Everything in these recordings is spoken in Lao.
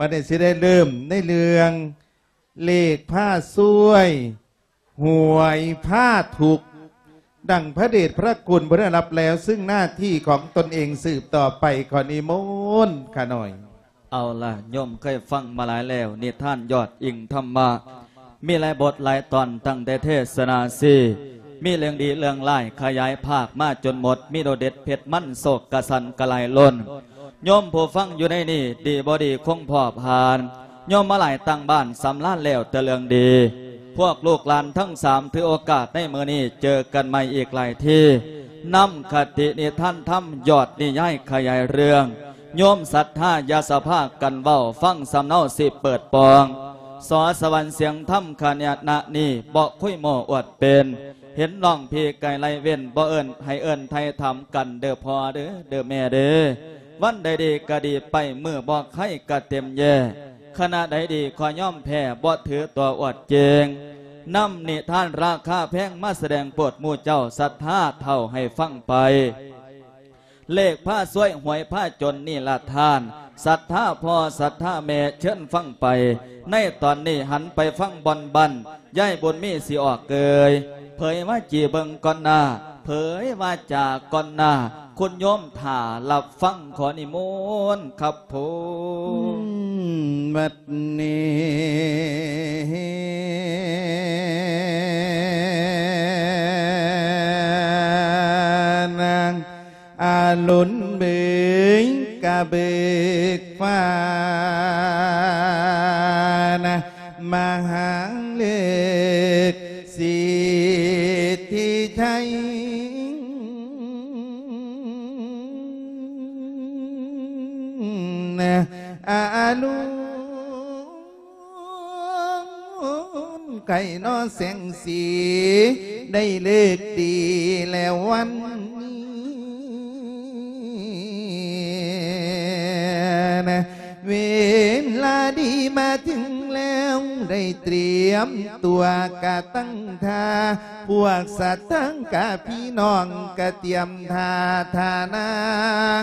ບັດນີ້ຊິໄດ້ເລີ່ມໃນເລື່ອງເລກພາຊ່ວຍ ຫວຍພາທຸກ ດັ່ງພະເດດພະຄຸນເພິ່ນໄດ້ຮັບແລ້ວ ຊຶ່ງໜ້າທີ່ຂອງຕົນເອງສືບຕໍ່ໄປ ຂໍນິມົນຂ້ານ້ອຍ. ເອົາລະ ໂຍມເຄີຍຟັງມາຫຼາຍແລ້ວ ນິທານຍອດອີ່ງທຳມະ ມີຫຼາຍບົດຫຼາຍຕອນ ຕັ້ງແຕ່ເທສະນາສີ່ ມີເລື່ອງດີເລື່ອງຮ້າຍ ຂະຫຍາຍພາກມາຈົນໝົດ ມີໂດດເດັດເຜັດມັນ ໂສກກະສັນກະຫຼາຍລົ້ນ. ໂຍມຜູ້ຟັງຢູ່ໃນນີ້ ດີບໍ່ດີຄົງພໍຜ່ານ ໂຍມມາຫຼາຍຕັ້ງບ້ານ ສຳລານແລ້ວແຕ່ເລື່ອງດີ. ພວກລູກຫຼານທັງສາມ ຖືໂອກາດໃນມື້ນີ້ ເຈີກັນໃໝ່ອີກຫຼາຍທີ ນຳຄະຕິນິທານທຳ ຍອດນິຍາຍຂະຫຍາຍເລື່ອງ ໂຍມສັດທາຢ່າສະພາກັນເວົ້າ ຟັງສຳເນົາຊິເປີດປ່ອງ ສອສະຫວັນສຽງທຳຂະນະນີ້ ບໍ່ຄຸຍໂມ້ອວດເປັນ ເຫັນນ້ອງພີ່ໄກໄລ່ເວັ້ນ ບໍ່ເອີ້ນໃຫ້ເອີ້ນໄຖ່ຖາມກັນເດີ້ພໍ່ເດີ້ ເດີ້ແມ່ເດີ້ ວັນໃດດີກະດີໄປ ມື້ບໍ່ໄຄກະເຕັມແຢ່ ຄະນະໃດດີຂໍຍອມແພ້ ບໍ່ຖືຕົວອວດເກັ່ງ ນຳນິທານລາຄາແພງ ມາສະແດງໂປດໝູ່ເຈົ້າສັດທາເຖົ້າໃຫ້ຟັງໄປ. ເລກພາຊວຍ ຫວຍພາຈົນນີ້ລະທ່ານ ສັດທາພໍ່ສັດທາແມ່ ເຊີນຟັງໄປ ໃນຕອນນີ້ຫັນໄປຟັງບ່ອນບ້ານ ຍາຍບຸນມີຊິອອກເອີຍ ເຜີຍວາຈີເບິ່ງກ່ອນໜ້າ ເຜີຍວາຈາກ່ອນໜ້າ ຄຸນໂຍມຖ້າຮັບຟັງ ຂໍນິມົນຄັບຜົມ. ບັດນີ້ນາງ ອາລຸນເບີຍກະເບີກຟ້ານະ ມະຫາເລິກສິດທິໄຊນະ ອາລຸນ ໄກ່ນໍແສງສີ ໄດ້ເລີກດີແລ້ວວັນນີ້ນະ ເວລາດີມາເຖິງແລ້ວ ໄດ້ຕຽມຕົວກະຕັ້ງທ່າ ພວກສັດທາກະພີ່ນ້ອງກະຕຽມທ່າ ທ່ານາ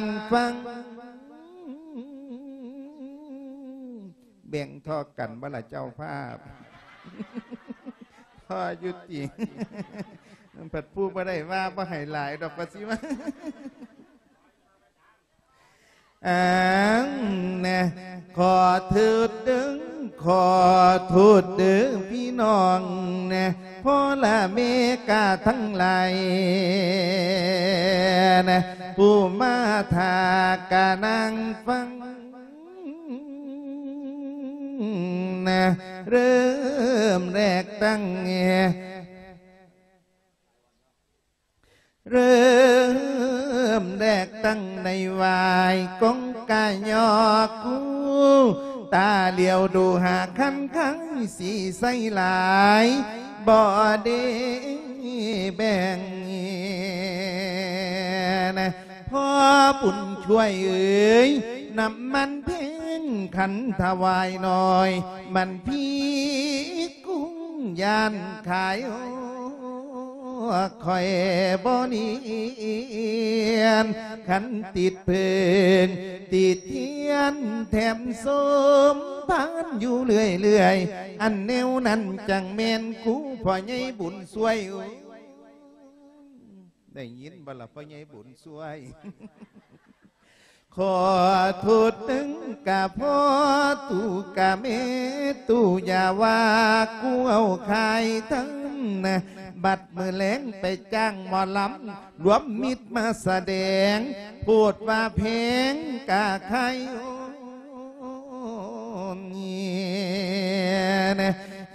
ງຟັງ ແບ່ງທໍ່ກັນບໍ່ລະເຈົ້າພາບ? ພໍຢູ່ຕິ? ພັດຜູ້ບໍ່ໄດ້ວ່າບໍ່ໃຫ້ຫຼາຍດອກ ວ່າຊິວ່າ ອັງແນ ຂໍໂທດເດີ້ ຂໍໂທດເດີ້ພີ່ນ້ອງແນ ພໍ່ລະແມ່ກະທັງຫຼາຍແນ ຜູ້ມາຖ້າກະນັ່ງຟັງ ນະ ເລີ່ມແລກຕັ້ງ ເລີ່ມແລກຕັ້ງໃນຫວາຍກົງກະຍອກຄູ ຕາຫຼຽວດູຫາຄັນໄຄ ສີໃສຫຼາຍ ບໍ່ເດ້ແບ່ງ ພໍ່ບຸນຊ່ວຍເອີຍ ນ້ຳມັນເພັງຂັນຖະຫວາຍໜ້ອຍ ມັນພີກຸງຢ້ານຂາຍ ຂ້ອຍບໍ່ນຽນ ຄັນຕິດເພີງຕິດທຽນ ແຖມສົມພານຢູ່ເລື້ອຍໆ ອັນແນວນັ້ນຈັ່ງແມ່ນກູ ພໍ່ໃຫຍ່ບຸນຊ່ວຍ ໄດ້ຍິນບໍ່ລະ ພໍ່ໃຫຍ່ບຸນຊ່ວຍ? ຂໍໂທດເຖິງກະພໍ່ຕູ້ກະແມ່ຕູ້ ຢ່າວ່າກູເອົາຂາຍທັງນະ ບັດມື້ແລງໄປຈ້າງໝໍລຳ ລວມມິດມາສະແດງ ໂພດວ່າແພງກະຂາຍ ໂອ້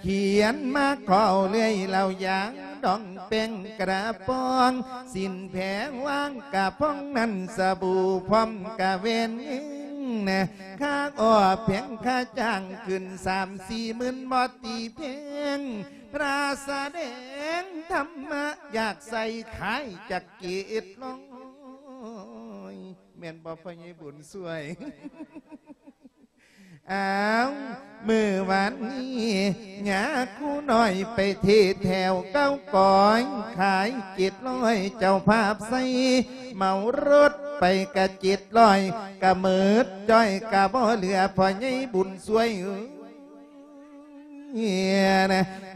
ຂຽນມາຂໍເລື້ອຍ ເຫຼົ້າຢາດອງແປ້ງກະປ໋ອງ ສິນແພງວາງກະພອງ ນັ້ນສະບູພ້ອມກະແວ່ນເງິນນະ ຄ່າອອກແພງຄ່າຈ້າງຂຶ້ນສາມສີ່ໝື່ນ ບໍ່ຕີແພງ ພະສະແດງທຳມະ ຢາກໃສ່ຂາຍຈັກເກດຮ້ອຍ ແມ່ນບໍ່ ພໍ່ໃຫຍ່ບຸນຊ່ວຍ? ອ້າວ ມື້ວານນີ້ ຍາຄູນ້ອຍໄປເທດແຖວເກົ້າກອຍ ຂາຍເຈັດຮ້ອຍ ເຈົ້າພາບໃສ່ເໝົາລົດ ໄປກະເຈັດຮ້ອຍ ກະໝົດຈ້ອຍ ກະບໍ່ເຫຼືອພໍ່ໃຫຍ່ບຸນຊ່ວຍເອີຍ.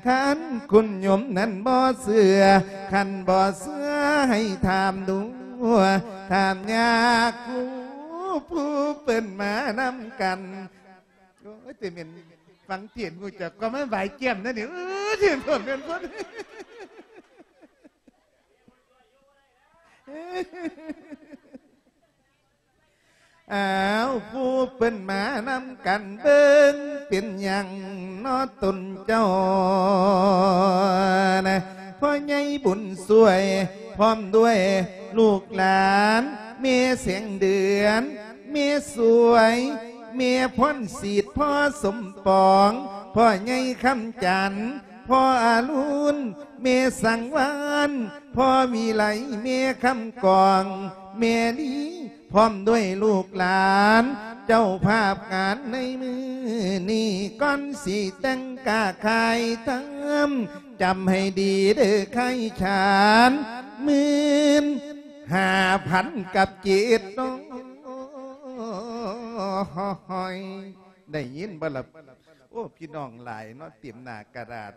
ຄັນຄຸນໂຍມນັ້ນບໍ່ເຊື່ອ ຄັນບໍ່ເຊື່ອໃຫ້ຖາມດູ ຖາມຍາຄູຜູ້ເພິ່ນມານຳກັນ. ໂອ້ຍ ແຕ່ແມ່ນຟັງເທດຮູ້ຈັກຄວາມໝາຍບາຍແກ້ມນະນີ້. ເອີ ເທດເພິ່ນແມ່ນເພິ່ນ ອ້າວ ຜູ້ເພິ່ນມານຳກັນເບິ່ງ ເປັນຫຍັງເນາະຕົນເຈົ້ານະ ພໍ່ໃຫຍ່ບຸນຊ່ວຍ ພ້ອມດ້ວຍລູກຫຼານ ແມ່ແສງເດືອນ ແມ່ສວຍ ແມ່ພອນສີດ ພໍ່ສົມປອງ ພໍ່ໃຫຍ່ຄຳຈັນ ພໍ່ອາລຸນ ແມ່ສັງວານ ພໍ່ວິໄລ ແມ່ຄຳກອງ ແມ່ລີ ພ້ອມດ້ວຍລູກຫຼານ ເຈົ້າພາບງານໃນມື້ນີ້ ກ່ອນຊິແຕ່ງກະຂາຍທຳ ຈຳໃຫ້ດີເດີຂາຍຂານ ໝື່ນຫ້າພັນກັບເຈັດຮ້ອຍ. ໄດ້ຍິນບໍ່ລະ? ໂອ້ ພີ່ນ້ອງຫຼາຍເນາະ ເຕັມໜ້າກະດາດ.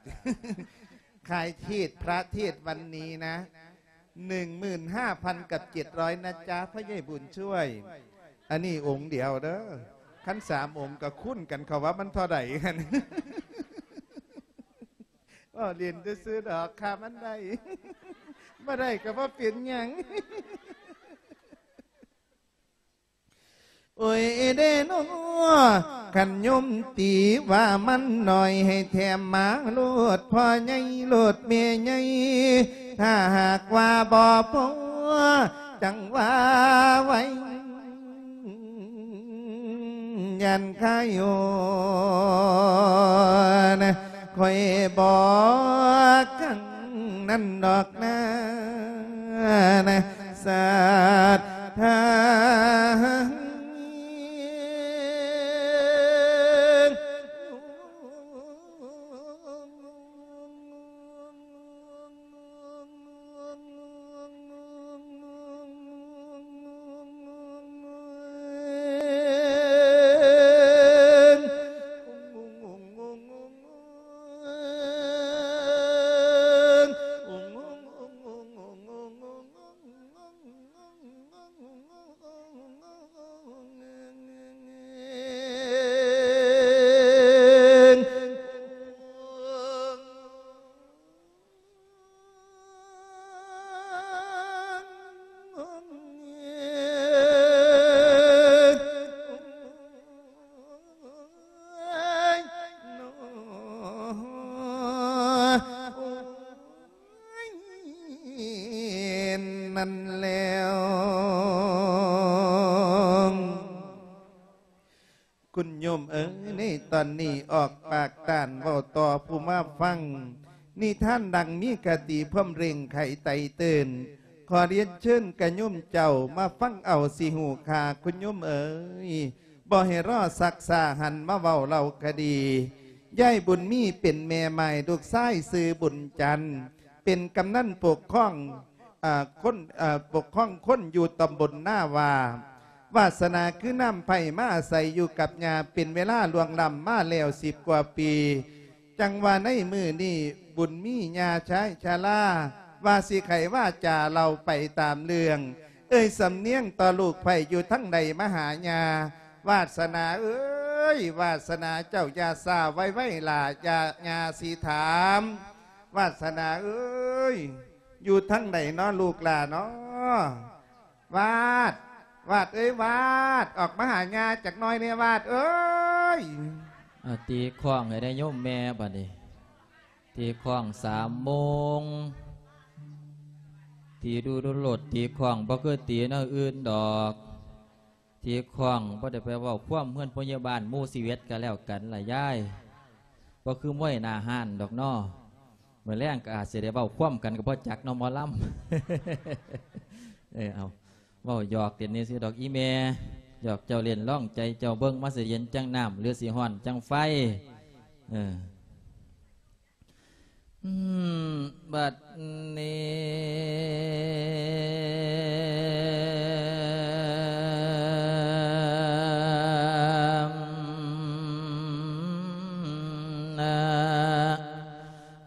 ຂາຍເທດ ພະເທດວັນນີ້ນະ ໜຶ່ງໝື່ນຫ້າພັນກັບເຈັດຮ້ອຍນະຈ໋ ພໍ່ໃຫຍ່ບຸນຊ່ວຍ. ອັນນີ້ອົງດຽວເດີ ຄັນສາມອົງກະຄູນກັນເຂົ້າວ່າມັນເທົ່າໃດຫັ້ນ. ເວົ້າຫຼິ້ນຊື່ໆດອກ ຖ້າມັນໄດ້ ບໍ່ໄດ້ກະບໍ່ເປັນຫຍັງ. ໂອ້ຍເດ້ນໍ ຄັນໂຍມຕີວ່າມັນໜ້ອຍ ໃຫ້ແຖມມາໂລດ ພໍ່ໃຫຍ່ໂລດ ແມ່ໃຫຍ່ ຖ້າຫາກວ່າບໍ່ພໍ ຈັ່ງວ່າໄວ້ ຢ້ານຄາຍໂຍນ ຂ້ອຍບອກຄັ້ງນັ້ນດອກນາ ສັດທາ. ນັ້ນແລ້ວ ຄຸນໂຍມເອີຍ ໃນຕອນນີ້ອອກປາກຕ້ານເວົ້າຕໍ່ຜູ້ມາຟັງ ນິທານດັ່ງມີຄະຕິພວາມເລັ່ງໄຂໄຕເຕີນ. ຂໍລຽນເຊີນກະໂຍມເຈົ້າມາຟັງເອົາ ຊິຮູ້ຄ່າ ຄຸນໂຍມເອີຍ ບໍ່ໃຫ້ລໍຊັກຊ້າ ຫັນມາເວົ້າເລົ່າຄະດີ. ຍາຍບຸນມີເປັນແມ່ໝ້າຍ ລູກຊາຍຊື່ບຸນຈັນ ເປັນກຳນັນປົກຄອງ ເອີ ຄົນ ເອີ ປົກຄອງຄົນຢູ່ຕຳບົນນາວາ. ວາດສະໜາຄືນ້ຳໄຜ່ ມາອາໄສຢູ່ກັບຍ່າ ເປັນເວລາລ່ວງລ້ຳມາແລ້ວສິບກວ່າປີ. ຈັ່ງວ່າໃນມື້ນີ້ບຸນມີຍ່າຊາຍຊະລາ ວ່າຊິໄຂວາຈາເລົ່າໄປຕາມເລື່ອງ ເອີ່ຍສຳນຽງຕໍ່ລູກໃພ້ຢູ່ທາງໃດມາຫາຍ່າ. ວາດສະໜາເອີຍ ວາດສະໜາເຈົ້າຢ່າຊ້າໄວໆຫຼ້າ ຢ່າ ຍ່າຊິຖາມ. ວາດສະໜາເອີຍ ຢູ່ທາງໃດເນາະລູກຫຼ້າເນາະ? ວາດ ວາດເອີຍ ວາດ ອອກມາຫາຍ່າຈັກໜ້ອຍແດ່ ວາດເອີຍ. ອາ ຕີຄ້ອງໃຫ້ໄດ້ໂຍມແມ່ບາດນີ້ ຕີຄ້ອງສາມໂມງ ຕີດູໆໂລດ ຕີຄ້ອງ ບໍ່ຄືຕີແນວອື່ນດອກ. ຕີຄ້ອງບໍ່ໄດ້ໄປເວົ້າຄວາມເຮືອນພະຍາບານໝູ່ຊີວິດກະແລ້ວກັນລະຍາຍ ບໍ່ຄືມວຍໜ້າຮ້ານດອກເນາະ. ມື້ແລງກະອາດຊິໄດ້ເວົ້າຄວາມກັນກະບໍ່ຈັກເນາະ ໝໍລຳ. ເອີ ເອົາ ເວົ້າຫຍອກເຫຼັ້ນຊື່ໆດອກອີ່ແມ່ ຫຍອກເຈົ້າເຫຼັ້ນ ລອງໃຈເຈົ້າເບິ່ງ ມັນຊິເຢັນຈັ່ງນ້ຳ ຫຼືຊິຮ້ອນຈັ່ງໄຟ. ເອີ ອືມ ບັດນີ້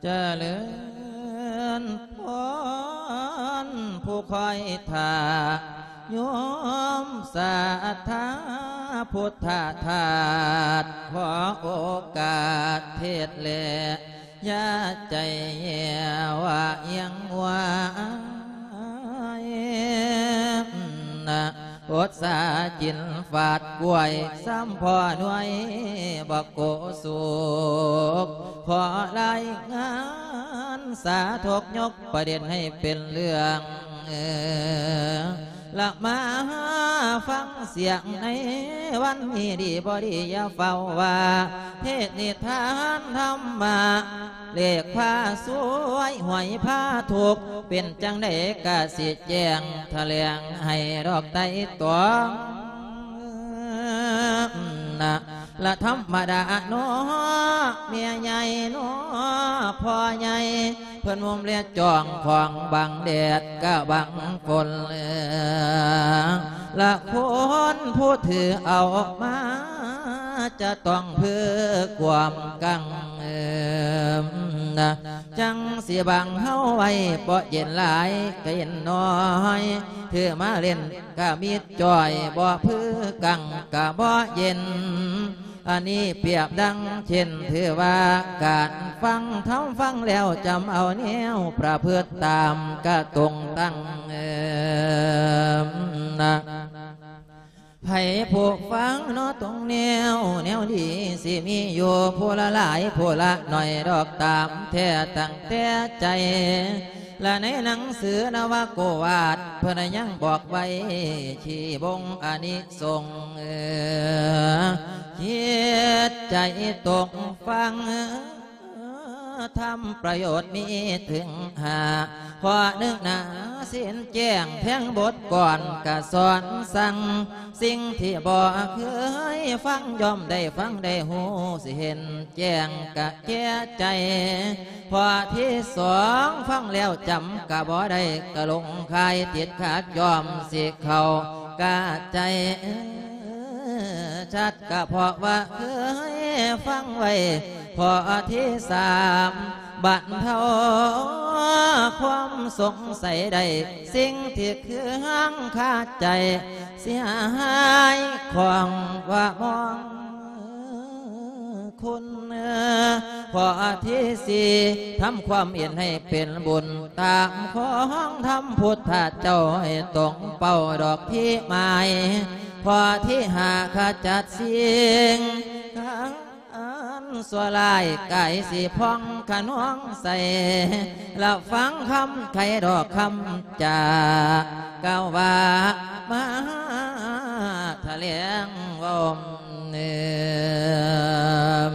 ຈະເລີນພອນຜູ້ຄອຍຖ້າ ໂຍມສັດທາພຸດທະທາດ ຂໍໂອກາດເທດແລ ຢ່າໃຈແຍ່ວາອຽງວາຍ ອົດສາກິນຟາດກ້ວຍ ຊ້ຳພໍໜ່ວຍບໍ່ໂກສຸກ ຂໍລາຍງານສາທົກ ຍົກປະເດັນໃຫ້ເປັນເລື່ອງ ລະມາຟັງສຽງໃນວັນນີ້ ດີບໍ່ດີຢ່າຟ້າວວ່າ ເທດນິທານທຳມະ ເລກພາສວຍຫວຍພາທຸກ ເປັນຈັ່ງໃດກະຊິແຈ້ງຖະແຫຼງໃຫ້ດອກໄຕ່ຕອງນະ ລະທຳມະດາເນາະ ແມ່ໃຫຍ່ເນາະ ພໍ່ໃຫຍ່ ເພິ່ນໂຮມແລະຈອງຂອງບັງແດດກະບັງຝົນ ລະຄົນຜູ້ຖືເອົາມາ ຈະຕ້ອງເພື່ອຄວາມກັງເອີມນະ ຈັ່ງຊິບັງເຮົາໄວ້ ບໍ່ເຢັນຫຼາຍກະເຢັນໜ້ອຍ ຖືມາເຫຼັ້ນກະມິດຈ່ອຍ ບໍ່ເພື່ອກັງກະບໍ່ເຢັນ ອັນນີ້ປຽບດັ່ງເຊັ່ນ ຖືວ່າການຟັງທຳ ຟັງແລ້ວຈຳເອົາແນວປະພຶດຕາມກະຕົງຕັ້ງເອີມນະ ໃຜຜູ້ຟັງເນາະຕົງແນວ ແນວດີຊິມີຢູ່ຜູ້ລະຫຼາຍຜູ້ລະໜ້ອຍດອກຕາມແທ້ຕັ້ງແຕ່ໃຈ ລະໃນໜັງສືນະວະໂກວາດ ເພິ່ນຍັງບອກໄວ້ ທີ່ບົ່ງອານິ ສົງ ເອີ ຈິດໃຈຕົກຟັງ ທຳປະໂຫຍດມີເຖິງຫ້າ ຂໍ້ໜຶ່ງນາ ເຊັ່ນແຈ້ງແທງບົດກ່ອນກະສອນສັ່ງ ສິ່ງທີ່ບໍ່ເຄີຍຟັງ ຍ່ອມໄດ້ຟັງໄດ້ຮູ້ ຊິເຫັນແຈ້ງກະແກ່ໃຈ ຂໍ້ທີສອງ ຟັງແລ້ວຈຳກະບໍ່ໄດ້ ກະຫຼົງຄາຍຕິດຂັດ ຍ່ອມຊິເຂົ້າກະໃຈ ເອີ ຊັດກະເພາະວ່າເຄີຍຟັງໄວ້ ຂໍ້ທີສາມ ບັນເທົາຄວາມສົງໄສໄດ້ ສິ່ງທີ່ເຄືອງຄາໃຈ ເສຍຫາຍຂ້ອງວ່າມອງຄຸນ ຂໍ້ທີສີ່ ທຳຄວາມເຫັນໃຫ້ເປັນບຸນ ຕາມຂອງທຳພຸດທະເຈົ້າໃຫ້ຕົງເປົ້າດອກທີ່ໝາຍ ຂໍ້ທີຫ້າ ຂະຈັດສິ່ງ ອັນຊົ່ວຮ້າຍກາຍສີຜ່ອງຂະນອງໃສ ລະຟັງຄຳໄຂດອກຄຳຈາ ກ່າວວ່າມາຖະແຫຼງເວົ້າເນີມ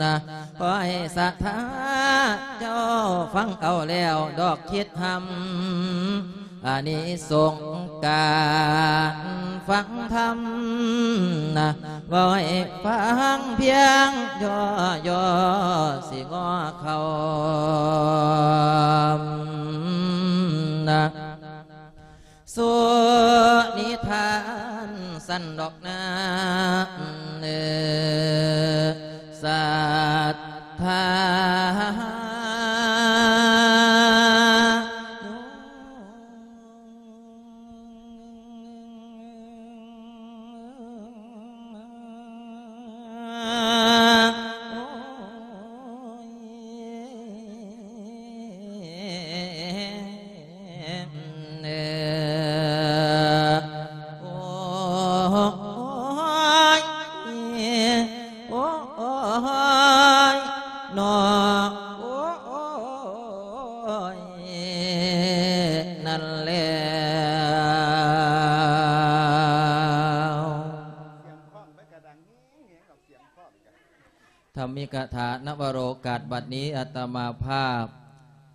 ນະ ຂໍໃຫ້ສັດທາເຈົ້າຟັງເອົາແລ້ວດອກຄິດຮຳ ອານິສົງການຟັງທຳນະ ເວົ້າໃຫ້ຟັງພຽງຍໍໆ ຊິງໍເຂົ້ານະ ສູ່ນິທານຊັ້ນດອກນາ ເອີ ສັດທາ ໂອ້ຍ ໂອ້ຍ ເນາະ ໂອ້ຍ ນັ້ນແລ້ວ ທຳມິກະຖາ ນະວະໂລກາດ ບັດນີ້ອາດຕະມາພາບ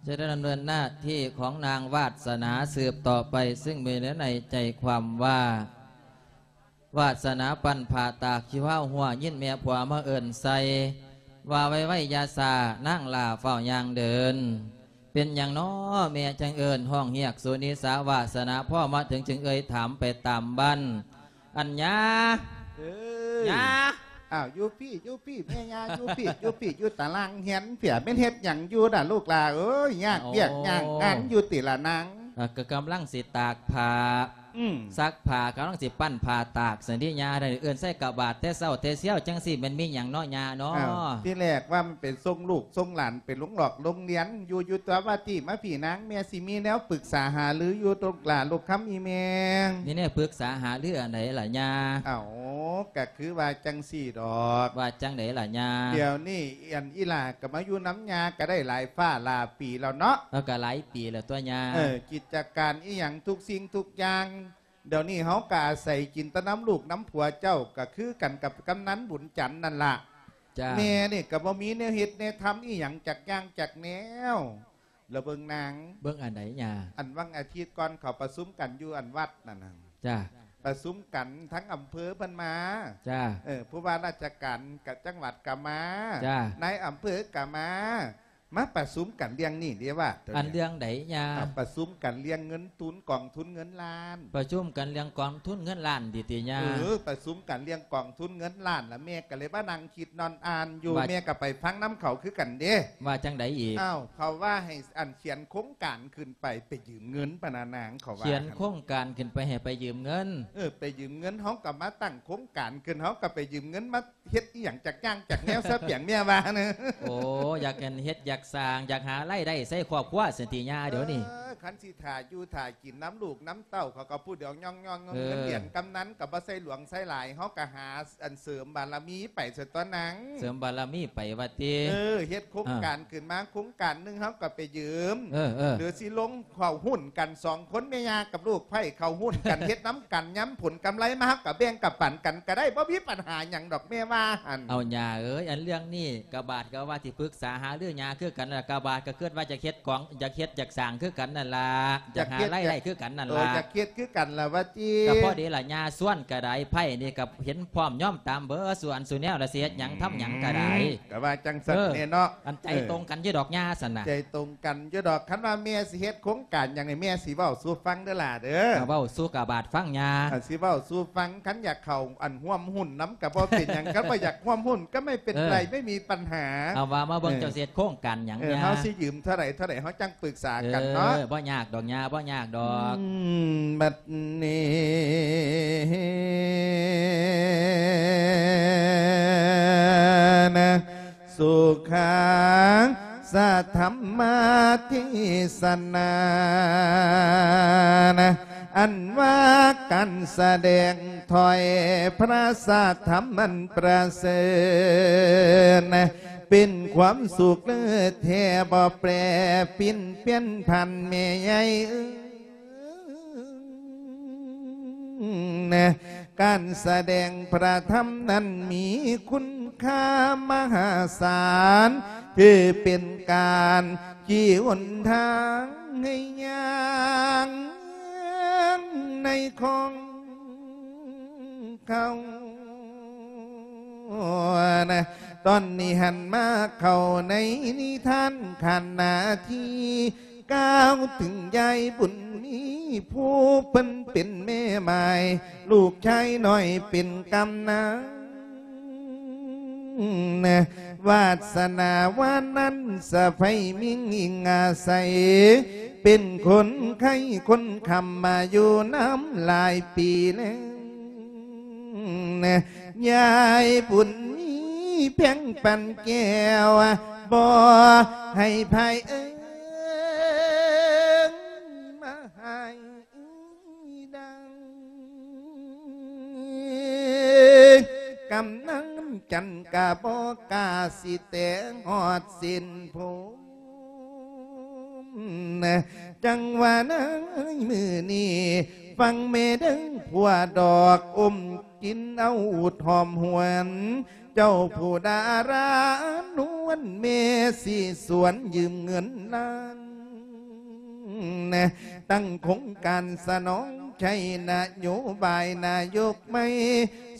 ຈະໄດ້ດຳເນີນໜ້າທີ່ຂອງນາງວາດສະໜາສືບຕໍ່ໄປ ຊຶ່ງມີເນື້ອໃນໃຈຄວາມວ່າ ວາດສະໜາປັ້ນຜ້າຕາກ ຊິພາຫົວຍິນແມ່ຜົວມາເອີ້ນໃສ່ ວ່າໄວໆຢ່າຊ້າ ນາງຫຼ້າຟ້າວຍ່າງເດີນ ເປັນຫຍັງນໍແມ່ຈັ່ງເອີ້ນຮ້ອງຮຽກສຸນິສາ ວາດສະໜາພໍມາເຖິງຈຶ່ງເອີ່ຍຖາມໄປຕາມບ້ານ ອັນຍາ ເອີຍ ຍາ ອ້າວ ຢູ່ພີ້ ຢູ່ພີ້ ແມ່ຍ່າ ຢູ່ພີ້ ຢູ່ພີ້ ຢູ່ຕາລ່າງຮຽນເພຍ ແມ່ນເຮັດຫຍັງຢູ່ລະລູກຫຼ້າເອີຍ? ຍາກວຽກ ໂອ້ ຍາກງານຢູ່ຕິລະນາງ? ເອີ ກໍກຳລັງຊິຕາກຜ້າ ອືມ ຊັກຜ້າ ກຳລັງຊິປັ້ນຜ້າຕາກຊັ້ນຕິຍ່າ. ເອີ້ນໃສ່ກະບາດແຕ່ເຊົ້າແຕ່ຊຽວຈັ່ງຊີ້ ແມ່ນມີຫຍັງເນາະຍ່າເນາະ? ອ້າວ ທີແລກວ່າມັນໄປສົ່ງລູກສົ່ງຫຼານໄປໂຮງຫຼອກໂຮງຮຽນ ຢູ່ ຢູ່ຕົວະວ່າຕິ ມາພີ້ນາງ ແມ່ຊິມີແນວປຶກສາຫາລືຢູ່ ລູກຫຼ້າລູກຄຳອີ່ແມ່. ມີແນວປຶກສາຫາລືອັນໃດລະຍ່າ? ເອົ້າ ກະຄືວ່າຈັ່ງຊີ້ດອກ. ວ່າຈັ່ງໃດລະຍ່າ? ດຽວນີ້ອັນອີ່ຫຼ້າກໍມາຢູ່ນຳຍ່າກໍໄດ້ຫຼາຍຟ້າຫຼາຍປີແລ້ວເນາະ. ເອີ ກໍຫຼາຍປີແລ້ວຕົວະຍ່າ. ເອີ ກິດຈະການອີ່ຫຍັງທຸກສິ່ງທຸກຢ່າງ ດຽວນີ້ເຮົາກໍອາໄສກິນແຕ່ນຳລູກນຳຜົວເຈົ້າ ກໍຄືກັນກັບກຳນັນບຸນຈັນນັ້ນລະ. ຈ້າ. ແມ່ນີ້ກໍບໍ່ມີແນວເຮັດແນວທຳອີ່ຫຍັງຈັກຢ່າງຈັກແນວ. ລະເບິ່ງນາງ ເບິ່ງອັນໃດຍ່າ? ອັນຫວ່າງອາທິດກ່ອນເຂົາປະຊຸມກັນຢູ່ອັນວັດນັ້ນນະ. ຈ້າ. ປະຊຸມກັນທັງອຳເພີເພິ່ນມາ. ຈ້າ. ເອີ ຜູ້ວ່າລາຊະການກະຈັງຫວັດກະມາ. ຈ້າ. ນາຍອຳເພີກະມາ ມາປະຊຸມກັນເລື່ອງນີ້ເດ້ວ່າ. ອັນເລື່ອງໃດຍ່າ? ອ່າ ປະຊຸມກັນເລື່ອງເງິນທຶນ ກອງທຶນເງິນລ້ານ. ປະຊຸມກັນເລື່ອງກອງທຶນເງິນລ້ານຕິຕິຍ່າ? ເອີ ປະຊຸມກັນເລື່ອງກອງທຶນເງິນລ້ານ ລະແມ່ກໍເລີຍມານັ່ງຄິດນອນອ່ານຢູ່. ວ່າ ແມ່ກໍໄປຟັງນຳເຂົາຄືກັນເດ້. ວ່າຈັ່ງໃດອີກ? ອ້າວ ເຂົາວ່າໃຫ້ອັນຂຽນໂຄງການຂຶ້ນໄປ ໄປຢືມເງິນປະນານາງ ເຂົາວ່າ. ຂຽນໂຄງການຂຶ້ນໄປໃຫ້ໄປຢືມເງິນ? ເອີ ໄປຢືມເງິນ ເຮົາກໍມາຕັ້ງໂຄງການຂຶ້ນ ເຮົາກໍໄປຢືມເງິນມາ ເຮັດອີ່ຫຍັງຈັກຢ່າງຈັກແນວຊະ ປຽງແມ່ວ່ານະ. ໂອ້ ຢາກເຮັດຢາກສ້າງ ຢາກຫາລາຍໄດ້ໃສ່ຄອບຄົວຊັ້ນຕິຍ່າດຽວນີ້. ເອີ ຄັນຊິຖ້າຢູ່ຖ້າກິນນຳລູກນຳເຕົ້າ ເຂົາກໍຜູ້ດຽວຍ່ອງໆ ເອີ ເງິນເດືອນກຳນັນກໍບໍ່ໃສ່ຫຼວງໃສ່ຫຼາຍ ເຮົາກໍຫາອັນເສີມບາລະມີໄປຊະຕົວະນາງ. ເສີມບາລະມີໄປວ່າຕິ. ເອີ ເຮັດໂຄງການ ອ່າ ຂຶ້ນມາໂຄງການໜຶ່ງ ເຮົາກໍໄປຢືມ. ເອີ ເອີ ຫຼືຊິລົງ ເຂົ້າຫຸ້ນກັນສອງຄົນ ແມ່ຍ່າກັບລູກໃພ້ ເຂົ້າຫຸ້ນກັນ ເຮັດນຳກັນ ຍາມຜົນກຳໄລມາ ເຮົາກໍແບ່ງກັນປັນກັນກໍໄດ້ ບໍ່ມີປັນຫາຫຍັງດອອກ ແມ່ວ່າຫັ້ນ. ເອົາຍ່າເອີຍ ອັນເລື່ອງນີ້ກະບາດກໍວ່າຊິປຶກສາຫາລືຍ່າຄືກັນລະ ກະບາດກໍຄິດວ່າຈະເຮັດກອງ ຢາກເຮັດຢາກສ້າງຄືກັນນັ້ນລະ ຢາກຫາລາຍໄດ້ຄືກັນນັ້ນລະ. ເອີ ຢາກເຮັດຄືກັນລະວ່າຕິ. ກໍພໍດີລະ ຍ່າຊວນກໍໄດ້ ໃພ້ນີ້ກໍເຫັນພ້ອມຍອມຕາມເບີ ສ່ວນສູ່ແນວລະ ຊິເຮັດຫຍັງທຳຫຍັງກໍໄດ້. ອືມ ກໍວ່າຈັ່ງຊັ້ນແນ່ເນາະ. ເອີ ອັນໃຈ ເອີ ຕົງກັນຢູ່ດອກຍ່າຊັ້ນນະ. ໃຈຕົງກັນຢູ່ດອກ ຄັນວ່າແມ່ຊິເຮັດໂຄງການຫຍັງນີ້ ແມ່ຊິເວົ້າສູ່ຟັງເດີຫຼ້າເດີ. ກໍເວົ້າສູ່ກະບາດຟັງຍ່າ. ອ່າ ຊິເວົ້າສູ່ຟັງ ຄັນຢາກເຂົ້າອັນຮ່ວມຫຸ້ນນຳກໍບໍ່ເປັນຫຍັງ ຄັນບໍ່ຢາກຮ່ວມຫຸ້ນກໍໄມ່ເປັນໄລ ເອີ ໄມ່ມີປັນຫາ. ເອົາວ່າມາເບິ່ງ ເອີ ເຈົ້າຊິເຮັດໂຄງການຫຍັງ ເອີ ຍ່າ? ເຮົາຊິຢືມເທົ່າໃດ ເທົ່າໃດ ເຮົາຈັ່ງປຶກສາກັນເນາະ. ເອີ ບໍ່ຍາກດອກຍ່າ ບໍ່ຍາກດອກ. ອືມ ບັດນີ້ນະ ສຸຂັງສະທຳມະເທສະນານະ ອັນວ່າການສະແດງຖ້ອຍພະສັດທຳອັນປະເສີດນະ ເປັນຄວາມສຸກເລີດແທ້ ບໍ່ແປປິ່ນປ່ຽນຜັນແມ່ໃຫຍ່ເອີຍ. ການສະແດງພະທຳນັ້ນມີຄຸນຄ່າມະຫາສານ ຄືເປັນການຊີ້ຫົນທາງໃຫ້ຍ່າງໃນຂອງເຂົານະ. ຕອນນີ້ຫັນມາເຂົ້າໃນນິທານຂະນະທີ່ ກ່າວເຖິງຍາຍບຸນມີ ຜູ້ເພິ່ນເປັນແມ່ໝ້າຍ ລູກຊາຍນ້ອຍເປັນກຳນັນ ວາດສະໜາວານນັ້ນສະໃຜມິ່ງອີງອາໄສ ເປັນຄົນໄຂ້ຄົນຄ້ຳມາຢູ່ນຳຫຼາຍປີແລ້ວ. ຍາຍບຸນມີແພງປານແກ້ວ ບໍ່ໃຫ້ໃຜເອີງມາໃຫ້ດັງ ກຳນັນຈັນກະບໍ່ກ້າຊິແຕະຮອດເສັ້ນຜົມ ຈັ່ງວ່າໃນມື້ນີ້ ຟັງແມ່ເດີ້ ຜົວດອກອົມກິນເອົາອູດຫອມຫວນ ເຈົ້າຜູ້ດາລານວນ ແມ່ຊິຊວນຢືມເງິນລ້ານ ຕັ້ງໂຄງການສະໜອງໃຊ້ນະໂຍບາຍນາຍົກໃໝ່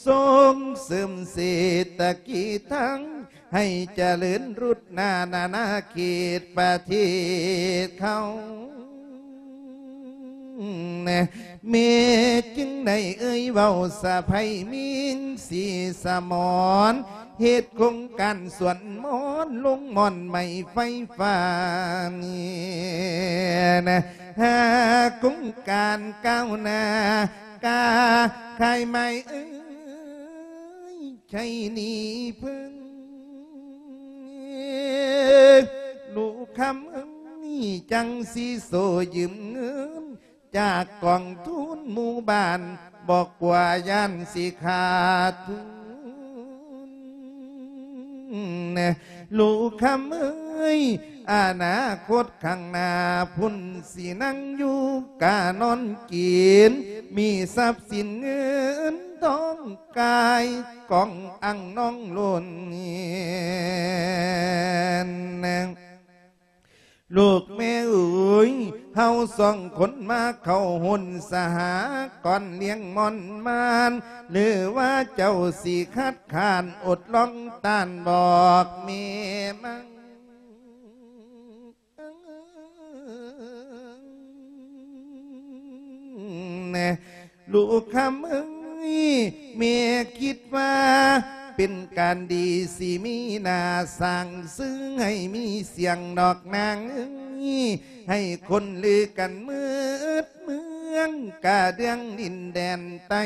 ສົ່ງເສີມເສດຖະກິດທັງ ໃຫ້ຈະເລີນລຸດໜ້ານານາເຂດປະເທດເຮົາ ແມ່ຈຶ່ງໄດ້ເອີ່ຍເວົ້າສະໃພ້ມີນສີສະໝອນ ເຮັດໂຄງການສວນມອນລົງໝ່ອນໄມ້ໄຟຟ້ານີ້ນະ ຫາໂຄງການກ້າວໜ້າ ກາຂາຍໄມ້ເອີ່ຍ ໃຊ້ໜີ້ເພິ່ນ ລູກຄຳເອີ່ຍ ຈັ່ງຊິໂຊຢືມເງິນ ຈາກກອງທຶນໝູ່ບ້ານ ບໍ່ກົວຢ້ານຊິຂາດທຶນ ລູກຄຳເອີຍ ອະນາຄົດຂ້າງໜ້າພຸ້ນ ຊິນັ່ງຢູ່ການອນກິນ ມີຊັບສິນເງິນທອງກາຍກອງອັ່ງນອງລົ້ນ. ລູກແມ່ເອີຍ ເຮົາສອງຄົນມາເຂົ້າຮຸ້ນສະຫາກອນລ້ຽງມ່ອນມານ ຫຼືວ່າເຈົ້າຊິຄັດຄ້ານອົດລອງຕ້ານບອກແມ່ມັງ ລູກຄຳເອີຍ ແມ່ຄິດວ່າເປັນການດີ ຊິມີໜ້າສ້າງຊື່ໃຫ້ມີສຽງດອກນາງເອີຍ ໃຫ້ຄົນລືກັນໝົດເມືອງກະເດືອງດິນແດນໃຕ້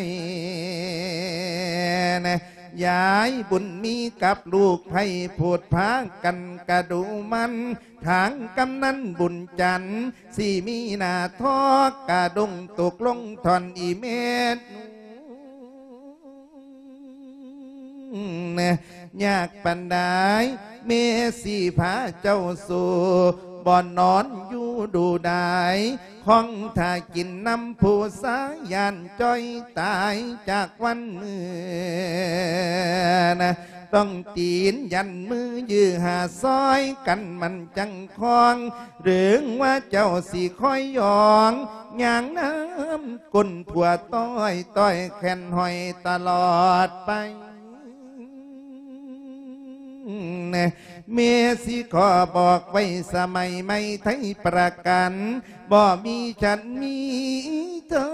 ຍາຍບຸນມີກັບລູກໃພ້ໂພດພາກັນກະດູໝັ່ນ ທາງກຳນັນບຸນຈັນ ຊິມີໜ້າທອກກະດົງຕົກລົງທ່ອນອີແມ່ນ ຍາກປານໃດ ແມ່ຊິພາເຈົ້າໂສ ບໍ່ນອນຢູ່ດູດາຍ ຄອງຖ້າກິນນຳຜູ້ຊາຍ ຢ້ານຈ່ອຍຕາຍຈາກວັນມື້ນະ ຕ້ອງຕີນຢັນມື ຢື້ຫາຊອຍກັນມັນຈັ່ງຄອງ ເລື່ອງວ່າເຈົ້າຊິຄອຍຢອງ ຍ່າງນຳກົ້ນຜົວຕ້ອຍ ຕ້ອຍແຂນຫ້ອຍຕະຫຼອດໄປ. ແມ່ຊິຂໍບອກໄວ້ສະໄໝໃໝ່ໄທປະກັນ ບໍ່ມີຊັ້ນມີເທີ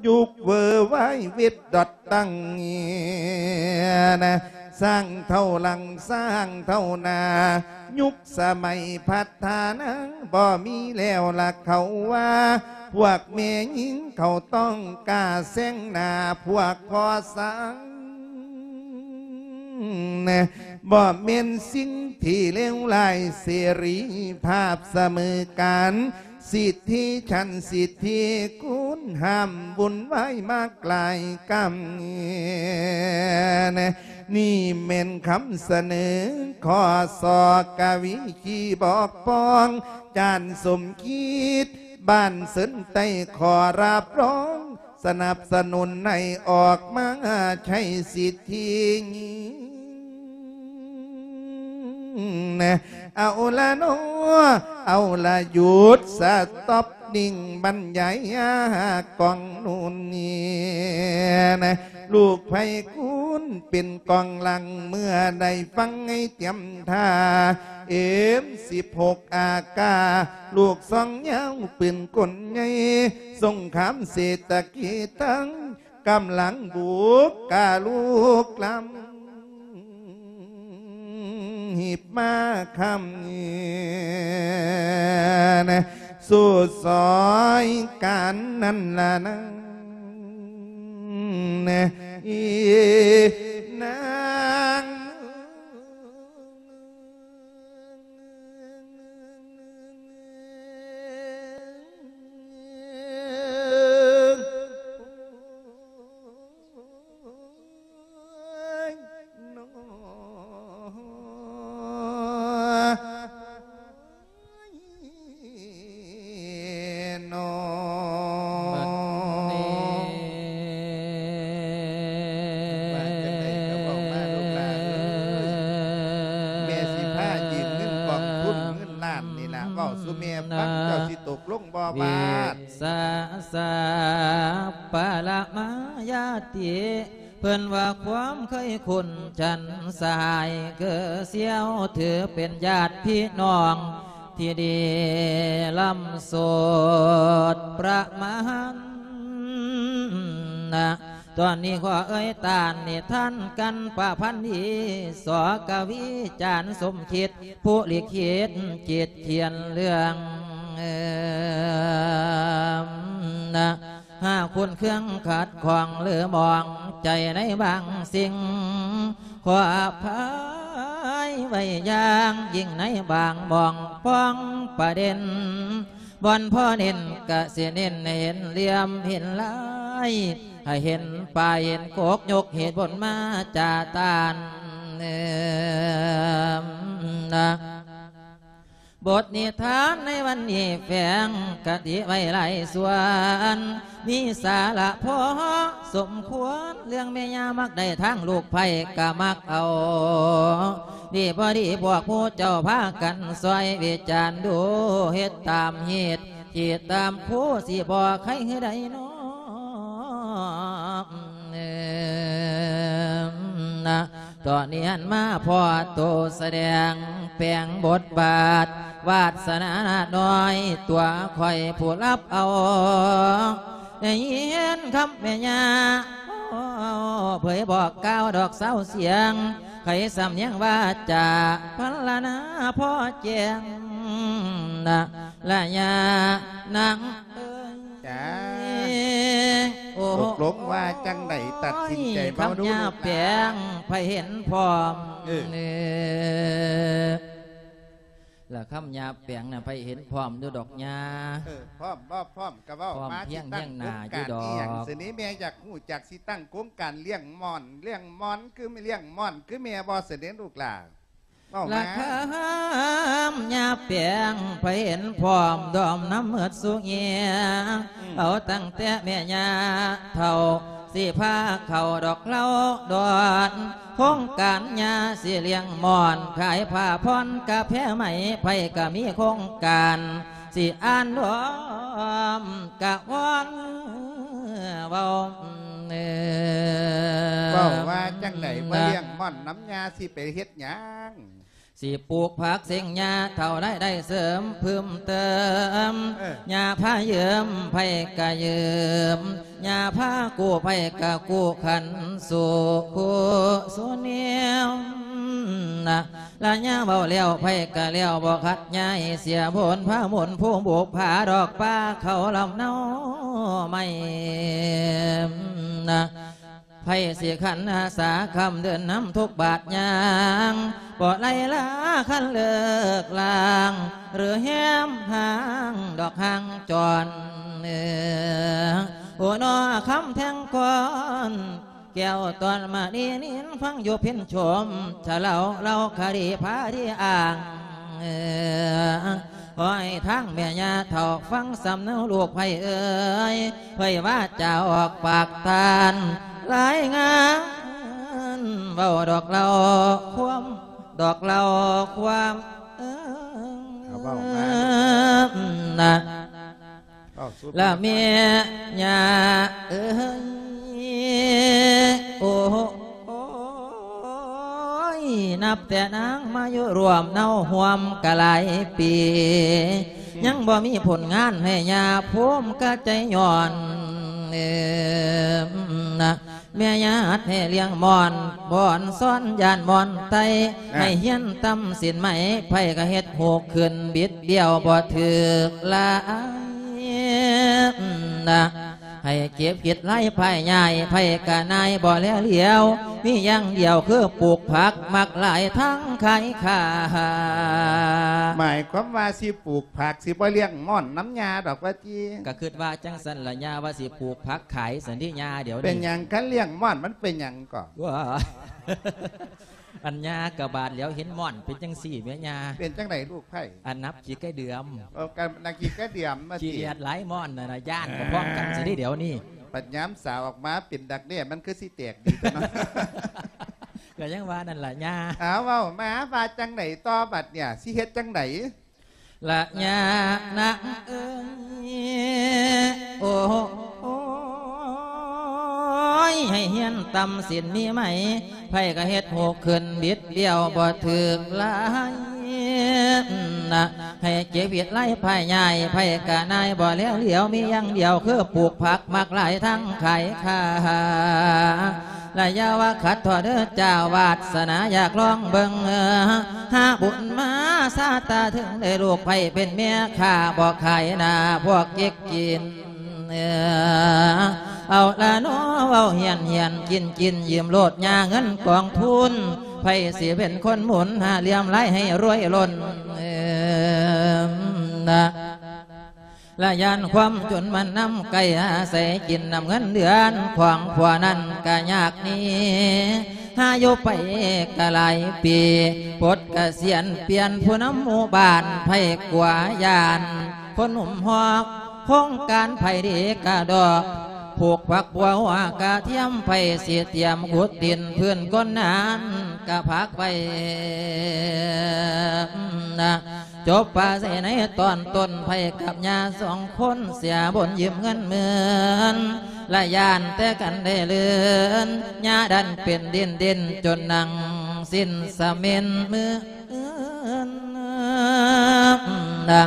ຍຸກເວີວາຍເວັດດອດຕັ້ງນະ ສ້າງເທົ່າຫຼັງສ້າງເທົ່າໜ້າ ຍຸກສະໄໝພັດທະນາ ບໍ່ມີແລ້ວລະເຂົາວ່າ ພວກແມ່ຍິງເຂົາຕ້ອງກ້າແຊງໜ້າພວກພໍ່ຊ້າງ ບໍ່ແມ່ນສິ່ງທີ່ເລວຮ້າຍ ເສລີພາບສະເໝີກັນ ສິດທິຊັ້ນສິດທິຄຸນ ຫ້າມວຸ້ນວາຍມາກຫຼາຍກຳ ນີ້ແມ່ນຄຳສະເໜີ ຂໍສອກະວິຄີບອກປອງ ຈານສົມຄິດ ບ້ານເຊີນໃຕ້ ຂໍຮັບຮອງ ສະໜັບສະໜູນໃຫ້ອອກມາໃຊ້ສິດທິ ເອົາລະນໍ ເອົາລະຢຸດ ສະຕັອບນິ່ງ ບັນຍາຍກອງນູນນີ້ ລູກໃຜຄູນເປັນກອງຫຼັງ ເມື່ອໄດ້ຟັງໃຫ້ຕຽມທ່າ ເອັມສິບຫົກ ອາກາ ລູກຊອງຍາວປືນກົນໃຫຍ່ ສົງຄາມເສດຖະກິດທັງ ກຳລັງບຸກກາລຸກລ້ຳ ຮີບມາຄ່ຳນີ້ ສູ້ຊອຍກັນນັ້ນລະນາງ ອີນາງ. ວ່າຈັ່ງໃດກໍເວົ້າມາ ລູກຫຼານເອີຍ ແມ່ຊິພາຢືມເງິນກອງທຶນເງິນລ້ານນີ້ລະ ເວົ້າສູ່ແມ່ຟັງ ເຈົ້າຊິຕົກລົງບໍ່ບາດ? ສະສັບປະລະມາຍາຕິ ເພິ່ນວ່າຄວາມເຄີຍຄຸ້ນ ຊັ້ນສະຫາຍເກື້ອສ່ຽວ ຖືເປັນຍາດພີ່ນ້ອງ ທີ່ດີລ້ຳໂສດປະມານນະ. ຕອນນີ້ຂໍເອີ່ຍຕານນິທານກັນປະພັນດີ ສ ກະວີຈານສົມຄິດ ຜູ້ລິຂິດຈິດຂຽນເລື່ອງນະ. ຫາກຄຸນເຄືອງຂັດຂ້ອງຫຼືມອງໃຈໃນບາງສິ່ງ ຂໍອະໄພໄວ້ຢ່າງຍິ່ງໃນບາງໝ່ອງປ່ອງປະເດັນ ບ່ອນພໍເນັ້ນກະຊິເນັ້ນໃຫ້ເຫັນຫຼ່ຽມເຫັນລາຍ ໃຫ້ເຫັນປ້າຍເຫັນກົກ ຍົກເຫດບົນມາຈາຕານນະ. ບົດນິທານໃນວັນນີ້ແຝງຄະຕິໄວ້ຫຼາຍສ່ວນ ມີສາລະພໍສົມຄວນ ເລື່ອງແມ່ຍ່າມັກໄດ້ທາງລູກໃພ້ກະມັກເອົາ ດີບໍ່ດີພວກໝູ່ເຈົ້າພາກັນຊ່ອຍວິຈານດູ ເຮັດຕາມຮີດ ຄິດຕາມຄູ ຊິບໍ່ໄຄໃດນໍ ຕອນນີ້ຫັນມາພໍ້ໂຕສະແດງ ແປງບົດບາດ ວາດສະໜາໜ້ອຍ ຕົວຂ້ອຍຜູ້ຮັບເອົາ ໄດ້ຍິນຄຳແມ່ຍ່າ ເຜີຍບອກກ່າວດອກເຊົາສຽງ ໄຂສຳນຽງວາຈາພັນລະນາພໍ້ແຈ້ງນະ ລະຍານາງເອີຍ. ຈ້າ ໂອ້ ຕົກລົງວ່າຈັ່ງໃດ ຕັດສິນໃຈເວົ້າດູ ຄຳຍາແປງ ໃຜເຫັນພ້ອມ ເອີ ລະຄຳຍາແປງນະ ໃຜເຫັນພ້ອມຢູ່ດອກຍາ ເອີ ພ້ອມບໍ່ພ້ອມກະເວົ້າ ພ້ອມ ມາ ພຽງ ຊິຕັ້ງ ຮຽງໜ້າ ໂຄງການ ຢູ່ດອກ ອີ່ຫຍັງ ຊະນີ້ ແມ່ຢາກຮູ້ຈັກ ຊິຕັ້ງໂຄງການລ້ຽງມ່ອນ ລ້ຽງມ່ອນ ຄືລ້ຽງມ່ອນ ຄືແມ່ບໍ່ ຊະນີ້ ລູກຫຼ້າ ເວົ້າມາ ລະຄຳຍາແປງ ໃຜເຫັນພ້ອມ ດອມນຳໝົດສູ່ເຫຍ ອືມ ເອົາຕັ້ງແຕ່ແມ່ຍ່າເຖົ້າ ຊິພາເຂົ້າດອກເລົ່າດອນ ໂຄງການຍາຊິລ້ຽງມ່ອນ ຂາຍຜ້າຜ່ອນກາແຟໄໝ ໃຜກະມີໂຄງການ ຊິອ່ານດອມກະວອນເວົ້າ ເວົ້າວ່າຈັ່ງໃດ ບໍ່ລ້ຽງມ່ອນນຳຍາ ຊິໄປເຮັດຫຍັງ? ຊິປູກຜັກເສັງຍາເຖົ້າ ລາຍໄດ້ເສີມເພີ່ມເຕີມ ເອີ ຍາພາຢືມໃຜກະຢືມ ຍາພາກູ້ໃຜກະກູ້ ຄັນສູ້ຄູ່ສູ້ແນວນະ ລະຍາເວົ້າແລ້ວໃຜກະແລ້ວ ບໍ່ຂັດຍາໃຫ້ເສຍບຸນ ພາໝູນຜູ້ບຸກຜາດອກປ່າເຂົາລຳເນົາໄມ້ນະ ໃຜຊິຂັນອາສາຄ້ຳເດີນນຳທຸກບາດຍ່າງ ບໍ່ໄລ່ລາຄັນເລີກລາງ ຫຼືແຮມຫ້າງດອກຫ່າງຈອນ ເອີ ໂອນໍ ຄຳແທ່ງກ່ອນ ແກ້ວຕອນມະນີນິນ ຟັງຢູ່ເພັນຊົມ ຊະເລົ່າເລົ່າຄະດີພາທີ່ອ້າງ ຂໍໃຫ້ທາງແມ່ຍ່າເຖົ້າ ຟັງສຳເນົາລູກໃຜເອີຍ ໃຜວ່າຈະອອກປາກທ່ານ ລາຍງານເວົ້າດອກເລົ່າຄວາມ ດອກເລົ່າຄວາມ ເອີ ເອົາເວົ້າມາ ນະ ເວົ້າສຸດ ລະແມ່ຍ່າເອີຍ ໂອ້ ໂອ້ຍ ນັບແຕ່ນາງມາຢູ່ຮ່ວມເນົາຮ່ວມກະຫຼາຍປີ ຍັງບໍ່ມີຜົນງານໃຫ້ຍ່າພູມກະໃຈຍ້ອນ ເອີ ນະ ແມ່ຍ່າຮັດໃຫ້ລ້ຽງມ່ອນ ບ່ອນສອນຢ້ານມ່ອນໄຕ ນະ ໃຫ້ຮຽນຕຳສິນໄໝ ໃຜກະເຮັດຫູກຂຶ້ນບິດບ້ຽວບໍ່ຖືກລາຍ ນະ ໃຫ້ເກັບເຮັດລາຍພາຍຍາຍ ໃຜກະນາຍບໍ່ແລຫຼຽວ ມີຢ່າງດຽວຄືປູກຜັກ ມັກຫຼາຍທັງຂາຍຂ້າ ໝາຍຄວາມວ່າຊິປູກຜັກ ຊິບໍ່ລ້ຽງມ່ອນນຳຍ່າດອກວ່າຕິ ກະຄິດວ່າຈັ່ງຊັ້ນລະ ຍ່າວ່າຊິປູກຜັກຂາຍຊັ້ນຕິ ຍ່າດຽວນີ້ ເປັນຫຍັງ ຄັນລ້ຽງມ່ອນມັນເປັນຫຍັງກໍ ວ້າ ອັນຍ່າກະບາດແລ້ວ ເຫັນມ່ອນເປັນຈັ່ງຊີ້ແມະຍ່າ ເປັນຈັ່ງໃດລູກໃຜ ອັນນັບຂີ້ໄກ່ເດືອມ ເອີ ກັນນັກຂີ້ໄກ່ເດືອມມາ ຂີ້ດຽດຫຼາຍມ່ອນນະ ນະ ຢ້ານກະພ້ອມກັນຊິເດ ດຽວນີ້ ບັດຍາມສາວອອກມາເປັນດັກແດ້ ມັນຄືຊິແຕກດີຕົວະເນາະ ກະຍັງວ່ານັ້ນລະຍ່າ ເອົາ ເວົ້າມາ ວ່າຈັ່ງໃດຕໍ່ບັດເນີ້ຍ ຊິເຮັດຈັ່ງໃດ? ລະຍານາງເອີຍ ໂອ້ ໂອ້ຍ ໃຫ້ຮຽນຕຳສິນມີໄໝ ໃຜກະເຮັດຫູກຂຶ້ນບິດບ້ຽວບໍ່ຖືກລາຍ ນະ ໃຫ້ເຈັບພິດໄລພະຍາຍໄພກະນາຍບໍ່ແລຫຼຽວ ມີຢ່າງດຽວຄືປູກຜັກມັກຫຼາຍທັງຂາຍຄ່າ ລະຢ່າວ່າຂັດທໍ້ເດີເຈົ້າ ວາດສະໜາຢາກລອງເບິ່ງ ຫາບຸນມາຊາດຕາເຖິງໄດ້ລູກໃຜເປັນເມຍຂ້າ ບໍ່ຂາຍໜ້າພວກເກັກກິນ. ເອີ ເອົາລະເນາະ ເວົ້າຮຽນໆ ກິນໆ ຢືມໂລດຫຍ້າເງິນກອງທຶນ ໃຜຊິເປັນຄົນໝູນຫາຫຼຽມລາຍໃຫ້ລວຍລົ້ນ ເອີ ນະ ລະຢ້ານຄວາມຈົນມັນນຳໃກ້ ອາໄສກິນນຳເງິນເດືອນຂອງຜົວນັ້ນກະຍາກໜີ ຫາຢູ່ໄປກະຫຼາຍປີ ປົດກະສຽນປ່ຽນຜູ້ນຳໝູ່ບ້ານ ໃຜກົວຢ້ານ ຄົນໜຸ່ມຮອກ ໂຄງການໃຜດີກະດອກ ຜູກຜັກບົວຫົວກະທຽມ ໃຜຊິຕຽມຂຸດດິນພື້ນກົ້ນນັ້ນກະຜັກໄວ້ນະ ຈົບປາໃສ່ໃນຕອນຕົ້ນ ໃຜກັບຍ່າສອງຄົນ ເສຍບົນຢືມເງິນໝື່ນ ລະຢ້ານແຕ່ກັນໄດ້ເລີນ ຍ່າດັນເປັນດິນດິນ ຈົນນັ່ງສິ້ນສະເໝັນມື້ນະ.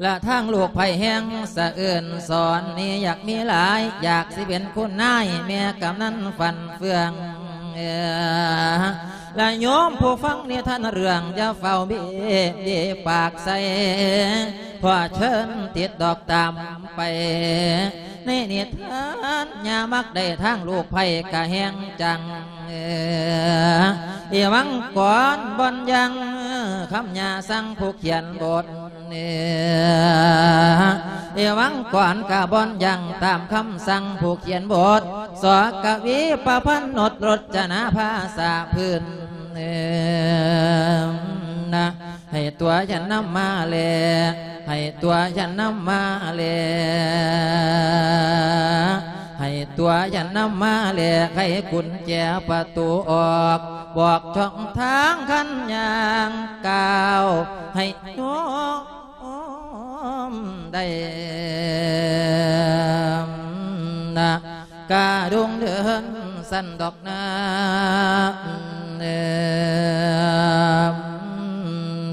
ລະທາງລູກໃຜແຮງສະເອີນສອນນີ້ ຢາກມີຫຼາຍ ຢາກຊິເປັນຄຸນນາຍ ແມ່ກຳນັນຟັນເຟືອງ ລະໂຍມຜູ້ຟັງນິທານເລື່ອງ ຢ່າຟ້າວເບເບປາກໃສ່ ຂໍເຊີນຕິດດອກຕາມໄປ ໃນນິທານ ຍ່າມັກໄດ້ທາງລູກໃຜກະແຮງຈັງ ເອີ ເອວັງກອນບ່ອນຍັງ ຄຳຍ່າສັ່ງຜູ້ຂຽນບົດ ເອີ ເອວັງກອນກະບ່ອນຍັງ ຕາມຄຳສັ່ງຜູ້ຂຽນບົດ ສ ກະວີ ປະພັນນົດ ລົດຈະນາພາສາພື້ນ ເອີ ນະ ໃຫ້ຕົວຢ່ານຳມາແລ ໃຫ້ຕົວຢ່ານຳມາແລ ໃຫ້ຕົວຢ່ານຳມາແລ ໃຫ້ກຸນແຈປະຕູອອກ ບອກຊ່ອງທາງຄັນຍ່າງກ້າວ ໃຫ້ໂຍມໄດ້ນະ ກະດົງເດີນສັ້ນດອກນາ ເອີ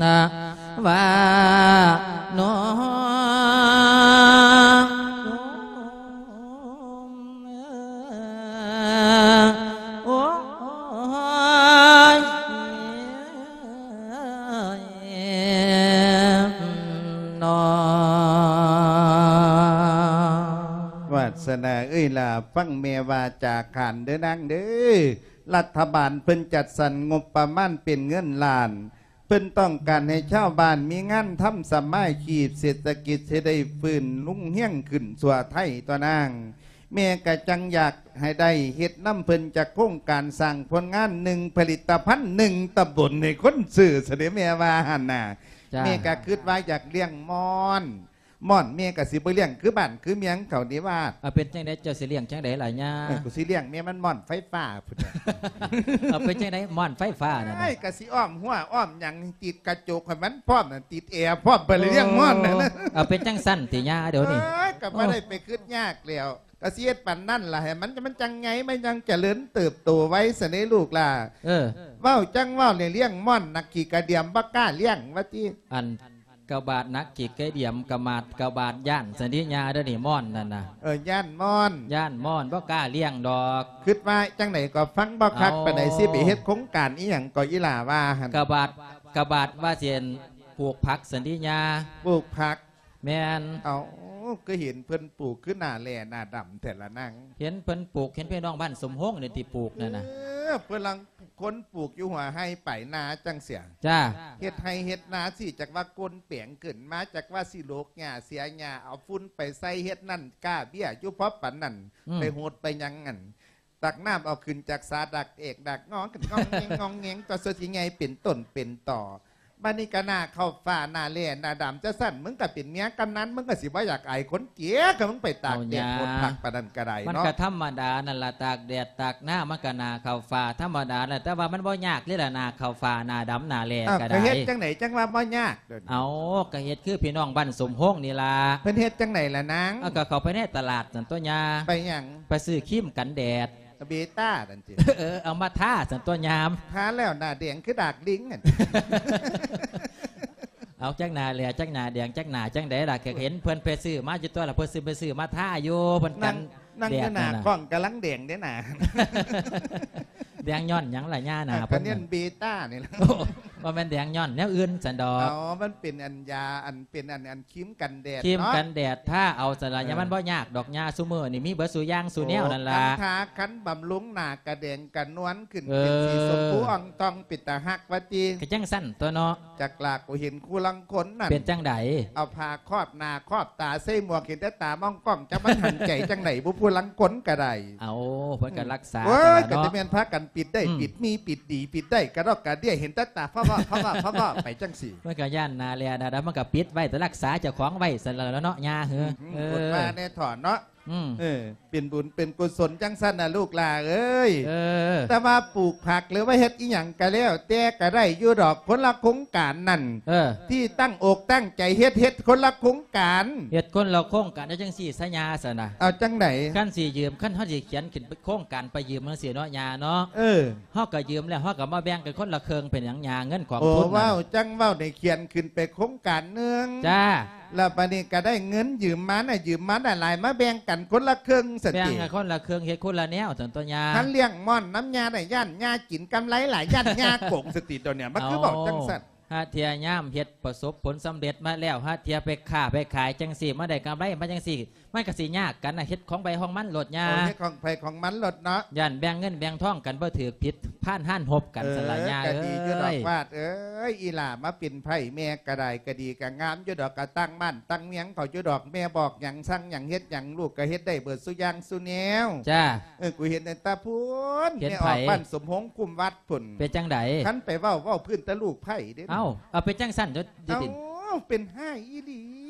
ນະ ວ່ານ້ອງ ໂອ້ຍ ເນາະ ວາດສະໜາເອີຍຫຼ້າ ຟັງແມ່ວ່າຈາຂານເດີນາງເດີ ລັດຖະບານເພິ່ນຈັດສັນງົບປະມານເປັນເງິນລ້ານ ເພິ່ນຕ້ອງການໃຫ້ຊາວບ້ານມີງານທຳ ສຳມາຊີບເສດຖະກິດຊິໄດ້ຟື້ນຮຸ່ງເຮືອງຂຶ້ນທົ່ວໄທຕົວະນາງ. ແມ່ກະຈັ່ງຢາກໃຫ້ໄດ້ເຮັດນຳເພິ່ນຈັກໂຄງການ ສ້າງຜົນງານໜຶ່ງຜະລິດຕະພັນໜຶ່ງຕຳບົນໃຫ້ຄົນຊື້ຊະເດ ແມ່ວ່າຫັ້ນນະ. ຈ້າ ແມ່ກະຄິດວ່າຢາກລ້ຽງມ່ອນ ມ່ອນແມ່ກະຊິບໍ່ລ້ຽງຄືບ້ານຄືເມືອງເຂົານີ້ວ່າ. ເອົາ ເປັນຈັ່ງໃດ ເຈົ້າຊິລ້ຽງຈັ່ງໃດລະຍ່າ? ເອີ ກູຊິລ້ຽງແມ່ມັນມ່ອນໄຟຟ້າພຸ້ນ. ເອົາ ເປັນຈັ່ງໃດ ມ່ອນໄຟຟ້ານັ້ນນະ? ໂອ້ຍ ກະຊິອ້ອມຮົ້ວອ້ອມຫຍັງ ຕິດກະຈົກໃຫ້ມັນພ້ອມ ຕິດແອພ້ອມ ໄປລ້ຽງມ່ອນນັ້ນນະ. ເອົາ ເປັນຈັ່ງຊັ້ນຕິຍ່າ ດຽວນີ້? ໂອ້ຍ ກະບໍ່ໄດ້ໄປຄິດຍາກແລ້ວ ກະຊິເຮັດປານນັ້ນລະ ໃຫ້ມັນ ມັນຈັ່ງໃຫຍ່ ມັນຈັ່ງຈະເລີນເຕີບໂຕໄວຊະເດລູກຫຼ້າ. ເອີ ເວົ້າຈັ່ງເວົ້າ ລ້ຽງມ່ອນໜັກຂີ້ກະດຽມ ບໍ່ກ້າລ້ຽງວ່າຕິ. ອັນ ກະບາດໜັກຂີ້ກະດຽມ ກະມາດກະບາດຢ້ານຊັ້ນຕິຍ່າ ດຽວນີ້ມ່ອນນັ້ນນະ. ເອີ ຢ້ານມ່ອນ ຢ້ານມ່ອນ ບໍ່ກ້າລ້ຽງດອກ. ຄິດວ່າຈັ່ງໃດກໍຟັງບໍ່ຄັກປານໃດ. ເອົາ ຊິໄປເຮັດໂຄງການອີ່ຫຍັງກໍອີ່ຫຼ້າວ່າຫັ້ນ? ກະບາດ ກະບາດວ່າຊິ ອັນ ປູກຜັກຊັ້ນຕິຍ່າ. ປູກຜັກ? ແມ່ນ. ເອົາ ຄືເຫັນເພິ່ນປູກຄືໜ້າແຫຼ້ໜ້າດຳແທ້ລະນາງ? ເຫັນເພິ່ນປູກ ເຫັນພີ່ນ້ອງບ້ານສົມໂຮງນີ້ຕິປູກນັ້ນນະ. ເອີ ເພິ່ນລາງ ຄົນປູກຢູ່ຫົວໄຮ່ປາຍນາຈັ່ງຊີ້. ຈ້າ ເຮັດໄຮ່ເຮັດນາຊີ້ ຈັກວ່າໂກນແປງຂຶ້ນມາ ຈັກວ່າຊິໂລກຫຍ້າເສຍຫຍ້າ ເອົາຝຸ່ນໄປໃສ່ເຮັດນັ້ນ ກ້າເບ້ຍຢູ່ພໍປານນັ້ນ. ອືມ ໄປຫົດໄປຫຍັງຫັ້ນ ຕັກນ້ຳເອົາຂຶ້ນຈາກສາ ດັກແອກດັກງອ ຂຶ້ນງອງແງງງອງແງງ ກວ່າຊິໃຫຍ່ເປັນຕົ້ນເປັນຕໍ. ບາດນີ້ກະໜ້າເຂົ້າຟ້າ ໜ້າແລ້ໜ້າດຳຈັ່ງຊັ້ນ ມຶງກະເປັນເມຍກຳນັນ ມຶງກະຊິບໍ່ຢາກອາຍຄົນເກຍ ກະມຶງໄປຕາກແດດ ເອົາຫຍັງ ໂພດຄັກປານນັ້ນກະໄດ້ເນາະ. ມັນກະທຳມະດານັ້ນລະ ຕາກແດດຕາກໜ້າ ມັນກະໜ້າເຂົ້າຟ້າທຳມະດານັ້ນ ແຕ່ວ່າມັນບໍ່ຍາກເດ້ລະ ໜ້າເຂົ້າຟ້າ ໜ້າດຳ ໜ້າແລ້ກະໄດ້. ເອົາ ກະເຮັດຈັ່ງໃດຈັ່ງວ່າບໍ່ຍາກ? ເອົາ ກະເຮັດຄືພີ່ນ້ອງບ້ານສົມໂຮງນີ້ລະ. ເພິ່ນເຮັດຈັ່ງໃດລະນາງ? ເອົາ ກະເຂົ້າໄປໃນຕະຫຼາດນັ້ນຕົວະຍ່າ. ໄປຫຍັງ? ໄປຊື້ຄຣີມກັນແດດ. ເບຕ້ານັ້ນຕິ ເອີ ເອົາມາທາຊັ້ນຕົວຍາມ ທາແລ້ວໜ້າແດງຄືດາກລິງຫັ້ນ ເອົາຈັກໜ້າແຫຼະ ຈັກໜ້າແດງ ຈັກໜ້າຈັ່ງໃດລະ ກໍເຫັນເພິ່ນໄປຊື້ມາຢູ່ຕົວລະ ເພິ່ນຊື້ໄປຊື້ມາທາຢູ່ ເພິ່ນກັນ ນັ່ງຢູ່ໜ້າກ້ອງກຳລັງແດງເດ້ໜ້າ ແດງຍ້ອນຫຍັງລະຍ່າໜ້າເພິ່ນ ກໍຍ້ອນເບຕ້ານີ້ລະ ໂອ້ ບໍ່ແມ່ນແດງຍ້ອນແນວອື່ນຊັ້ນດອກ ເອົາ ມັນເປັນອັນຢາ ອັນເປັນອັນ ອັນ ຄຣີມກັນແດດ ຄຣີມເນາະ ກັນແດດ ທາເອົາຊັ້ນລະ ເອີ ຍາ ມັນບໍ່ຍາກດອກ ຍາຊຸມື້ນີ້ມີເບິດສູ່ຢ່າງສູ່ແນວນັ້ນລະ ໂອ້ ທັງທາຄັນບຳລຸງໜ້າກະແດງກະນວນຂຶ້ນ ເອີ ເປັນສີຊົມພູອ່ອງຕ່ອງ ເປັນຕາຮັກວ່າຕິ ກະຈັ່ງຊັ້ນຕົວເນາະ ຈັກລະ ກູເຫັນຄູ່ລາງຄົນນັ້ນ ເປັນຈັ່ງໃດ ເອົາຜ້າຄອບໜ້າຄອບຕາ ໃສ່ໝວກ ເຫັນແຕ່ຕາມອງກ້ອງ ຈັກມັນຫັນໃຈຈັ່ງໃດບຸ ຜູ້ລາງຄົນກະໄດ້ ເອົາ ເພິ່ນກະ ອືມ ລັກສາ ໂອ້ຍ ກະຈະແມ່ນພາກັນປິດໄດ້ ອືມ ປິດມີ ປິດດີ ປິດໄດ້ກະດອກກະເດຍ ເຫັນແຕ່ຕາຟ້າວໆ ໄປຈັ່ງຊີ້ ມັນກະຢ້ານໜ້າແລະໜ້າດຳ ມັນກະປິດໄວ້ ແຕ່ລັກສາເຈົ້າຂອງໄວ້ຊັ້ນລະເນາະ ຍ່າເອີ ອືມ ເອີ ອົດວ່າແດ່ຖອນເນາະ ອືມ ເອີ ເປັນບຸນເປັນກຸສົນຈັ່ງຊັ້ນນະລູກຫຼ້າເອີຍ ເອີ ແຕ່ວ່າປູກຜັກ ຫຼືວ່າເຮັດອີ່ຫຍັງກະແລ້ວແຕ່ກະໄດ້ຢູ່ດອກ ຄົນລະໂຄງການນັ້ນ ເອີ ທີ່ຕັ້ງອົກຕັ້ງໃຈເຮັດ ເຮັດຄົນລະໂຄງການ ເຮັດຄົນລະໂຄງການ ເອົາຈັ່ງຊີ້ຊະຍ່າຊັ້ນນະ ເອົາຈັ່ງໃດ ຄັນຊິຢືມ ຄັນເຮົາຊິຂຽນຂຶ້ນໂຄງການໄປຢືມຈັ່ງຊີ້ເນາະຍ່າເນາະ ເອີ ເຮົາກະຢືມແລ້ວ ເຮົາກະມາແບ່ງກັນຄົນລະເຄິ່ງ ເປັນຫຍັງຍ່າ ເງິນຂອງ ໂອ້ ທຶນ ເວົ້າຈັ່ງເວົ້າ ໄດ້ຂຽນຂຶ້ນໄປໂຄງການໜຶ່ງ ຈ້າ ລະບາດນີ້ກະໄດ້ເງິນຢືມມານະ ຢືມມານະຫຼາຍ ມາແບ່ງກັນຄົນລະເຄິ່ງຊັ້ນຕິ ແບ່ງກັນຄົນລະເຄິ່ງ ເຮັດຄົນລະແນວຊັ້ນຕົວຍ່າ ຄັນລ້ຽງມ່ອນນຳຍ່າໄດ້ ຢ້ານຍ່າກິນກຳໄລຫຼາຍ ຢ້ານຍ່າໂກງຊັ້ນຕິ ດຽວນີ້ມັນຄືເວົ້າຈັ່ງຊັ້ນ ຫາເທື່ອຍາມເຮັດປະສົບຜົນສຳເລັດມາແລ້ວ ຫາເທື່ອໄປຄ້າໄປຂາຍຈັ່ງຊີ້ ມາໄດ້ກຳໄລມາຈັ່ງຊີ້ ມັນກະຊິຍາກກັນນະ ເຮັດຂອງໃຜຂອງມັນໂລດຍ່າ ເອີ ເຮັດຂອງໃຜຂອງມັນໂລດເນາະ ຢ້ານແບ່ງເງິນແບ່ງທອງກັນບໍ່ຖືກ ຜິດພານຮ້ານຮົບກັນຊັ້ນລະຍ່າເອີຍ ກະດີຢູ່ດອກ ວາດເອີຍ ອີ່ຫຼ້າມາເປັນໃພ້ແມ່ກະໄດ້ ກະດີກະງາມຢູ່ດອກ ກະຕັ້ງບ້ານຕັ້ງເມືອງເຂົາຢູ່ດອກ ແມ່ບອກຫຍັງສັ່ງຫຍັງເຮັດຫຍັງ ລູກກະເຮັດໄດ້ເບິດສູ່ຢ່າງສູ່ແນວ ຈ້າ ເອີ ກູເຫັນແຕ່ຕາພຸ້ນ ເຫັນໃຜ ແມ່ອອກບ້ານສົມໂຮງຄຸ້ມວັດພຸ້ນ ເປັນຈັ່ງໃດ ຄັນໄປເວົ້າ ເວົ້າພື້ນແຕ່ລູກໃພ້ເດ້ ເອົ້າ ເອົາ ເປັນຈັ່ງຊັ້ນ ເອົ້າ ເປັນຮ້າຍອີ່ຫຼີ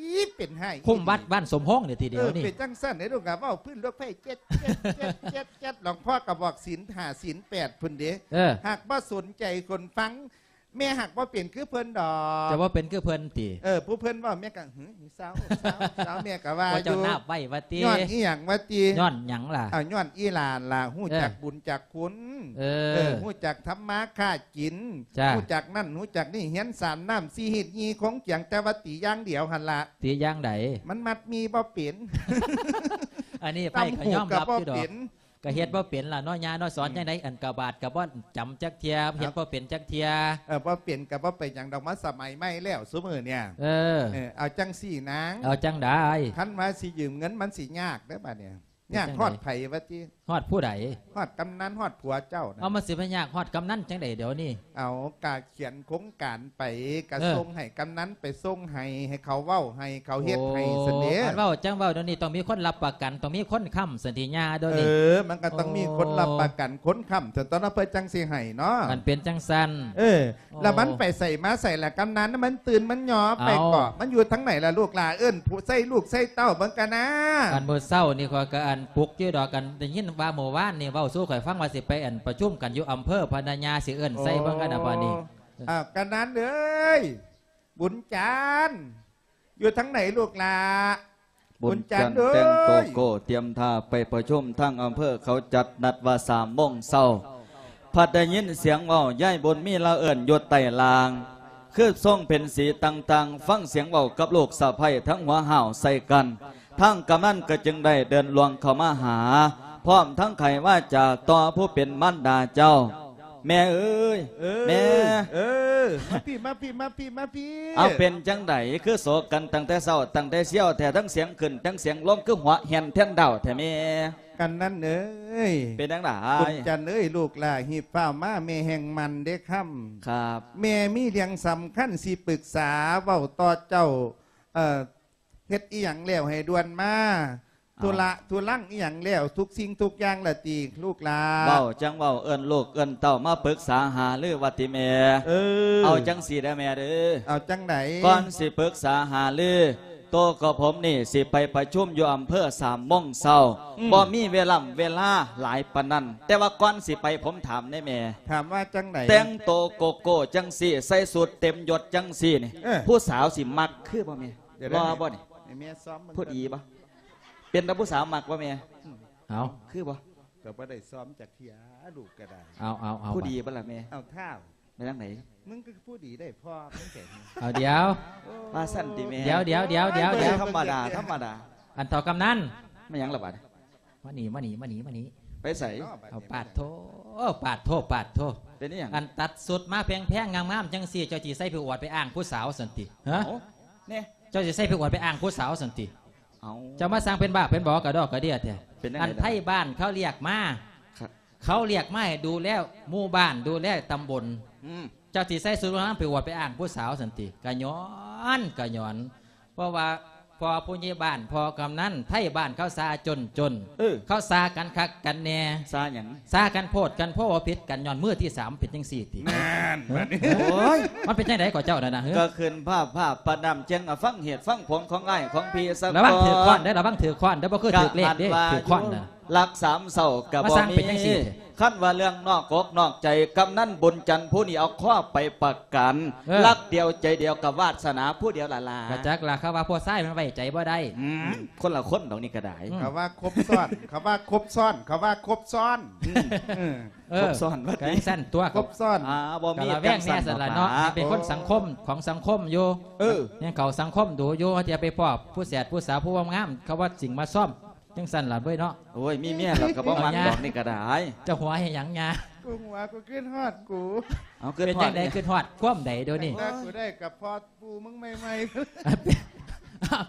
ເປັນຮ້າຍ ຄຸ້ມວັດບ້ານສົມໂຮງນີ້ທີດຽວນີ້ ເອີ ເປັນຈັ່ງຊັ້ນເດ້ລູກ ກະເວົ້າພື້ນລູກໃພ້ ເຈັດ ເຈັດ ເຈັດ ເຈັດ ເຈັດ ຫຼວງພໍ່ກະບອກສິນຫ້າສິນແປດພຸ້ນເດ້ ເອີ ຫາກບໍ່ສົນໃຈຄົນຟັງ ແມ່ຫາກບໍ່ເປັນຄືເພິ່ນດອກ ຈະບໍ່ເປັນຄືເພິ່ນຕິ ເອີ ຜູ້ເພິ່ນເວົ້າແມ່ກະ ຫື ເຊົາ ເຊົາ ເຊົາ ແມ່ກະວ່າຢູ່ ເຈົ້ານາບໄວ້ວ່າຕິ ຍ້ອນອີ່ຫຍັງວ່າຕິ ຍ້ອນຫຍັງລະ ເອົາ ຍ້ອນອີ່ຫຼ້ານລະ ຮູ້ຈັກ ເອີ ບຸນຈັກຄຸນ ເອີ ເອີ ຮູ້ຈັກທຳມາຄ້າກິນ ຈ້າ ຮູ້ຈັກນັ້ນຮູ້ຈັກນີ້ ຮຽນສາມນ້ຳສີ່ຮີດຍີ່ຄົງຈຽງ ແຕ່ວ່າຕີຢ່າງດຽວຫັ້ນລະ ຕີຢ່າງໃດ ມັນມັດໝີ່ບໍ່ເປັນ ອັນນີ້ໃຜກະຍອມຮັບຢູ່ດອກ ກະເຮັດບໍ່ເປັນລະເນາະຍ່າເນາະ ສອນຈັ່ງໃດ ອັນກະບາດກະບໍ່ຈຳຈັກເທື່ອ ເຮັດບໍ່ເປັນຈັກເທື່ອ ເອີ ບໍ່ເປັນກະບໍ່ເປັນຫຍັງດອກ ມາສະໄໝໃໝ່ແລ້ວຊຸມື້ນີ້ ເອີ ເອີ ເອົາຈັ່ງຊີ້ນາງ ເອົາຈັ່ງໃດ ຄັນວ່າຊິຢືມເງິນມັນຊິຍາກເດີບາດນີ້ ຍາກຮອດໃຜວ່າຕິ ຮອດຜູ້ໃດ ຮອດກຳນັນ ຮອດຜົວເຈົ້ານະ ເອົາ ມັນຊິໄປຍາກຮອດກຳນັນຈັ່ງໃດດຽວນີ້ ເອົາ ກະຂຽນໂຄງການໄປ ກະ ເອີ ສົ່ງໃຫ້ກຳນັນໄປສົ່ງໃຫ້ ໃຫ້ເຂົາເວົ້າໃຫ້ ເຂົາເຮັດໃຫ້ຊັ້ນເດ້ ໂອ້ ຄັນເວົ້າຈັ່ງເວົ້າດຽວນີ້ ຕ້ອງມີຄົນຮັບປະກັນ ຕ້ອງມີຄົນຄ້ຳຊັ້ນຕິຍ່າດຽວນີ້ ເອີ ມັນກະຕ້ອງມີຄົນ ໂອ້ ຮັບປະກັນ ຄົນຄ້ຳຊັ້ນ ຕອນນັ້ນເພິ່ນຈັ່ງຊິໃຫ້ເນາະ ຄັນເປັນຈັ່ງຊັ້ນ ເອີ ໂອ້ ລະມັນໄປໃສມາໃສລະ ກຳນັນ ມັນຕື່ນມັນຫຍໍ້ໄປເກາະ ເອົ້າ ມັນຢູ່ທາງໃດລະລູກຫຼ້າ ເອີ້ນຜູ້ໃສ່ລູກໃສ່ເຕົ້າເບິ່ງກະນາ ອັນມື້ເຊົ້ານີ້ຂ້ອຍກະອັນປຸກຢູ່ດອກ ອັນໄດ້ຍິນວ່າມື້ວານນີ້ເວົ້າສູ່ຂ້ອຍຟັງວ່າຊິໄປອັນປະຊຸມກັນຢູ່ອຳເພີພະນະຍາ ຊິເອີ້ນໃສ່ເບິ່ງກະນາບາດນີ້ ໂອ້ ອ້າວ ກຳນັນເອີຍ ບຸນຈັນ ຢູ່ທາງໃດລູກຫຼ້າ ບຸນຈັນ ບຸນຈັນເອີຍ ແຕ່ງໂຕໂກ້ຕຽມທ່າໄປປະຊຸມ ທາງອຳເພີເຂົາຈັດນັດວ່າສາມໂມງເຊົ້າ ພັດໄດ້ຍິນສຽງເວົ້າ ຍາຍບຸນມີລາວເອີ້ນຢູ່ໃຕ້ລ່າງ ຄືຊົງເປັນສີຕ່າງໆ ຟັງສຽງເວົ້າກັບລູກສະໃພ້ທັງຫົວຫ້າວໃສ່ກັນ ທາງກຳນັນກໍຈຶ່ງໄດ້ເດີນລ່ວງເຂົ້າມາຫາ ພ້ອມທັງໄຂວາຈາຕໍ່ຜູ້ເປັນມານດາເຈົ້າ ແມ່ເອີຍ ເອີຍ ແມ່ ເອີ ມາພີ້ ມາພີ້ ມາພີ້ ມາພີ້ ເອົາ ເປັນຈັ່ງໃດ ຄືໂສກັນຕັ້ງແຕ່ເຊົ້າ ຕັ້ງແຕ່ຊຽວແທ້ ທັງສຽງຂຶ້ນ ທັງສຽງລົງ ຄືຫົວແຫ່ນແທ່ນດາວແທ້ແມ່ ກຳນັນເອີຍ ເປັນຈັ່ງໃດ ບຸນຈັນເອີຍ ລູກຫຼ້າຮີບຟ້າວມາ ແມ່ແຮ່ງໝັ່ນເດ້ຄຳ ຄັບ ແມ່ມີເລື່ອງສຳຄັນຊິປຶກສາເວົ້າຕໍ່ເຈົ້າ ເອີ ເຮັດອີ່ຫຍັງແລ້ວໃຫ້ດ່ວນມາ ເອົ້າ ທຸລະທຸລັງອີ່ຫຍັງແລ້ວ ທຸກສິ່ງທຸກຢ່າງລະຕິລູກຫຼ້າ ເວົ້າຈັ່ງເວົ້າ ເອີ້ນລູກເອີ້ນເຕົ້າມາປຶກສາຫາລືວ່າຕິແມ່ ເອີ ເອົາຈັ່ງຊີ້ເດີແມ່ເດີ ເອົາຈັ່ງໃດ ກ່ອນຊິປຶກສາຫາລື ໂຕກັບຜົມນີ້ຊິໄປປະຊຸມຢູ່ອຳເພີສາມໂມງເຊົ້າ ອືມ ບໍ່ມີເວລາເວລາຫຼາຍປານນັ້ນ ແຕ່ວ່າກ່ອນຊິໄປຜົມຖາມແດ່ແມ່ ຖາມວ່າຈັ່ງໃດ ແຕ່ງໂຕໂກໂກ້ຈັ່ງຊີ້ ໃສ່ຊຸດເຕັມຍົດຈັ່ງຊີ້ນີ້ ເອີ ຜູ້ສາວຊິມັກຄືບໍ່ແມ່ ດຽວ ຫຼໍ່ບໍ່ນີ້ ໃຫ້ແມ່ຊ້ອມເບິ່ງ ຜູ້ດີບໍ່ ເປັນຕາຜູ້ສາວມັກບໍ່ແມ່ ເອົ້າ ຄືບໍ່ ກໍບໍ່ໄດ້ຊ້ອມຈັກເທື່ອ ລູກກໍໄດ້. ເອົາ ເອົາ ເອົາ ຜູ້ດີບໍ່ລະແມ່? ເອົາທ້າວ ແມ່ນຈັ່ງໃດ? ມຶງກໍຜູ້ດີໄດ້ພໍ່ມຶງແທ້. ເອົາ ດຽວ ວ່າຊັ້ນຕິແມ່? ດຽວ ດຽວ ດຽວ ດຽວ ໂອ້ຍ ດຽວ ທຳມະດາ ທຳມະດາ. ອັນເຖົ້າກຳນັນ ແມ່ນຫຍັງລະບາດ? ມານີ້ ມານີ້ ມານີ້ ມານີ້. ໄປໃສ? ເອົາ ປາດໂທ ປາດໂທ ປາດໂທ. ເປັນອີຫຍັງ? ອັນຕັດຊຸດມາແພງໆ ງາມໆ ຈັ່ງຊີ້ ເຈົ້າຊິໃສ່ໄປອວດໄປອ້າງຜູ້ສາວຊັ້ນຕິ? ຮະ? ເອົາ ແນ່ ເຈົ້າຊິໃສ່ໄປອວດໄປອ້າງຜູ້ສາວຊັ້ນຕິ? ເອົາ ເຈົ້າມາສ້າງເປັນບ້າເປັນບໍກະດອກກະເດຍແທ້. ອັນໄທບ້ານເຂົາລຽກມາ ເຂົາລຽກມາໃຫ້ດູແລໝູ່ບ້ານ ດູແລຕຳບົນ. ອືມ ເຈົ້າຊິໃສ່ຊຸດງາມໄປອວດໄປອ້າງຜູ້ສາວຊັ້ນຕິ? ກະຍ້ອນ ກະຍ້ອນ ເພາະວ່າພໍ່ຜູ້ໃຫຍ່ບ້ານ ພໍ່ກຳນັນ ໄທບ້ານເຂົາຊ່າຈົນໆ. ເອີ ເຂົາຊ່າກັນຄັກກັນແນ່. ຊ່າຫຍັງ? ຊ່າກັນໂພດກັນໂພ ຜິດກັນຍ້ອນມືທີສາມ ເປັນຈັ່ງຊີ້ຕິ? ນັ້ນ ບັດນີ້ ໂອ້ຍ ມັນເປັນຈັ່ງໃດກໍເຈົ້ານັ້ນນະ? ກໍຂຶ້ນພາບພາບປານນ້ຳແຈ່ງ ອະ ຟັງເຫດຟັງຜົນຂອງອ້າຍຂອງພີ່ຊະກ່ອນ. ລະວັງຖືກຄ້ອນເດີ້ ລະວັງຖືກຄ້ອນເດີ້ ບໍ່ຄືຖືກເລກເດ້ ຖືກຄ້ອນນະ. ຫຼັກສາມເສົ້າກໍບໍ່ມີ ຄັນວ່າເລື່ອງນອກອົກນອກໃຈ ກຳນັນບຸນຈັນຜູ້ນີ້ເອົາຄອບໄປປະກັນ. ເອີ ລັກດຽວໃຈດຽວກັບວາດສະໜາຜູ້ດຽວລະລາ. ກະຈັກລະ ເຂົາວ່າຜູ້ຊາຍມັນໄວ້ໃຈບໍ່ໄດ້. ອືມ ຄົນລະຄົນດອກນີ້ກໍໄດ້. ອືມ ເຂົາວ່າຄົບຊ້ອນ ເຂົາວ່າຄົບຊ້ອນ ເຂົາວ່າຄົບຊ້ອນ. ອືມ ເອີ ຄົບຊ້ອນວ່າຕິ ກະຈັ່ງຊັ້ນຕົວະ ຄົບຊ້ອນ. ອ່າ ບໍ່ມີກະລະແວງແດ່ຊັ້ນລະເນາະ. ເປັນຄົນສັງຄົມ ຂອງສັງຄົມຢູ່. ເອີ ຍັງເຂົ້າສັງຄົມດູຢູ່ ເຮົາຈະໄປພໍ້ຜູ້ແສດຜູ້ສາວຜູ້ງາມ ເຂົາວ່າສິ່ງມາຊ້ອມ ຈັ່ງຊັ້ນລະເວີຍເນາະ. ໂອ້ຍ ມີເມຍແລ້ວກໍບໍ່ມັກດອກນີ້ກໍໄດ້. ເຈົ້າຫົວເຮັດຫຍັງຍາ? ກູຫົວ ກູຄິດຮອດກູ. ເອົາ ຄິດຮອດ ເປັນຈັ່ງໃດ? ຄິດຮອດຄວາມໃດດຽວນີ້? ຕັ້ງແຕ່ກູໄດ້ກັບພໍ່ປູ່ມຶງໃໝ່ໆ.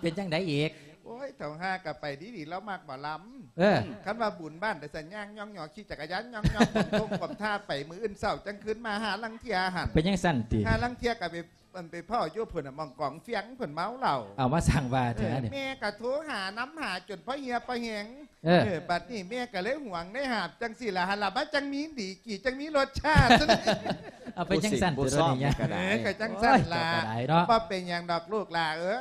ເປັນຈັ່ງໃດອີກ? ໂອ້ຍ ເຖົ້າຫ່າກໍໄປດີໆ ລາວມັກໝໍລຳ. ເອີ ຄັນວ່າບຸນບ້ານໄດ້ສັນຍ່າງຍ້ອງຍໍ ຂີ່ຈັກກະຍານຍ້ອງຍໍ ກົມທົ່ງກົມທ່າໄປ ມື້ອື່ນເຊົ້າຈັ່ງຄືນມາ ຫາລາງເທື່ອຫັ້ນ. ເປັນຈັ່ງຊັ້ນຕິ? ຫາລາງເທື່ອກໍໄປ ມັນໄປພໍ້ຢູ່ພຸ້ນນະ ໝ່ອງກອງຟຽງເພິ່ນເມົາເຫຼົ້າ. ເອົາມາສ້າງວ່າແທ້ນີ້. ເອີ ແມ່ກະໂທຫານຳຫາຈົນພໍເຫື່ອພໍແຫ້ງ. ເອີ ເອີ ບັດນີ້ແມ່ກະເລີຍຫວງໄດ້ຫາບຈັ່ງຊີ້ລະ ຫັ້ນລະ ມັນຈັ່ງມີດີກີ ຈັ່ງມີລົດຊາດ. ເອົາໄປຈັ່ງຊັ້ນ ຜູ້ສິງຜູ້ຊອມນີ້ກໍໄດ້. ເອີ ກະຈັ່ງຊັ້ນລະ. ໂອ້ຍ ເຈົ້າກໍໄດ້ເນາະ. ບໍ່ເປັນຫຍັງດອກລູກຫຼ້າເອີ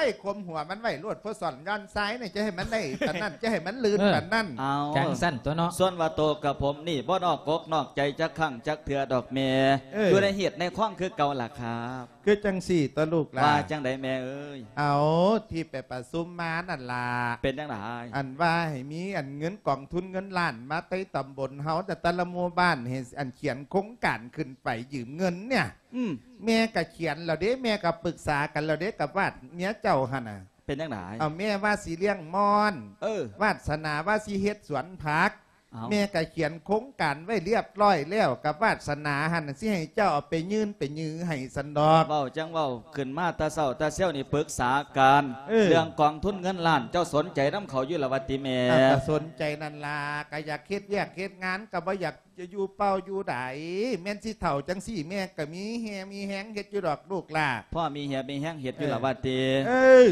ຍ ຄົມຫົວມັນໄວ້ໂລດ ພໍສອນຍ້ອນຊາຍນີ້ ຈະໃຫ້ມັນໄດ້ປານນັ້ນ ຈະໃຫ້ມັນລື່ນປານນັ້ນ. ເອົາ ຈັ່ງຊັ້ນຕົວະເນາະ. ສ່ວນວ່າໂຕກັບຜົມນີ້ ບໍ່ນອກກົກນອກໃຈຈັກຄັ້ງຈັກເທື່ອດອກແມ່. ເອີ ຢູ່ໃນເຫດໃນຄອງຄືເກົ່າລະຄັບ. ຄືຈັ່ງຊີ້ຕົວະລູກຫຼ້າ. ວ່າຈັ່ງໃດແມ່ເອີຍ? ເອົາ ທີ່ໄປປະຊຸມມານັ້ນລະ. ເປັນຈັ່ງໃດ? ອັນວ່າໃຫ້ມີອັນເງິນກອງທຶນເງິນລ້ານມາແຕ່ຕຳບົນເຮົາ ແຕ່ລະໝູ່ບ້ານ ໃຫ້ອັນຂຽນໂຄງການຂຶ້ນໄປຢືມເງິນເນຍ. ອືມ ແມ່ກະຂຽນແລ້ວເດ້ ແມ່ກະປຶກສາກັນແລ້ວເດ້ ກັບວາດເມຍເຈົ້າຫັ້ນນະ. ເປັນຈັ່ງໃດ? ເອົາ ແມ່ວ່າຊິລ້ຽງມ່ອນ. ເອີ ວາດສະໜາວ່າຊິເຮັດສວນຜັກ. ເອົ້າ ແມ່ກະຂຽນໂຄງການໄວ້ລຽບລ້ອຍແລ້ວ ກັບວາດສະໜາຫັ້ນ ຊິໃຫ້ເຈົ້າເອົາໄປຍື່ນໄປຢືໃຫ້ຊັ້ນດອກ. ເວົ້າຈັ່ງເວົ້າ ຂຶ້ນມາແຕ່ເຊົ້າແຕ່ຊຽວນີ້ປຶກສາກັນ. ເອີ ເລື່ອງກອງທຶນເງິນລ້ານ ເຈົ້າສົນໃຈນຳເຂົາຢູ່ລະວ່າຕິແມ່? ເອົາ ກະສົນໃຈນັ້ນລະ ກະຢາກເຮັດວຽກເຮັດງານ ກະບໍ່ຢາກຈະຢູ່ເປົ່າຢູ່ດາຍ. ແມ່ນຊິເຖົ້າຈັ່ງຊີ້ ແມ່ກະມີແຮງມີແຮງເຮັດຢູ່ດອກລູກຫຼ້າ. ພໍມີແຮງມີແຮງເຮັດຢູ່ລະວ່າຕິ? ເອີ ເອີ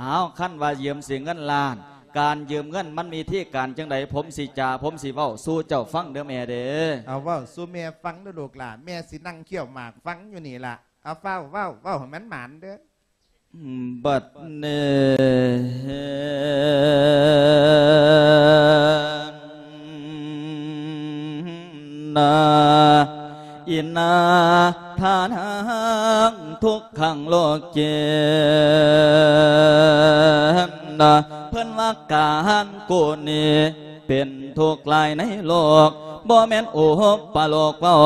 ອ້າວ ຄັນວ່າຢືມຊິເງິນລ້ານ ການຢືມເງິນມັນມີທີການຈັ່ງໃດ? ຜົມຊິຈາ ຜົມຊິເວົ້າສູ່ເຈົ້າຟັງເດີແມ່ເດີ. ເອົາ ເວົ້າສູ່ແມ່ຟັງເດີລູກຫຼ້າ ແມ່ຊິນັ່ງຄ້ຽວໝາກຟັງຢູ່ນີ້ລະ. ເອົາ ຟ້າວເວົ້າ ເວົ້າໃຫ້ມັນໝານເດີ. ບັດນີ້ ນາ ອິນນາ ທານັງ ທຸກຂັງ ໂລເກ ນາ ເພິ່ນວ່າການກູນີ້ເປັນທຸກຫຼາຍໃນໂລກ ບໍ່ແມ່ນອຸປະໂລກເວົ້າ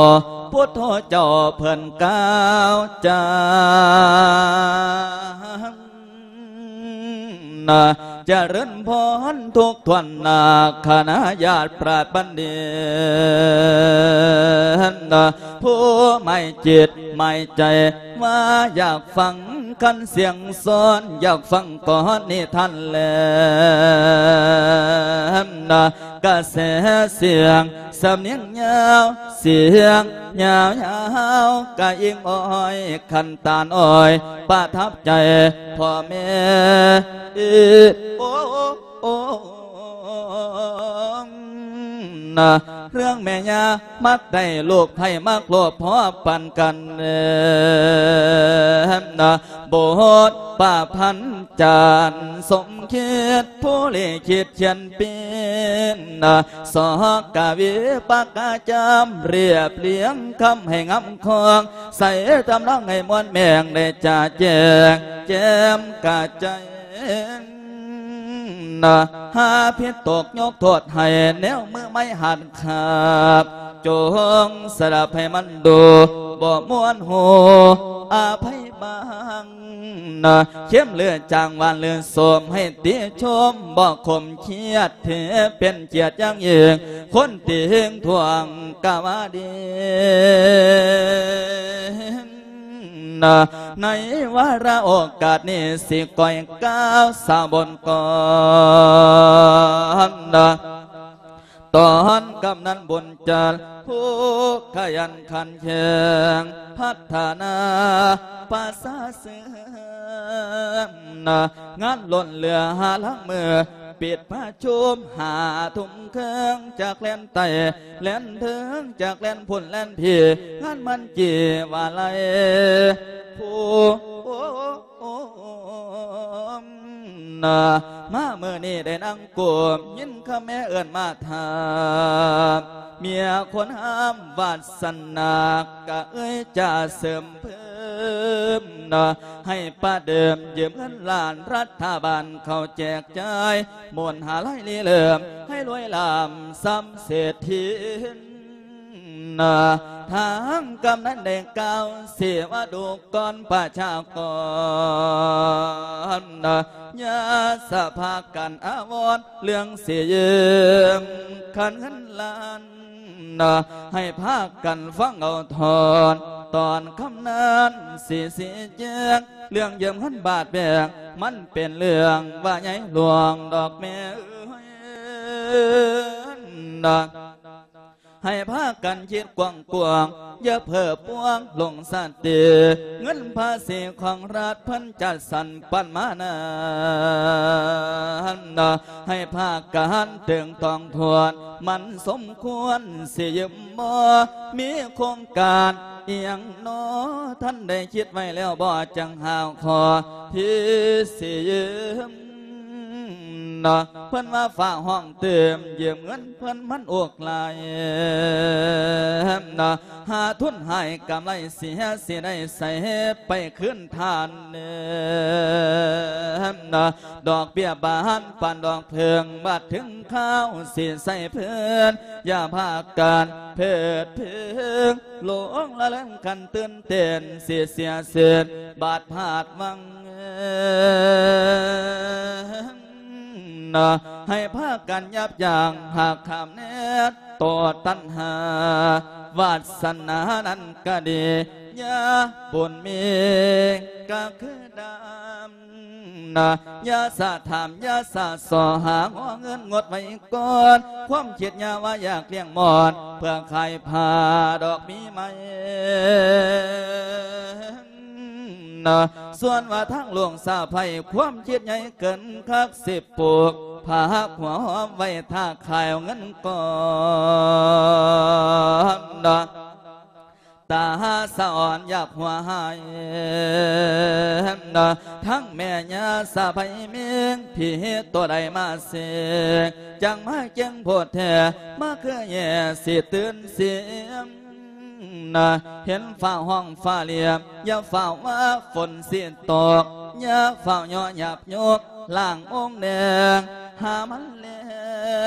ພຸດໂທເຈົ້າເພິ່ນກ່າວຈາ ນະ ຈະເລີນພອນທຸກຖ້ວນນາ ຄະນະຍາດພະບັນດິດ ນະ ຜູ້ໝາຍຈິດໝາຍໃຈວ່າຢາກຟັງຄັນສຽງສອນ ຢາກຟັງກ່ອນນິທານແລ ນະ ກະແສສຽງ ສຳນຽງຍາວ ສຽງຍາວໆ ກະອີງອ້ອຍ ຂັນຕານອ້ອຍ ປະທັບໃຈພໍ່ແມ່ ໂອ ໂອ ນະ ເລື່ອງແມ່ຍ່າມັກໄດ້ລູກໃຜມັກໂລບພໍປານກັນ ນະ ບົດປະພັນຈານສົມ ຄິດຜູ້ລິຂິດຂຽນປີ້ນະ ສອກກະວີປາກກະຈຳ ລຽບລຽງຄຳໃຫ້ງາມຄອງ ໃສ່ທຳນອງໃຫ້ມ່ວນແມງ ໄດ້ຈະແຈ້ງແຈ່ມກະຈ່າຍ ນະ ຫາຜິດຕົກຍົກໂທດໃຫ້ແນວມືໄມ້ຫັດຂາບ ຈົ່ງສະດັບໃຫ້ມັນດູ ບໍ່ມ່ວນຫູ ອະໄພບາງນະ ເຄັມຫຼືຈາງ ຫວານຫຼືສົ້ມ ໃຫ້ຕິຊົມ ບໍ່ຂົມຄຽດ ຖືເປັນກຽດຢ່າງຍິ່ງ ຄົນຕິງທວງກະວ່າດີ. ໃນວາລະໂອກາດນີ້ ຊິກ້ອຍກ່າວສາວບົນກ່ອນ ຕອນກຳນັນບຸນຈັນ ຜູ້ຂະຫຍັນຂັນແຂງ ພັດທະນາປະຊາເຊື່ອມ ງານລົ້ນເຫຼືອຫາຫຼັງມື້ ປິດປະຊຸມຫ້າທຸ່ມເຄິ່ງ ຈາກແລນໃຕ້ ແລນເທິງ ຈາກແລນພຸ້ນແລນພີ້ ງານມັນຈີວ່າໄລ ຜູ້ ນະ ມາມື້ນີ້ໄດ້ນັ່ງກົມ ຍິນຄຳແມ່ເອີ້ນມາຖາມ ເມຍຄົນຫາມວາດສະໜາ ກະເອີຍຈາເສີມເພີ່ມນະ ໃຫ້ປະເດີມຢືມເງິນລ້ານ ລັດຖະບານເຂົາແຈກຈ່າຍ ໝູນຫ້າລາຍລິເລີ່ມ ໃຫ້ລວຍລ້ຳສ່ຳເສດຖີ ນະ ທາງກຳນັນໄດ້ກ່າວເສວະດູກອນປະຊາກອນນະ ຢ່າສະພາກັນອາວອນເລື່ອງຊິຢືມຄັນເງິນລ້ານນະ ໃຫ້ພາກັນຟັງເອົາທ່ອນ ຕອນຄຳນັ້ນຊິຊີ້ແຈງ ເລື່ອງຢືມເງິນບາດແບງ ມັນເປັນເລື່ອງວ່າໃຫຍ່ຫຼວງດອກແມ່ເອີຍນະ ໃຫ້ພາກັນຄິດກວ້າງໆ ຢ່າເພີປວງຫຼົງສະຕິ ເງິນພາສີຂອງລັດເພິ່ນຈັດສັນປັນມານັ້ນນະ ໃຫ້ພາກັນເຕີງຕອງທວນ ມັນສົມຄວນຊິຢືມບໍ່ ມີໂຄງການອີ່ຫຍັງນໍ ທ່ານໄດ້ຄິດໄວ້ແລ້ວບໍ່ ຈັ່ງຫາຂໍທີ່ຊິຢືມ ນະ ເພິ່ນວ່າຟ້າວຮ້ອງຕື່ມ ຢືມເງິນເພິ່ນມັນອຸກຫຼາຍນະ ຫາທຶນຫາຍກຳໄລເສຍ ຊິໄດ້ໃສໄປຄືນທ່ານເນີນະ ດອກເບ້ຍບານປານດອກເຜິ້ງ ບາດເຖິງຄາວຊິໃສ່ເພິ່ນ ຢ່າພາກັນເພີດເພີງ ຫຼົງລະເລີນກັນຕື່ນເຕັ້ນ ຊິເສຍເສັ້ນບາດພາດວັງ ນະ ໃຫ້ພາກັນຫຍັບຢັ້ງຫາກຂ້າມແນດຕໍ່ຕັນຫາ ວາດສະໜານັ້ນກະດີ ຍາບຸນມີກະຄືດຳ ນະ ຢ່າສະຖາມ ຢ່າສະຊໍຫາງໍເງິນງົດໄວ້ກ່ອນ ຄວາມຄິດຢ່າວ່າຢາກລ້ຽງມອນ ເພື່ອຂາຍຜ້າດອກມີໄໝ ນະ ສ່ວນວ່າທາງຫຼວງສາໄພ ຄວາມຄິດໃຫຍ່ເກີນຄັກ ຊິປູກຜັກຫົວຫອມໄວ້ຖ້າຂາຍເອົາເງິນກ່ອນ ນະ ຕາສະອອນຢາກຫົວຫາຍ ນະ ທັງແມ່ຍ່າສາໄພມິງ ຜີໂຕໃດມາເສກ ຈັ່ງມາເກັ່ງໂພດແທ້ ມາຄືແຍ່ຊິຕື່ນສຽງ ນະ ເຫັນຟ້າຮ້ອງຟ້າລຽມ ຢ່າຟ້າວວ່າຝົນຊິຕົກ ຢ່າຟ້າວຍໍ້ຫຍາບຍົກ ລ້າງອົງແດງ ຫາມັນແລ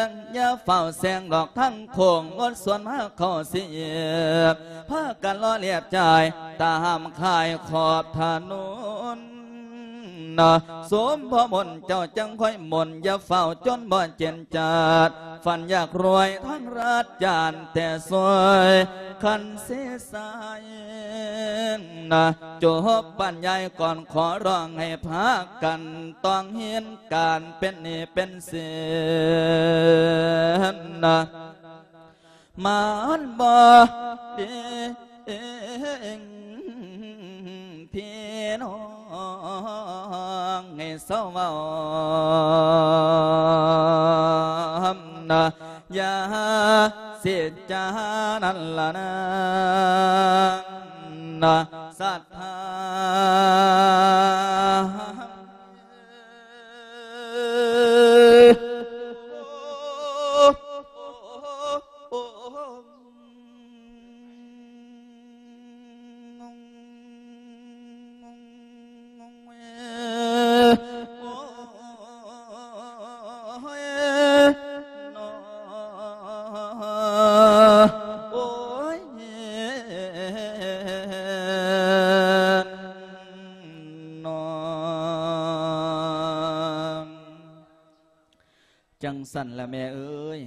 ງ ຢ່າຟ້າວແຊງດອກທາງໂຄ້ງ ງົດສວນມາເຂົ້າຊິຫຍິບ ພາກັນລໍລຽບຈ່າຍ ຕາຫ້າມຂາຍຂອບຖະໜົນ ນະ ສົມພໍ່ມົນເຈົ້າຈັ່ງຄ່ອຍມົນ ຢ່າຟ້າວຈົນບໍ່ເຈັນຈາດ ຝັນຢາກລວຍທາງລັດ ຢ້ານແຕ່ຊ່ວຍຄັນເສສາຍ ນະ ຈົບບັນຍາຍກ່ອນ ຂໍຮ້ອງໃຫ້ພາກັນຕ້ອງເຫັນ ການເປັນໜີ້ເປັນສິນນະ ມັນບໍ່ດີ ພີ່ນ້ອງໃຫ້ເຊົາເວົ້ານະ ຢ່າເສດຈານັ້ນລະນາ ນະ ສັດທາ ຈັ່ງຊັ້ນລະແມ່ເອີຍ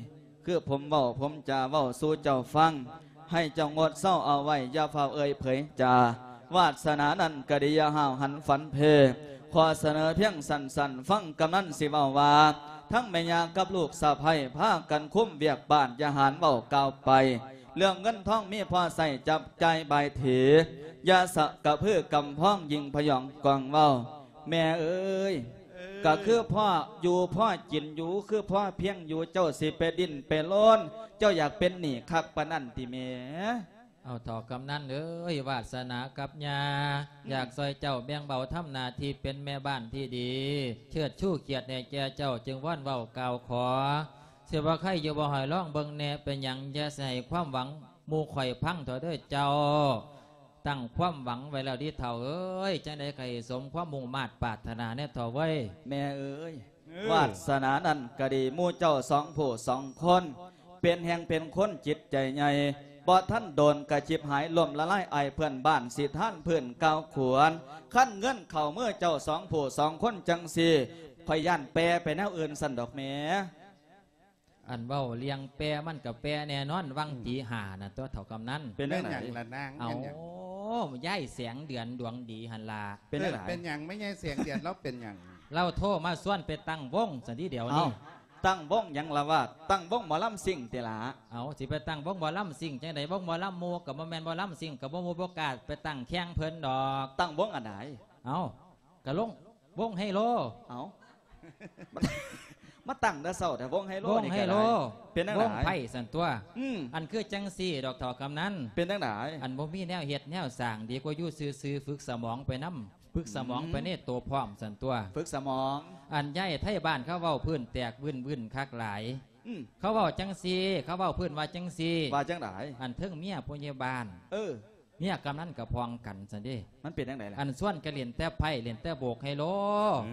ຄືຜົມເວົ້າ ຜົມຈະເວົ້າສູ່ເຈົ້າຟັງ ໃຫ້ເຈົ້າງົດເຊົາເອົາໄວ້ ຢ່າຟ້າວເອີ່ຍເຜີຍຈາ ວາດສະໜານັ້ນກະດີ ຢ່າຫ້າວຫັນຝັນເພ ຂໍສະເໜີພຽງສັ້ນໆ ຟັງກຳນັນຊິເວົ້າວ່າ ທັງແມ່ຍ່າກັບລູກສະໃພ້ ພາກັນຄຸມວຽກບ້ານ ຢ່າຫານເວົ້າກ່າວໄປ ເລື່ອງເງິນທອງມີພໍໃຊ້ຈັບຈ່າຍບາຍເທ ຢ່າສະກະເພີກຳພອງ ຍິ່ງພະຍອງກອງເວົ້າ ແມ່ເອີຍ ເອີ ກະຄືພໍຢູ່ພໍກິນຢູ່ ຄືພໍພຽງຢູ່ ເຈົ້າຊິໄປດີ້ນໄປລົນ ເຈົ້າຢາກເປັນໜີ້ຄັກປານນັ້ນຕິແມ່? ເອົາ ເຖົ້າກຳນັນເອີຍ ວາດສະໜາກັບຍ່າ ອືມ ຢາກຊ່ອຍເຈົ້າແບ່ງເບົາທຳໜ້າທີ່ເປັນແມ່ບ້ານທີ່ດີ ເຊີດຊູກຽດໃຫ້ແກ່ເຈົ້າ ຈຶ່ງວອນເວົ້າກ່າວຂໍ ຊິວ່າໃຄຢູ່ບໍ່ ໃຫ້ລອງເບິ່ງແດ່ ເປັນຫຍັງ ຢ່າຊິໃຫ້ຄວາມຫວັງໝູ່ຂ້ອຍພັງເຖາະເດີເຈົ້າ. ຕັ້ງຄວາມຫວັງໄວ້ແລ້ວເດເຖົ້າເອີຍ ຈັ່ງໃດກໍໃຫ້ສົມຄວາມມຸ່ງມາດປາດຖະໜາແດ່ເຖົ້າເວີຍ. ແມ່ເອີຍ ເອີ ວາດສະໜານັ້ນກະດີ ໝູ່ເຈົ້າສອງຜູ້ສອງຄົນ ເປັນແຮ່ງເປັນຄົນຈິດໃຈໃຫຍ່ ບໍ່ທັນໂດນກະຈິບຫາຍລົ້ມລະລາຍ ອາຍເພື່ອນບ້ານຊິທານພື້ນກ່າວຂວນ ຄັນເງິນເຂົ້າມືເຈົ້າສອງຜູ້ສອງຄົນຈັ່ງຊີ້ ຂ້ອຍຢ້ານແປໄປແນວອື່ນຊັ້ນດອກແມ່. ອັນເວົ້າເລື່ອງແປມັນກະແປແນ່ນອນ ວັງ ອືມ ຕີຫ້ານັ້ນຕົວະເຖົ້າກຳນັນ. ເປັນຈັ່ງໃດ? ເປັນຫຍັງລະນາງ? ເອົາ ເປັນຫຍັງ? ຍາຍແສງເດືອນດວງດີຫັ້ນລະ. ເປັນຈັ່ງໃດ? ເອີ ເປັນຫຍັງ? ແມ່ຍາຍແສງເດືອນລາວເປັນຫຍັງ? ລາວໂທມາຊວນໄປຕັ້ງວົງຊັ້ນຕິດຽວນີ້. ເອົ້າ ຕັ້ງວົງຫຍັງລະວາດ? ຕັ້ງວົງໝໍລຳຊິງຕິລະ. ເອົາ ຊິໄປຕັ້ງວົງໝໍລຳຊິງຈັ່ງໃດ? ວົງໝໍລຳໝູ່ກະບໍ່ແມ່ນ ໝໍລຳຊິງກະບໍ່ໝູ່ ບໍ່ກ້າໄປຕັ້ງແຂ່ງເພິ່ນດອກ. ຕັ້ງວົງອັນໃດ? ເອົາ ກະລົງ ວົງໄຮໂລ. ເອົ້າ ມາ ມາຕັ້ງແຕ່ເຊົ້າແທ້ ວົງໄຮໂລ ວົງໄຮໂລ ນີ້ກະໄດ້. ເປັນຈັ່ງໃດ? ວົງໄພ້ຊັ້ນຕົວະ. ອືມ ອັນຄືຈັ່ງຊີ້ດອກເຖົ້າກຳນັນ. ເປັນຈັ່ງໃດ? ອັນບໍ່ມີແນວເຮັດແນວສ້າງ ດີກວ່າຢູ່ຊື່ໆ ຝຶກສະໝອງໄປນຳ ຝຶກສະໝອງ ອືມ ໄປໃນໂຕພ້ອມຊັ້ນຕົວະ. ຝຶກສະໝອງ. ອັນຍາຍໄທບ້ານເຂົາເວົ້າພື້ນແຕກວື້ນໆ ຄັກຫຼາຍ. ອືມ ເຂົາເວົ້າຈັ່ງຊີ້ ເຂົາເວົ້າພື້ນວ່າຈັ່ງຊີ້. ວ່າຈັ່ງໃດ? ອັນເທິງເມຍຜູ້ໃຫຍ່ບ້ານ ເອີ ເມຍກຳນັນກະພ້ອງກັນຊັ້ນເດ. ມັນເປັນຈັ່ງໃດລະ? ອັນຊວນກັນເລ່ນແຕ່ໄພ້ ເລ່ນແຕ່ໂບກໄຮໂລ.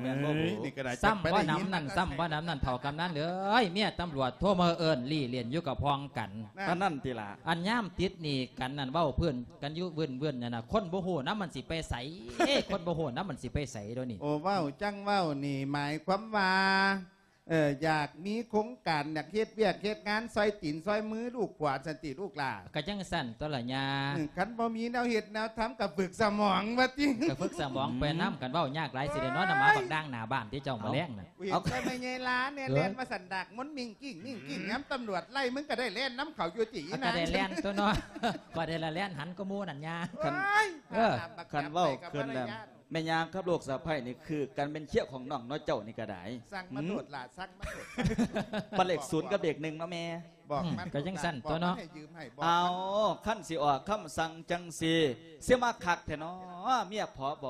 ແມ່ນບໍ່? ໂອ້ຍ ນີ້ກະໄດ້ ຊ້ຳບໍ່ນຳນັ້ນ ຊ້ຳບໍ່ນຳນັ້ນ ເຖົ້າກຳນັນເອີຍ ເມຍຕຳຫຼວດໂທມາເອີ້ນລີ້ຫຼິ້ນຢູ່ກະພ້ອງກັນ. ອັນນັ້ນຕິລະ. ອັນຍາມຕິດໜີ້ກັນນັ້ນ ເວົ້າພື້ນກັນຢູ່ວື້ນໆ ນັ້ນນະ ຄົນບໍ່ຮູ້ນຳມັນຊິໄປໃສ? ຄົນບໍ່ຮູ້ນຳມັນຊິໄປໃສດຽວນີ້? ໂອ້ ເວົ້າຈັ່ງເວົ້ານີ້ ໝາຍຄວາມວ່າ ເອີ ຢາກມີໂຄງການ ຢາກເຮັດວຽກເຮັດງານ ຊ່ອຍຕີນຊ່ອຍມືລູກຂວາຊັ້ນຕິລູກຫຼ້າ? ກະຈັ່ງຊັ້ນຕົວະລະຍ່າ. ອືມ ຄັນບໍ່ມີແນວເຮັດແນວທຳກະຝຶກສະໝອງວ່າຕິ. ກະຝຶກສະໝອງໄປນຳ. ອືມ ຄັນເວົ້າຍາກຫຼາຍຊິໄດ້ນອນນຳໝາບັກດ່າງໜ້າບ້ານຕິເຈົ້າ ເອົ້າ ມາແລງນະ. ເຫັນແຕ່ແມ່ຍາຍລາແນ່ ເອົ້າ ແລ່ນມາສັນດາກມົນມິງກິ້ງມິງກິ້ງ ອືມ ຍາມຕຳຫຼວດໄລ່ມຶງກະໄດ້ແລ່ນນຳເຂົາຢູ່ຕິ. ກະໄດ້ແລ່ນຕົວະເນາະ ກະໄດ້ລະແລ່ນຫັນກວ່າໝູ່ນັ້ນຍ່າ. ຄັນ ໂອ້ຍ ເອີ ຄັນເວົ້າຂຶ້ນແລ້ວ ແມ່ຍ່າກັບລູກສະໃພ້ນີ້ຄືກັນແມ່ນເຄຍຂອງນ້ອງເນາະ ເຈົ້ານີ້ກະໄດ້. ສັ່ງມາໂລດຫຼ້າ ອືມ ສັ່ງມາໂລດ. ບັດເລກສູນກັບເລກໜຶ່ງເນາະແມ່. ບອກມັນ ອືມ ກະຈັ່ງຊັ້ນຕົວະເນາະ. ບອກມັນໃຫ້ຢືມໃຫ້ ບອກ ເອົ້າ ມັນ ຄັນຊິອອກຄຳສັ່ງຈັ່ງຊີ້ ຊິມາຄັກແທ້ເນາະ ເມຍ ຜບ.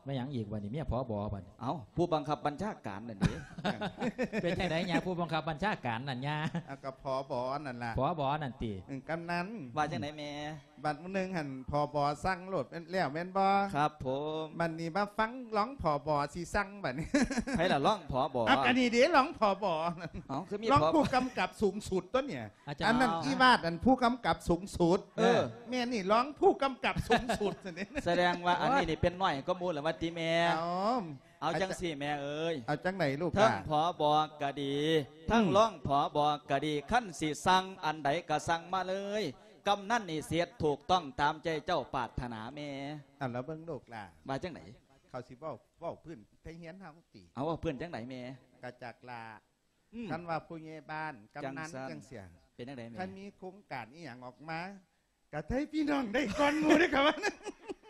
ແມ່ນຫຍັງອີກບັດນີ້ ເມຍ ຜບ ບັດນີ້? ເອົ້າ ຜູ້ບັງຄັບບັນຊາການນັ້ນເດ. ເປັນຈັ່ງໃດຍ່າ ຜູ້ບັງຄັບບັນຊາການນັ້ນຍ່າ? ເອົາ ກະ ຜບ ນັ້ນລະ ຜບ ນັ້ນຕິ. ອືມ ກຳນັນ ວ່າຈັ່ງໃດແມ່? ບັດມື້ໜຶ່ງຫັ້ນ ຜບ ສັ່ງໂລດແມ່ນແລ້ວແມ່ນບໍ່? ຄັບຜົມ. ບັດນີ້ມາຟັງລອງ ຜບ ຊິສັ່ງບັດນີ້. ໃຜລະລອງ ຜບ? ເອົາ ກະນີ້ເດ ລອງ ຜບ ນັ້ນ. ເອົ້າ ຄືມີ ລອງ ຜບ ຜູ້ກຳກັບສູງສຸດຕົວະນີ້. ອາຈານ ອັນນັ້ນ ເອົ້າ ອີວາດ ອັນຜູ້ກຳກັບສູງສຸດ. ເອີ ເອີ ແມ່ນນີ້ລອງຜູ້ກຳກັບສູງສຸດຊັ້ນເດ. ສະແດງວ່າອັນນີ້ນີ້ເປັນນ້ອຍກວ່າໝູ່ລະວ່າຕິແມ່? ເອົ້າ ເອົາຈັ່ງຊີ້ແມ່ເອີຍ ເອົາຈັ່ງໃດລູກຫຼ້າ? ທັງ ຜບ ກະດີ ທັງ ອືມ ລອງ ຜບ ກະດີ ຄັນຊິສັ່ງອັນໃດກະສັ່ງມາເລີຍ ກຳນັນນີ້ຊິເຮັດຖືກຕ້ອງຕາມໃຈເຈົ້າປາດຖະໜາແມ່. ເອົາລະເບິ່ງລູກຫຼ້າ ວ່າຈັ່ງໃດ? ເຂົາຊິເວົ້າ ເວົ້າພື້ນໄທຮຽນເຮົາຕິ. ເອົາ ເວົ້າພື້ນຈັ່ງໃດແມ່? ກະຈັກລະ ອືມ ຄັນວ່າຜູ້ໃຫຍ່ບ້ານ ກຳນັນ ຈັ່ງຊັ້ນ ຈັ່ງຊີ້ ເປັນຈັ່ງໃດແມ່? ຄັນມີໂຄງການອີ່ຫຍັງອອກມາ ກະໄທພີ່ນ້ອງໄດ້ກ່ອນໝູ່ເດ້ ເຂົາວ່າ.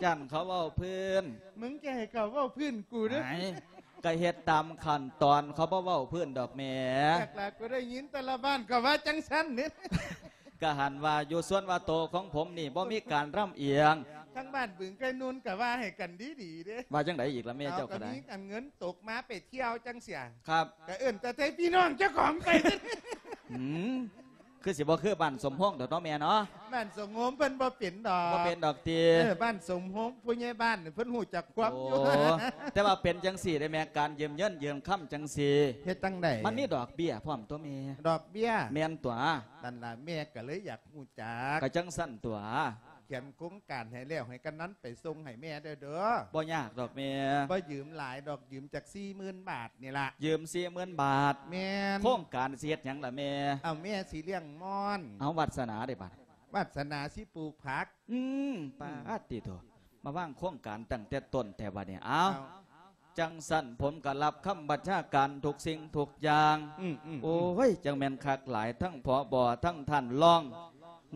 ຢ້ານເຂົາເວົ້າພື້ນ. ມຶງຈະໃຫ້ເຂົາເວົ້າພື້ນກູເດີ. ໄອ້ ກະເຮັດຕາມຂັ້ນຕອນ ເຂົາບໍ່ເວົ້າພື້ນດອກແມ່. ຈັກລະ ກູໄດ້ຍິນແຕ່ລະບ້ານກະວ່າຈັ່ງຊັ້ນເດ. ກະຫັ້ນວ່າຢູ່ສ່ວນວ່າໂຕຂອງຜົມນີ້ບໍ່ມີການລຳອຽງ. ທາງບ້ານບຶງໄກ່ນູນກະວ່າໃຫ້ກັນດີໆເດ້. ວ່າຈັ່ງໃດອີກລະແມ່ເຈົ້າກະໄດ້? ເອົາ ກະມີອັນເງິນຕົກມາໄປທ່ຽວຈັ່ງຊີ້. ຄັບ ກະເອີ້ນແຕ່ໄທພີ່ນ້ອງເຈົ້າຂອງໄປ. ອືມ ຄືຊິບໍ່ຄືບ້ານສົມໂຮງດອກເນາະແມ່ເນາະ. ບ້ານສົມໂຮງເພິ່ນບໍ່ເປັນດອກ. ບໍ່ເປັນດອກຕິ. ເອີ ບ້ານສົມໂຮງຜູ້ໃຫຍ່ບ້ານເພິ່ນຮູ້ຈັກຄວາມຢູ່. ໂອ້ ແຕ່ວ່າເປັນຈັ່ງຊີ້ເດ້ແມ່ ການຢືມເງິນຢືມຄຳຈັ່ງຊີ້ ເຮັດຈັ່ງໃດ? ມັນມີດອກເບ້ຍພ້ອມຕົວະແມ່. ດອກເບ້ຍ? ແມ່ນຕົວະ. ນັ້ນລະ ແມ່ກະເລີຍຢາກຮູ້ຈັກ. ກະຈັ່ງຊັ້ນຕົວະ. ຂຽນໂຄງການໃຫ້ແລ້ວ ໃຫ້ກຳນັນໄປສົ່ງໃຫ້ແມ່ເດີ້ ເດີ້. ບໍ່ຍາກດອກແມ່ ບໍ່ຢືມຫຼາຍດອກ ຢືມຈັກສີ່ໝື່ນບາດນີ້ລະ. ຢືມສີ່ໝື່ນບາດ. ແມ່ນ. ໂຄງການຊິເຮັດຫຍັງລະແມ່? ເອົາ ແມ່ຊິລ້ຽງມອນ. ເອົາ ວາດສະໜາເດ້ບາດ? ວາດສະໜາຊິປູກຜັກ. ອືມ ປາດຕິໂທ ມາວາງໂຄງການຕັ້ງແຕ່ຕົ້ນແທ້ບາດນີ້. ເອົາ ເອົາ ຈັ່ງຊັ້ນ ຜົມກໍຮັບຄຳບັນຊາການທຸກສິ່ງທຸກຢ່າງ. ອືມໆໆ ໂອ້ຍ ຈັ່ງແມ່ນຄັກຫຼາຍ ທັງ ຜບ ທັງທ່ານຮອງ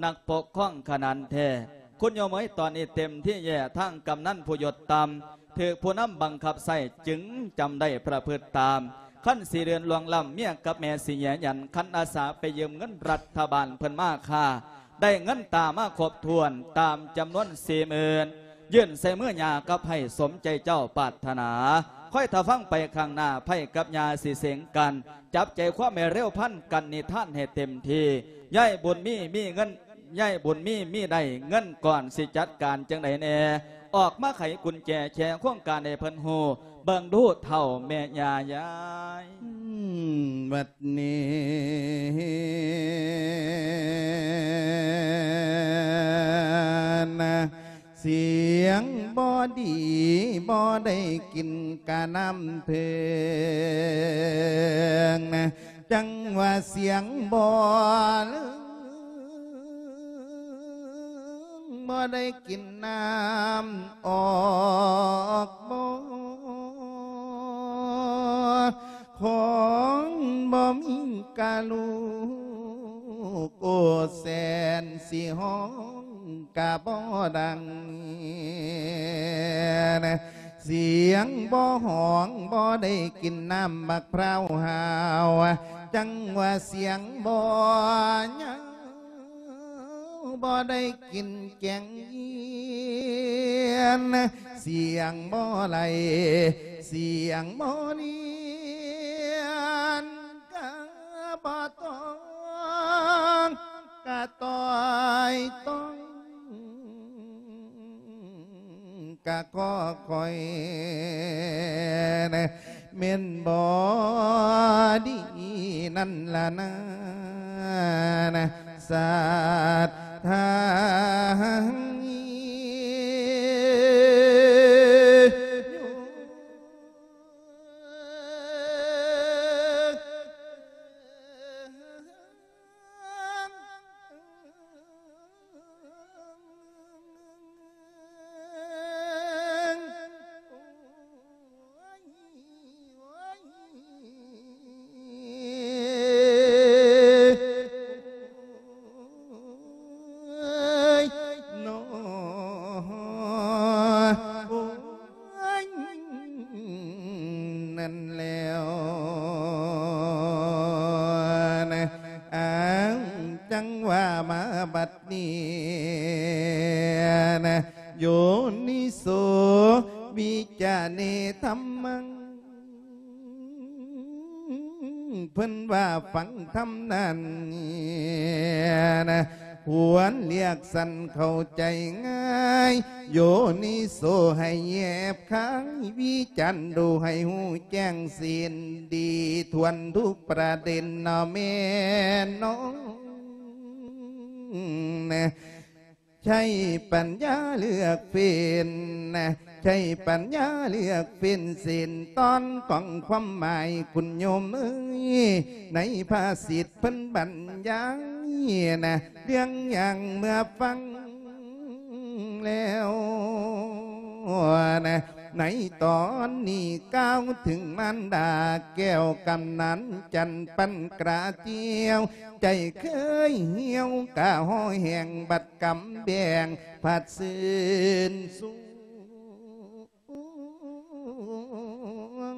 ນັກປົກຄອງຂະໜານແທ້. ຄຸນໂຍມເອີຍ ຕອນນີ້ເຕັມທີ່ແລ້ວ ທາງກຳນັນຜູ້ຍົດຕ່ຳ ຖືກຜູ້ນຳບັງຄັບໃຊ້ ຈຶ່ງຈຳໄດ້ປະພຶດຕາມ. ຄັນຊິເດີນລ່ວງລ້ຳ ເມຍກັບແມ່ຊິແຍຍັນ ຄັນອາສາໄປຢືມເງິນລັດຖະບານເພິ່ນມາຄ່າ ໄດ້ເງິນຕາມາຄົບຖ້ວນຕາມຈຳນວນສີ່ໝື່ນ ຍື່ນໃສ່ມືຍ່າກັບໃຫ້ສົມໃຈເຈົ້າປາດຖະໜາ. ຄອຍຖ້າຟັງໄປຂ້າງໜ້າ ໃພ້ກັບຍ່າຊິເສັງກັນ ຈັບໃຈຄວາມໃຫ້ເລັວພັນກັນນິທານໃຫ້ເຕັມທີ່. ຍາຍບຸນມີມີເງິນ ຍາຍບຸນມີມີໄດ້ເງິນກ່ອນ ຊິຈັດການຈັ່ງໃດແດ່? ອອກມາໄຂກຸນແຈແຂໂຄງການໃຫ້ເພິ່ນຮູ້ ເບິ່ງດູເຖົ້າແມ່ຍ່າຍາຍ. ອືມ ບັດນີ້ນະ ສຽງບໍ່ດີ ບໍ່ໄດ້ກິນກະນ້ຳເພິ່ງນະ ຈັ່ງວ່າສຽງບໍ່ເລີງ ບໍ່ໄດ້ກິນນ້ຳອອກບໍ່ ຂອງບໍ່ມີກະລູກ ໂອ ແສນຊິຮ້ອງກະບໍ່ດັງ ສຽງບໍ່ຮ້ອງ ບໍ່ໄດ້ກິນນ້ຳບັກພ້າວຫາວ ຈັ່ງວ່າສຽງບໍ່ຍາວ ບໍ່ໄດ້ກິນແກງເຢັນ ສຽງບໍ່ໄຫຼ ສຽງບໍ່ລຽນ ກະບໍ່ຕ້ອງ ກະຕ່ອຍຕ້ອງ ກະກໍຄ່ອຍນະ ແມ່ນບໍ່ດີນັ້ນລະນາ ນະ ສັດທານັ້ນແລ້ວນະ ອ້າງ ຈັ່ງວ່າມາບັດນີ້ນະ ໂຍນິໂສວິຈາເນທຳມັງ ເພິ່ນວ່າຟັງທຳນັ້ນນະ ຄວນລຽກສັນເຂົ້າໃຈງ່າຍ ໂຍນິໂສໃຫ້ແຍບຄາຍ ວິຈານດູໃຫ້ຮູ້ແຈ້ງເສັ້ນດີ ຖ້ວນທຸກປະເດັນເນາະແມ່ນເນາະ ໃຊ້ປັນຍາເລືອກເຟັນນະ ໃຊ້ປັນຍາເລືອກເຟັນເສັ້ນຕອນຂອງຄວາມໝາຍ ຄຸນໂຍມເອີຍ ໃນພາສິດເພິ່ນບັນຍາຍນະ ເລື່ອງຢ່າງເມື່ອຟັງແລ້ວນະ ໃນຕອນນີ້ກ່າວເຖິງມານດາແກ້ວ ກຳນັນຈັນ ປັນກະຈຽວ ໃຈເຄີຍຫ່ຽວກະຫໍ່ແຫ້ງ ບັດກຳແບງພັດຊື່ນສູງ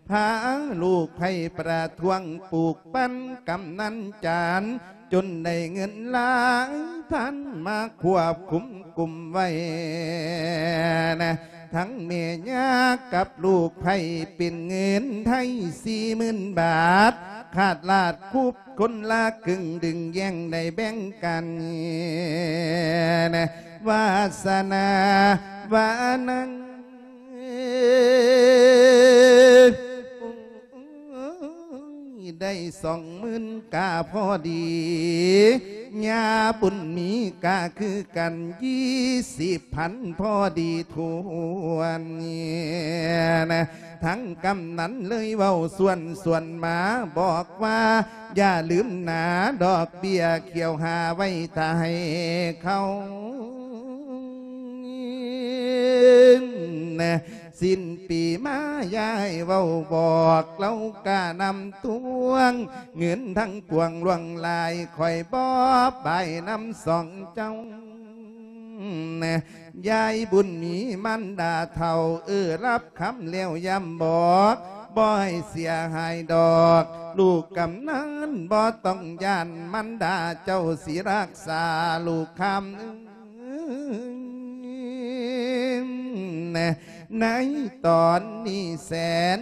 ພາລູກໃພ້ປະທ້ວງ ປູກປັນກຳນັນຈັນ ຈົນໄດ້ເງິນຫຼາຍພັນ ມາຄວບຄຸມກຸມໄວ້ນະ ທັງແມ່ຍ່າກັບລູກໃພ້ ເປັນເງິນໄທສີ່ໝື່ນບາດ ຂາດລາດຄຸບ ຄົນລະເຄິ່ງ ດຶງແຍ່ງໄດ້ແບ່ງກັນນະ ວາສະນາວານັງ ໄດ້ສອງໝື່ນກະພໍດີ ຍາບຸນມີກະຄືກັນ ຊາວພັນພໍດີຖ້ວນ. ທັງກຳນັນເລີຍເວົ້າຊວນຊວນມາ ບອກວ່າ ຢ່າລືມນາ ດອກເບ້ຍຂຽວຫາໄວ້ຖ້າໃຫ້ເຂົາ. ສິ້ນປີມາ ຍາຍເວົ້າບອກ ເຮົາກະນຳທວງ ເງິນທັງປວງຫຼວງຫຼາຍ ຂ້ອຍບໍ່ບາຍນຳສອງເຈົ້າ. ຍາຍບຸນມີມານດາເຖົ້າ ເອີ ຮັບຄຳແລ້ວຢ້ຳບອກ ບໍ່ໃຫ້ເສຍຫາຍດອກ ລູກກຳນັນບໍ່ຕ້ອງຢ້ານ ມານດາເຈົ້າຊິຮັກສາລູກຄຳ. ໃນຕອນນີ້ແສນ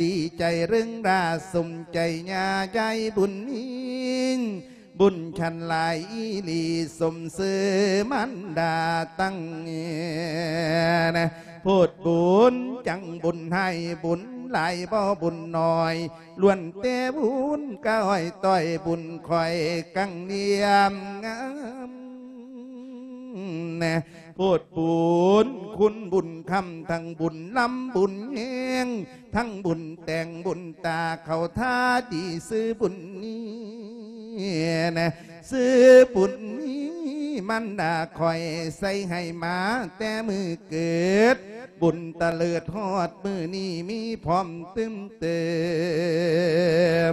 ດີໃຈເລິງລາ ສົມໃຈຍາຍາຍບຸນມີ ບຸນຊັ້ນຫຼາຍອີ່ຫຼີ ສົມຊື່ມານດາຕັ້ງ. ໂພດບຸນຈັງບຸນໃຫ້ ບຸນຫຼາຍບໍ່ບຸນໜ້ອຍ ລ້ວນແຕ່ບຸນກະອ້ອຍຕ້ອຍ ບຸນຂ້ອຍກັງລຽມງາມ. ໂພດບຸນຄຸນບຸນຄຳ ທັງບຸນລຳບຸນແຮງ ທັງບຸນແຕ່ງບຸນຕາ ເຂົ້າທ່າດີຊື່ບຸນມີ ຊື່ບຸນມີ ມານດາຂ້ອຍໃສ່ໃຫ້ມາແຕ່ມື້ເກີດ ບຸນຕະເລີດຮອດມື້ນີ້ມີພ້ອມຕື່ມເຕີ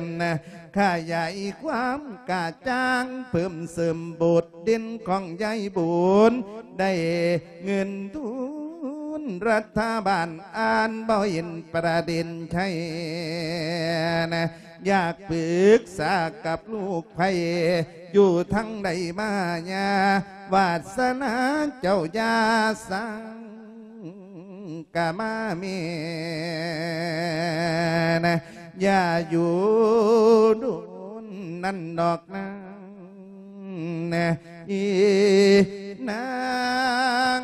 ມ ຂະຫຍາຍຄວາມກະຈ່າງ ເພີ່ມເສີມບົດເດັ່ນຂອງຍາຍບຸນ ໄດ້ເງິນທຶນລັດຖະບານ ອ່ານບໍ່ເຫັນປະເດັນໃດ ຢາກປຶກສາກັບລູກໃຜ ຢູ່ທາງໃດມາຍາ ວາດສະໜາເຈົ້າຢ່າສັງກະມາແມ່ນ ຢ່າຢູ່ດົນນັ້ນດອກນາງ ອີນາງ.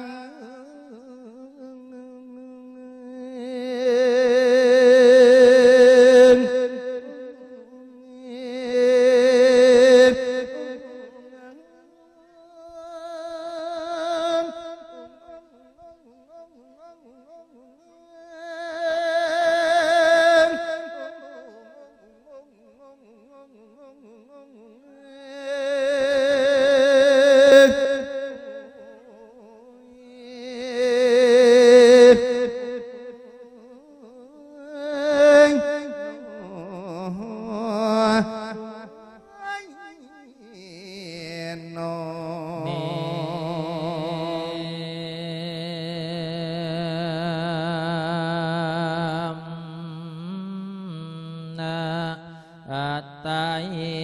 ອັດຕາຫິ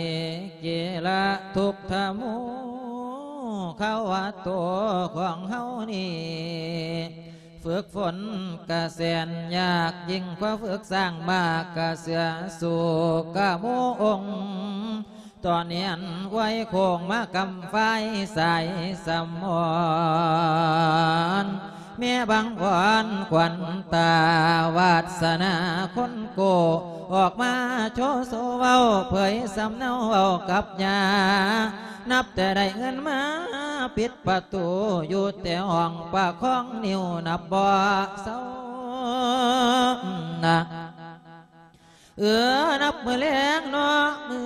ກິລະທຸກທະໂມ ຄະວະໂຕ ຂອງເຮົານີ້ ຝຶກຝົນກະແສນຍາກ ຍິ່ງກວ່າຝຶກສ້າງມ້າກະເສືອ ສຸກະໂມອົງ ຕອນຮຽນໄວໂຄ້ງມາກຳຝາຍສາຍສະໝອນ ແມ່ບັງອ່ອນຂວັນຕາ ວາດສະໜາຄົນໂກ້ ອອກມາໂຊໂຊເວົ້າ ເຜີຍສຳເນົາເວົ້າກັບຍ່າ ນັບແຕ່ໄດ້ເງິນມາ ປິດປະຕູຢູ່ແຕ່ຫ້ອງ ປະຄອງນິ້ວນັບບໍ່ເຊົານະ. ເອີ ນັບມື້ແລງເນາະ ມື້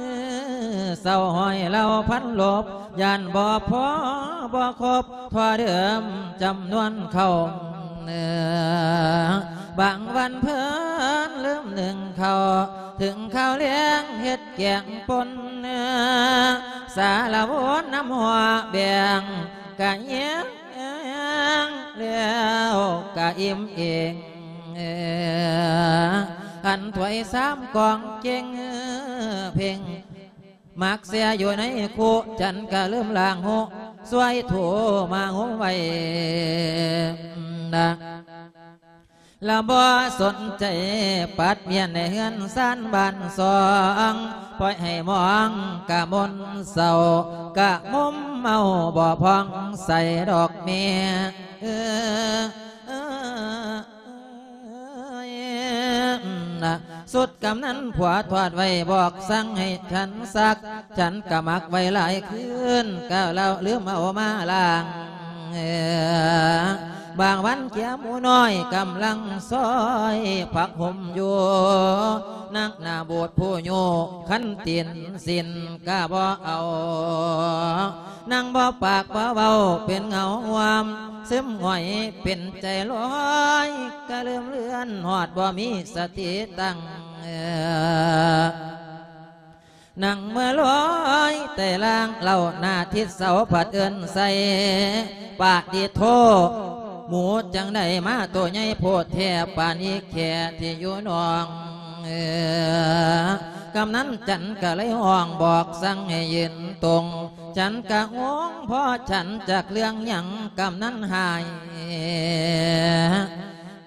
ເຊົ້າຮ້ອຍເຫຼົ່າພັນລົບ ຢ້ານບໍ່ພໍບໍ່ຄົບທໍ່ເດີມຈຳນວນເຂົ້າ ເອີ ບາງວັນເພິ່ນລືມໜຶ້ງເຂົ້າ ເຖິງຄາວແລງເຮັດແກງປົ່ນ ເອີ ສາລະວົນນຳຫົວແບງ ກະແຍງແລ້ວກະອີ່ມເອງ ເອີ ຫັນຖ້ວຍຊາມກອງເກັ່ງເພັ່ງ ໝາກເສຍຢູ່ໃນຄຸ ຈັນກະລືມລ້າງຫູ ຊ່ວຍຖູມາຫຸມໄວ້ນະ ລະບໍ່ສົນໃຈປັດມ້ຽນໃນເຮືອນຊານບ້ານຊ່ອງ ປ່ອຍໃຫ້ມອງກະມົນເສົ້າ ກະມຸມເມົາບໍ່ຜ່ອງໃສດອກແມ່ ເອີ ນະ ສຸດກຳນັນຜົວຖອດໄວ້ ບອກສັ່ງໃຫ້ສັນຊັກ ສັນກະໝັກໄວ້ຫຼາຍຄືນ ກະລະລືມເອົາມາລ້າງ. ບາງວັນແກໝູນ້ອຍກຳລັງຊອຍຜັກຫົ່ມຢູ່ ນັກໜ້າບູດຜູ້ຍູ້ ຄັນຕີນສິ້ນກະບໍ່ເອົາ. ນັ່ງບໍ່ປາກບໍ່ເວົ້າເປັນເງົາຫວມ ຊຶມຫງອຍເປັນໃຈລອຍ ກະລືມເລືອນຮອດບໍ່ມີສະຕິຕັ້ງ. ນັ່ງເມື່ອລອຍແຕ່ລ່າງເຫຼົ່າໜ້າທິດເສົາພັດເອີ້ນໃສ່ ປາຕິໂທ ໝູຈັ່ງໃດມາໂຕໃຫຍ່ໂພດແທ້ ປານອີແຂ້ທີ່ຢູ່ໜອງ. ກຳນັນຈັນກະເລີຍຮ້ອງບອກສັ່ງໃຫ້ຢືນຕົງ ສັນກະງົງ ພໍສັນຈັກເລື່ອງຫຍັງ ກຳນັນຫາຍ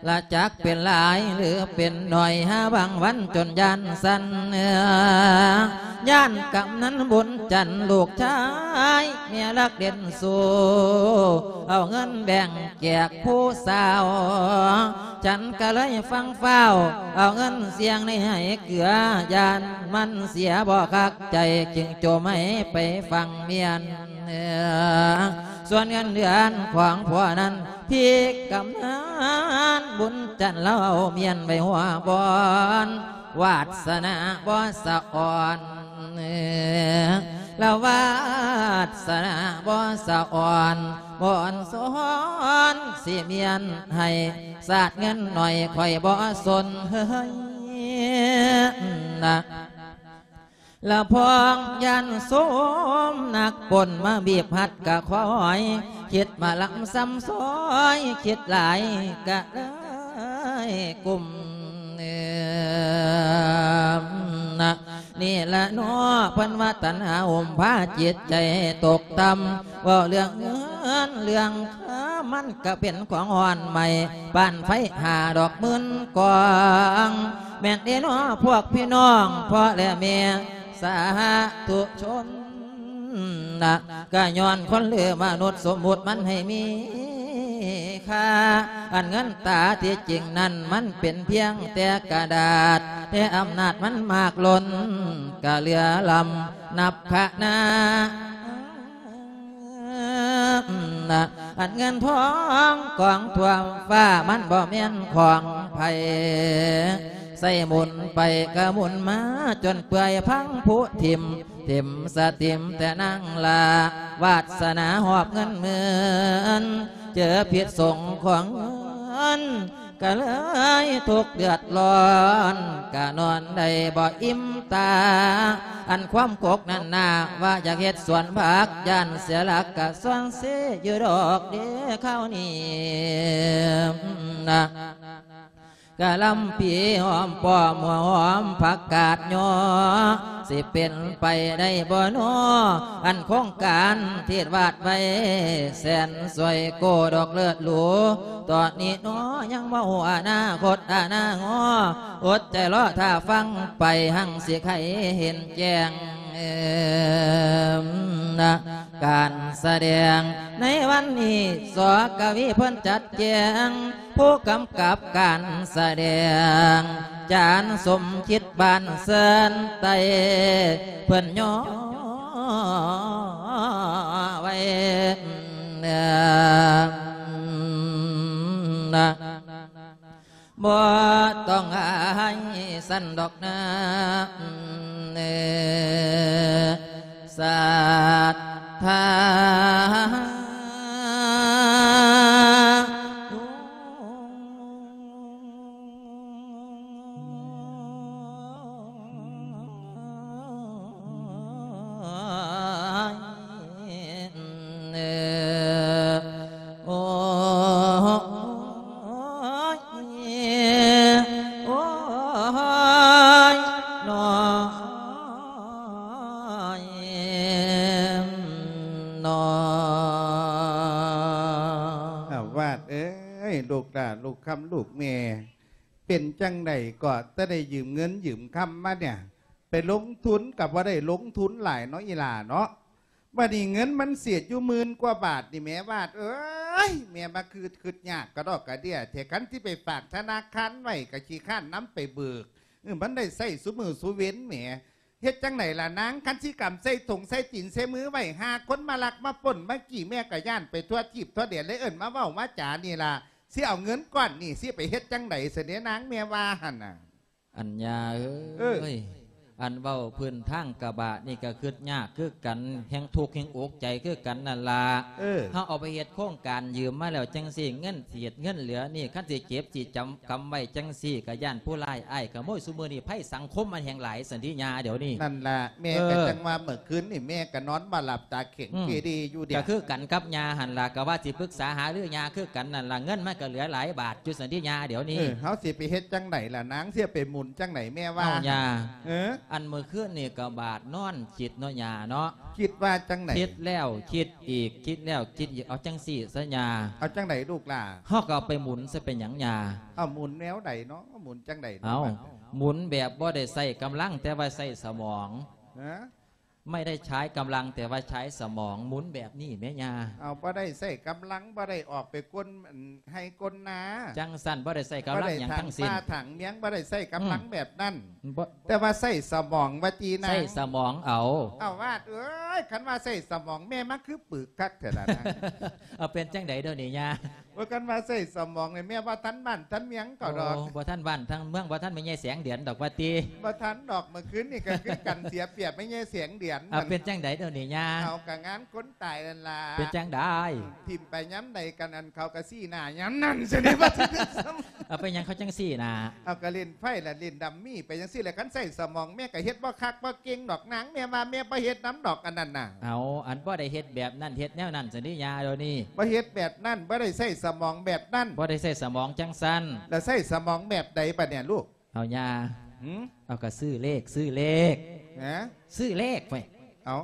ລະຈັກເປັນຫຼາຍຫຼືເປັນໜ້ອຍ ຫາບາງວັນຈົນຢ້ານສັ່ນ ຢ້ານກຳນັນບຸນຈັນລູກຊາຍ ເມຍລັກເດັ່ນສູ້ ເອົາເງິນແບ່ງແຈກຜູ້ສາວ. ສັນກະເລີຍຟັ່ງຟ້າວ ເອົາເງິນສ່ຽງໃນໄຫເກືອ ຢ້ານມັນເສຍບໍ່ຄັກໃຈ ຈຶ່ງໂຈມໃຫ້ໄປຝັງມຽນ. ສ່ວນເງິນເດືອນຂອງຜົວນັ້ນ ພີ່ກຳນັນບຸນຈັນລາວເອົາມຽນໄວ້ຫົວບ່ອນ ວາດສະໜາບໍ່ສະອອນ ລະວາດສະໜາບໍ່ສະອອນ ບໍ່ອອນສອນ ຊິມຽນໃຫ້ສາດເງິນໜ້ອຍ ຂ້ອຍບໍ່ສົນເຮີຍນະ. ລະພອງຢ້ານໂສມນັກປົນມາບີບຮັດກະຄອຍ ຄິດມາລຳຊຳຊອຍ ຄິດຫຼາຍກະເລີຍກຸ້ມ. ນີ້ລະເນາະ ເພິ່ນວ່າຕັນຫາຫຸ້ມພາຈິດໃຈຕົກຕ່ຳ ເວົ້າເລື່ອງເງິນເລື່ອງຄຳ ມັນກະເປັນຂອງອ່ອນໃໝ່ ປານໄຟຫ້າດອກໝື່ນກອງ ແມ່ນເດເນາະ ພວກພີ່ນ້ອງ ພໍ່ແລະແມ່ ສາທຸຊົນນະ ກະຍ້ອນຄົນຫຼືມະນຸດສົມມຸດມັນໃຫ້ມີຄ່າ ອັນເງິນຕາທີ່ຈິງນັ້ນ ມັນເປັນພຽງແຕ່ກະດາດ ແຕ່ອຳນາດມັນມາກລົ້ນ ກະເຫຼືອລ້ຳນັບຄະນາ. ອັນເງິນທອງກອງຖ້ວມຟ້າ ມັນບໍ່ແມ່ນຂອງໃຜ ໃຊ້ໝູນໄປກະໝູນມາ ຈົນເປື່ອຍພັງຜຸຖິ້ມ ຖິ້ມສະຕິມແຕ່ນາງລາ ວາດສະໜາຫອບເງິນໝື່ນ ເຈີພິດສົງຂອງເງິນ ກະເລີຍທຸກເດືອດຮ້ອນ ກະນອນໄດ້ບໍ່ອີ່ມຕາ ອັນຄວາມກົກນັ້ນນາ ວ່າຢາກເຮັດສວນຜັກ ຢ້ານເສຍຫຼັກກະສ່ວນເສຢູ່ດອກເດຄາວນີ້ນະ. ກະລຳປີຫອມປ້ອມຫົວຫອມຜັກກາດຍໍ ຊິເປັນໄປໄດ້ບໍ່ນໍ ອັນໂຄງການທີ່ວາດໄວ້ ແສນສວຍໂກດອກເລີດຫຼູ ຕອນນີ້ນໍຍັງບໍ່ຮູ້ອະນາຄົດອະນາງໍ ອົດໃຈລໍຖ້າຟັງໄປ ຮັ່ງຊິໄຂເຫັນແຈ້ງນະ. ການສະແດງໃນວັນນີ້ ສ ກະວີເພິ່ນຈັດແຈງ ຜູ້ກຳກັບການສະແດງ ຈານສົມຄິດ ບ້ານເຊີນໄຕ້ ເພິ່ນຍໍໄວ້ນະ. ບໍ່ຕ້ອງອາຍຊັ້ນດອກນາ ສັດທາ. ໂອ້ຍ ໂອ້ຍ ນ້ອຍ ນ້ອຍ ອ້າວ ວາດເອີຍ ລູກຫຼ້າ ລູກຄຳ ລູກແມ່ ເປັນຈັ່ງໃດກໍ ແຕ່ໄດ້ຢືມເງິນຢືມຄຳມາເນຍ ໄປລົງທຶນກໍບໍ່ໄດ້ລົງທຶນຫຼາຍເນາະ ອີ່ຫຼ້າເນາະ. ບັດນີ້ເງິນມັນເສຍຢູ່ໝື່ນກວ່າບາດນີ້ແໝ ວາດເອີຍ ແມ່ມາຄືຄິດຍາກກະດອກກະເດຍແທ້ ຄັນຊິໄປຝາກທະນາຄານໄວ້ກະຂີ້ຄ້ານນຳໄປເບີກ ເອີ ມັນໄດ້ໃຊ້ຊຸມື້ຊຸເວັນແໝ. ເຮັດຈັ່ງໃດລະນາງ? ຄັນຊິກຳໃສ່ຖົງໃສ່ຕີນໃສ່ມືໄວ້ ຫາຄົນມາລັກມາປຸ້ນມາກີ້ ແມ່ກໍຢ້ານໄປທົ່ວທີບທົ່ວແດນ ເລີຍເອີ້ນມາເວົ້າມາຈານີ້ລະ. ຊິເອົາເງິນກ້ອນນີ້ຊິໄປເຮັດຈັ່ງໃດຊັ້ນເດນາງ ແມ່ວ່າຫັ້ນນະ? ອັນຍ່າເອີຍ ເອີ ອັນເວົ້າພື້ນທາງກະບາດນີ້ກໍຄິດຍາກຄືກັນ ແຮງທຸກແຮງອົກໃຈຄືກັນນັ້ນລະ. ເອີ ເຮົາເອົາໄປເຮັດໂຄງການຢືມມາແລ້ວຈັ່ງຊີ້ ເງິນເສດເງິນເຫຼືອນີ້ ຄັນຊິເກັບຊິຈຳ ກຳໄວ້ຈັ່ງຊີ້ ກໍຢ້ານຜູ້ຮ້າຍອ້າຍຂະໂມຍ. ຊຸມື້ນີ້ໄພສັງຄົມມັນແຮງຫຼາຍ ສັນຕິຍາ ດຽວນີ້. ນັ້ນລະ ແມ່ ເອີ ກໍຈັ່ງວ່າເມື່ອຄືນນີ້ແມ່ກໍນອນບໍ່ຫຼັບຕາແຂງ ອືມ ເກເຣຢູ່ເດ. ກໍຄືກັນກັບຍ່າຫັ້ນລະ ກໍວ່າຊິປຶກສາຫາລືຍ່າຄືກັນນັ້ນລະ. ເງິນມັນກໍເຫຼືອຫຼາຍບາດຢູ່ ສັນຕິຍາ ດຽວນີ້. ເອີ ເຮົາຊິໄປເຮັດຈັ່ງໃດລະນາງ? ຊິໄປໝູນຈັ່ງໃດແມ່ວ່າ? ເອົາຍ່າ ເອີ ອັນມື້ຄືນນີ້ກໍບາດນອນຄິດເນາະຍ່າເນາະ. ຄິດວ່າຈັ່ງໃດ? ຄິດແລ້ວຄິດອີກ ຄິດແລ້ວຄິດອີກ. ເອົາຈັ່ງຊີ້ຊະຍ່າ. ເອົາຈັ່ງໃດລູກຫຼ້າ? ເຮົາກໍເອົາໄປໝູນຊະ ເປັນຫຍັງຍ່າ? ເອົາໝູນແນວໃດເນາະ? ໝູນຈັ່ງໃດເນາະ? ເອົາ ບາດ ໝູນແບບບໍ່ໄດ້ໃຊ້ກຳລັງ ແຕ່ວ່າໃຊ້ສະໝອງ. ຮະ? ໄມ່ໄດ້ໃຊ້ກຳລັງ ແຕ່ວ່າໃຊ້ສະໝອງ. ໝູນແບບນີ້ແມ່ຍ່າ. ເອົາ ບໍ່ໄດ້ໃຊ້ກຳລັງ ບໍ່ໄດ້ອອກໄປກົນ ອັນ ໄຮ່ກົນນາ ຈັ່ງຊັ້ນ ບໍ່ໄດ້ໃຊ້ກຳລັງຫຍັງທັງສິ້ນ. ບໍ່ໄດ້ຖັງປ່າຖັງເມືອງ ບໍ່ໄດ້ໃຊ້ກຳລັງ ອືມ ແບບນັ້ນ. ບໍ່ ແຕ່ວ່າໃຊ້ສະໝອງວ່າຕິນາງ. ໃຊ້ສະໝອງເອົາ. ເອົາ ວາດເອີຍ ຄັນວ່າໃຊ້ສະໝອງ ແມ່ມາຄືປຶກຄັກແທ້ລະນາງ. ເອົາ ເປັນຈັ່ງໃດດຽວນີ້ຍ່າ? ວ່າຄັນວ່າໃຊ້ສະໝອງນີ້ ແມ່ບໍ່ທັນບ້ານທັນເມືອງເຂົາດອກ. ໂອ້ ບໍ່ທັນບ້ານທັນເມືອງ ບໍ່ທັນແມ່ໃຫຍ່ແສງເດືອນດອກວ່າຕິ. ບໍ່ທັນດອກ ເມື່ອຄືນນີ້ກໍຄືກັນ ເສຍປຽບແມ່ໃຫຍ່ແສງເດືອນ. ເອົາ ເປັນຈັ່ງໃດດຽວນີ້ຍ່າ? ເອົາ ກໍງານຄົນຕາຍນັ້ນລະ. ເປັນຈັ່ງໃດ? ຖິ້ມໄປຍາມໃດກັນ ອັນເຂົາກໍຊີ້ໜ້າຍາມນັ້ນຊັ້ນເດ. ເອົາ ເປັນຫຍັງເຂົາຈັ່ງຊີ້ໜ້າ? ເອົາ ກໍຫຼິ້ນໄພ້ລະ ຫຼິ້ນດັມມີໄປຈັ່ງຊີ້ແຫຼະ. ຄັນໃຊ້ສະໝອງ ແມ່ກໍເຮັດບໍ່ຄັກບໍ່ເກັ່ງດອກນາງ. ແມ່ວ່າແມ່ບໍ່ເຮັດນຳດອກອັນນັ້ນນະ. ເອົາ ອັນບໍ່ໄດ້ເຮັດແບບນັ້ນ ເຮັດແນວນັ້ນຊັ້ນຕິຍາ ດຽວນີ້. ບໍ່ເຮັດແບບນັ້ນ ບໍ່ໄດ້ໃຊ້ສະໝອງແບບນັ້ນ. ບໍ່ໄດ້ໃຊ້ສະໝອງຈັ່ງຊັ້ນ. ແລ້ວໃຊ້ສະໝອງແບບໃດບາດນີ້ລູກ? ເອົາຍາ ຫື? ເອົາ ກໍຊື້ເລກ ຊື້ເລກ. ຫະ? ຊື້ເລກໄວ້. ເອົາ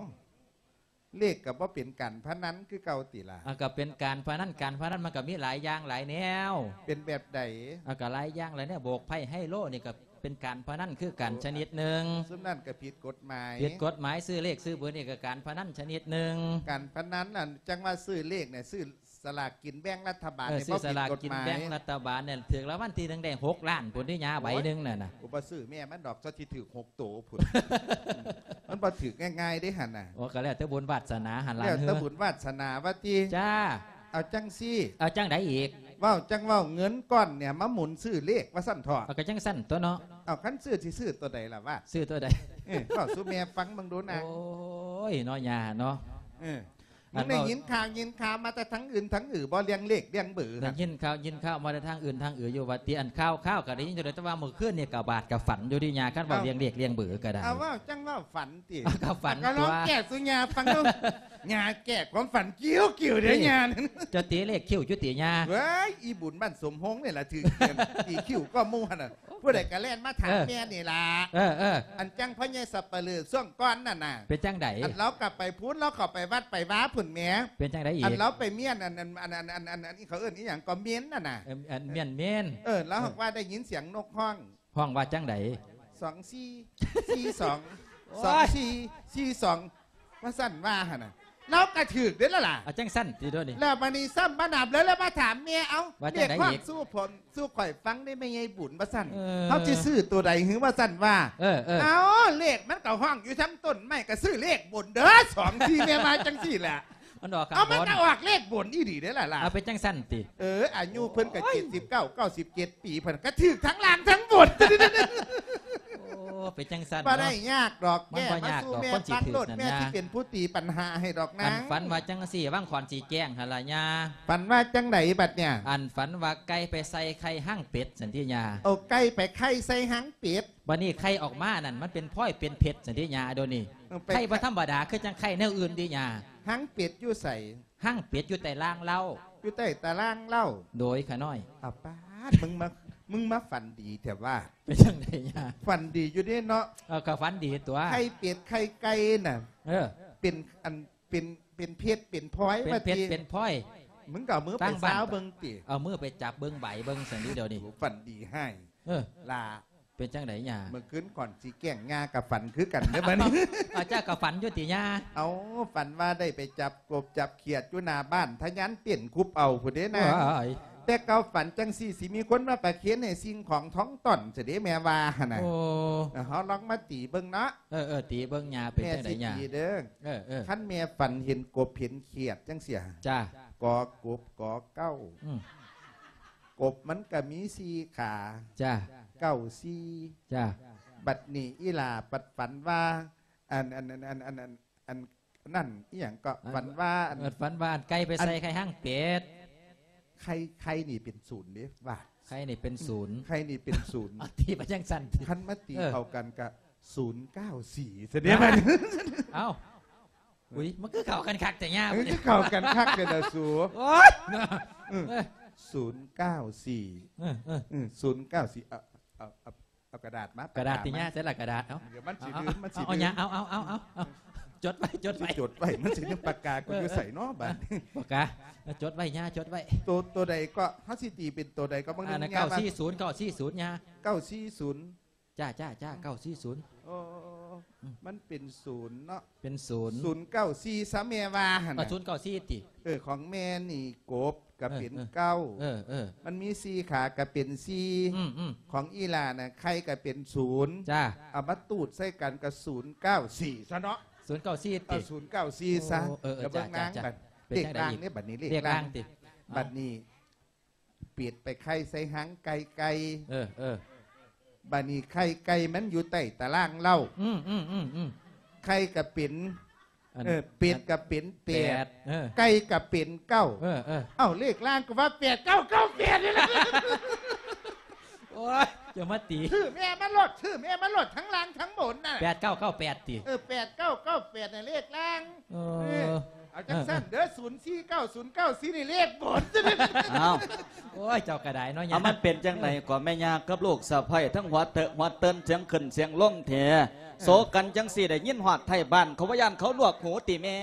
ເລກກໍບໍ່ເປັນການພະນັນຄືເກົ່າຕິລະ? ເອົາ ກໍເປັນການພະນັນ ການພະນັນມັນກໍມີຫຼາຍຢ່າງຫຼາຍແນວ. ເປັນແບບໃດ? ເອົາ ກໍຫຼາຍຢ່າງຫຼາຍແນວ ໂບກໄພ້ໄຮໂລນີ້ກໍ ເປັນການພະນັນຄືກັນຊະນິດໜຶ່ງ. ຊຸມນັ້ນກໍຜິດກົດໝາຍ. ຜິດກົດໝາຍ. ຊື້ເລກຊື້ເບີນີ້ກໍການພະນັນຊະນິດໜຶ່ງ. ການພະນັນນັ້ນ ຈັ່ງວ່າຊື້ເລກນີ້ ຊື້ສະຫຼາກກິນແບ່ງລັດຖະບານ. ເອີ ນີ້ ຊື້ສະຫຼາກກິນແບ່ງລັດຖະບານນີ້ ບໍ່ຜິດກົດໝາຍ. ຖືກລາງວັນທີໜຶ່ງໄດ້ຫົກລ້ານພຸ້ນເດຍ ໃບໜຶ່ງນັ້ນນະ. ໂອ້ຍ ບໍ່ຊື້ແມ່ມັນດອກ ຊະຊິຖືກຫົກໂຕພຸ້ນ. ມັນບໍ່ຖືກງ່າຍໆເດ້ຫັ້ນນະ. ໂອ້ ກໍແລ້ວແຕ່ບຸນວາດສະໜາຫັ້ນລະ. ແລ້ວແຕ່ບຸນວາດສະໜາວ່າຕິ. ຈ້າ. ເອົາຈັ່ງຊີ້. ເອົາຈັ່ງໃດອີກ? ເວົ້າຈັ່ງເວົ້າ ເງິນກ້ອນນີ້ມາໝູນຊື້ເລກວ່າຊັ້ນເຖາະ. ເອົາ ກໍຈັ່ງຊັ້ນຕົວະເນາະ. ເອົາ ຄັນຊື້ຊິຊື້ຕົວໃດລະວາດ? ຊື້ຕົວໃດ? ເອີ ເວົ້າສູ່ແມ່ຟັງເບິ່ງດູນາ. ໂອ້ຍ ເນາະ ຍ່າເນາະ. ເອີ ອັນ ໄດ້ຍິນຂ່າວ ຍິນຂ່າວມາແຕ່ທາງອື່ນທາງອື່ນບໍ່ ເລື່ອງເລກເລື່ອງເບີ? ໄດ້ຍິນຂ່າວ ຍິນຂ່າວມາແຕ່ທາງອື່ນທາງອື່ນຢູ່ວ່າຕິ. ອັນຂ່າວໆກໍໄດ້ຍິນຢູ່ແລ້ວ ແຕ່ວ່າມື້ຄືນນີ້ກໍບາດກໍຝັນຢູ່ເດຍຍ່າ ຄັນເວົ້າ ເອົ້າ ເລື່ອງເລກເລື່ອງເບີກໍໄດ້. ເອົາ ເວົ້າຈັ່ງເວົ້າຝັນ ຕິ ກໍຝັນ ກໍລອງ ຕົວະ ແກ້ສູ່ຍ່າຟັງດູ. ຍ່າແກ້ຄວາມຝັນຄິ້ວໆເດ້ ເອີຍ ຍ່າ. ເຈົ້າຕີເລກຄິ້ວຢູ່ຕິຍ່າ? ເວີຍ ອີບຸນບ້ານສົມຮົງນີ້ລະຖືກຕີຄິ້ວກໍໝູ່ຫັ້ນນະ. ຜູ້ໃດກໍແລ່ນມາຖາມ ເອີ ແມ່ນີ້ລະ. ເອີ ເອີ ອັນຈັ່ງພໍ່ໃຫຍ່ສັບປະເຫຼີຊ່ວງກ່ອນນັ້ນນະ. ເປັນຈັ່ງໃດ? ອັນລາວກໍໄປພຸ້ນ ລາວເຂົ້າໄປວັດໄປວາພຸ້ນແໝ. ເປັນຈັ່ງໃດອີກ? ອັນລາວໄປມ້ຽນ ອັນ ອັນ ອັນ ອັນ ອັນ ອັນ ອັນ ເຂົາເອີ້ນອີ່ຫຍັງກໍ ມ້ຽນນັ້ນນະ. ເອີ ອັນ ມ້ຽນ ມ້ຽນ. ເອີ ລາວ ເອີ ຫາກວ່າໄດ້ຍິນສຽງນົກຮ້ອງ. ຮ້ອງວ່າຈັ່ງໃດ? ສອງສີ່ສີ່ສອງ ໂອ້ຍ ສອງສີ່ສີ່ສອງ ວ່າຊັ້ນວ່າຫັ້ນນະ. ລາວກະຖືກເດ້ລະລະ. ເອົາຈັ່ງຊັ້ນຕິໂດນີ້. ແລ້ວບາດນີ້ຊ້ຳມານຳເລີຍ ແລ້ວມາຖາມແມ່ ເອົາ ວ່າຈັ່ງໃດອີກ? ເລກຮ້ອງສູ່ຜົນ ສູ່ຂ້ອຍຟັງໄດ້ແມ່ໃຫຍ່ບຸນ ວ່າຊັ້ນ. ເອີ ເຮົາຊິຊື້ໂຕໃດຫື ວ່າຊັ້ນວ່າ. ເອີ ເອີ ເອົາ ເລກມັນກະຮ້ອງຢູ່ທາງຕົ້ນໄມ້ ກະຊື້ເລກບົນເດີ ສອງສີ່ ແມ່ວ່າຈັ່ງຊີ້ແຫຼະ. ມັນອອກຂ້າງບົນ. ເອົາ ມັນກະອອກເລກບົນອີ່ຫຼີເດ້ລະລະ. ເອົາ ເປັນຈັ່ງຊັ້ນຕິ? ເອີ ອາຍຸເພິ່ນກະ ໂອ້ຍ ເຈັດສິບເກົ້າ ເກົ້າສິບເຈັດປີ ເພິ່ນກະຖືກທັງລ່າງທັງບົນ. ໂອ້ ເປັນຈັ່ງຊັ້ນເນາະ. ບໍ່ໄດ້ຍາກດອກ ມັນບໍ່ຍາກດອກ ແກ້ມາສູ່ແມ່ຟັງໂລດ ຄົນຊິຖືກນັ້ນ ແມ່ຊິເປັນຜູ້ຕີປັນຫາໃຫ້ດອກນາງ. ອັນຝັນວ່າຈັ່ງຊີ້ ຫວ່າງຂອນຊິແຈ້ງຫັ້ນລະຍ່າ. ຝັນວ່າຈັ່ງໃດບັດນີ້? ອັນຝັນວ່າໄກ່ໄປໃສ່ໄຂ່ຫາງເປັດ ສັນຕິຍາ. ເອົາໄກ່ໄປໄຂ່ໃສ່ຫາງເປັດ. ບັດນີ້ໄຂ່ອອກມານັ້ນ ມັນເປັນພອຍເປັນເພັດ ສັນຕິຍາ ໂດນີ້. ເອີ ໄຂ່ບໍ່ທຳມະດາ ຄືຈັ່ງໄຂ່ແນວອື່ນຕິຍາ. ຫາງເປັດຢູ່ໃສ? ຫາງເປັດຢູ່ໃຕ້ລາງເລົາ. ຢູ່ໃຕ້ຕາລາງເລົາ. ໂດຍ ຂະນ້ອຍ. ອາປາດ ມຶງມາ ມຶງມາຝັນດີແທ້ວ່າ. ເປັນຈັ່ງໃດຍາ? ຝັນດີຢູ່ເດ້ເນາະ. ເອີ ກໍຝັນດີຕົວະ. ໄຂ່ເປັດໄຂ່ໄກ່ນະ. ເອີ ເປັນອັນ ເປັນ ເປັນເພັດເປັນພອຍ ເປັນເພັດເປັນພອຍ. ມຶງກໍເອົາມືໄປຊາວເບິ່ງຕິ. ເອົາມືໄປຈັບເບິ່ງໃບເບິ່ງ ຊັ້ນຕິດຽວນີ້. ໂອ້ ຝັນດີຮ້າຍ. ເອີ ຫຼ້າ ເປັນຈັ່ງໃດຍາ? ເມື່ອຄືນກ່ອນຊິແກ້ງ ຍາກໍຝັນຄືກັນເດ້ບັດນີ້. ເອົາ ເຈົ້າກໍຝັນຢູ່ຕິຍາ? ເອົາ ຝັນວ່າໄດ້ໄປຈັບກົບຈັບຂຽດຢູ່ໜ້າບ້ານ ທະຍານເຕັ້ນຄຸບເອົາພຸ້ນເດ້ນາ. ວ້າຍ ແຕ່ເກົ່າຝັນຈັ່ງຊີ້ ຊິມີຄົນມາປະເຄນໃຫ້ສິ່ງຂອງທອງຕ່ອນຊະເດ້ ແມ່ວ່າຫັ້ນນະ. ໂອ້ ເຮົາລອງມາຕີເບິ່ງເນາະ. ເອີໆ ຕີເບິ່ງ ຍ່າເປັນຈັ່ງໃດ ຍ່າ? ແມ່ຊິຕີເດີ້. ເອີໆ ຄັນແມ່ຝັນເຫັນກົບເຫັນຂຽດຈັ່ງຊີ້ ຈ້າ ກ ກົບ ກ ເກົ້າ ອືມ ກົບມັນກະມີສີ່ຂາ ຈ້າ ເກົ້າສີ່ ຈ້າ. ບັດນີ້ອີ່ຫຼ້າບັດຝັນວ່າ ອັນ ອັນ ອັນ ອັນ ອັນ ອັນ ອັນນັ້ນອີ່ຫຍັງເກາະ ອັນ ຝັນວ່າ ອັນ ເອີ ຝັນວ່າອັນໄກ່ໄປໃສ່ ອັນ ໄຂ່ຫາງເປັດ ໄຂ່ ໄຂ່ນີ້ເປັນສູນເດ້ວ່າ ໄຂ່ນີ້ເປັນສູນ ໄຂ່ນີ້ເປັນສູນ ເອົາ ຕີມາຈັ່ງຊັ້ນຕິ ຄັນມາຕີ ເອີ ເຂົ້າກັນກະສູນເກົ້າສີ່ຊະເດ້. ເອົ້າ ອຸ້ຍ ມັນຄືເຂົ້າກັນຄັກແທ້ຍາ ມັນຄືເຂົ້າກັນຄັກແທ້ລະສູ. ໂອ້ຍ ເອີ ເອີ ສູນເກົ້າສີ່ ເອີ ເອີ ເອີ ສູນເກົ້າສີ່ ເອົາ ເອົາ ເອົາ ເອົາກະດາດມາ ກະດາດຕິຍາ ປາກກາ ໃສລະກະດາດ? ເອົາ ດຽວມັນຊິລືມ ເອົາ ມັນຊິລືມ ເອົາ ເອົາ ເອົາ ເອົາ ເອົາ ຈົດໄວ້ ຈົດໄວ້ ຈົດໄວ້ ມັນຊິລືມ ປາກກາກູຢູ່ໃສເນາະບາດນີ້? ປາກກາ ຈົດໄວ້ຍາ ຈົດໄວ້. ໂຕ ໂຕໃດເກາະ ເຮົາຊິຕີເປັນໂຕໃດເກາະ? ບາງໜຶ່ງ ອ່າ ຍາ ເກົ້າສີ່ສູນ ເກົ້າສີ່ສູນຍາ ເກົ້າສີ່ສູນ ຈ້າ ຈ້າ ຈ້າ ເກົ້າສີ່ສູນ. ໂອ້ ອືມ ມັນເປັນສູນເນາະ ເປັນສູນ ສູນເກົ້າສີ່ຊະແມ່ວ່າຫັ້ນນະ. ເອີ ສູນເກົ້າສີ່ຕິ ເອີ ຂອງແມ່ນີ້ກົບກະເປັນ ເອີ ເອີ ເກົ້າ ເອີ ເອີ ມັນມີສີ່ຂາກະເປັນສີ່ ອືມ ອືມ ຂອງອີ່ຫຼ້ານະ ໄຂ່ກະເປັນສູນ ຈ້າ ເອົາມາຕູດໃສ່ກັນກະສູນເກົ້າສີ່ຊະເນາະ ສູນເກົ້າສີ່ຕິ ເອີ ສູນເກົ້າສີ່ຊະ. ໂອ້ ເອີ ເອີ ເດີ ເບິ່ງນາງ ຈ້າ ບັດ ເປັນຈັ່ງໃດອີກ? ເລກລ່າງເດ້ ບັດນີ້ເລກລ່າງ ເລກລ່າງຕິ ບັດນີ້ ເປັດໄປໄຂ່ໃສ່ຫາງໄກ່ ໄກ່ ເອີ ເອີ ບາດນີ້ໄຂ່ໄກ່ມັນຢູ່ໃຕ້ຕາລາງເລົາ ອືມ ອືມ ອືມ ອືມ ໄຂ່ກະເປັນ ອັນ ເອີ ເປັດກະເປັນແປດ ແປດ ເອີ ໄກ່ກະເປັນເກົ້າ ເອີ ເອີ ເອົ້າ ເລກລ່າງກະວ່າແປດເກົ້າເກົ້າແປດນີ້ລະ. ໂອ້ຍ ຈະມາຕີ ຊື່ແມ່ມັນໂລດ ຊື່ແມ່ມັນໂລດ ທັງລ່າງທັງບົນນະ ແປດເກົ້າເກົ້າແປດຕິ ເອີ ແປດເກົ້າເກົ້າແປດນະ ເລກລ່າງ. ເອີ ເອີ ເອົາຈັ່ງຊັ້ນເດີ ເອີ ເອີ ສູນສີ່ເກົ້າ ສູນເກົ້າສີ່ນີ້ເລກບົນ. ອ້າວ ໂອ້ຍ ເຈົ້າກະໄດ້ເນາະຍາ ເອົາ ມັນເປັນຈັ່ງໃດເກາະແມ່ຍ່າກັບລູກສະໃພ້ ທັງຫົວເຕີ ຫົວເຕີນ ສຽງຂຶ້ນສຽງລົງແທ້ ເອີ ໂສກັນຈັ່ງຊີ້ ໄດ້ຍິນຮອດໄທບ້ານເຂົາ ບໍ່ຢ້ານເຂົາຫຼວກຫູຕິແມ່?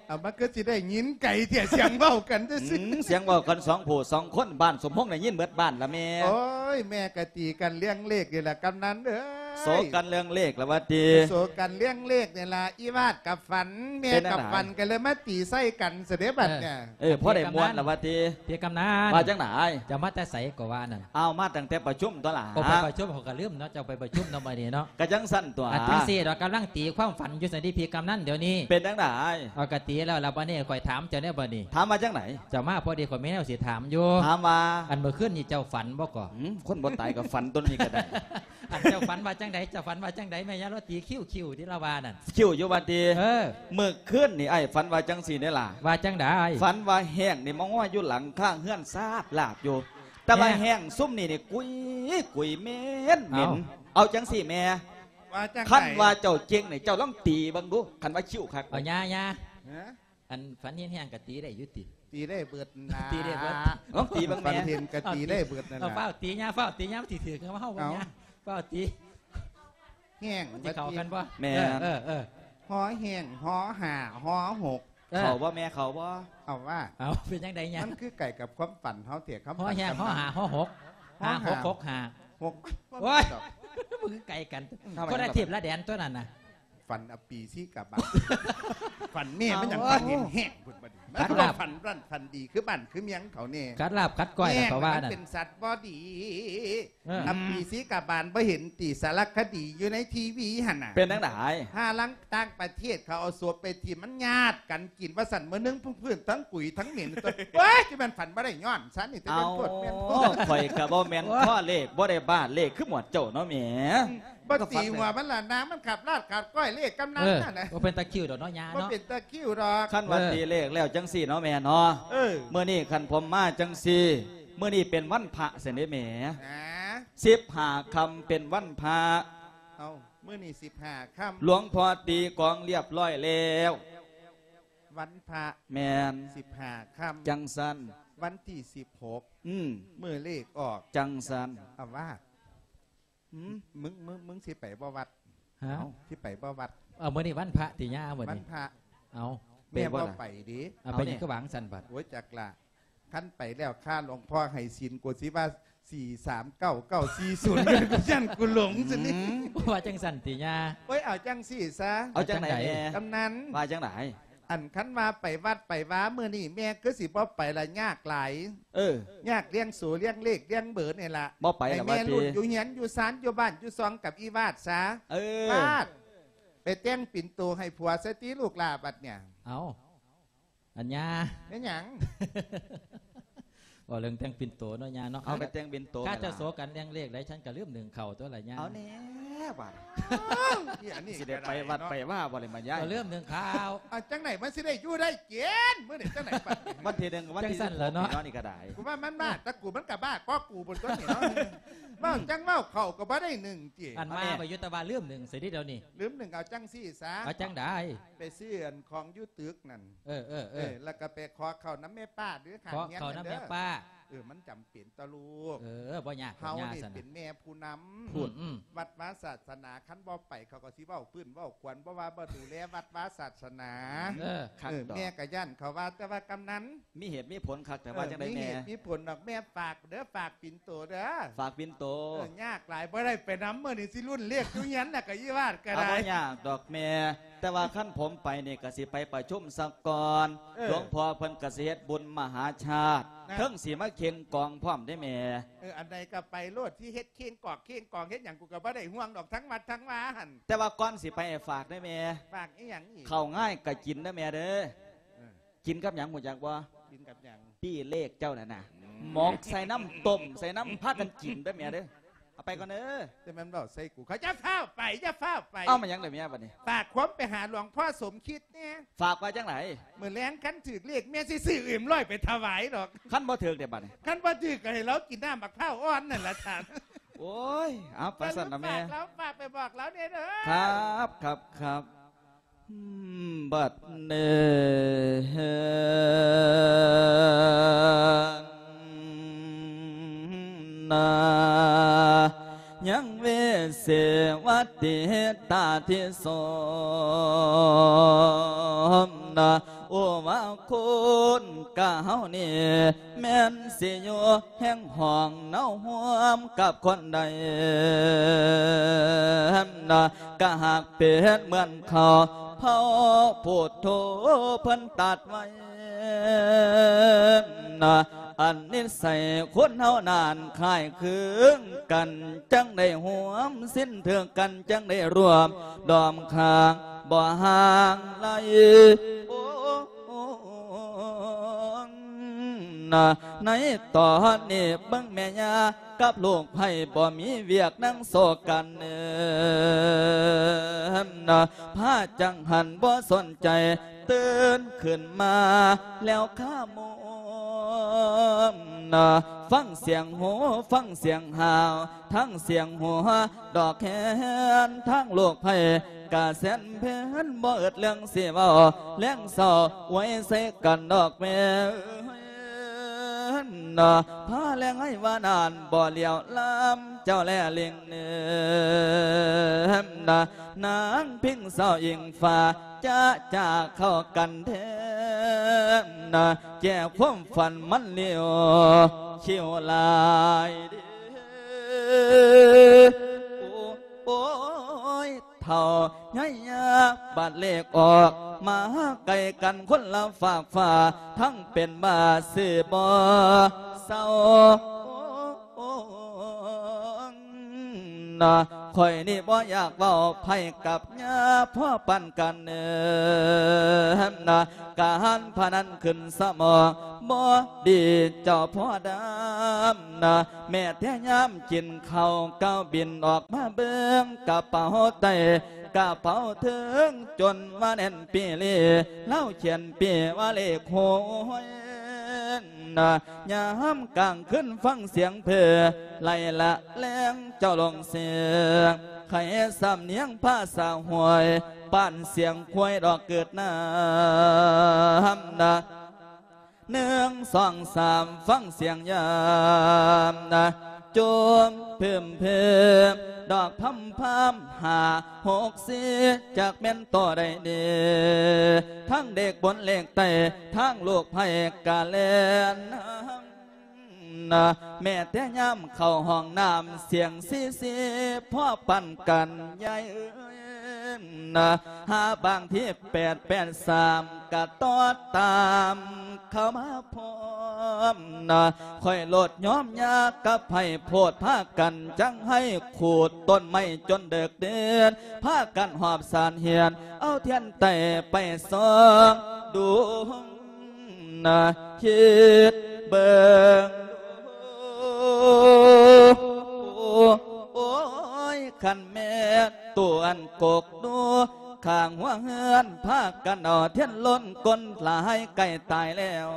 ເອົາ ມັນຄືຊິໄດ້ຍິນໄກແທ້ ສຽງເວົ້າກັນຊື່ໆ ອືມ ສຽງເວົ້າກັນສອງຜູ້ສອງຄົນ ບ້ານສົມພົງໄດ້ຍິນເບິດບ້ານລະແມ່. ໂອ້ຍ ແມ່ກະຕີກັນເລື່ອງເລກນີ້ລະກຳນັນເອີຍ ໂສກັນເລື່ອງເລກລະວ່າຕິ ໂສກັນເລື່ອງເລກນີ້ລະ ອີວາດກະຝັນ ແມ່ກະຝັນ ກະເລີຍມາຕີໃສ່ກັນຊະເດ້ບັດນີ້. ເອີ ພໍໄດ້ມ່ວນລະວ່າຕິ ພີ່ກຳນັນ ວ່າຈັ່ງໃດ? ເຈົ້າມາແຕ່ໃສກໍວ່ານັ້ນ? ອ້າວ ມາຕັ້ງແຕ່ປະຊຸມຕົວລະ. ໂອ້ ໄປປະຊຸມ ເຂົາກະລືມເນາະ ເຈົ້າໄປປະຊຸມເນາະມື້ນີ້ເນາະ. ກະຈັ່ງຊັ້ນຕົວ ອັນຈັ່ງຊີ້ດອກ ກຳລັງຕີຄວາມຝັນຢູ່ຊັ້ນຕິ ພີ່ກຳນັນ ດຽວນີ້ ເປັນຈັ່ງໃດ? ເອົາ ກະຕີແລ້ວລະ ບາດນີ້ຂ້ອຍຖາມເຈົ້າແດ່ບາດນີ້. ຖາມວ່າຈັ່ງໃດ? ເຈົ້າມາພໍດີ ຂ້ອຍມີແນວຊິຖາມຢູ່. ຖາມວ່າ? ອັນມື້ຄືນນີ້ເຈົ້າຝັນບໍ່ກໍ? ອືມ ຄົນບໍ່ຕາຍກໍຝັນຕົວນີ້ກະໄດ້. ອັນເຈົ້າຝັນວ່າຈັ່ງໃດ? ເຈົ້າຝັນວ່າຈັ່ງໃດ? ແມ່ຍາລາວຕີຄິ້ວໆ ທີ່ລາວວ່ານັ້ນ ຄິ້ວຢູ່ວ່າຕິ? ເອີ ມື້ຄືນນີ້ອ້າຍຝັນວ່າຈັ່ງຊີ້ເດ້ລະ. ວ່າຈັ່ງໃດ? ຝັນວ່າແຫ້ງນີ້ມາງອຍຢູ່ຫຼັງຄາເຮືອນຊາດລາດຢູ່ ແຕ່ວ່າແຫ້ງຊຸມນີ້ນີ້ກຸຍໆ ເໝັນໆ. ເອົາ ເອົາຈັ່ງຊີ້ແມ່ ວ່າຈັ່ງໃດ? ຄັນວ່າເຈົ້າເກັ່ງນີ້ ເຈົ້າລອງຕີເບິ່ງດູ ຄັນວ່າຄິ້ວຄັກ. ເອົາ ຍາ ຍາ ຮະ? ອັນຝັນເຫັນແຫ້ງກະຕີໄດ້ຢູ່ຕິ? ຕີໄດ້ເບິດນະ ຕີໄດ້ເບິດ. ລອງຕີເບິ່ງແມ່ ຝັນເຫັນກະຕີໄດ້ເບິດນັ້ນລະ. ເອົາ ຟ້າວຕີຍາ ຟ້າວຕີຍາ ມັນຊິຖືກເຮົາບໍ່ຍາ ຟ້າວຕີ. ແຫ້ງ ມັນຊິເຂົ້າກັນບໍ່? ແມ່ນ ເອີ ເອີ ເອີ ຫໍແຫ້ງ ຫໍຫ້າ ຫໍຫົກ. ເອີ ເຂົ້າບໍ່ແມ່ ເຂົ້າບໍ່? ເອົາວ່າ ເອົາ ເປັນຈັ່ງໃດຍາ? ມັນຄືໃກ້ກັບຄວາມຝັນເຮົາແທ້ ຄຳ ຫໍແຫ້ງ ຫໍຫ້າ ຫໍຫົກ ຫ້າຫົກຫົກຫ້າ ຫົກ. ໂອ້ຍ ມັນຄືໃກ້ກັນ ຄົນລະທິບລະແດນຕົວນັ້ນນະ. ຝັນອະປີສີກາບານ ຝັນແມ່ ມັນຫຍັງ ເອົ້າ ຝັນເຫັນແຫ້ງພຸ້ນບັດນີ້ ມັນຄືວ່າຝັນຮ້ານຝັນດີ ຄືບ້ານຄືເມືອງເຂົາແນ່ ຂັດລາບຂັດກ້ອຍແລ້ວເຂົາວ່ານັ້ນ ເປັນສັດບໍ່ດີ. ເອີ ອະປີສີກາບານບໍ່ເຫັນຕິ ສາລະຄະດີຢູ່ໃນທີວີຫັ້ນນະ ເປັນຈັ່ງໃດ? ຫາລັງຕ່າງປະເທດເຂົາເອົາສົບໄປຖິ້ມ ມັນຍາດກັນກິນວ່າຊັ້ນ ມື້ໜຶ່ງເພິ່ນທັງກຸຍທັງເໝັນ. ໂອ້ຍ ຊິແມ່ນຝັນບໍ່ໄດ້ຍ້ອນຊັ້ນນີ້ ຈະແມ່ນໂພດແມ່ນໂພດ. ຂ້ອຍກະບໍ່ແມ່ນ ໂອ້ຍ ພໍເລກ ບໍ່ໄດ້ບ້າເລກຄືໝວດເຈົ້າເນາະແມ່. ບໍ່ຕີຫົວມັນລະນາ ມັນຂັດລາບຂັດກ້ອຍເລກກຳນັນນັ້ນນະ. ບໍ່ເປັນຕາຄິ້ວດອກເນາະຍາເນາະ ບໍ່ເປັນຕາຄິ້ວດອກ. ຄັນວ່າຕີເລກແລ້ວຈັ່ງຊີ້ເນາະແມ່ເນາະ ເອີ ມື້ນີ້ຄັນຜົມມາຈັ່ງຊີ້ ມື້ນີ້ເປັນວັນພະຊັ້ນເດ້ແມ່. ສິບຫ້າຄ່ຳເປັນວັນພະ. ເອົ້າ ມື້ນີ້ສິບຫ້າຄ່ຳ ຫຼວງພໍ່ຕີກອງລຽບຮ້ອຍແລ້ວ ວັນພະ. ແມ່ນ ສິບຫ້າຄ່ຳ ຈັ່ງຊັ້ນ ວັນທີສິບຫົກ ອືມ ມື້ເລກອອກ ຈັ່ງຊັ້ນ ອາວາດ. ຫືມ ມຶງ ມຶງ ມຶງຊິໄປບໍ່ວັດ? ຮະ ເອົ້າ ຊິໄປບໍ່ວັດ? ເອົາ ມື້ນີ້ວັນພະຕິຍາ ມື້ນີ້ວັນພະ. ເອົາ ແມ່ບໍ່ໄປເດ້. ເອົາ ເອົາ ເປັນຫຍັງຄືວ່າຈັ່ງຊັ້ນບັດ? ໂອ້ຍ ຈັກລະ ຄັນໄປແລ້ວ ຂ້າຫຼວງພໍ່ໃຫ້ສິນ ກວ່າຊິວ່າສີ່ສາມເກົ້າ ເກົ້າສີ່ສູນ ກູຢ້ານກູຫຼົງຊັ້ນນີ້. ອືມ ວ່າຈັ່ງຊັ້ນຕິຍາ? ໂອ້ຍ ເອົາຈັ່ງຊີ້ຊະ. ເອົາຈັ່ງໃດແມ່? ກຳນັນ ວ່າຈັ່ງໃດ? ອັນ ຄັນວ່າໄປວັດໄປວາມື້ນີ້ ແມ່ຄືຊິບໍ່ໄປລະ ຍາກຫຼາຍ. ເອີ ຍາກລ້ຽງໂສລ້ຽງເລກລ້ຽງເບີນີ້ລະ. ບໍ່ໄປລະ ໃຫ້ແມ່ລຸ້ນຢູ່ເຮືອນຢູ່ຊານຢູ່ບ້ານຢູ່ຊ່ອງກັບອີວາດຊະ. ເອີ ວາດ ໄປແຕ່ງປິ່ນໂຕໃຫ້ຜົວຊະຕິລູກຫຼ້າບັດເນີ້ຍ. ເອົ້າ ອັນຍ່າ ແມ່ນຫຍັງ? ເວົ້າເລື່ອງແຕ່ງປິ່ນໂຕເນາະ ຍ່າເນາະ. ເອົາ ໄປແຕ່ງປິ່ນໂຕ ຂ້າເຈົ້າໂສກັນແລ່ງເລກໄດ໋ ສັນກະລືມໜຶ້ງເຂົ້າຕົວລະຍ່າ. ເອົາແນ່ບາດ ເອີ ອັນນີ້ຊິໄດ້ໄປວັດໄປວາບໍ່ໄດ້ມາຍາຍ ກະລືມໜຶ້ງເຂົ້າ. ເອົາ ຈັ່ງໃດມັນຊິໄດ້ຢູ່ໄດ້ກິນມື້ນີ້ ຈັ່ງໃດບັດນີ້? ວັນທີໜຶ່ງ ວັນທີສິບຫົກ ເນາະ ນີ້ກະໄດ້. ກູວ່າມັນບ້າ ແຕ່ກູມັນກະບ້າກວ່າກູພຸ້ນຕົວນີ້ເນາະ. ເວົ້າຈັ່ງເວົ້າ ເຂົ້າກະບໍ່ໄດ້ໜຶ້ງຕິ. ອັນມາ ອັນນີ້ ໄປຢູ່ແຕ່ວ່າລືມໜຶ້ງ ຊິໄດ້ດຽວນີ້ ລືມໜຶ້ງ. ເອົາຈັ່ງຊີ້ຊະ ເອົາຈັ່ງໃດ? ໄປຊື້ອັນຂອງຢູ່ຕຶກນັ້ນ. ເອີ ເອີ ເອີ ເອີ ແລ້ວກະໄປຂໍເຂົ້ານຳແມ່ປ້າເດີ້ ຂ້າງເຮືອນນັ້ນເດີ້. ຂໍເຂົ້ານຳແມ່ປ້າ. ເອີ ມັນຈຳເປັນຕໍ່ລູກ. ເອີ ບໍ່ຍາກ ເຮົານີ້ເປັນແມ່ຜູ້ນຳ ອືມ ອືມ ວັດວາສາສະໜາ ຄັນບໍ່ໄປເຂົາກະຊິເວົ້າຟື້ນເວົ້າຄວນ ບໍ່ວ່າບໍ່ດູແລວັດວາສາສະໜາ. ເອີ ຄັກ ເອີ ດອກ ແມ່ກະຢ້ານເຂົາວ່າ ແຕ່ວ່າກຳນັນ ມີເຫດມີຜົນຄັກ ແຕ່ວ່າ ເອີ ຈັ່ງໃດແມ່? ມີເຫດມີຜົນດອກ ແມ່ຝາກເດີ້ ຝາກປິ່ນໂຕເດີ້ ຝາກປິ່ນໂຕ. ເອີ ຍາກຫຼາຍ ບໍ່ໄດ້ໄປນຳ ມື້ນີ້ຊິລຸ້ນເລກຢູ່ເຮືອນ ແລ້ວກະອີວາດກະໄດ້. ບໍ່ຍາກດອກແມ່ ແຕ່ວ່າຄັນຜົມໄປນີ້ກະຊິໄປປະຊຸມສາກ່ອນ. ເອີ ຫຼວງພໍ່ເພິ່ນກະຊິເຮັດບຸນມະຫາຊາດ ນະ ເຖິງຊິມາເຄັ່ງກອງພ້ອມເດ້ແມ່. ເອີ ອັນໃດກະໄປໂລດ ຊິເຮັດເຄັ່ງກອກເຄັ່ງກອງເຮັດຫຍັງ ກູກະບໍ່ໄດ້ຫ່ວງດອກ ທັງວັດທັງວາຫັ້ນ. ແຕ່ວ່າກ່ອນຊິໄປ ຝາກເດີ້ແມ່. ຝາກອີ່ຫຍັງອີກ? ເຂົ້າງາຍກະກິນເດີ້ແມ່ເດີ້. ເອີ ກິນກັບຫຍັງຮູ້ຈັກບໍ່? ກິນກັບຫຍັງ? ປີ້ເລກເຈົ້ານັ້ນນະ ໝົກໃສ່ນ້ຳ ຕົ້ມໃສ່ນ້ຳ ພາກັນກິນເດີ້ແມ່ເດີ້. ເອົາໄປກ່ອນເດີ້. ແຕ່ແມ່ນເວົ້າໃສ່ກູເຂົາ. ຢ່າຟ້າວໄປ ຢ່າຟ້າວໄປ. ເອົາ ມາຫຍັງເດີ້ແມ່ບັດນີ້? ຝາກຄວາມໄປຫາຫຼວງພໍ່ສົມຄິດແດ່. ຝາກວ່າຈັ່ງໃດ? ມື້ແລງຄັນຖືກເລກ ແມ່ຊິຊື້ເອັມຮ້ອຍໄປຖວາຍດອກ. ຄັນບໍ່ຖືກເດ້ບັດນີ້? ຄັນບໍ່ຖືກກະໃຫ້ລາວກິນນ້ຳໝາກພ້າວອ່ອນນັ້ນລະທ່ານ. ໂອ້ຍ ເອົາ ໄປຊັ້ນນະແມ່. ຝາກລາວ ຝາກໄປບອກລາວແດ່ເດີ້. ຄັບ ຄັບ ຄັບ. ບັດນີ້ນາ ຍັງວິເສວັດຕິຕາທິສົມນາ ໂອວາຄຸນກະເຮົານີ້ ແມ່ນຊິຢູ່ແຫ່ງຫ້ອງເນົາຮ່ວມກັບຄົນໃດ ນະ ກະຫາກເປັນເໝືອນເຂົາເຜົ່າພຸດໂທເພິ່ນຕັດໄວ້ ນະ ອັນນິໄສຄົນເຮົານັ້ນຄ້າຍຄືກັນ ຈັ່ງໄດ້ຮ່ວມສິນຖືກກັນ ຈັ່ງໄດ້ຮ່ວມດອມຂ້າງບໍ່ຫ່າງໄກ ໂອ ນະ ໃນຕອນນີ້ເບິ່ງແມ່ຍ່າກັບລູກໃພ້ບໍ່ມີວຽກນັ່ງໂສກັນ ນະ ພາຈັ່ງຫັ້ນບໍ່ສົນໃຈ ຕື່ນຂຶ້ນມາແລ້ວຄາໂມມ ນະ ຟັງສຽງໂຫ ຟັງສຽງຫ້າວ ທັງສຽງຫົວດອກແຄນ ທັງລູກໃພ້ກະແສນເພັນ ບໍ່ອຶດເລື່ອງຊິເວົ້າ ແລງເສົ້າອວຍໃສ່ກັນດອກແມ່ເອີຍ ນະ ພາແລງໃຫ້ວ່ານານບໍ່ຫຼຽວລຳເຈົ້າແລລິງເນີມ ນະ ນາງພິງເສົ້າອີງຟ້າ ຈະຈາກເຂົ້າກັນແທ້ ນະ ແກ່ຄວາມຝັນມັນຫຼຽວ ຄິວຫຼາຍເດ້ ໂອ້ຍ ເຖົ້າໃຫຍ່ຍາ ບາດເລກອອກມາໃກ້ກັນຄົນລະຟາກຟ້າ ທັງເປັນບ້າຊິບໍ່ເຊົາ ນະ ຂ້ອຍນີ້ບໍ່ຢາກເວົ້າໃຜກັບຍາພໍປານກັນເນີມ ນະ ການພະນັນຂຶ້ນສະໝອງບໍ່ດີເຈົ້າພໍ່ດຳ ນະ ແມ້ແຕ່ຍາມກິນເຂົ້າ ກ້າວບິນອອກມາເບິ່ງກະເປົາໃຕ້ ກະເປົາເທິງຈົນວ່າແໜ້ນປີລີ ລາວຂຽນປີວ່າເລກຫົວຍ ນະ ຍາມກາງຄືນຟັງສຽງເພີ ໄລ່ລະແລງເຈົ້າລົງເສຍ ໄຂສຳນຽງພາສາຫ້ວຍ ປານສຽງຄວາຍດອກເກີດນ້ຳ ນະ ໜຶ່ງ ສອງ ສາມ ຟັງສຽງຍາມ ນະ ໂຈມເພິມເພີມ ດອກພຳພຳ ຫ້າ ຫົກ ສີ່ ຈັກແມ່ນໂຕໃດເດ ທັງເລກບົນເລກໃຕ້ ທັງລູກໃພ້ກະແລ່ນນຳ ນະ ແມ້ແຕ່ຍາມເຂົ້າຫ້ອງນ້ຳ ສຽງຊີຊີພໍປານກັນ ຍາຍເອີຍ ນະ ຫາບາງທີ ແປດ ແປດ ສາມ ກະຕອດຕາມເຂົ້າມາພ້ອມນະ ຂ້ອຍໂລດຍອມຍາກັບໃຫ້ໂພດພາກັນ ຈັ່ງໃຫ້ຂູດຕົ້ນໄມ້ຈົນເດິກເດີນ ພາກັນຫອບສານຫຽນ ເອົາທຽນໄຕ້ໄປສ່ອງດູ ນະ ຄິດເບິ່ງດູ ໂອ້ຍ ຄັນແມ່ນຕົວອັນກົກດູ ຂ້າງຫົວເຮືອນ ພາກັນເອົາທຽນລົນ ຄົນຫຼາຍໃກ້ຕາຍແລ້ວ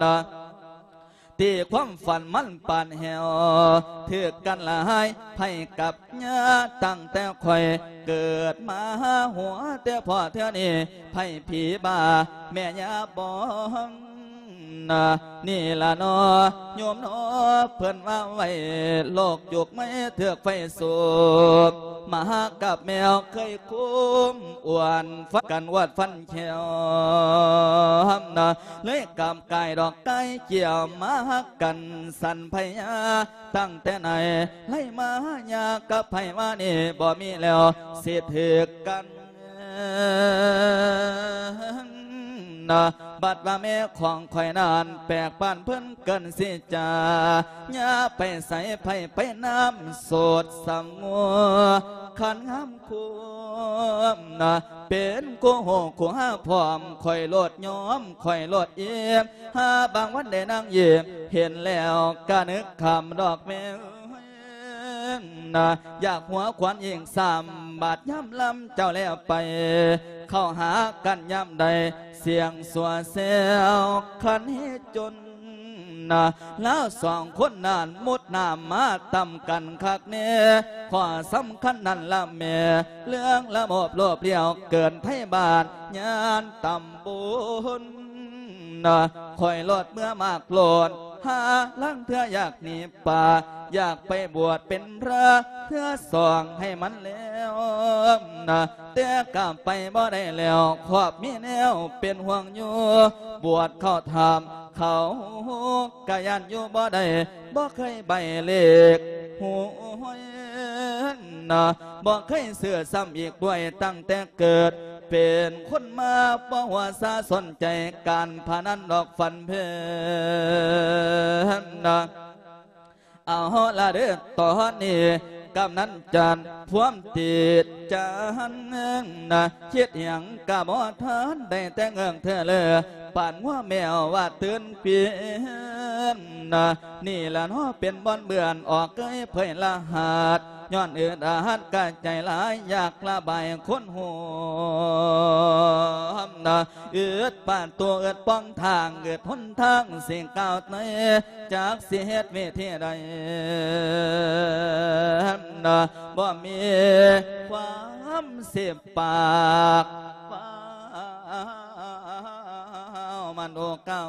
ນະ ທີ່ຄວາມຝັນມັນປານແຫ້ວ ຖືກກັນຫຼາຍໄພ້ກັບຍາ ຕັ້ງແຕ່ຂ້ອຍເກີດມາ ຫົວແຕ່ພໍ້ເທື່ອນີ້ ໄພ້ຜີບ້າແມ່ຍາບອງນະ ນີ້ລະນໍໂຍມນໍ ເພິ່ນວ່າໄວ້ໂລກຍຸກໃໝ່ ຖືກໄຟສູບ ໝາກັບແມວເຄີຍຄຸມ ອ້ວນຟັນກັນ ອວດຟັນແຂ້ວນະ ເລີຍກຳກາຍດອກກາຍກ່ຽວ ມາຮັກກັນສັນໄພຍາ ຕັ້ງແຕ່ໃນໄລມາ ຍາກັບໄພວານີ້ ບໍ່ມີແລ້ວຊິຖືກກັນນະ ບັດວ່າແມ່ຂອງຂ້ອຍນັ້ນ ແປກປານເພິ່ນເກີນຊິຈາ ຍາໄປໃສໃຜໄປນຳ ໂສດສຳງົວ ຄັນງາມ ຄຸມນະ ເປັນຄູ່ຮູ້ຄູ່ຫາພ້ອມ ຂ້ອຍໂລດຍອມ ຂ້ອຍໂລດອີ່ມ ຫາບາງວັນໄດ້ນາງຍິ້ມ ເຫັນແລ້ວກະນຶກຄຳດອກແມ່ເອີຍນະ ຢາກຫົວຂວັນອີກຊ້ຳ ບາດຍາມລຳເຈົ້າແລ້ວໄປ ເຂົ້າຫາກັນຍາມໃດ ສ່ຽງຊົ່ວແຊວ ຄັນເຮັດຈົນ ນະ ລາວສອງຄົນນັ້ນມຸດນ້ຳມາຕ່ຳກັນຄັກແນ່ ຂໍ້ສຳຄັນນັ້ນລະແມ່ ເລື່ອງລະບົບໂລບລ້ຽວເກີນໄທບ້ານຍານຕຳບົນນະ ຂ້ອຍລອດເມືອມາກໂລດ ຫາລາງເທື່ອຢາກໜີປ່າ ຢາກໄປບວດເປັນພຣະ ເທື່ອສອງໃຫ້ມັນແລ້ວນະ ແຕ່ກະໄປບໍ່ໄດ້ແລ້ວ ຄອບມີແນວເປັນຫ່ວງຢູ່ ບວດເຂົ້າຖ້ຳ ເຂົາກະຢ້ານຢູ່ບໍ່ໄດ້ ບໍ່ເຄີຍໃບ້ເລກຫວຍນະ ບໍ່ເຄີຍຊື້ຊ້ຳອີກດ້ວຍ ຕັ້ງແຕ່ເກີດເປັນຄົນມາ ບໍ່ຫົວຊາສົນໃຈການພະນັນດອກ ຝັນເພັນນະ ເອົາລະເດີ ຕອນນີ້ກຳນັນຈັນພວມຕິດຈັນນະ ຄິດຫຍັງກະບໍ່ທັນ ໄດ້ແຕ່ເງີ້ອເທີເລີ ປານງົວແມວວ່າຕື່ນປີນນະ ນີ້ລະເນາະເປັນບ່ອນເບື່ອນ ອອກເກຍເຜີຍລະຫັດ ຍ້ອນອຶດອັດກະໃຈຫຼາຍ ຢາກລະບາຍຄົນຮ່ວມນະ ອຶດປະຕູ ອຶດປ່ອງທາງ ອຶດຫົນທາງຊິກ້າວໄຕ່ ຈັກຊິເຮັດວິທີໃດ ນະ ບໍ່ມີຄວາມສິບປາກ ວ້າວ ມັນໂອເກົ່າ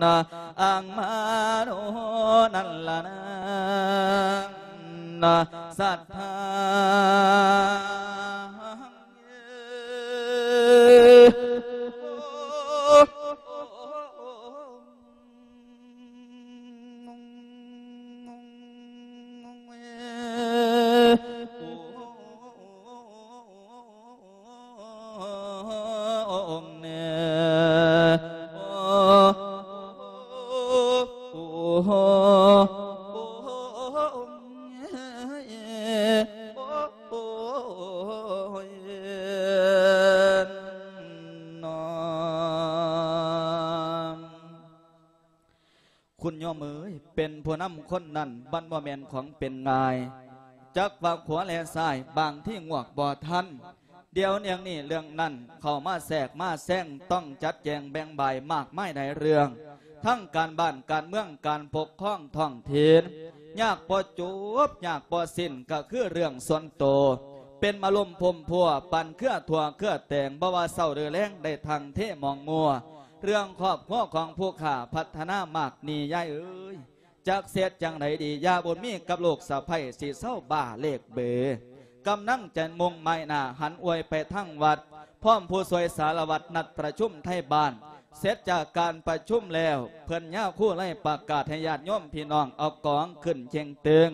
ນະ ອັງມາໂນ ນັ້ນລະນາ ນະ ສັດທາ ຄຸນໂຍມເອີຍ ເປັນຜູ້ນຳຄົນນັ້ນ ມັນບໍ່ແມ່ນຂອງເປັນງ່າຍ ຈັກວ່າຂວາແລະຊ້າຍ ບາງທີງວກບໍ່ທັນ ດຽວເລື່ອງນີ້ເລື່ອງນັ້ນ ເຂົ້າມາແຊກມາແຊງ ຕ້ອງຈັດແຈງແບ່ງບາຍມາກມາຍຫຼາຍເລື່ອງ ທັງການບ້ານການເມືອງ ການປົກຄອງທ້ອງຖິ່ນ ຍາກບໍ່ຈົບ ຍາກບໍ່ສິ້ນ ກໍຄືເລື່ອງສ່ວນໂຕ ເປັນມາລົມພົມພົວ ປັນເຄືອທົ່ວເຄືອແຕງ ບໍ່ວ່າເຊົ້າຫຼືແລງ ໄດ້ທັງເທໝອງມົວ ເລື່ອງຄອບຄົວຂອງຜູ້ຂ້າ ພັດທະນາມາກນີ້ ຍາຍເອີຍ ຈັກເຮັດຈັ່ງໃດດີ ຍາບຸນມີກັບລູກສະໃພ້ ຊິເຊົາບ້າເລກເບີ ກຳລັງຈະມຸ່ງໝາຍໜ້າ ຫັນອວຍໄປທາງວັດ ພ້ອມຜູ້ຊ່ວຍສາລະວັດ ນັດປະຊຸມໄທບ້ານ ເສັດຈາກການປະຊຸມແລ້ວ ເພິ່ນຍາຄູໄລປະກາດໃຫ້ຍາດໂຍມພີ່ນ້ອງເອົາກອງຂຶ້ນເຄັ່ງຕຶງ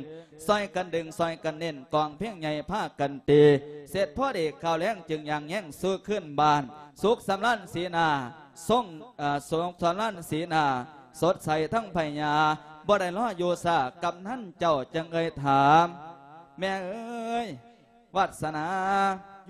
ຊ່ອຍກັນດຶງ ຊ່ອຍກັນເນັ້ນ ກອງເພງໃຫຍ່ພາກັນຕີ ເສັດພໍດີຂ້າວແລງຈຶ່ງຍ່າງແຍງສູ່ຄືນບ້ານ ສຸກສຳລານສີໜ້າ ຊົງ ເອີ ສຸກສຳລານສີໜ້າ ສົດໃສທັງໃບຫຍ້າ ບໍ່ໄດ້ລໍຢູ່ຊ້າ ກຳນັນເຈົ້າຈຶ່ງເອີ່ຍຖາມ ແມ່ເອີຍ ວາດສະໜາ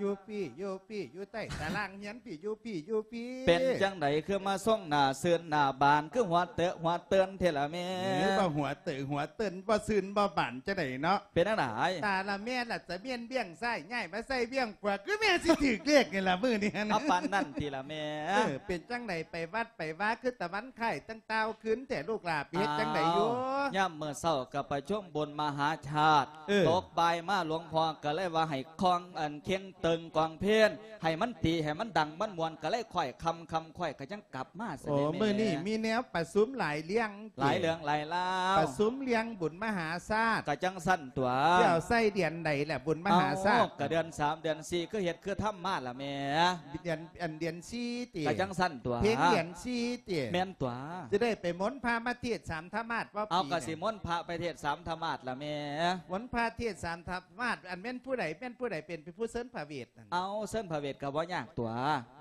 ຢູ່ພີ້ ຢູ່ພີ້ ຢູ່ໃຕ້ຕາລ່າງຮຽນພີ້ ຢູ່ພີ້ ຢູ່ພີ້. ເປັນຈັ່ງໃດຄືມາຊົງໜ້າຊື່ນໜ້າບານ ຄືຫົວເຕີຫົວເຕີນແທ້ລະແມ່? ເອີ ບໍ່ຫົວເຕີຫົວເຕີນ ບໍ່ຊື່ນບໍ່ບານຈັ່ງໃດເນາະ? ເປັນຈັ່ງໃດ? ຕາລະແມ່ລະຈະແມ່ນບ້ຽງຊ້າຍ ຍ້າຍມາໃສ່ບ້ຽງຂວາ ຄືແມ່ຊິຖືກເລກນີ້ລະມື້ນີ້ຫັ້ນ. ເອົາປານນັ້ນຕິລະແມ່? ເອີ ເປັນຈັ່ງໃດ ໄປວັດໄປວາຄືຕາວັນຄ້າຍຕັ້ງຕ່າວຄືນແທ້ລູກຫຼ້າ ໄປເຮັດຈັ່ງໃດຢູ່? ອ້າວ ຍາມມື້ເຊົ້າກໍປະຊຸມບຸນມະຫາຊາດ ເອີ ຕົກບ່າຍມາ ຫຼວງພໍ່ກໍເລີຍວ່າໃຫ້ຄອງ ອັນ ເຄັ່ງຕຶງກອງເພງ ໃຫ້ມັນຕີ ໃຫ້ມັນດັງ ມັນມ່ວນ ກໍເລີຍຄ້ອຍຄ່ຳ ຄ່ຳຄ້ອຍກໍຈັ່ງກັບມາຊັ້ນ. ໂອ້ ແມ່ ມື້ນີ້ມີແນວປະຊຸມຫຼາຍເລື່ອງ ຫຼາຍເລື່ອງຫຼາຍລາວ ປະຊຸມເລື່ອງບຸນມະຫາຊາດ ກໍຈັ່ງຊັ້ນຕົວະ. ຊິເອົາໃສ່ເດືອນໃດລະບຸນມະຫາຊາດ? ເອົ້າ ກໍເດືອນສາມເດືອນສີ່ ຄືເຮັດຄືທຳມາລະແມ່. ເດືອນ ອັນ ເດືອນສີ່ຕິ? ກໍຈັ່ງຊັ້ນຕົວະ ເພັງເດືອນສີ່ຕິ? ແມ່ນຕົວະ. ຈະໄດ້ໄປມົນພະມາເທດສາມທະມາດບໍ່? ເອົາ ປີ ກໍຊິມົນພະໄປເທດສາມທະມາດລະແມ່. ມົນພະເທດສາມທະມາດ ອັນ ແມ່ນຜູ້ໃດ ແມ່ນຜູ້ໃດເປັນ ເປັນຜູ້ເຊີນພະເວດ? ເອົາ ເຊີນພະເວດກໍບໍ່ຍາກຕົວະ.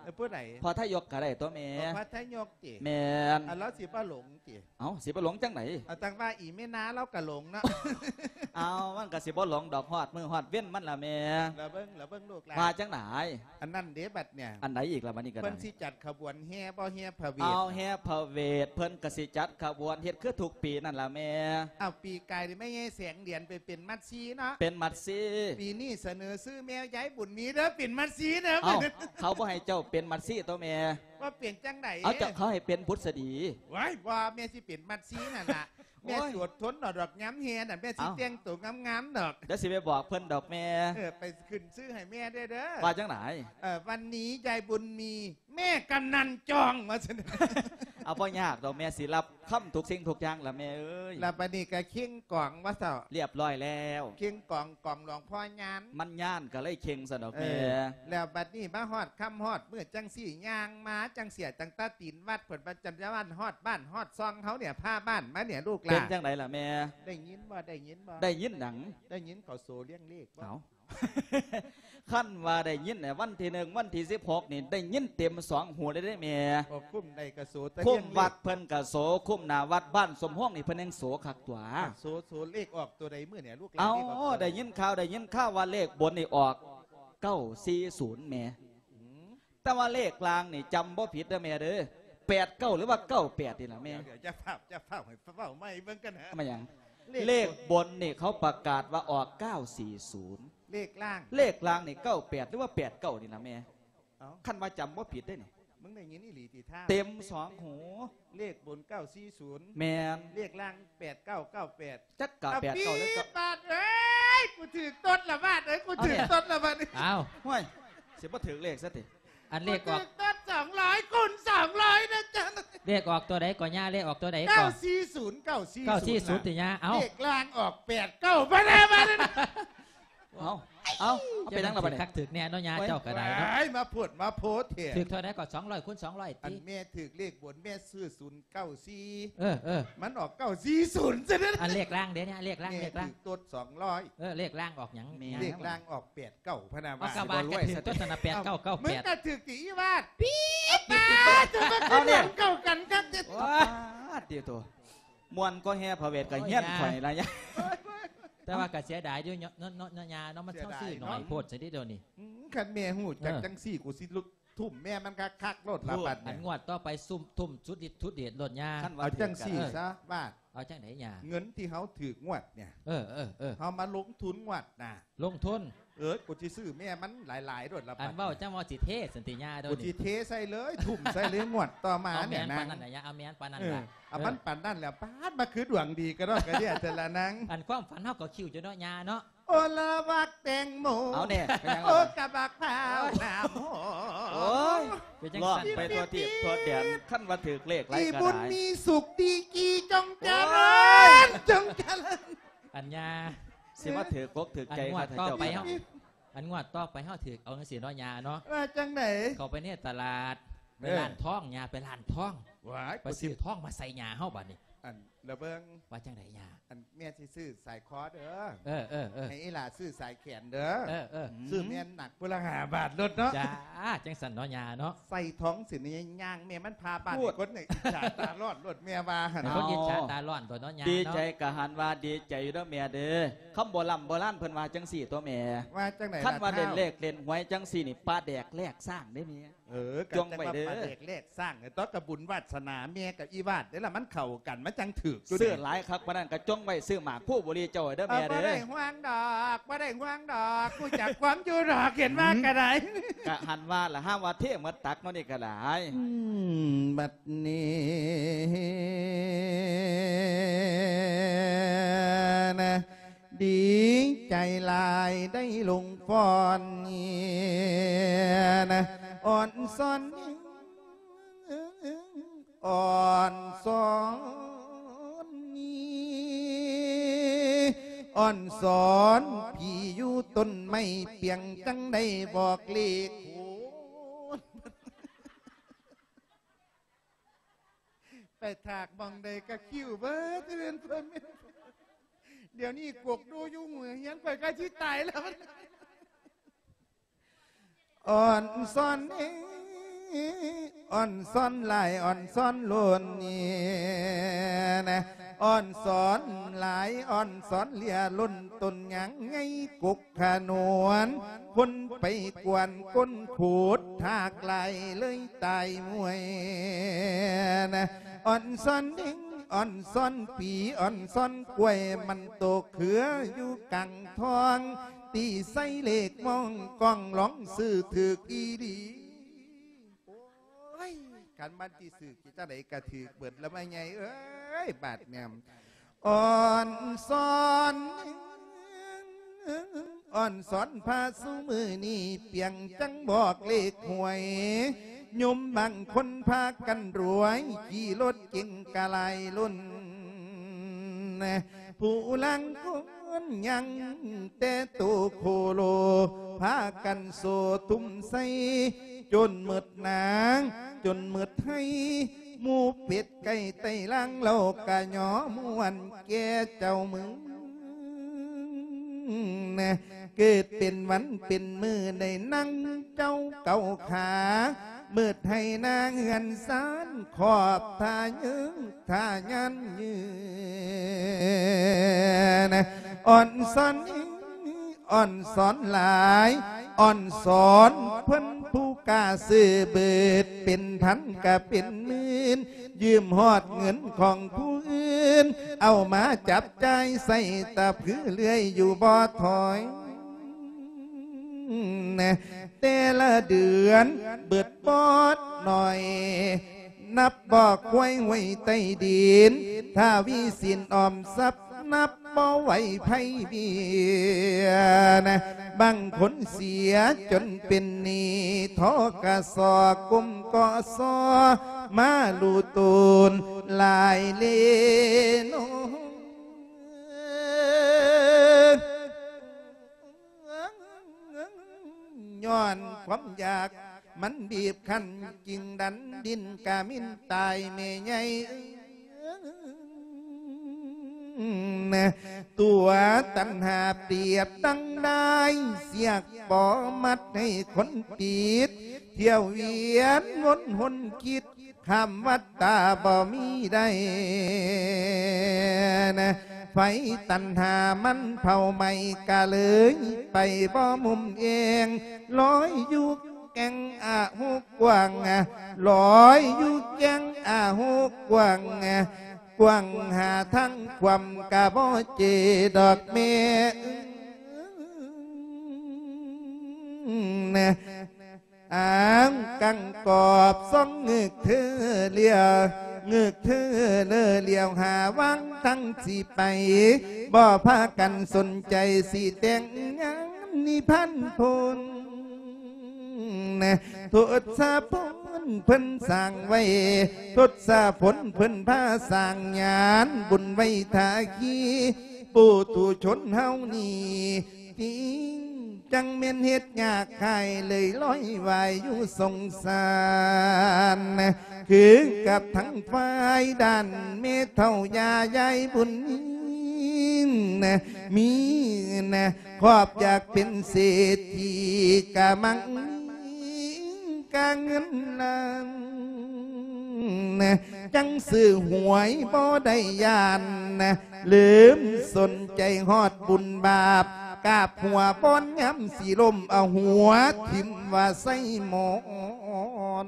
ເອີ ຜູ້ໃດ? ພໍ່ທະຍົກກໍໄດ້ຕົວະແມ່. ໂອ້ ພໍ່ທະຍົກຕິ? ແມ່ນ. ອັນ ລາວຊິບໍ່ຫຼົງຕິ? ເອົ້າ ຊິບໍ່ຫຼົງຈັ່ງໃດ? ເອົາ ຈັ່ງວ່າອີ່ແມ່ນາລາວກໍຫຼົງເນາະ. ເອົາ ມັນກໍຊິບໍ່ຫຼົງດອກ ຮອດມື້ຮອດເວັນມັນລະແມ່. ລະເບິ່ງ ລະເບິ່ງລູກຫຼານ ວ່າຈັ່ງໃດ? ອັນນັ້ນເດ້ບັດເນີ້ຍ. ອັນໃດອີກລະບັດນີ້ກໍໄດ້? ເພິ່ນຊິຈັດຂະບວນແຫ່ບໍ່ ແຫ່ພະເວດ? ເອົາ ແຫ່ພະເວດ ເພິ່ນກໍຊິຈັດຂະບວນເຮັດຄືທຸກປີນັ້ນລະແມ່. ເອົາ ປີກາຍນີ້ແມ່ໃຫຍ່ແສງດຽນໄປເປັນໝັດຊີເນາະ. ເປັນໝັດຊີ. ປີນີ້ສະເໜີຊື່ແມ່ຍາຍບຸນມີເດີ ເປັນໝັດຊີເດີ. ເອົ້າ ເຂົາບໍ່ໃຫ້ເຈົ້າເປັນໝັດຊີຕົວະແມ່. ວ່າເປັນຈັ່ງໃດ? ເອົາ ເຈົ້າ ເຂົາໃຫ້ເປັນບຸດສະດີ. ວ້າຍ ບໍ່ ແມ່ຊິເປັນໝັດຊີນັ້ນລະ. ໂອ້ຍ ແມ່ຊິອົດທົນເອົາດອກ ຍາມແຫ່ນັ້ນແມ່ຊິ ເອົ້າ ແຕ່ງໂຕງາມໆດອກ. ດຽວຊິໄປບອກເພິ່ນດອກແມ່. ເອີ ໄປຂຶ້ນຊື່ໃຫ້ແມ່ແດ່ເດີ. ວ່າຈັ່ງໃດ? ເອີ ວັນນີ້ຍາຍບຸນມີ ແມ່ກຳນັນຈອງ ວ່າຊັ້ນ. ເອົາ ບໍ່ຍາກດອກ ແມ່ຊິຮັບຄຳທຸກສິ່ງທຸກຢ່າງລະແມ່ເອີຍ. ລະບັດນີ້ກໍເຄັ່ງກອງວ່າເຖົ້າ ລຽບຮ້ອຍແລ້ວ. ເຄັ່ງກອງ ກອງຫຼວງພໍ່ຍານ ມັນຍານກໍເລີຍເຄັ່ງຊັ້ນດອກແມ່. ເອີ ແລ້ວບັດນີ້ມາຮອດຄ່ຳຮອດມື້ຈັ່ງຊີ້ ຍ່າງມາຈັ່ງເສຍ ຕັ້ງແຕ່ຕີນວັດພຸ້ນ ປະຈຳວັນຮອດບ້ານຮອດຊ່ອງເຮົານີ້ ພາບ້ານມານີ້ລູກຫຼານ. ເປັນຈັ່ງໃດລະແມ່? ໄດ້ຍິນບໍ່? ໄດ້ຍິນບໍ່? ໄດ້ຍິນຫຍັງ? ໄດ້ຍິນເຂົາໂສລຽງເລກບໍ່? ເອົ້າ ຄັນວ່າໄດ້ຍິນ ວັນທີໜຶ່ງ ວັນທີສິບຫົກນີ້ ໄດ້ຍິນເຕັມສອງຫູເລີຍເດ້ແມ່. ໂອ້ ຄຸ້ມໃດກໍໂສ ແຕ່ ຄຸ້ມວັດເພິ່ນກໍໂສ ຄຸ້ມໜ້າວັດບ້ານສົມພວງນີ້ເພິ່ນຍັງໂສຄັກຕົວະ. ໂສ ໂສເລກອອກຕົວໃດມື້ນີ້ລູກຫຼານ? ເອົ້າ ໄດ້ຍິນຂ່າວ ໄດ້ຍິນຂ່າວວ່າເລກບົນນີ້ອອກເກົ້າສີ່ສູນແມ່. ອືມ ແຕ່ວ່າເລກລ່າງນີ້ຈຳບໍ່ຜິດເດີແມ່ເດີ ແປດເກົ້າ ຫຼືວ່າເກົ້າແປດນີ້ລະແມ່. ດຽວ ດຽວ ຢ່າຟ້າວ ຢ່າຟ້າວ ໃຫ້ເວົ້າໃໝ່ເບິ່ງກັນນະ. ແມ່ນຫຍັງ? ເລກບົນນີ້ເຂົາປະກາດວ່າອອກເກົ້າສີ່ສູນ ເລກລ່າງ ເລກລ່າງນີ້ເກົ້າແປດ ຫຼືວ່າແປດເກົ້ານີ້ລະແມ່. ເອົ້າ ຄັນວ່າຈຳບໍ່ຜິດເດ້ນີ້ ມຶງໄດ້ຍິນອີ່ຫຼີຕິທ່າ? ເຕັມສອງຫູ. ເລກບົນເກົ້າສີ່ສູນ ແມ່ນ. ເລກລ່າງແປດເກົ້າເກົ້າແປດ. ຈັກກະແປດເກົ້າແລ້ວກໍ ບາດເອີຍ ກູຖືກຕົດລະບາດເອີຍ ກູຖືກຕົດລະບາດນີ້. ອ້າວ ຫ້ວຍ ຊິບໍ່ຖືກເລກຊະຕິ? ອັນເລກອອກ ກູຖືກຕົດສອງຮ້ອຍຄູນສອງຮ້ອຍນະຈັນ. ເລກອອກຕົວໃດກໍຍ່າ? ເລກອອກຕົວໃດກໍ? ເກົ້າສີ່ສູນ ເກົ້າສີ່ສູນ ເກົ້າສີ່ສູນຕິຍ່າ? ເອົ້າ ເລກລ່າງອອກແປດເກົ້າ ບາດນີ້ ບາດນີ້. ເອົາ ເອົາ ເປັນຫຍັງລະບາດນີ້? ຄັກຖືກແນ່ເນາະ ຍ່າເຈົ້າກໍໄດ້ເນາະ. ໂອ້ຍ ມາໂພດມາໂພເທ. ຖືກເທົ່າໃດກໍ? ສອງຮ້ອຍຄູນສອງຮ້ອຍຕິ. ອັນແມ່ຖືກເລກບົນ ແມ່ຊື້ສູນເກົ້າສີ່ ເອີ ເອີ ມັນອອກເກົ້າສີ່ສູນຊະເດ້. ອັນເລກລ່າງເດ້ນີ້ ເລກລ່າງ ເລກລ່າງ ແມ່ຖືກຕົດສອງຮ້ອຍ. ເອີ ເລກລ່າງອອກຫຍັງ? ແມ່ ເລກລ່າງອອກແປດເກົ້າ ພະນາວ່າ. ເອົາ ຊິບໍ່ລວຍຊະຕິ? ເຈົ້ານັ້ນນະ ແປດເກົ້າເກົ້າແປດ. ມຶງກໍຖືກຕິອີວາດ. ປີດ ປາດ ຈະມາຂຶ້ນດວງເຂົ້າກັນຄັກແທ້. ປາດ ຕິໂຕ ມ່ວນກໍແຫ່ພະເວດກໍຮຽນຂ້ອຍລະຍາ. ໂອ້ຍ ໂອ້ຍ ໂອ້ຍ ແຕ່ວ່າກໍເສຍດາຍຢູ່ເນາະ ເນາະ ເນາະ ຍ່າເນາະ ມັນ ເສຍດາຍ ເຮົາຊື້ໜ້ອຍ ເນາະ ໂພດຊະເດດຽວນີ້. ອືມ ຄັນແມ່ຮູ້ຈັກ ເອີ ຈັ່ງຊີ້ ກູຊິລຸກທຸ່ມແມ່ມັນຄັກໆໂລດລະບັດນີ້. ອັນງວດຕໍ່ໄປຊຸ່ມທຸ່ມສຸດລິດສຸດເດດໂລດຍ່າ. ເອົາຈັ່ງຊີ້ຊະ ເອີ ບາດ ເອົາຈັ່ງໃດຍ່າ? ເງິນທີ່ເຮົາຖືກງວດນີ້ ເອີ ເອີ ເອີ ເຮົາມາລົງທຶນງວດໜ້າ. ລົງທຶນ. ເອີ ກູຊິຊື້ແມ່ມັນຫຼາຍໆໂລດລະບັດ. ອັນເວົ້າຈັ່ງວ່າຊິເທຊັ້ນຕິຍ່າໂດນ. ກູຊິເທໃສ່ເລີຍ ທຸ່ມໃສ່ເລີຍ ງວດຕໍ່ມານີ້ນະ. ເອົາແມ່ນປານນັ້ນລະ ເອົາແມ່ນປານນັ້ນລະ. ເອີ ເອົາມັນປານນັ້ນແລ້ວ ປາດ ມາຄືດວງດີກະດອກກະເດຍແຕ່ລະນາງ. ອັນຄວາມຝັນເຮົາກໍຄິວຢູ່ເນາະຍ່າເນາະ. ໂອ້ ລະວັກແຕງໂມ ເອົາແນ່ ເປັນຫຍັງລະ? ໂອ້ ກະບັກພ້າວໜ້າໂມ. ໂອ້ຍ ເປັນຈັ່ງຊັ້ນ ຮ້ອງໄປທົ່ວທີບທົ່ວແດນ ຄັນວ່າຖືກເລກຫຼາຍກໍຫຼາຍ. ອີບຸນມີສຸກດີກີ ຈົ່ງຈະເລີນ ຈົ່ງຈະເລີນ. ອັນຍ່າ ຊິມາຖືກອົກຖືກໃຈຂ້າພະເຈົ້າ. ອັນງວດຕໍ່ໄປເຮົາ ອັນງວດຕໍ່ໄປເຮົາຖືກເອົາຈັ່ງຊີ້ເນາະຍ່າເນາະ. ວ່າຈັ່ງໃດ? ເຂົ້າໄປໃນຕະຫຼາດ ໄປ ເອີ ຮ້ານທອງ ຍ່າໄປຮ້ານທອງ ວ້າຍ ໄປຊື້ທອງມາໃສ່ຍ່າເຮົາບາດນີ້ ອັນ ລະເບິ່ງ ວ່າຈັ່ງໃດຍ່າ? ອັນ ແມ່ຊິຊື້ສາຍຄໍເດີ ເອີ ເອີ ເອີ ໃຫ້ອີ່ຫຼ້າຊື້ສາຍແຂນເດີ ເອີ ເອີ ອືມ ຊື້ແມ່ນໜັກພຸ້ນລະຫ້າບາດໂລດເນາະ ຈ້າ ຈັ່ງຊັ້ນເນາະຍ່າເນາະ ໃສ່ທອງຊິນຍ່າງແມ່ມັນພາບາດ ໂອ້ຍ ຄົນນີ້ອິດສາຕາຮ້ອນໂລດ ແມ່ວ່າຫັ້ນ ໃຫ້ຄົນອິດສາຕາຮ້ອນໂລດເນາະຍ່າເນາະ ດີໃຈກະຫັ້ນວ່າດີໃຈຢູ່ເດີແມ່ເດີ ຄຳໂບລຳໂບລານເພິ່ນວ່າຈັ່ງຊີ້ຕົວະແມ່ ວ່າຈັ່ງໃດ ຄັນວ່າ ລະທ້າວ ເລ່ນເລກເລ່ນຫວຍຈັ່ງຊີ້ນີ້ ປາແດກແລກຊ້າງເດ້ແມ່ ເອີ ກະ ຈ່ອງໄວ້ເດີ ຈັ່ງວ່າປາແດກແລກຊ້າງ ຕອນກະບຸນວາດສະໜາແມ່ກັບອີ່ວາດເດ້ລະ ມັນເຂົ້າກັນ ມັນຈັ່ງຖືກຢູ່ ຊື້ ເດ້ ຫຼາຍຄັກປານນັ້ນກະຈ່ອງໄວ້ ຊື້ໝາກພູບໍລີເຈົ້າເດີແມ່ເດີ ບໍ່ໄດ້ຫ່ວງດອກ ບໍ່ໄດ້ຫ່ວງດອກ ຮູ້ຈັກຄວາມຢູ່ດອກ ເຫັນວ່າ ອືມ ກະໄດ້ ກະຫັ້ນວ່າລະ ຫາວ່າເທໝົດຕັກເນາະນີ້ກະໄດ້ ອືມ ບັດນີ້ນະ ດີໃຈຫຼາຍໄດ້ລົງຟ້ອນນີ້ນະ ອ່ອນຊອນ ອ່ອນຊອນນີ້ ອ່ອນຊອນຜີຢູ່ຕົ້ນໄມ້ປຽງ ຈັ່ງໄດ້ບອກເລກ ໂອ້ຍ ໄປຖາກໝ່ອງໃດກະຄິວເບີດ ດຽວນີ້ກົກດູຢູ່ຫູຮຽນ ຂ້ອຍກະຊິຕາຍແລ້ວ ອ່ອນຊອນເອີ ອ່ອນຊອນຫຼາຍ ອ່ອນຊອນລົ້ນນີ້ນະ ອ່ອນຊອນຫຼາຍ ອ່ອນຊອນເຫຼຍລົ້ນ ຕົ້ນຍາງໃຫຍ່ກົກ ຂະໜວນ ຄົນໄປກວນກົ້ນຂູດ ຖາກຫຼາຍເລີຍຕາຍມວຍນະ ອ່ອນຊອນເດັງ ອ່ອນຊອນປີ ອ່ອນຊອນກ້ວຍ ມັນໂຕເຄືອຢູ່ກາງທອງ ຕີໃສ່ເລກມອງກ້ອງ ລອງຊື້ຖືກອີ່ຫຼີ ໂອ້ຍ ຄັນມັນຊິຖືກຈັ່ງໃດກະຖືກເບິດລະ ແມ່ໃຫຍ່ເອີຍ ບາດແນມ ອ່ອນຊອນ ອ່ອນຊອນພະຊຸມື້ນີ້ ປຽງຈັງບອກເລກຫວຍ ໂຍມບາງຄົນພາກັນລວຍ ຂີ່ລົດເກັງກະຫຼາຍລຸ້ນ ຜູ້ລາງຄົນຍັງແຕ່ໂຕໂຄໂລ ພາກັນໂຊທຸ່ມໃສ່ ຈົນໝົດໜາ ຈົນໝົດໄຮ່ ໝູເປັດໄກ່ໄຕ່ລາງ ເຫຼົ່າກະຍໍມ່ວນແກ່ເຈົ້າເມືອງ ເກີດເປັນວັນເປັນມື້ໄດ້ນັ່ງເຈົ້າເກົາຂາ ມືດໄຮ່ນາເຮືອນຊານ ຂອບທ່າຍື ທ່າຍານຍືນ ອ່ອນຊອນ ອ່ອນຊອນຫຼາຍ ອ່ອນຊອນເພິ່ນຜູ້ກ້າຊື່ເບີດ ເປັນພັນກະເປັນໝື່ນ ຢືມຮອດເງິນຂອງຜູ້ອື່ນ ເອົາມາຈັບຈ່າຍໃຊ້ຕະຜືເລື້ອຍຢູ່ບໍ່ຖອຍ ແຕ່ລະເດືອນເບິດບໍ່ໜ້ອຍ ນັບບໍ່ຄວຍຫ້ວຍໃຕ້ດິນ ຖ້າວິສິນອອມຊັບ ນັບບໍ່ໄຫວໄພວຽນ ບາງຄົນເສຍຈົນເປັນໜີ້ ທກສ ກົມກສ ມາລຸໂຕນຫຼາຍເລໂນ ຍ້ອນຄວາມຢາກມັນບີບຄັ້ນ ຈຶ່ງດັນດິ້ນກະມິນຕາຍແມ່ໃຫຍ່ເອີຍ ຕົວຕັນຫາປຽບດັ່ງດ້າຍ ສຽກປໍມັດໃຫ້ຄົນຕິດ ທ່ຽວວຽນວົນຫົນຄິດ ຂ້າມວັດຕາບໍ່ມີໄດ້ ໄຟຕັນຫາມັນເຜົາໄໝ້ ກະເລີຍໄປບໍ່ມຸມເອງ ລອຍຢູ່ແກ່ງອາຫຸກວ້າງ ລອຍຢູ່ແກ່ງອາຫຸກວ້າງ ກວ້າງຫາທາງຄວາມກະບໍ່ເຈດອກແມ່ ອ້າງກັງກອບສອງງຶກເທີລຽວ ງຶກເທີເລີລຽວຫາວັງທັງຊິໄປ ບໍ່ພາກັນສົນໃຈຊິແຕ່ງງານນິພັນພົນ ທົດສະພົນເພິ່ນສ້າງໄວ້ ທົດສະພົນເພິ່ນພາສ້າງຍານບຸນໄວ້ທ່າຄີ ປຸຖຸຊົນເຮົານີ້ຕິງ ຈັ່ງແມ່ນເຮັດຍາກຂາຍເລີຍລອຍວ່າຍຢູ່ສົງສານ ຄືກັບທັງຝ່າຍດ້ານແມ່ເຖົ້າຍ່າຍາຍບຸນມີນະ ມີນະ ຄອບຢາກເປັນເສດຖີກະມັງມີກະເງິນລ້ານນະ ຈັ່ງຊື້ຫວຍບໍ່ໄດ້ຢ້ານນະ ລືມສົນໃຈຮອດບຸນບາບ ກາບຫົວບ່ອນຍາມຊິລົ້ມ ເອົາຫົວຖິ້ມວ່າໃສ່ໝອນ.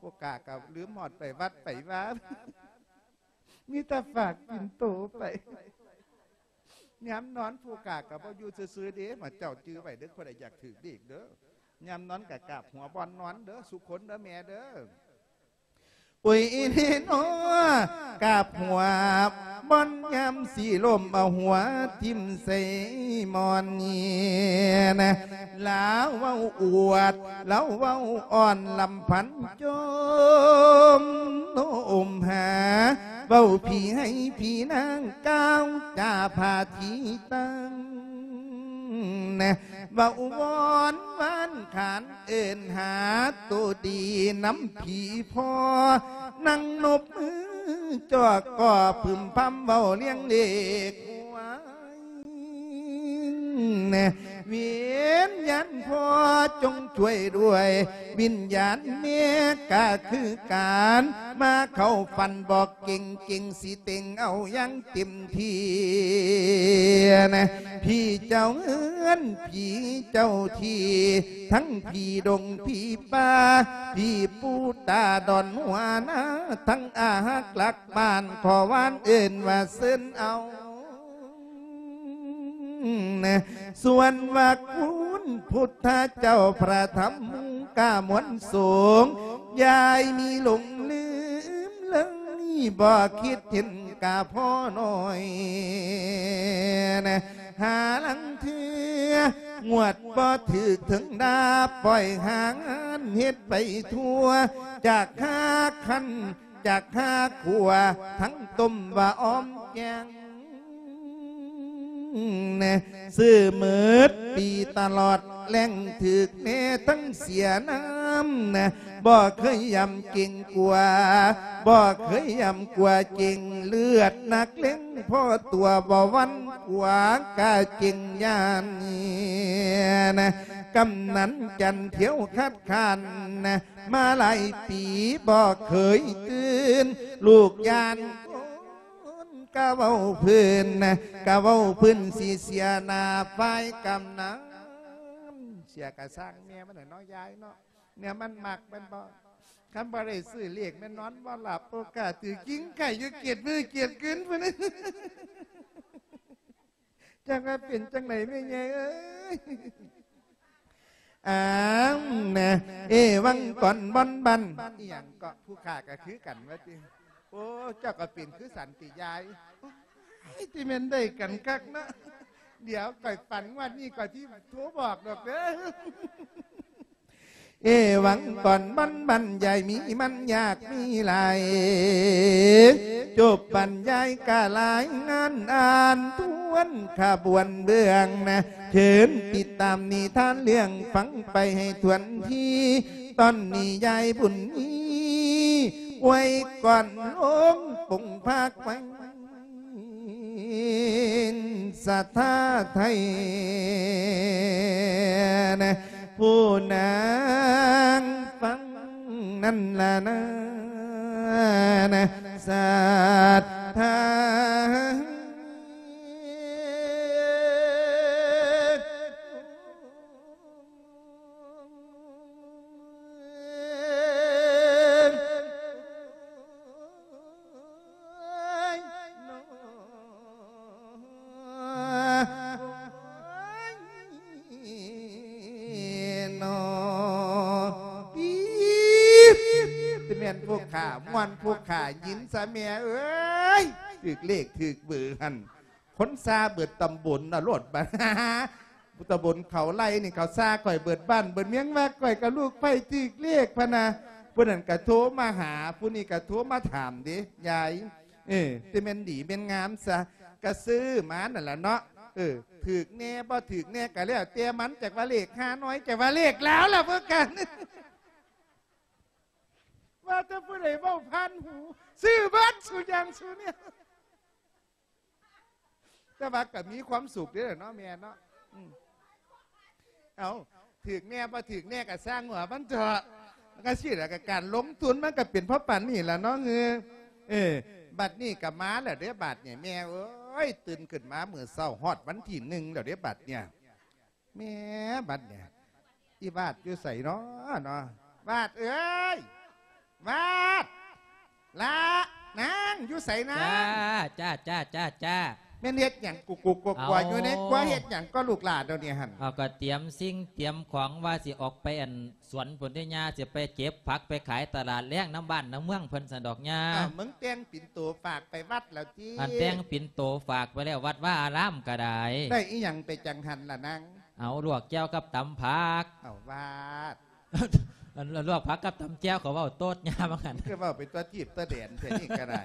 ພວກຂ້າກໍລືມຮອດໄປວັດໄປວາ ມີແຕ່ຝາກປິ່ນໂຕໄປ. ຍາມນອນຜູ້ຂ້າກໍບໍ່ຢູ່ຊື່ໆເດ້ ໝູ່ເຈົ້າຈື່ໄວ້ເດີ້ ຜູ້ໃດຢາກຖືກເລກເດີ້ ຍາມນອນກໍກາບຫົວບ່ອນນອນເດີ້ ສຸຄົນເດີ້ແມ່ເດີ້. ໂອ້ຍເນນໍ ກາບຫົວບ່ອນຍາມຊິລົ້ມ ເອົາຫົວຖິ້ມໃສ່ໝອນນີ້ນະ ລາວເວົ້າອວດ ລາວເວົ້າອ່ອນລຳພັນຈົ່ມໂນ້ມຫາ ເວົ້າຜີໃຫ້ຜີນາງກ່າວຈາພາທີຕັ້ງນະ ເວົ້າວອນວານຂານເອີ້ນຫາໂຕດີນຳຜີພໍ່ ນັ່ງນົບມືຈອກກໍພຶມພຳເວົ້າລຽງເລກ ວຽນຍານພໍ່ຈົ່ງຊ່ວຍດ້ວຍ ວິນຍານແມ່ກະຄືກັນ ມາເຂົ້າຝັນບອກເກັ່ງ ເກັ່ງຊິເຕັງເອົາຢ່າງເຕັມທີ່ນະ ຜີເຈົ້າເຮືອນ ຜີເຈົ້າທີ່ ທັງຜີດົງຜີປ່າ ຜີປູຕາດອນຫົວນາ ທັງອາຮັກລັກບ້ານ ຂໍວານເອີ້ນວ່າເຊີນເອົາ ສ່ວນວ່າຄຸນພຸດທະເຈົ້າ ພະທຳກະມວນສົງ ຢ່າໃຫ້ມີຫຼົງລືມເລີຍ ບໍ່ຄິດເຫັນກະພໍໜ້ອຍນະ ຫາລາງເທື່ອງວດບໍ່ຖືກເຖິງດາ ປ່ອຍຫາງານເຮັດໄປທົ່ວ ຈາກຫາຄັນ ຈາກຫາຂົ້ວ ທັງຕົ້ມວ່າອອມແກງ ຊື້ໝົດປີຕະຫຼອດແລ້ງ ຖືກແນ່ທັງເສຍນ້ຳນະ ບໍ່ເຄີຍຢ້ຳເກງກົວ ບໍ່ເຄີຍຢ້ຳກົວເກງ ເລືອດນັກເລັງພໍຕົວ ບໍ່ຫວັ່ນກົວກະເກງຢ້ານນະ ກຳນັນຈັນທຽວຄັດຄ້ານນະ ມາຫຼາຍປີບໍ່ເຄີຍຕື່ນ ລູກຢ້ານຄົນກະເວົ້າພື້ນນະ ກະເວົ້າພື້ນຊິເສຍໜ້າຝ່າຍກຳນັນ ເສຍກະຊ່າງແມ່ມັນແຫຼະເນາະ ຍາຍເນາະ ແນວມັນມັກແມ່ນບໍ່ ຄັນບໍ່ໄດ້ຊື້ເລກແມ່ນນອນບໍ່ຫຼັບ ໂອກາດຖືກກິນໄກ່ຢູ່ເກດມື້ເກດຄືນພຸ້ນ ຈັກວ່າເປັນຈັ່ງໃດແມ່ໃຫຍ່ເອີຍ ອ້າວນະ ເອວັງກອນບ່ອນບັນ ອີ່ຫຍັງເກາະ ຜູ້ຂ້າກໍຄືກັນວ່າຕິ ໂອ້ ເຈົ້າກໍເປັນຄືກັນຕິຍາຍ ໂອ້ຍ ຕິແມ່ນໄດ້ກັນຄັກເນາະ ດຽວຂ້ອຍຝັນງວດນີ້ຂ້ອຍຊິໂທບອກດອກເດີ. ເອວັງກ່ອນບັນບັນ ຢ່າມີມັນຍາກມີຫຼາຍ ຈົບບັນຍາຍກະລາຍງານອ່ານທວນຂະບວນເບື້ອງນະ ເຊີນຕິດຕາມນິທານເລື່ອງຟັງໄປໃຫ້ທວນທີ ຕອນນີ້ຍາຍບຸນມີ ອວຍກ່ອນລົງປົງພາກໄວ້ ສະຖາໄທນະ ຜູ້ນາງຟັງນັ້ນລະນານະ ສະຖາ. ຕິແມ່ນພວກຂ້າມ່ວນ ພວກຂ້າຍິນຊະແມ່ເອີຍ ຖືກເລກຖືກເບີຫັ້ນ. ຄົນຊາເບິດຕຳບົນນະໂລດບາດ ຕຳບົນເຂົາໄລ່ນີ້ເຂົາຊາຂ້ອຍເບິດບ້ານເບິດເມືອງ ວ່າຂ້ອຍກັບລູກໃພ້ຖືກເລກພະນະ. ຜູ້ນັ້ນກະໂທມາຫາ ຜູ້ນີ້ກະໂທມາຖາມເດ້ ຍາຍ ເອີ ແຕ່ແມ່ນດີແມ່ນງາມຊະ ກະຊື້ມານັ້ນລະເນາະ. ເອີ ຖືກແດ່ບໍ່ຖືກແດ່ກໍແລ້ວແຕ່ມັນ ຈັກວ່າເລກຮ່ານ້ອຍ ຈັກວ່າເລກລາວລະເບິ່ງກັນ ວ່າແຕ່ຜູ້ໃດເວົ້າຜ່ານຫູ ຊື້ເບິດສູ່ຢ່າງສູ່ແນວ ແຕ່ວ່າກໍມີຄວາມສຸກເດ້ເນາະແມ່ເນາະ ອືມ ເອົ້າ ຖືກແດ່ບໍ່ຖືກແດ່ກໍຊ່າງຫົວມັນເຖາະ ມັນກໍຊີ້ແຫຼະ ກໍການລົງທຶນມັນກໍເປັນເພາະປານນີ້ລະເນາະ ເອີ ເອີ ບັດນີ້ກໍມາແລ້ວເດ້ ບາດນີ້ແມ່ເອີຍ ຕື່ນຂຶ້ນມາມື້ເຊົ້າຮອດວັນທີໜຶ່ງແລ້ວເດ້ ບັດນີ້ ແມ່ ບັດນີ້ ອີວາດຢູ່ໃສເນາະ ເນາະ ວາດເອີຍ ວາດ ລະ ນາງ ຢູ່ໃສນາງ? ຈ້າ ຈ້າ ຈ້າ ຈ້າ ແມ່ນເຮັດຫຍັງກຸກໆກົວໆຢູ່ໃນຄົວ ເຮັດຫຍັງກໍລູກຫຼານດຽວນີ້ຫັ້ນ? ເອົາ ກໍຕຽມສິ່ງຕຽມຂອງວ່າຊິອອກໄປອັນ ສວນພຸ້ນເດ້ຍ່າ ຊິໄປເກັບຜັກໄປຂາຍຕະຫຼາດແລງນຳບ້ານນຳເມືອງເພິ່ນຊັ້ນດອກຍ່າ. ອ້າວ ມຶງແຕ່ງປິ່ນໂຕຝາກໄປວັດແລ້ວຕິ? ອັນແຕ່ງປິ່ນໂຕຝາກໄປແລ້ວ ວັດວາອາລາມກໍໄດ້. ໄດ້ອີ່ຫຍັງໄປຈັ່ງຫັ້ນລະນາງ? ເອົາ ລວກແຈ່ວກັບຕຳຜັກ. ເອົາ ວາດ ອັນລວກຜັກກັບຕຳແຈ່ວ ເຂົາເວົ້າໂຕດຍ່າວ່າຊັ້ນ. ຄືເວົ້າເປັນຕົວທີບຕົວແດນແທ້ນີ້ກໍໄດ້.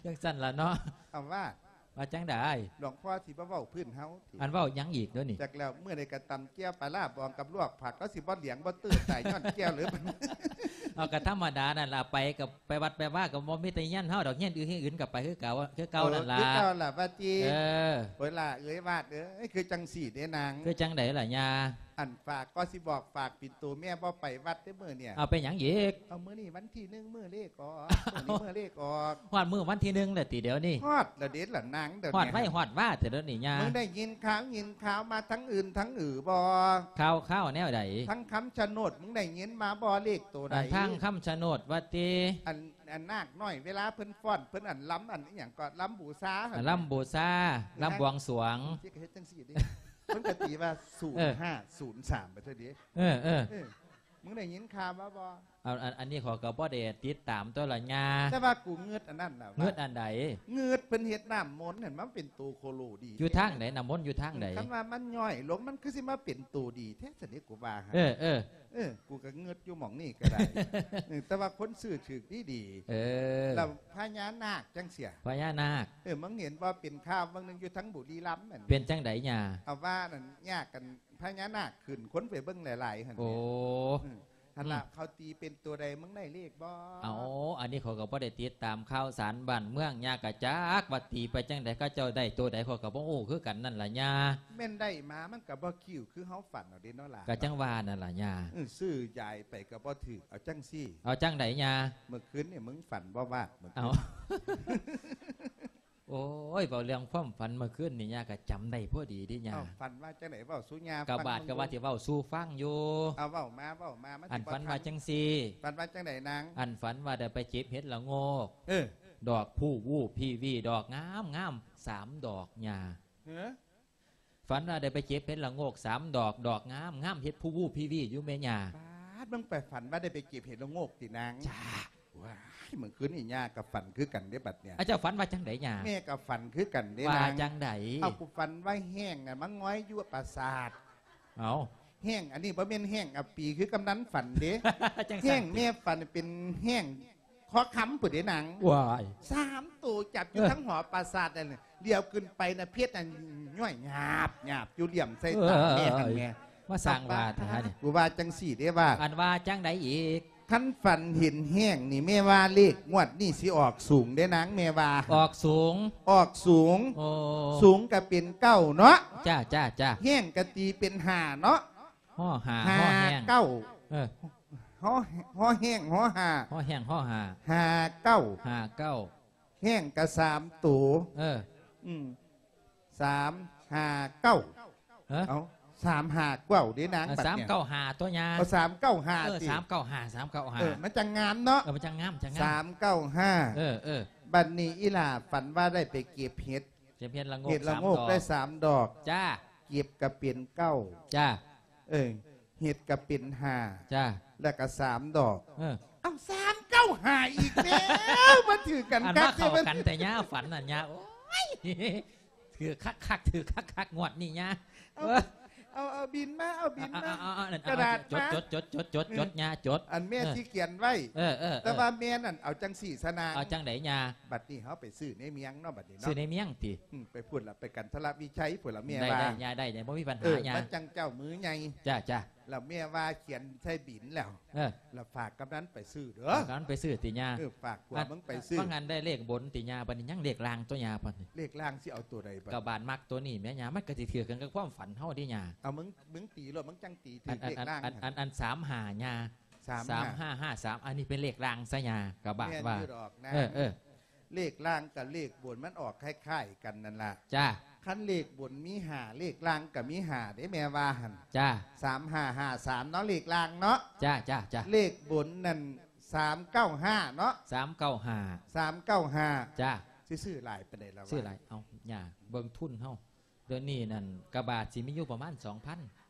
ຈັ່ງຊັ້ນລະເນາະ. ເອົາ ວາດ ວ່າຈັ່ງໃດ? ຫຼວງພໍ່ຊິບໍ່ເວົ້າພື້ນເຮົາຕິ? ອັນເວົ້າຫຍັງອີກເດີນີ້? ຈັກແລ້ວ ມື້ໃດກໍຕຳແຈ່ວປາລ້າບອງກັບລວກຜັກ ລາວຊິບໍ່ຫຼຽງບໍ່ຕື້ຕາຍຍ້ອນແຈ່ວເລີຍ. ເອົາ ກໍທຳມະດານັ້ນລະ ໄປກໍໄປວັດໄປວາກໍບໍ່ມີແຕ່ເຮືອນເຮົາດອກ ເຮືອນອື່ນເຮືອນອື່ນກໍໄປຄືເກົ່າ ຄືເກົ່ານັ້ນລະ. ເອີ ຄືເກົ່າລະວ່າຕິ? ເອີ ໂອ້ຍຫຼ້າເອີຍ ວາດເອີຍ ຄືຈັ່ງຊີ້ເດ້ນາງ. ຄືຈັ່ງໃດລະຍ່າ? ອັນ ຝາກກໍຊິບອກ ຝາກປິ່ນໂຕແມ່ບໍ່ໄປວັດເດ້ມື້ນີ້. ເອົາ ເປັນຫຍັງອີກ? ເອົາ ມື້ນີ້ວັນທີໜຶ່ງ ມື້ເລກອອກ ມື້ນີ້ມື້ເລກອອກ. ຮອດມື້ວັນທີໜຶ່ງແລ້ວຕິດຽວນີ້? ຮອດລະເດລະນາງ ດຽວນີ້ຮອດໄວຮອດວາແທ້ດຽວນີ້ຍ່າ. ມຶງໄດ້ຍິນຂ່າວ ຍິນຂ່າວມາທາງອື່ນທາງອື່ນບໍ່? ຂ່າວ ຂ່າວແນວໃດ? ທາງຄຳຊະໂນດ ມຶງໄດ້ຍິນມາບໍ່ ເລກໂຕໃດ? ທາງຄຳຊະໂນດວ່າຕິ? ອັນ ອັນນາກນ້ອຍ ເວລາເພິ່ນຟ້ອນ ເພິ່ນອັນລຳ ອັນອີ່ຫຍັງກໍລຳບູຊາ ລຳບູຊາ ລຳບວງສວງ. ຊິເຮັດຈັ່ງຊີ້ເດ້ ເພິ່ນກໍຕີວ່າ ເອີ ສູນຫ້າ ສູນສາມ ໄປເທື່ອເດ້. ເອີ ເອີ ເອີ ມຶງໄດ້ຍິນຂ່າວມາບໍ່? ອັນ ອັນ ອັນນີ້ຂ້ອຍກໍບໍ່ໄດ້ຕິດຕາມຕົວະລະຍ່າ. ແຕ່ວ່າກູງຶດອັນນັ້ນນະ. ງຶດອັນໃດ? ງຶດເພິ່ນເຮັດນ້ຳມົນຫັ້ນ ມັນເປັນໂຕໂຄໂລດີ. ຢູ່ທາງໃດ? ນ້ຳມົນຢູ່ທາງໃດ? ຄັນວ່າມັນຍ່ອຍລົງ ມັນຄືຊິມາເປັນໂຕດີແທ້ຊັ້ນເດ ກູວ່າຫັ້ນ. ເອີ ເອີ ເອີ ກູກໍງຶດຢູ່ໝ່ອງນີ້ກໍໄດ້. ເອີ ແຕ່ວ່າຄົນຊື້ຖືກດີໆ. ເອີ ແລ້ວພະຍານາກຈັ່ງເສຍ. ພະຍານາກ. ເອີ ມຶງເຫັນບໍ່ ເປັນຂ່າວເບິ່ງໜຶ່ງຢູ່ທາງບຸລີລຳນັ້ນ. ເປັນຈັ່ງໃດຍ່າ? ເອົາວ່ານັ້ນຍາກກັນ ພະຍານາກຂຶ້ນ ຄົນໄປເບິ່ງຫຼາຍໆຫັ້ນ. ໂອ້ ຫັ້ນລະ ເຂົາຕີເປັນຕົວໃດ ມຶງໄດ້ເລກບໍ່? ເອົາ ອັນນີ້ຂ້ອຍກໍບໍ່ໄດ້ຕິດຕາມຂ່າວສານບ້ານເມືອງ ຍ່າກໍຈັກວ່າຕີໄປຈັ່ງໃດ ເຂົາເຈົ້າໄດ້ຕົວໃດ ຂ້ອຍກໍບໍ່ຮູ້ຄືກັນນັ້ນລະຍ່າ. ແມ່ນໄດ້ມາ ມັນກໍບໍ່ຄິວຄືເຮົາຝັນເອົາເດ້ເນາະຫຼານ. ກໍຈັ່ງວ່ານັ້ນລະຍ່າ. ເອີ ຊື້ຢາຍໄປກໍບໍ່ຖືກ. ເອົາຈັ່ງຊີ້. ເອົາຈັ່ງໃດຍ່າ? ເມື່ອຄືນນີ້ມຶງຝັນບໍ່ວາດ ເມື່ອຄືນ. ໂອ້ຍ ເວົ້າເລື່ອງຄວາມຝັນເມື່ອຄືນນີ້ ຍ່າກໍຈຳໄດ້ພໍດີເດ້ຍ່າ. ເອົ້າ ຝັນວ່າຈັ່ງໃດ ເວົ້າສູ່ຍ່າຟັງ. ກໍບາດກໍວ່າຊິເວົ້າສູ່ຟັງຢູ່. ເອົາ ເວົ້າມາ ເວົ້າມາ ມັນ ອັນຝັນວ່າຈັ່ງຊີ້. ຝັນວ່າຈັ່ງໃດນາງ? ອັນຝັນວ່າໄດ້ໄປເກັບເຫັດລະໂງກ. ເອີ ດອກພູວູພີວີ ດອກງາມໆ ສາມດອກຍ່າ. ເອີ ຝັນວ່າໄດ້ໄປເກັບເຫັດລະໂງກສາມດອກ ດອກງາມໆ ເຫັດພູວູພີວີຢູ່ແມ່ຍ່າ. ປາດ ມຶງໄປຝັນວ່າໄດ້ໄປເກັບເຫັດລະໂງກຕິນາງ? ຈ້າ. ວ້າຍ ມື້ຄືນນີ້ຍ່າກໍຝັນຄືກັນເດ້ບັດເນີ້ຍ. ອາ ເຈົ້າຝັນວ່າຈັ່ງໃດຍ່າ? ແມ່ກໍຝັນຄືກັນເດ້ນາງ. ວ່າຈັ່ງໃດ? ເອົາ ກູຝັນວ່າແຫ້ງນະ ມາຫງອຍຢູ່ປາສາດ. ເອົາ ແຫ້ງ ອັນນີ້ບໍ່ແມ່ນແຫ້ງອາປີຄືກຳນັນຝັນເດ້. ຈັ່ງຊັ້ນ ແຫ້ງແມ່ຝັນເປັນແຫ້ງ ຄໍຄຳພຸ້ນເດ້ນາງ. ວ້າຍ ສາມໂຕຈັບຢູ່ ເອີ ທາງຫໍປາສາດນັ້ນ. ຫຼຽວຂຶ້ນໄປນະ ເພັດນັ້ນຍ້ອຍຫຍາບໆຢູ່ ຫຼຽມໃສ່ຕາແມ່ຫັ້ນແໝ່. ມາສ້າງວ່າແທ້ນີ້. ກູວ່າຈັ່ງຊີ້ເດ້ວ່າ. ອັນວ່າຈັ່ງໃດອີກ? ຄັນຝັນເຫັນແຫ້ງນີ້ ແມ່ວ່າເລກງວດນີ້ຊິອອກສູງເດ້ນາງ ແມ່ວ່າ. ອອກສູງ? ອອກສູງ. ໂອ້ ສູງກໍເປັນເກົ້າເນາະ. ຈ້າ ຈ້າ ຈ້າ. ແຫ້ງກໍຕີເປັນຫ້າເນາະ. ຫໍຫ້າ ຫໍແຫ້ງ ເກົ້າ. ເອີ ຫໍ ຫໍແຫ້ງ ຫໍຫ້າ ຫໍແຫ້ງ ຫໍຫ້າ ຫ້າເກົ້າ ຫ້າເກົ້າ. ແຫ້ງກໍສາມໂຕ. ເອີ ອືມ ສາມຫ້າເກົ້າ. ເອີ ເອົາ ສາມຫ້າເກົ້າເດ້ນາງ. ເອີ ບັດນີ້ ສາມເກົ້າຫ້າຕົວຍ່າ. ເອົາ ສາມເກົ້າຫ້າ ເອີ ຕິ ສາມເກົ້າຫ້າ ສາມເກົ້າຫ້າ. ເອີ ມັນຈັ່ງງາມເນາະ. ເອີ ມັນຈັ່ງງາມ ຈັ່ງງາມ. ສາມເກົ້າຫ້າ. ເອີ ເອີ ບັດນີ້ອີ່ຫຼ້າຝັນວ່າໄດ້ໄປເກັບເຫັດ ເກັບເຫັດລະໂງກ ເຫັດລະໂງກສາມດອກ ໄດ້ສາມດອກ. ຈ້າ. ເກັບກໍເປັນເກົ້າ. ຈ້າ. ເອີ ເຫັດກໍເປັນຫ້າ. ຈ້າ. ແລ້ວກໍສາມດອກ. ເອີ ເອົາ ສາມເກົ້າຫ້າອີກແລ້ວ ມາຖືກກັນ ອັນ ຄັກ ມາເຂົ້າກັນແທ້ຍ່າ ຝັນນັ້ນຍ່າ. ໂອ້ຍ ຖືກຄັກໆ ຖືກຄັກໆ ງວດນີ້ຍ່າ. ເອົາ ເອີ ເອົາ ເອົາບິນມາ ເອົາບິນມາ ເອົາ ເອົາ ເອົາ ເອົາ ຈົດ ຈົດ ຈົດ ເອີ ອັນແມ່ຊິຂຽນໄວ້ ເອີ ເອີ ເອີ ແຕ່ວ່າແມ່ນັ້ນເອົາຈັ່ງຊີ້ຊະນາງ ເອົາຈັ່ງໃດຍ່າ? ບັດນີ້ເຮົາໄປຊື້ໃນເມືອງເນາະ ບັດນີ້ເນາະ ຊື້ໃນເມືອງຕິ? ອືມ ໄປພຸ້ນລະ ໄປກັນທະລະວິໄຊພຸ້ນລະ ແມ່ວ່າ ໄດ້ ໄດ້ ໄດ້ ບໍ່ມີບັນຫາ ເອີ ຍ່າ ມັນຈັ່ງເຈົ້າມືໃຫຍ່ ຈ້າ ຈ້າ ລະແມ່ວ່າຂຽນໃສ່ບິນແລ້ວ ເອີ ລະຝາກກຳນັນໄປຊື້ເດີ ກຳນັນໄປຊື້ຕິຍ່າ? ເອີ ຝາກຜົວ ອັນ ມຶງໄປຊື້ ວ່າຫັ້ນໄດ້ເລກບົນຕິຍ່າ? ບັດນີ້ຍັງເລກລ່າງຕົວຍ່າ ບັດນີ້ເລກລ່າງຊິເອົາຕົວໃດບັດ? ກໍບ້ານມັກຕົວນີ້ແມ່ຍ່າ ມັນກໍຊິຖືກກັນກັບຄວາມຝັນເຮົາເດ້ຍ່າ. ເອົາ ມຶງ ມຶງຕີໂລດ ມຶງຈັ່ງຕີຖືກເລກລ່າງ ອັນ ອັນ ອັນ ອັນ ສາມຫ້າຍ່າ ສາມຫ້າ ສາມຫ້າຫ້າສາມ ອັນນີ້ເປັນເລກລ່າງຊະຍ່າ ກໍບາດວ່າ ແມ່ນຢູ່ດອກນະ ເອີ ເອີ ເລກລ່າງກັບເລກບົນມັນອອກຄ້າຍໆກັນນັ້ນລະ ຈ້າ ຄັນເລກບົນມີຫ້າ ເລກລ່າງກໍມີຫ້າເດ້ ແມ່ວ່າຫັ້ນ ຈ້າ ສາມຫ້າຫ້າສາມເນາະ ເລກລ່າງເນາະ ຈ້າ ຈ້າ ຈ້າ ເລກບົນນັ້ນ ສາມເກົ້າຫ້າເນາະ ສາມເກົ້າຫ້າ ສາມເກົ້າຫ້າ ຈ້າ ຊິຊື້ຫຼາຍປານໃດລະວະ? ຊື້ຫຼາຍ ເອົາຍ່າ ເບິ່ງທຶນເຮົາ ດຽວນີ້ນັ້ນກະບາດຊິມີຢູ່ປະມານສອງພັນ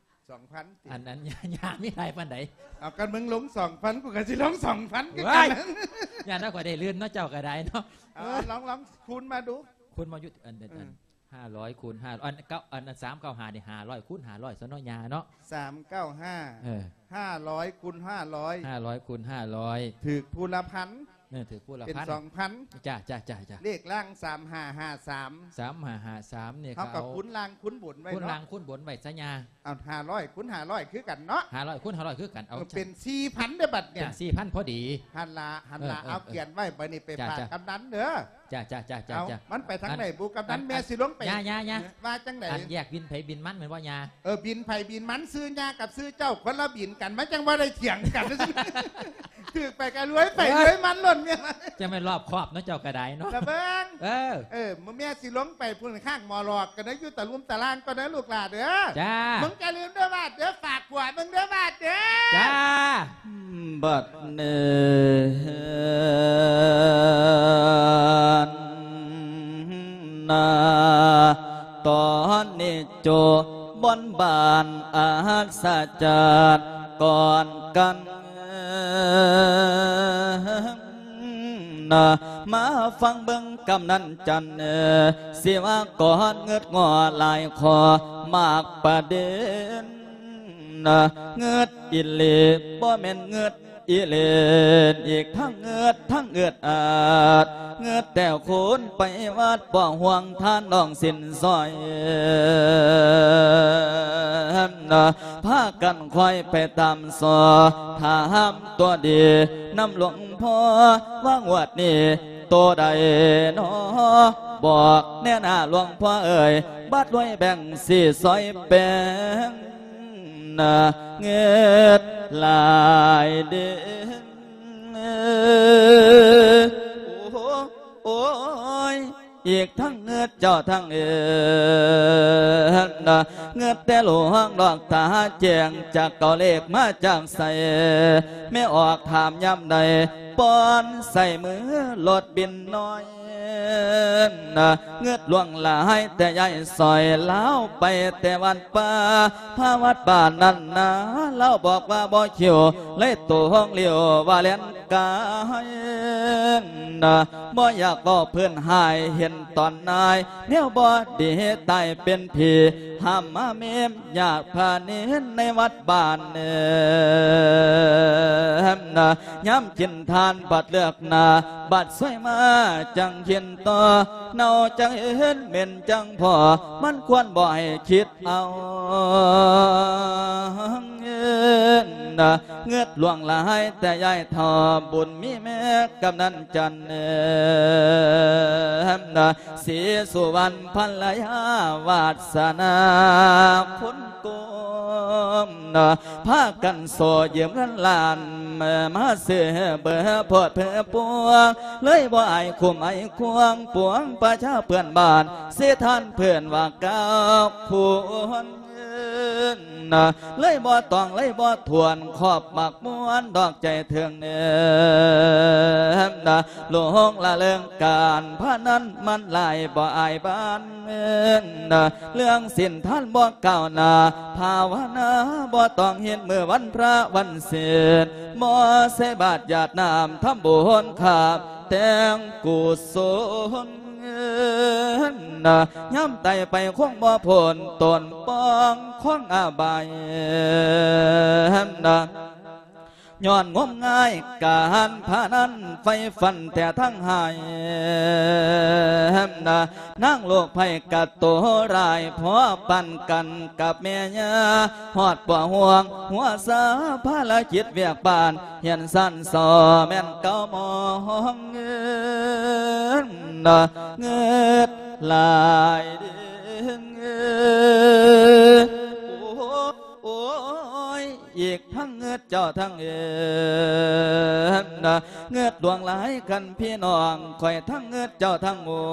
ສອງພັນຕິ? ອັນ ອັນ ຍ່າ ຍ່າມີຫຼາຍປານໃດ? ເອົາ ຄັນມຶງລົງສອງພັນ ກູກໍຊິລົງສອງພັນຄືກັນ ວ້າຍ ຢ້ານວ່າຂ້ອຍໄດ້ລື່ນເນາະ ເຈົ້າກໍໄດ້ເນາະ ເອົາ ລອງ ລອງຄູນມາດູ ຄູນມາຢູ່ ອັນ ອັນ ເອີ ອັນ ຫ້າຮ້ອຍຄູນຫ້າ ອັນ ເກົ້າ ອັນ ສາມເກົ້າຫ້ານີ້ ຫ້າຮ້ອຍຄູນຫ້າຮ້ອຍຊະເນາະຍ່າເນາະ ສາມເກົ້າຫ້າ ເອີ ຫ້າຮ້ອຍຄູນຫ້າຮ້ອຍ ຫ້າຮ້ອຍຄູນຫ້າຮ້ອຍ ຖືກຜູ້ລະພັນ ເອີ ຖືກຜູ້ລະພັນ ເປັນສອງພັນ ຈ້າ ຈ້າ ຈ້າ ຈ້າ ເລກລ່າງ ສາມຫ້າຫ້າສາມ ສາມຫ້າຫ້າສາມນີ້ ເຮົາກໍຄູນລ່າງຄູນບົນໄວ້ເນາະ ຄູນລ່າງຄູນບົນໄວ້ຊະຍ່າ ເອົາ ຫ້າຮ້ອຍຄູນຫ້າຮ້ອຍຄືກັນເນາະ ຫ້າຮ້ອຍຄູນຫ້າຮ້ອຍຄືກັນ ເອົາ ເອີ ເປັນສີ່ພັນເດີ້ບັດນີ້ ເປັນສີ່ພັນພໍດີ ຫັ້ນລະ ຫັ້ນລະ ເອີ ເອີ ເອົາ ຂຽນໄວ້ ບັດນີ້ໄປຝາກກຳນັນເດີ້ ຈ້າ ຈ້າ ເອົາ ມັນໄປທາງໃດບຸ ກຳນັນ ແມ່ຊິລົງໄປ ຍ່າ ຍ່າ ວ່າຈັ່ງໃດ? ອັນແຍກບິນໃຜບິນມັນແມ່ນບໍ່ຍ່າ? ເອີ ບິນໃຜບິນມັນ ຊື່ຍ່າກັບຊື່ເຈົ້າຄົນລະບິນກັນ ມັນຈັ່ງບໍ່ໄດ້ຖຽງກັນ ຖືກໄປກໍລວຍໄປ ເອີ ລວຍມັນໂລດແມ່ ຈັ່ງແມ່ນລອບຄອບເນາະ ເຈົ້າກໍໄດ້ເນາະ ລະເບິ່ງ ເອີ ເອີ ແມ່ຊິລົງໄປພຸ້ນ ຂ້າງໝໍຫຼອກກັນເດີ້ ຢູ່ຕະລຸ່ມຕະລ່າງກ່ອນເດີ້ລູກຫຼ້າເດີ້ ຈ້າ ມຶງຢ່າລືມເດີ້ບາດເດີ້ ຝາກຜົວມຶງເດີ້ບາດເດີ້ ຈ້າ ບັດນີ້ນາ ຕອນນີ້ໂຈບົນບານອັດສະຈາດກ່ອນກັນ ນະ ມາຟັງເບິ່ງກຳນັນຈັນ ເອີ ຊິວ່າກ່ອນ ງຶດງໍຫຼາຍຂໍ້ມາກປະເດັນ ນະ ງຶດອີ່ຫຼີ ບໍ່ແມ່ນງຶດອີ່ເລ່ນ ອີກທັງງຶດທັງອຶດອັດ ງຶດແຕ່ຄູນໄປວັດ ບໍ່ຫ່ວງທານນ້ອງສິນຊອຍ ນະ ພາກັນຄອຍໄປຕາມສໍ້ ຖາມຕົວດີນຳຫຼວງພໍ່ ວ່າງວດນີ້ໂຕໃດນໍ ບອກແນ່ນາຫຼວງພໍ່ເອີຍ ບາດລວຍແບ່ງສີຊອຍແປງ ນະ ງຶດຫຼາຍເດ ໂອ້ ໂອ້ຍ ອີກທັງງຶດເຈົ້າທັງເອີນ ນະ ງຶດແຕ່ຫຼວງດອກຕາແຈ້ງ ຈັກເອົາເລກມາຈາກໃສ ແມ່ອອກຖາມຍາມໃດ ປ້ອນໃສ່ມືໂລດບິນນ້ອຍ ນະ ງຶດຫຼວງຫຼາຍແຕ່ຍາຍຊອຍ ລາວໄປແຕ່ວັດປ່າ ພາວັດບ້ານນັ້ນນາ ລາວບອກວ່າບໍ່ຄິວ ເລີຍໂຕຫ້ອງຫຼຽວວ່າແລ່ນກາຍ ນະ ບໍ່ຢາກເວົ້າເພິ່ນຫາຍ ເຫັນຕອນນາຍ ແນວບໍ່ດີຕາຍເປັນຜີ ຫ້າມມາເມມ ຍາດພານິນໃນວັດບ້ານເນີມນະ ຍາມກິນທານບັດເລືອກໜ້າ ບັດສວຍມາຈັ່ງກິນຕໍ່ ເນົ່າຈັ່ງເຫັນເໝັນຈັ່ງພໍ ມັນຄວນບໍ່ໃຫ້ຄິດເອົານະ ງຶດຫຼວງຫຼາຍແຕ່ຍາຍເຖົ້າ ບຸນມີແມ່ກຳນັນຈັນເນີມນະ ສີສຸວັນພັນລະຍາ ວາດສະໜາຄຸນກຸມນະ ພາກັນໂຊຢືມເງິນລ້ານ ມາຊື້ເບີໂພດເພີປວງ ເລີຍບໍ່ອາຍຄຸ້ມອາຍຄວງ ປວງປະຊາເພື່ອນບ້ານ ເສຍທ່ານເພື່ອນວ່າກ້າວຄູນ ນະ ເລີຍບໍ່ຕ້ອງເລີຍບໍ່ຖ້ວນ ຄອບໝາກມ່ວນດອກໃຈເຖິງເນີມນະ ຫຼົງລະເລີງການພະນັນມັນຫຼາຍບໍ່ອາຍບ້ານເມືອງນະ ເລື່ອງສິນທານບໍ່ກ້າວໜ້າ ພາວະນາບໍ່ຕ້ອງເຮັດມື້ວັນພະວັນສິນ ບໍ່ໃສ່ບາດຢາດນ້ຳທຳບຸນຂາບ ແຕ່ງກຸສົນ ນະ ຍາມຕາຍໄປຄົງບໍ່ພົ້ນ ຕົນປ່ອງຂອງອະບາຍ ນະ ຍ້ອນງົມງາຍການພະນັນ ໄຟຟັນແຕ່ທັງຫາຍ ນະ ນາງໂລກໄພກະໂຕຮ້າຍ ພົວພັນກັນກັບແມ່ຍ່າ ຮອດບໍ່ຫ່ວງຫົວຊາ ພາລະກິດວຽກບ້ານ ຮຽນຊັ້ນຊໍແມ່ນເກົ່າໝອງ ເງິນ ເງິດຫຼາຍເດ້ ໂອ້ຍ ອີກທັງເງິດເຈົ້າທັງເອີນ ເງິດຫຼວງຫຼາຍຄັນພີ່ນ້ອງ ຂ້ອຍທັງເງິດເຈົ້າທັງໝູ່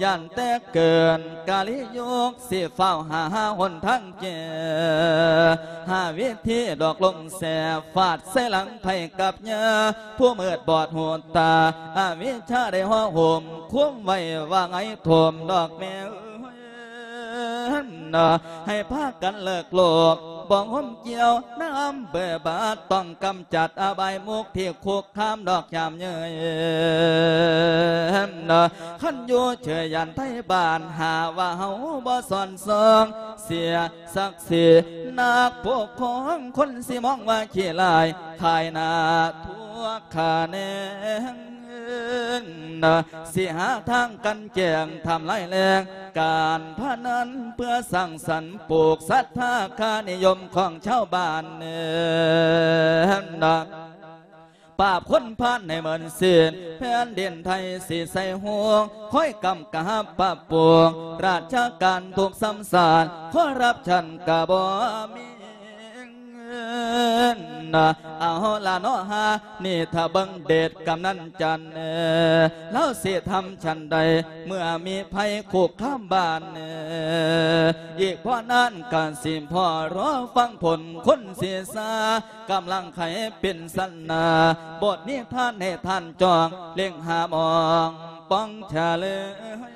ຢ້ານແຕ່ເກີນກາລີຍຸກ ຊິຟ້າວຫາ ຫາຫົນທາງແກ້ ຫາວິທີຫຼອກລົງແສ ຟາດໃສ່ຫຼັງໄພກັບຍາ ຜູ້ມືດບອດຫູຕາ ອະວິຊາໄດ້ຫໍ່ຫົ່ມ ຄຸມໄວ້ວ່າໄງຖົມດອກແມ່ເອີຍ ໃຫ້ພາກັນເລີກໂລກ ບໍ່ງົມກ່ຽວນຳເບີບາດ ຕ້ອງກຳຈັດອະບາຍມຸກທີ່ຄຸກຄາມດອກຍາມເຍີ້ຍ ຄັນຢູ່ເຊີຍຢ້ານໄທບ້ານ ຫາວ່າເຮົາບໍ່ສອນສ່ອງ ເສຍສັກສີ ນັກປົກຄອງຄົນຊິມອງວ່າຂີ້ຮ້າຍ ຂາຍໜ້າທົ່ວຂະແໜງ ນະ ຊິຫາທາງກັ່ນແກງ ທຳລາຍແຫຼ່ງການພະນັນ ເພື່ອສ້າງສັນປູກສັດທາຄ່ານິຍົມຂອງຊາວບ້ານ ເອີ ນະ ປາບຄົນພານໃຫ້ເໝິນສິ້ນ ແຜ່ນດິນໄທຊິໃສ່ຫູ ຄອຍກຳກັບປັບປຸງ ລາຊະການທຸກຊຳຊາດ ຄໍຣັບຊັນກະບໍ່ມີ ນະ ເອົາລະເນາະຫາ ນີ້ຖ້າເບິ່ງເດດກຳນັນຈັນ ລາວຊິທຳຊັ້ນໃດ ເມື່ອມີໄພຄຸກຄາມບ້ານ ອີກບໍ່ນານກະຊິພໍລໍຟັງຜົນຄົນເສຍສາ ກຳລັງໄຂປິ່ນສັນນາ ບົດນິທານໃຫ້ທ່ານຈ້ອງ ເລັງຫາມອງປ່ອງຈະເລີຍ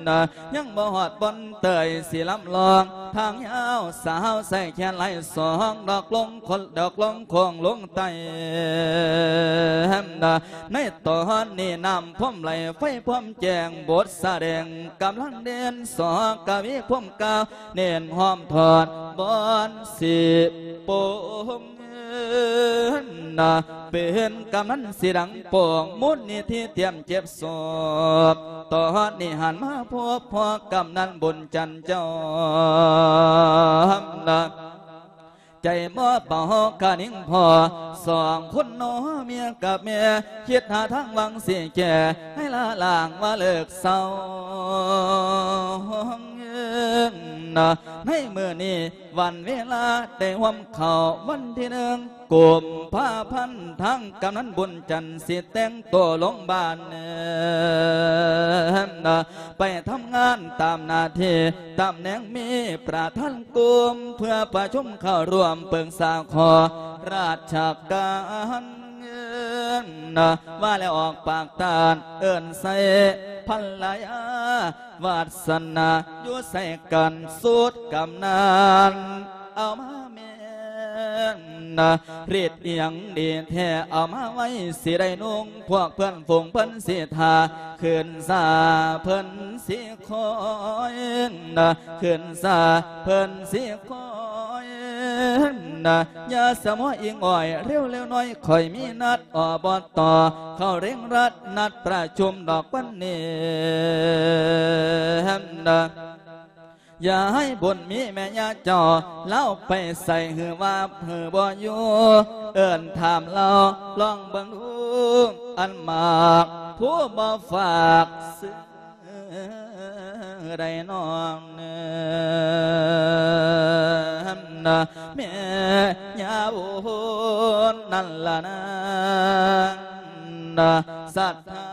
ນະ ຍັງບໍ່ຮອດບ່ອນເຕີຍຊິລຳລອງ ທາງຍາວສາວໃສ່ແຂນຫຼາຍສອງ ດອກລົງຄົນ ດອກລົງໂຄ້ງລົງໃຕ້ ນະ ໃນຕອນນີ້ນ້ຳພວມໄຫຼ ໄຟພວມແຈ້ງ ບົດສະແດງກຳລັງເດັ່ນ ສອກະວີພວມກາວ ເນັ້ນຫ້ອມທອດບ່ອນສິໂປງ ນະ ເປັນກຳນັນຊິດັງໂປ່ງ ມູນນິທິຕຽມເກັບສອບ ຕອນນີ້ຫັນມາພົບພໍ້ກຳນັນບຸນຈັນເຈົ້າ ນະ ໃຈບໍ່ເບົາຄະນິງພໍ້ ສອງຄົນໜໍ່ເມຍກັບແມ່ ຄິດຫາທາງຫວັງຊິແກ້ ໃຫ້ລະລ້າງວ່າເລີກເຊົາ ນະ ໃນມື້ນີ້ ວັນເວລາໄດ້ຮ່ວມເຂົ້າວັນທີໜຶ່ງ ກຸມພາພັນ ທາງກຳນັນບຸນຈັນ ຊິແຕ່ງໂຕລົງບ້ານ ໄປທຳງານຕາມໜ້າທີ່ ຕຳແໜ່ງມີປະທານກຸ່ມ ເພື່ອປະຊຸມເຂົ້າຮ່ວມປຶກສາຂໍລາຊະການ ວ່າແລ້ວອອກປາກຕ້ານ ເອີ້ນໃສ່ພັນລະຍາ ວາດສະໜາຢູ່ໃສ່ກັນ ສູດກຳນັນເອົາມາແມ່ນ ນະ ລິດອີ່ຫຍັງດີແທ້ເອົາມາໄວ້ ຊິໄດ້ນຸ່ງ ພວກເພື່ອນຝູງເພິ່ນຊິຖ້າ ຂຶ້ນສາເພິ່ນຊິຄອຍ ນະ ຂຶ້ນສາເພິ່ນຊິຄອຍ ນະ ຢ່າສະໝໍອີງອ້ອຍ ເລັວໆໜ້ອຍ ຂ້ອຍມີນັດ ອບຕ ເຂົາເລັ່ງລັດ ນັດປະຊຸມດອກວັນນີ້ ນະ ຢ່າໃຫ້ບຸນມີແມ່ຍ່າເຈົ້າ ລາວໄປໃສ ຫຼືວ່າ ຫຼືບໍ່ຢູ່ ເອີ້ນຖາມລາວ ລອງເບິ່ງດູ ອັນໝາກຜູ້ບໍ່ຝາກຊື້ໄດ້ນ້ອງ ແມ່ຍ່າບຸນນັ້ນລະນາ ສັດທາ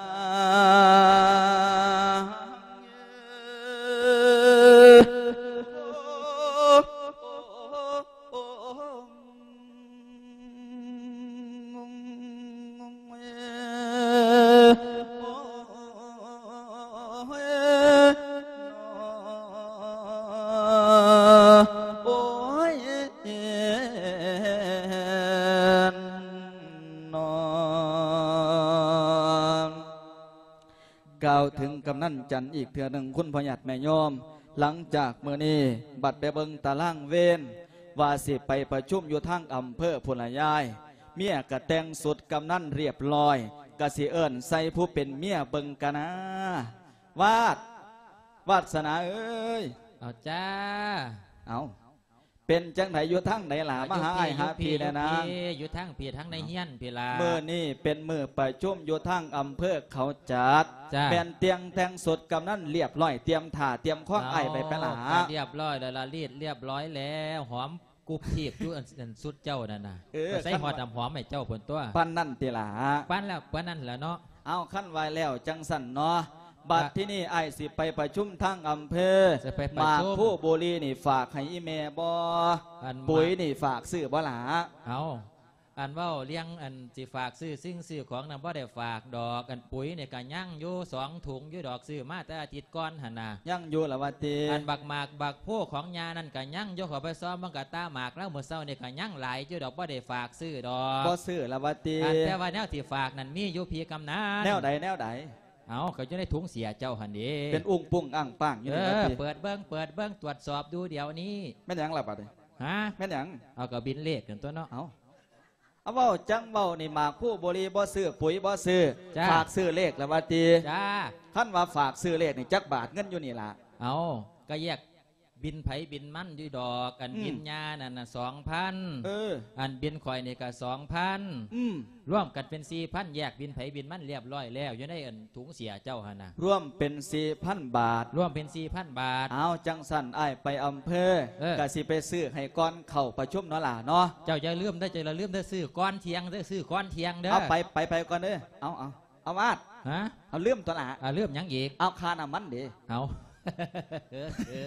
ກ່າວເຖິງກຳນັນຈັນອີກເທື່ອໜຶ່ງ ຄຸນພໍ່ຍາດແມ່ໂຍມ, ຫຼັງຈາກມື້ນີ້ບັດໄປເບິ່ງຕາລາງເວນ ວ່າຊິໄປປະຊຸມຢູ່ທາງອຳເພີພຸ້ນລະຍາຍ, ເມຍກະແຕ່ງຊຸດກຳນັນລຽບລ້ອຍ ກະຊິເອີ້ນໃສ່ຜູ້ເປັນເມຍເບິ່ງກະນາ. ວາດ ວາດສະໜາເອີຍ. ເອົາຈ້າ. ເອົາ ເປັນຈັ່ງໃດ ຢູ່ທາງໃດລະ? ມາຫາອ້າຍຫາພີ່ແດ່ນາງ. ຢູ່ທາງພີ້ ທາງໃນເຮືອນພີ້ລະ. ມື້ນີ້ເປັນມື້ປະຊຸມຢູ່ທາງອຳເພີເຂົາຈັດ. ຈ້າ. ແມ່ນຕຽງແຕ່ງຊຸດກຳນັນລຽບລ້ອຍ ຕຽມຖ້າຕຽມຄອງອ້າຍໄປໄປລະ? ລຽບລ້ອຍແລ້ວລະ ລີດລຽບລ້ອຍແລ້ວ ຫອມກຸບທີບຢູ່ ອັນ ອັນຊຸດເຈົ້ານັ້ນນະ. ເອີ ໃສ່ຮອດນ້ຳຫອມໃຫ້ເຈົ້າພຸ້ນຕົວະ. ປານນັ້ນຕິລະ? ປານແລ້ວ ປານນັ້ນແຫຼະເນາະ. ເອົາ ຄັນວ່າແລ້ວຈັ່ງຊັ້ນເນາະ ບັດທີນີ້ອ້າຍຊິໄປປະຊຸມທາງອຳເພີ. ຊິໄປປະຊຸມ. ໝາກພູບູຣີນີ້ຝາກໃຫ້ອີ່ແມ່ບໍ່? ອັນ ປຸ໋ຍນີ້ຝາກຊື້ບໍ່ລະ? ເອົາ ອັນເວົ້າເລື່ອງອັນຊິຝາກຊື້ສິ່ງຊື້ຂອງນັ້ນບໍ່ໄດ້ຝາກດອກ. ອັນປຸ໋ຍນີ້ກະຍັງຢູ່ສອງຖົງຢູ່ດອກ ຊື້ມາແຕ່ອາທິດກ່ອນຫັ້ນນະ. ຍັງຢູ່ລະວ່າຕິ? ອັນບັກໝາກບັກໂພຂອງຍ່ານັ້ນກະຍັງຢູ່ ເຂົ້າໄປຊອມເບິ່ງກະຕາໝາກລາວ ມື້ເຊົ້ານີ້ກະຍັງຫຼາຍຢູ່ດອກ ບໍ່ໄດ້ຝາກຊື້ດອກ. ບໍ່ຊື້ລະວ່າຕິ? ອັນແຕ່ວ່າແນວທີ່ຝາກນັ້ນມີຢູ່ພີ່ກຳນັນ. ແນວໃດ ແນວໃດ? ເອົາ ກະຢູ່ໃນຖົງເສຍເຈົ້າຫັ້ນເດ. ເປັນອຸ້ງປຸ້ງອ້າງປ້າງຢູ່ນີ້ວ່າຕິ? ເອີ ເປີດເບິ່ງ ເປີດເບິ່ງ ຕວດສອບດູດຽວນີ້. ແມ່ນຫຍັງລະບັດນີ້? ຮະ? ແມ່ນຫຍັງ? ເອົາ ກະບິນເລກນັ້ນຕົວະເນາະ. ເອົາ ເອົາ ເວົ້າຈັ່ງເວົ້ານີ້ ໝາກຄູໂບລີບໍ່ຊື້ ປຸ໋ຍບໍ່ຊື້. ຈ້າ. ຝາກຊື້ເລກລະວ່າຕິ? ຈ້າ. ຄັນວ່າຝາກຊື້ເລກນີ້ຈັກບາດ ເງິນຢູ່ນີ້ລະ? ເອົາ ກະແຍກ ບິນໃຜບິນມັນຢູ່ດອກ. ອັນ ອືມ ບິນຍ່ານັ້ນນະ ສອງພັນ. ເອີ ອັນບິນຂ້ອຍນີ້ກະ ສອງພັນ. ອືມ ລວມກັນເປັນ ສີ່ພັນ. ແຍກບິນໃຜບິນມັນລຽບລ້ອຍແລ້ວ ຢູ່ໃນອັນ ຖົງເສຍເຈົ້າຫັ້ນນະ. ລວມເປັນ ສີ່ພັນບາດ. ລວມເປັນ ສີ່ພັນບາດ. ເອົາ ຈັ່ງຊັ້ນອ້າຍໄປອຳເພີ ເອີ ກະຊິໄປຊື້ໃຫ້ກ່ອນເຂົ້າປະຊຸມເນາະຫຼ້າເນາະ. ເຈົ້າຢ່າລືມເດີ ເຈົ້າຢ່າລືມເດີ ຊື້ກ່ອນທ່ຽງເດີ ຊື້ກ່ອນທ່ຽງເດີ. ເອົາ ໄປ ໄປ ໄປກ່ອນເດີ. ເອົາ ເອົາ ເອົາ ວາດ. ຮະ? ເອົາ ລືມຕົວະຫຼ້າ. ອ່າ ລືມຫຍັງອີກ? ເອົາ ຄ່ານ້ຳມັນເດ. ເອົາ ເອີ ເອີ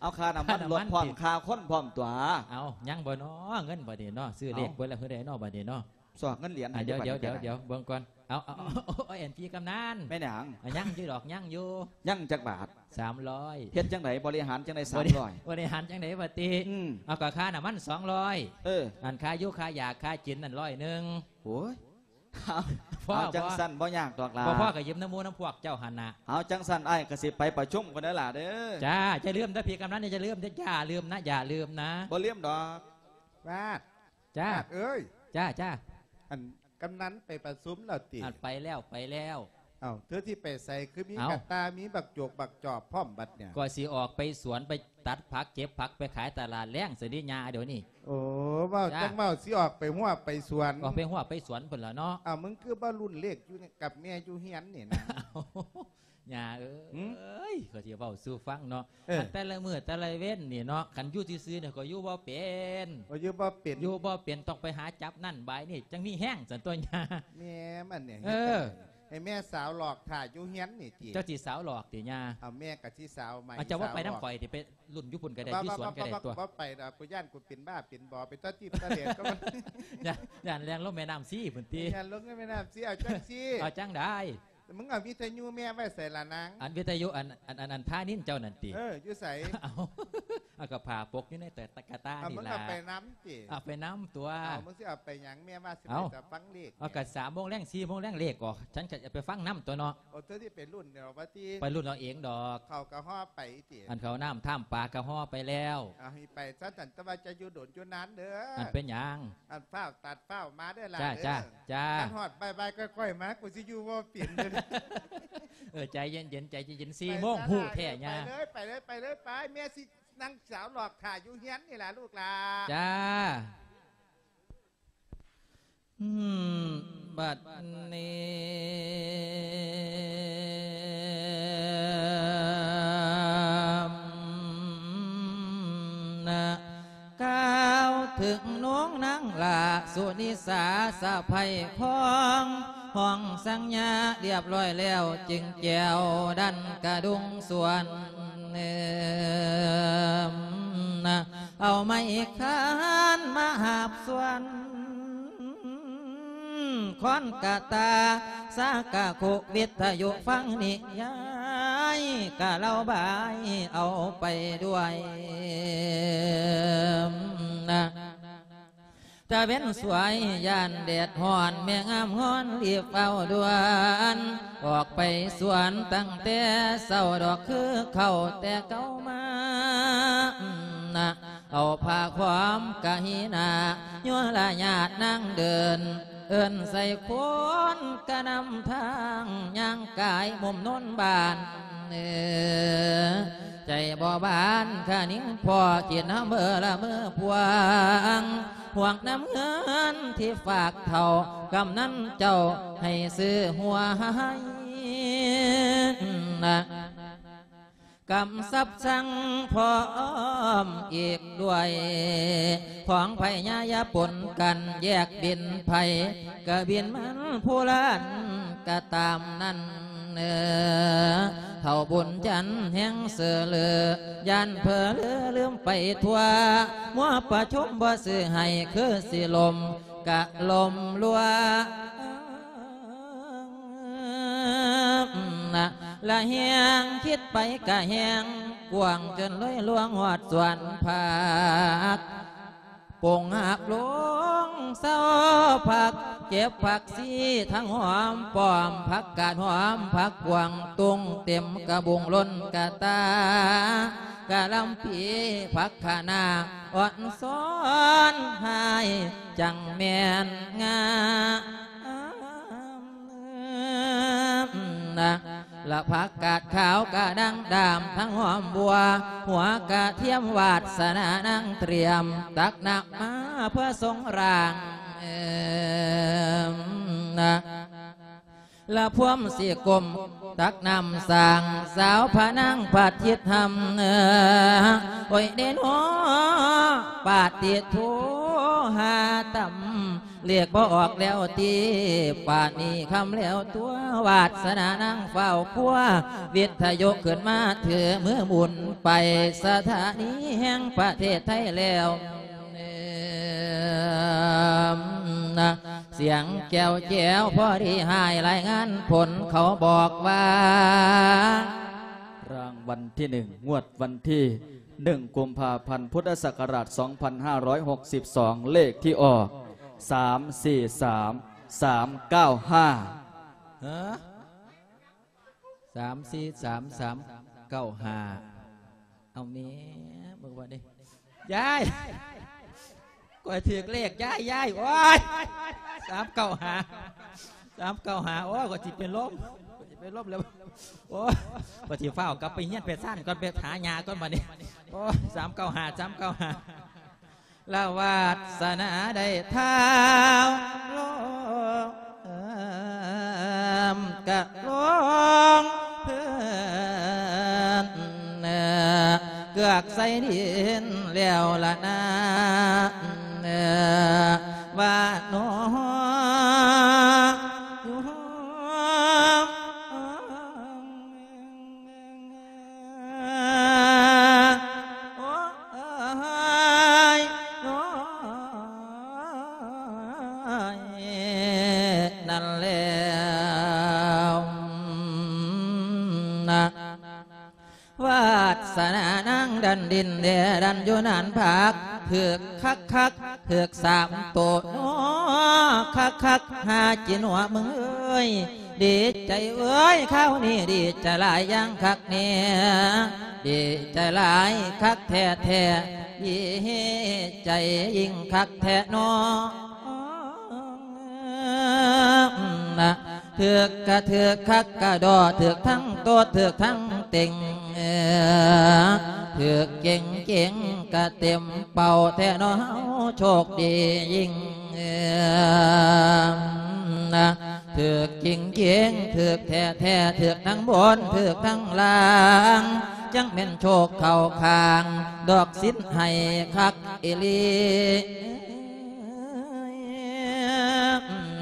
ເອົາ ຄ່ານ້ຳມັນລົດພ້ອມ ຄ່າຄົນພ້ອມຕົວະ. ເອົາ ຍັງບໍ່ນໍ ເງິນບັດນີ້ນໍ ຊື້ເລກເບິດແລ້ວ ເຮັດໃດນໍບັດນີ້ນໍ. ຊອກເງິນຫຼຽນໃຫ້ ອ່າ ດຽວ ເບິ່ງກ່ອນ. ເອົາ ເອົາ ເອົາ ເອົາ ອັນພີ່ກຳນັນ. ແມ່ນຫຍັງ? ອ່າ ຍັງຢູ່ດອກ ຍັງຢູ່. ຍັງຈັກບາດ? ສາມຮ້ອຍ. ເຮັດຈັ່ງໃດ? ບໍລິຫານຈັ່ງໃດ ສາມຮ້ອຍ? ບໍລິຫານຈັ່ງໃດບັດນີ້? ອືມ ເອົາ ກະຄ່ານ້ຳມັນ ສອງຮ້ອຍ. ເອີ ອັນຄ່າຢູ່ຄ່າຢາຄ່າກິນນັ້ນ ຮ້ອຍໜຶ່ງ. ໂອ້ຍ ພໍ ພໍ ຈັ່ງຊັ້ນບໍ່ຍາກດອກຫຼ້າ. ບໍ່ພໍກະຢືມນຳໝູ່ນຳພວກເຈົ້າຫັ້ນນະ. ເອົາ ຈັ່ງຊັ້ນອ້າຍກະຊິໄປປະຊຸມກ່ອນເດີຫຼ້າເດີ. ຈ້າ. ຢ່າລືມເດີ ພີ່ກຳນັນ ຢ່າລືມເດີ ຢ່າລືມນະ ຢ່າລືມນະ. ບໍ່ລືມດອກ. ບາດ ຈ້າ ເອີຍ. ຈ້າ ຈ້າ. ອັນກຳນັນໄປປະຊຸມແລ້ວຕິ? ອັນໄປແລ້ວ ໄປແລ້ວ. ເອົ້າ ເທື່ອທີ່ໄປໃສ ຄືມີ ເອົ້າ ກະຕ່າ ມີບັກຈົກບັກຈອບພ້ອມບັດເນີ້ຍ? ກໍຊິອອກໄປສວນ ໄປຕັດຜັກເກັບຜັກ ໄປຂາຍຕະຫຼາດແລງຊັ້ນເດຍ່າ ດຽວນີ້. ໂອ້ ເວົ້າ ຈ້າ ຈັ່ງເວົ້າ ຊິອອກໄປຮົ້ວໄປສວນ. ອອກໄປຮົ້ວໄປສວນພຸ້ນລະເນາະ. ເອົ້າ ມຶງຄືບໍ່ລຸ້ນເລກຢູ່ກັບແມ່ຢູ່ເຮືອນນີ້ນະ? ຍ່າເອີຍ ຫື? ຂ້ອຍຊິເວົ້າສູ່ຟັງເນາະ. ເອີ ອັນແຕ່ລະມື້ແຕ່ລະເວັນນີ້ເນາະ ຄັນຢູ່ຊື່ໆນີ້ຂ້ອຍຢູ່ບໍ່ເປັນ. ໂອ້ ຢູ່ບໍ່ເປັນ. ຢູ່ບໍ່ເປັນ ຕ້ອງໄປຫາຈັບນັ້ນບາຍນີ້ ຈັ່ງມີແຮງຊັ້ນຕົວະຍ່າ. ແມ່ມັນນີ້ ເອີ ເຮັດຈັ່ງໃດ ໃຫ້ແມ່ສາວຫຼອກຖ້າຢູ່ເຮືອນນີ້ຕິ? ເຈົ້າຊິສາວຫຼອກຕິຍ່າ? ເອົາ ແມ່ກະຊິສາວໃໝ່. ເອົາ ເຈົ້າບໍ່ໄປນຳຂ້ອຍຕິ ສາວຫຼອກ ໄປລຸ້ນຢູ່ພຸ້ນກະໄດ້ ຢູ່ສວນກະໄດ້ຕົວະ. ບໍ່ ບໍ່ໄປດອກ ກູຢ້ານກູເປັນບ້າເປັນບໍ ໄປຕົວະຈີບຕົວະເລດກໍ ຢ້ານ ຢ້ານແລ່ນລົງແມ່ນ້ຳຊີພຸ້ນຕິ. ຢ້ານລົງແມ່ນ້ຳຊີ. ເອົາຈັ່ງຊີ້ ເອົາຈັ່ງໃດ? ມຶງເອົາວິທະຍຸແມ່ໄວ້ໃສລະນາງ? ອັນວິທະຍຸ ອັນ ອັນ ອັນ ອັນພານິນເຈົ້ານັ້ນຕິ? ເອີ ຢູ່ໃສ? ເອົາ ເອົາກະຜ້າປົກຢູ່ໃນຕະ ຕະກະຕ່ານີ້ລະ. ເອົາ ມຶງເອົາໄປນຳຕິ? ເອົາໄປນຳຕົວະ. ເອົາ ມຶງຊິເອົາໄປຫຍັງ? ແມ່ວ່າຊິໄປ ເອົາ ຕະຟັງເລກ. ເອົາ ກະສາມໂມງແລງ ສີ່ໂມງແລງເລກອອກ ສັນກະໄປຟັງນຳຕົວະເນາະ. ໂອ້ ເຈົ້າຊິໄປລຸ້ນເອົາວ່າຕິ? ໄປລຸ້ນເອົາເອງດອກ. ເຂົ້າກະຫໍ່ໄປຕິ? ອັນເຂົ້ານ້ຳທາມປາກະຫໍ່ໄປແລ້ວ. ເອົາ ໃຫ້ໄປຊະຊັ້ນ ແຕ່ວ່າຈະຢູ່ດົນຢູ່ນານເດີ. ອັນເປັນຫຍັງ? ອັນຟ້າວຕັດຟ້າວມາເດີຫຼ້າເດີ. ຈ້າ ຈ້າ ຈ້າ. ຄັນຮອດບ່າຍໆ ຄ່ອຍໆ ມາ ກູຊິຢູ່ບໍ່ເປັນເດີ. ເອີ ໃຈເຢັນໆ ໃຈເຢັນໆ ສີ່ໂມງຮູ້ແທ້ຍ່າ. ໄປເລີຍ ໄປເລີຍ ໄປເລີຍ ໄປ. ແມ່ຊິນັ່ງສາວຫຼອກຖ້າຢູ່ເຮືອນນີ້ລະລູກຫຼ້າ. ຈ້າ. ອືມ ບັດນີ້ນະ ກ່າວເຖິງນ້ອງນາງຫຼ້າສຸນິສາສະໃພ້ຂອງ ຫ້ອງສັງຍາລຽບລ້ອຍແລ້ວ ຈຶ່ງແກ້ວດັນກະດຸງສວນ ເອີມນະ ເອົາໄມ້ຄານມາຫາບສວນ ຄ້ອນກະຕາ ສາກະຄຸ ວິທະຍຸຟັງນິຍາຍ ກະເລົ່າບາຍເອົາໄປດ້ວຍນະ. ຕາເວັນສວຍຢ້ານແດດຮ້ອນ ແມ່ງາມງອນລີບເຝົ້າດ່ວນ ອອກໄປສວນຕັ້ງແຕ່ເຊົ້າດອກ ຄືເຂົ້າແຕ່ເກົ່າມາ ນະ ເອົາຜ້າຄວາມກະຫີນາ ຍົວລະຍາດນາງເດີນ ເອີ້ນໃສ່ຄົນກະນຳທາງ ຍ່າງກາຍມຸມໂນນບ້ານ ເອີ ໃຈບໍ່ບານຄະນິງພໍ້ ຄິດນຳເບີລະເມີພວງ ຫ່ວງນຳເງິນທີ່ຝາກເຖົ້າກຳນັນເຈົ້າ ໃຫ້ຊື້ຫົວໃຫ້ນະ ກຳຊັບສັ່ງພ້ອມອີກດ້ວຍ ຂອງໃຜຢ່າ ຢ່າປົນກັນ ແຍກບິນໃຜກະບິນມັນ ຜູ້ລະອັນກະຕາມນັ້ນ ເອີ ເຖົ້າບຸນຈັນແຮງເຊີເລີ ຢ້ານເຜີເລີລືມໄປທົ່ວ ມົວປະຊຸມບໍ່ຊື້ໃຫ້ ຄືຊິລົ້ມກະລົ້ມລົວງ ນະ ລະແຮງຄິດໄປກະແຮງກວ້າງ ຈົນເລີຍລ່ວງຮອດສວນຜັກ ປົງຫາບລົງເຊົາຜັກ ເກັບຜັກຊີທັງຫອມປ້ອມ ຜັກກາດຫອມຜັກກວາງ ຕຸງເຕັມກະບຸງລົ້ນກະຕາ ກະລຳປີຜັກຂະໜ້າ ອ່ອນຊ້ອນຫາຍຈັ່ງແມ່ນງາມ ນະ ລະຜັກກາດຂາວກະດັ່ງດາມ ທັງຫອມບົວ ຫົວກະທຽມ ວາດສະໜານາງຕຽມ ຕັກນ້ຳມາເພື່ອຊົງຮ່າງ ເອີ ນະ ລະພວມຊິກົ້ມຕັກນ້ຳສ້າງ ສາວພະນາງພັດທິດທຳ ໂອຍເດໂນ ປາຕິໂທ ຫາຕຳ ລຽກບໍ່ອອກແລ້ວຕິ ປານນີ້ຄ່ຳແລ້ວຕົວະ ວາດສະໜານາງຟ້າວຄົວ ວິດທະຍຸຂຶ້ນມາຖື ມືໝຸນໄປສະຖານີແຫ່ງປະເທດໄທແລ້ວ ນະ ສຽງແກ້ວແຈວພໍດີຫາຍ ລາຍງານຜົນເຂົາບອກວ່າ ລາງວັນທີໜຶ່ງ ງວດວັນທີໜຶ່ງ ກຸມພາພັນ ພຸດທະສັກກະລາດ ສອງພັນຫ້າຮ້ອຍຫົກສິບສອງ ເລກທີ່ອອກ ສາມສີ່ສາມ ສາມເກົ້າຫ້າ ຮະ ສາມສີ່ສາມ ສາມເກົ້າຫ້າ ເອົາແມ່ ເບິ່ງວ່າເດ້ ຍາຍ ຂ້ອຍຖືກເລກ ຍາຍ ຍາຍ ໂອ້ຍ ສາມເກົ້າຫ້າ ສາມເກົ້າຫ້າ ໂອ້ຍ ຂ້ອຍຊິເປັນລົມ ຂ້ອຍຊິເປັນລົມແລ້ວ ໂອ້ຍ ຂ້ອຍຊິຟ້າວກັບໄປຮຽນແຟຊັນກ່ອນ ໄປຫາຍ່າກ່ອນບັດນີ້ ໂອ້ຍ ສາມເກົ້າຫ້າ ສາມເກົ້າຫ້າ ລະວາດສະໜາໄດ້ທ້າວລົງ ກະລົງເພິ່ນ ເກືອກໃສ່ດິນແລ້ວລະນາ ວ່າໜໍ ໂອ້ຍ ໂອ້ຍ ນັ້ນແລ້ວນະ ວາດສະໜານາງດັນດິນແດດັນຢູ່ນານຜັກ ຖືກຄັກໆ ຖືກສາມໂຕເນາະ ຄັກໆ ຫາຈິນຫົວມຶງເອີຍ ດີໃຈເອີຍ ຄາວນີ້ດີໃຈຫຼາຍຢ່າງຄັກແນ່ ດີໃຈຫຼາຍຄັກແທ້ໆ ດີໃຈຍິ່ງຄັກແທ້ເນາະ ນະ ຖືກກະຖືກຄັກກະດໍ ຖືກທັງໂຕດ ຖືກທັງເຕັງ ຖືກເກັ່ງເກັ່ງກະເຕັມເປົ້າແທ້ເນາະ ເຮົາໂຊກດີຍິ່ງ ນະ ຖືກຈິງເກັ່ງ ຖືກແທ້ໆ ຖືກທັງບົນ ຖືກທັງລ່າງ ຈັ່ງແມ່ນໂຊກເຂົ້າຂ້າງ ດອກສິນໃຫ້ຄັກອີ່ຫຼີ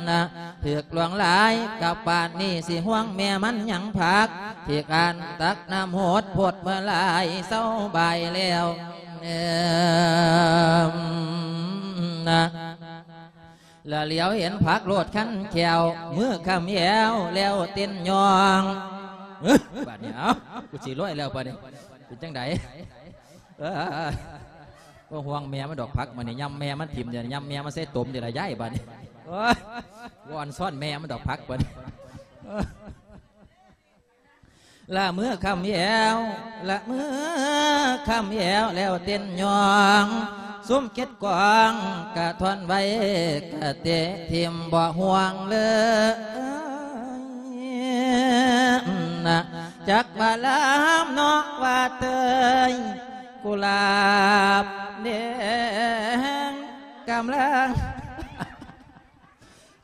ນະ ຖືກຫຼວງຫຼາຍກະປານນີ້ ຊິຫ່ວງແມ່ມັນຫຍັງຜັກ ທີ່ການຕັກນ້ຳຫົດພົດເມື່ອຫຼາຍ ເຊົາບ່າຍແລ້ວ ນະ ລະຫຼຽວເຫັນຜັກໂລດຄັນແຂ້ວ ມືຄ້ຳແອວແລ້ວເຕັ້ນຍ່ອງ ເອີ ບາດນີ້ ເອົ້າ ກູຊິລວຍແລ້ວບາດນີ້ ເປັນຈັ່ງໃດ? ເອີ ບໍ່ຫ່ວງແມ່ມັນດອກ ຜັກມັນນີ້ ຍຳແມ່ມັນຖິ້ມ ຍຳແມ່ມັນໃສ່ຕົມນີ້ລະ ຍາຍ ບາດນີ້. ໂອ້ຍ ບໍ່ອ່ອນຊ້ອນແມ່ມັນດອກ ຜັກບັດນີ້. ລະເມືອຄ່ຳແລ້ວ ລະເມືອຄ່ຳແລ້ວ ແລ້ວເຕັ້ນຍ້ອງ ຊຸມເກັດກອງກະທ່ອນໄວ້ ກະເຕະຖິ້ມບໍ່ຫ່ວງເລີຍນະ. ຈັກວ່າລາມເນາະວ່າເຕີຍ ກຸຫຼາບແດງກຳລັງ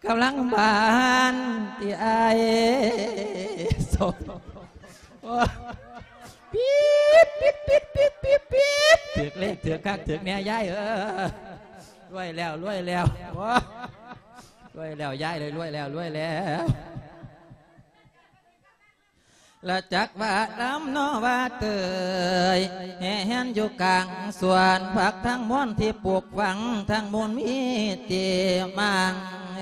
ກຳລັງບານທີ່ອ້າຍສົມ. ໂອ້ ປີດ ປີດ ປີດ ປີດ ປີດ ປີດ ຖືກເລກ ຖືກຄັກ ຖືກແນ່ ຍາຍເອີຍ. ລວຍແລ້ວ ລວຍແລ້ວ ໂອ້ ລວຍແລ້ວ ຍາຍເອີຍ ລວຍແລ້ວ ລວຍແລ້ວ. ລະຈັກວ່າລຳເນາະວ່າເຕີຍ ແຫ່ແຫນຢູ່ກາງສວນຜັກທັງມວນທີ່ປູກຝັງ ທັງມູນມີທີ່ໝັ່ງ ເ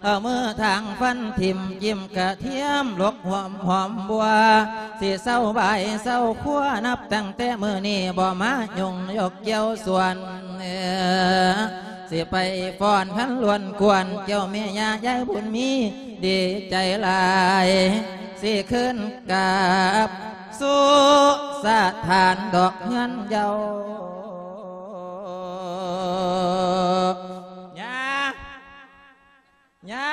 ອົາມືທາງຟັນຖິ້ມ ຈິ້ມກະທຽມ ຫຼົກຫອມຫອມບົວ ຊິເຊົາບາຍເຊົາຄົວ ນັບຕັ້ງແຕ່ມື້ນີ້ບໍ່ມາຫຍຸ້ງຍົກກ່ຽວສວນ ຊິໄປຟ້ອນຄັນລວນກວນ ເຈົ້າແມ່ຍ່າຍາຍບຸນມີ ດີໃຈຫຼາຍ ຊິຄືນກັບສູ່ສະຖານດອກເຮືອນເຍົາ. ຍ່າ ຍ່າ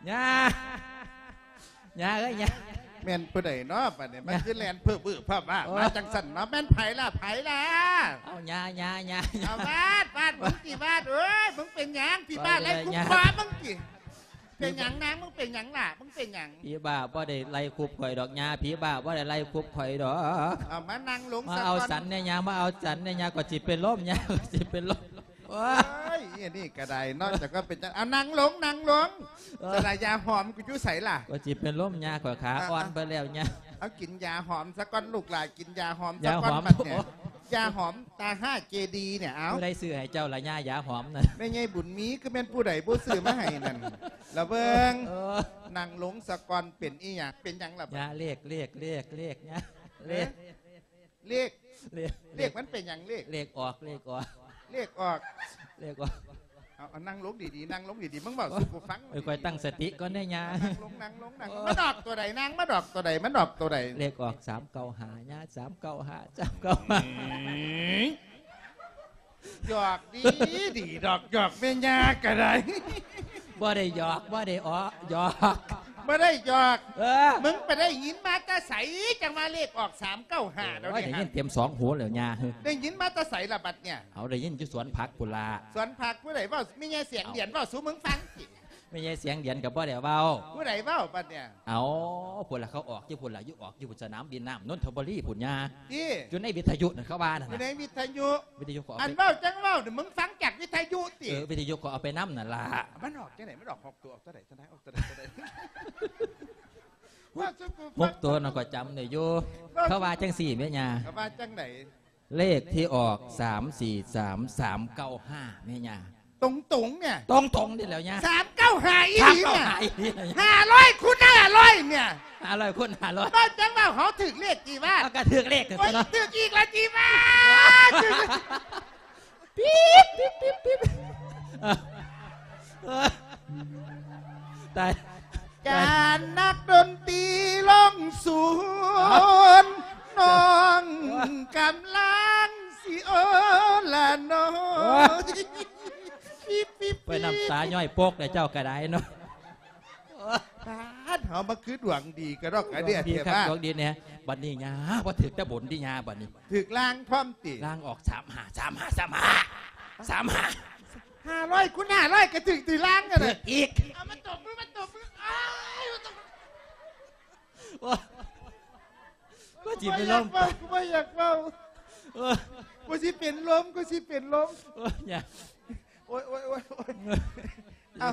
ຍ່າ ຍ່າເອີຍ ຍ່າ. ແມ່ນຜູ້ໃດເນາະບັດນີ້ ມັນຄືແລ່ນເພີບວືບພາບວາບມາ ໂອ້ຍ ຈັ່ງຊັ້ນເນາະ? ແມ່ນໃຜລະ ໃຜລະ? ເອົາ ຍ່າ ຍ່າ ຍ່າ ເອົາ ຫວາດ ຫວາດ ມຶງຕິຫວາດ. ເອີຍ ມຶງເປັນຫຍັງ? ຜີບ້າໄລ່ຄຸບຄໍມຶງຕິ? ເປັນຫຍັງນາງ? ມຶງເປັນຫຍັງລະ? ມຶງເປັນຫຍັງ? ຜີບ້າບໍ່ໄດ້ໄລ່ຄຸບຂ້ອຍດອກ ຍ່າ ຜີບ້າບໍ່ໄດ້ໄລ່ຄຸບຂ້ອຍດອກ. ເອົາ ມານັ່ງລົງ ມາເອົາສັນແດ່ ຍ່າ ມາເອົາສັນແດ່ ຍ່າ ກໍຊິເປັນລົມ ຍ່າ ກໍຊິເປັນລົມ. ໂອ້ຍ ອັນນີ້ກໍໄດ້ເນາະ ເຈົ້າກໍເປັນຈັງ ເອົາ ນັ່ງລົງ ນັ່ງລົງ. ເອີ ສະນະ ຢາຫອມກູຢູ່ໃສລະ? ກໍຊິເປັນລົມ ຍ່າ ຂ້ອຍຂາອ່ອນເບິດແລ້ວ ຍ່າ. ເອົາ ກິນຢາຫອມສາກ່ອນລູກຫຼານ ກິນຢາຫອມສາກ່ອນບັດນີ້. ຢາຫອມຕາຫ້າເຈດີນີ້ ເອົາ ຜູ້ໃດຊື້ໃຫ້ເຈົ້າລະ ຍ່າ ຢາຫອມນັ້ນ? ແມ່ໃຫຍ່ບຸນມີ ຄືແມ່ນຜູ້ໃດບໍ່ຊື້ມາໃຫ້ນັ້ນລະເບິ່ງ. ເອີ ນັ່ງລົງສາກ່ອນ. ເປັນອີ່ຫຍັງ? ເປັນຫຍັງລະ? ຍ່າ ເລກ ເລກ ເລກ ເລກ ຍ່າ ເລກ ເອີ ເລກ ເລກ ເລກ ມັນເປັນຫຍັງເລກ? ເລກອອກ ເລກອອກ ເລກອອກ ເລກອອກ. ເອົາ ເອົາ ນັ່ງລົງດີໆ ນັ່ງລົງດີໆ ມຶງເວົ້າສູ່ກູຟັງ. ເອີ ຂ້ອຍຕັ້ງສະຕິກ່ອນເດ້ຍ່າ. ເອົາ ນັ່ງລົງ ນັ່ງລົງ ນັ່ງລົງ. ມັນອອກຕົວໃດ? ນາງ ມັນອອກຕົວໃດ? ມັນອອກຕົວໃດ? ເລກອອກສາມເກົ້າຫ້າຍ່າ ສາມເກົ້າຫ້າ ສາມເກົ້າຫ້າ. ອືມ ຢອກດີ ດີດອກ ຢອກແມ່ຍ່າກໍໄດ້. ບໍ່ໄດ້ຢອກ ບໍ່ໄດ້ເອາະ ຢອກ ບໍ່ໄດ້ຢອກ. ເອີ ມຶງໄປໄດ້ຍິນມາແຕ່ໃສ ຈັ່ງວ່າເລກອອກສາມເກົ້າຫ້າແລ້ວ? ໂອ້ຍ ໄດ້ຍິນເຕັມສອງຫູແລ້ວຍ່າ. ໄດ້ຍິນມາແຕ່ໃສລະບັດນີ້? ເອົາ ໄດ້ຍິນຢູ່ສວນຜັກພຸ້ນລະ. ສວນຜັກຜູ້ໃດເວົ້າ? ແມ່ໃຫຍ່ສຽງດຽນເວົ້າສູ່ມຶງຟັງຕິ? ແມ່ໃຫຍ່ສຽງດຽນກໍບໍ່ໄດ້ເວົ້າ. ຜູ້ໃດເວົ້າບັດນີ້? ເອົາ ພຸ້ນລະ ເຂົາອອກຢູ່ພຸ້ນລະ ຢູ່ ອອກຢູ່ສະໜາມບິນນ້ຳນົນທະບູລີພຸ້ນຍ່າ. ຕິ? ຢູ່ໃນວິທະຍຸນັ້ນ ເຂົາວ່ານັ້ນ. ຢູ່ໃນວິທະຍຸ? ວິທະຍຸ ເຂົາເອົາ ອັນເວົ້າຈັ່ງເວົ້ານີ້ ມຶງຟັງຈາກວິທະຍຸຕິ? ເອີ ວິທະຍຸເຂົາເອົາໄປນຳນັ້ນລະ. ມັນອອກຈັ່ງໃດ? ມັນອອກຫົກຕົວ ອອກຕົວໃດ? ຕົວໃດ? ອອກຕົວໃດ? ຫົກ ຫົກຕົວນັ້ນຂ້ອຍຈຳໄດ້ຢູ່. ເຂົາວ່າຈັ່ງຊີ້ແມ່ຍ່າ. ເຂົາວ່າຈັ່ງໃດ? ເລກທີ່ອອກ ສາມສີ່ສາມ ສາມເກົ້າຫ້າ ແມ່ຍ່າ. ຕົງໆ ນີ້? ຕົງໆ ນີ້ແຫຼະຍ່າ. ສາມເກົ້າຫ້າ ອີ່ຫຼີນີ້? ສາມເກົ້າຫ້າ ອີ່ຫຼີ. ຫ້າຮ້ອຍຄູນຫ້າຮ້ອຍ ນີ້? ຫ້າຮ້ອຍຄູນຫ້າຮ້ອຍ. ເວົ້າຈັ່ງເວົ້າ ເຮົາຖືກເລກຕິວ່າ? ເຮົາກໍຖືກເລກ ໂອ້ຍ ເນາະ. ຖືກອີກແລ້ວຕິວ່າ? ປີດ ປີດ ປີດ ປີດ. ເອີ ເອີ ຕາຍ ການນັກດົນຕີລົງສູນ ນ້ອງກຳລັງຊິໂອລະໜອຍ. ໂອ້ຍ ໄປນ້ຳຕາຍ້ອຍໂປກແລ້ວເຈົ້າກໍໄດ້ເນາະ. ປາດ ເຮົາມາຄືດວງດີກະດອກກະເດຍແທ້ວ່າ. ດວງດີຄັກ ດວງດີແນ່. ບັດນີ້ຍ່າ ບໍ່ຖືກແຕ່ບົນຕິຍ່າ ບັດນີ້ຖືກລ່າງພ້ອມຕິ? ລ່າງອອກ ສາມຫ້າ ສາມຫ້າ ສາມຫ້າ ສາມຫ້າ. ຫ້າຮ້ອຍຄູນຫ້າຮ້ອຍ ກະຖືກຕິ ລ່າງກະໄດ້. ຖືກອີກ. ເອົາ ມາຕົບມື ມາຕົບມື. ອ້າຍ ມາຕົບ. ໂອ້ຍ ກູຊິເປັນລົມ ກູບໍ່ຢາກເວົ້າ. ໂອ້ຍ ກູຊິເປັນລົມ ກູຊິເປັນລົມ. ໂອ້ຍ ຢ່າ. ໂອ້ຍ ໂອ້ຍ ໂອ້ຍ ໂອ້ຍ. ເອົາ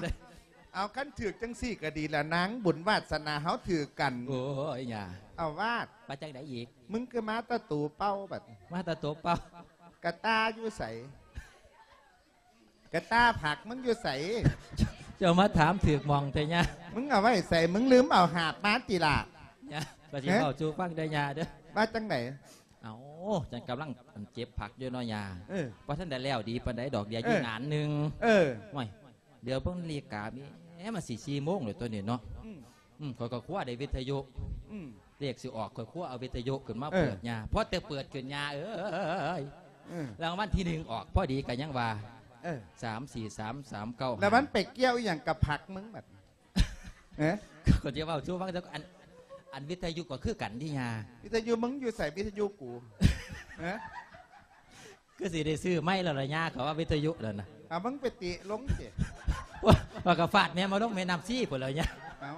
ເອົາ ຄັນຖືກຈັ່ງຊີ້ກໍດີລະ ນາງບຸນວາດສະໜາເຮົາຖືກກັນ. ໂອ້ຍ ຢ່າ. ເອົາ ວາດ ວ່າຈັ່ງໃດອີກ? ມຶງຄືມາແຕ່ໂຕເປົ່າບັດ? ມາແຕ່ໂຕເປົ່າ. ກະຕ່າຢູ່ໃສ? ກະຕ່າຜັກມຶງຢູ່ໃສ? ເຈົ້າມາຖາມຖືກໝ່ອງແທ້ຍ່າ. ມຶງເອົາໄວ້ໃສ? ມຶງລືມເອົາຫາບມາຕິລະ? ຍ່າ ວ່າຊິເວົ້າສູ່ຟັງເດີຍ່າເດີ. ວ່າຈັ່ງໃດ? ເອົາ ຈັ່ງກຳລັງ ອັນ ເຈັບຜັກຢູ່ເນາະ ຍ່າ. ເອີ ບໍ່ທັນໄດ້ແລ້ວດີປານໃດດອກ ເດຍຢູ່ ເອີ ງານໜຶ່ງ. ເອີ ໂອ້ຍ ດຽວເບິ່ງນາລິກາ ແໝ ມັນຊິສີ່ໂມງແລ້ວຕົວນີ້ເນາະ. ອືມ ອືມ ຂ້ອຍກໍຄົວໄດ້ວິທະຍຸ. ອືມ ເລກຊິອອກ ຂ້ອຍຄົວເອົາວິທະຍຸຂຶ້ນມາ ເອີ ເປີດ ຍ່າ. ພໍແຕ່ເປີດຂຶ້ນ ຍ່າເອີຍ ເອີ ລາງວັນທີໜຶ່ງອອກພໍດີ ກໍຍັງວ່າ ເອີ ສາມສີ່ສາມສາມເກົ້າ ແລ້ວມັນໄປກ່ຽວອີ່ຫຍັງກັບຜັກມຶງບັດ? ເອີ ກໍຈະເວົ້າສູ່ຟັງ ອັນ ອັນວິທະຍຸກໍຄືກັນຕິ ຍ່າ. ວິທະຍຸມຶງຢູ່ໃສ? ວິທະຍຸກູ ຮະ? ຄືຊິໄດ້ຊື້ໃໝ່ແລ້ວລະ ຍ່າ. ເຂົາວ່າວິທະຍຸນັ້ນນະ. ເອົາ ມຶງໄປເຕະລົງຕິ. ວ່າ ວ່າກໍຟາດແມ່ມາລົງແມ່ນ້ຳຊີພຸ້ນແລ້ວ ຍ່າ. ເອົາ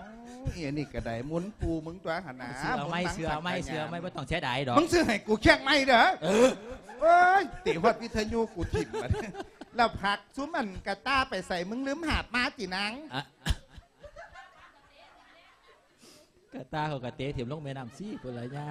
ອີ່ອັນນີ້ກໍໄດ້ ໝູນປູມຶງຕົວຫັ້ນນະ. ຊື້ເອົາໃໝ່ ຊື້ເອົາໃໝ່ ຊື້ເອົາໃໝ່ ບໍ່ຕ້ອງເສຍດາຍດອກ. ມຶງຊື້ໃຫ້ກູຄຽງໃໝ່ເດີ້. ເອີ ໂອ້ຍ ເຕະຮອດວິທະຍຸກູຖິ້ມບັດ. ແລ້ວຜັກຊຸມອັນກະຕ່າໄປໃສ? ມຶງລືມຫາບມາຕິນາງ? ອະ ກະຕ່າເຂົາກະເຕະຖິ້ມລົງແມ່ນ້ຳຊີພຸ້ນລະ ຍ່າ.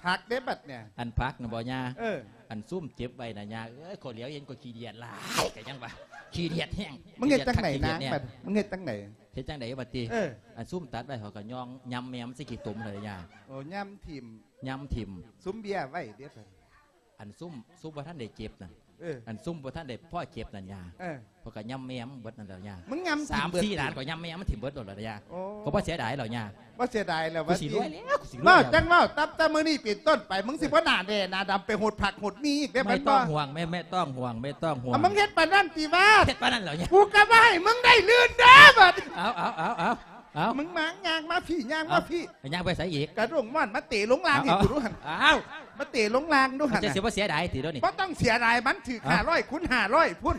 ຜັກເດ້ບັດເນີ້ຍ. ອັນຜັກນະບໍ່ ຍ່າ? ເອີ ອັນຊຸມເກັບໄວ້ນະ ຍ່າເອີຍ. ຂ້ອຍຫຼຽວເຫັນກໍຂີ້ດຽດຫຼາຍ ກໍຍັງວ່າຂີ້ດຽດແຮງ. ມຶງເຮັດຈັ່ງໃດນາງບັດ? ມຶງເຮັດຈັ່ງໃດ? ເຮັດຈັ່ງໃດບັດຕິ? ເອີ ອັນຊຸມຕັດໄວ້ ເຂົາກໍຍ່ອງ ຍຳແມ່ມັນໃສ່ຂີ້ຕົມເລີຍ ຍ່າ. ໂອ້ ຍຳຖິ້ມ ຍຳຖິ້ມ. ຊຸມເບຍໄວ້ເດ້ບັດ. ອັນຊຸມ ຊຸມບໍ່ທັນໄດ້ເກັບນັ້ນ. ເອີ ອັນຊຸມບໍ່ທັນໄດ້ພໍເກັບນັ້ນ ຍ່າ. ເອີ ເຂົາກໍຍຳແມ່ມເບິດນັ້ນແຫຼະ ຍ່າ. ມຶງຍຳ ສາມສີ່ ດານກໍຍຳແມ່ມັນຖິ້ມເບິດໂລດລະ ຍ່າ. ໂອ້ ກໍບໍ່ເສຍດາຍແລ້ວ ຍ່າ. ບໍ່ເສຍດາຍແລ້ວ ກູຊິລວຍແລ້ວ ກູຊິລວຍແລ້ວ. ເວົ້າຈັ່ງເວົ້າ ນັບແຕ່ມື້ນີ້ເປັນຕົ້ນໄປ ມຶງຊິບໍ່ໜ້າແດ່ໜ້າດຳໄປຫົດຜັກຫົດໝີ່ອີກເດ້. ບໍ່ຕ້ອງຫ່ວງ ບໍ່ຕ້ອງຫ່ວງ ບໍ່ຕ້ອງຫ່ວງ. ເອົາ ມຶງເຮັດປານນັ້ນຕິວະ? ເຮັດປານນັ້ນແລ້ວ ຍ່າ. ກູກໍບໍ່ໃຫ້ມຶງໄດ້ລື່ນເດີ້ບັດ. ເອົາ ເອົາ ເອົາ ເອົາ ເອົາ ມຶງມາ ຍ່າງມາພີ້ ຍ່າງມາພີ້. ເອົາ ຍ່າງໄປໃສອີກ? ກະດົງມ່ອນມາເຕະລົງລ່າງໃຫ້ກູດູຫັ້ນ. ເອົາ ມາເຕະລົງລ່າງດູຫັ້ນ. ເຈົ້າຊິບໍ່ເສຍດາຍຕິດຽວນີ້? ບໍ່ຕ້ອງເສຍດາຍ ມັນຖືກຫ້າຮ້ອຍຄູນຫ້າຮ້ອຍພຸ້ນ.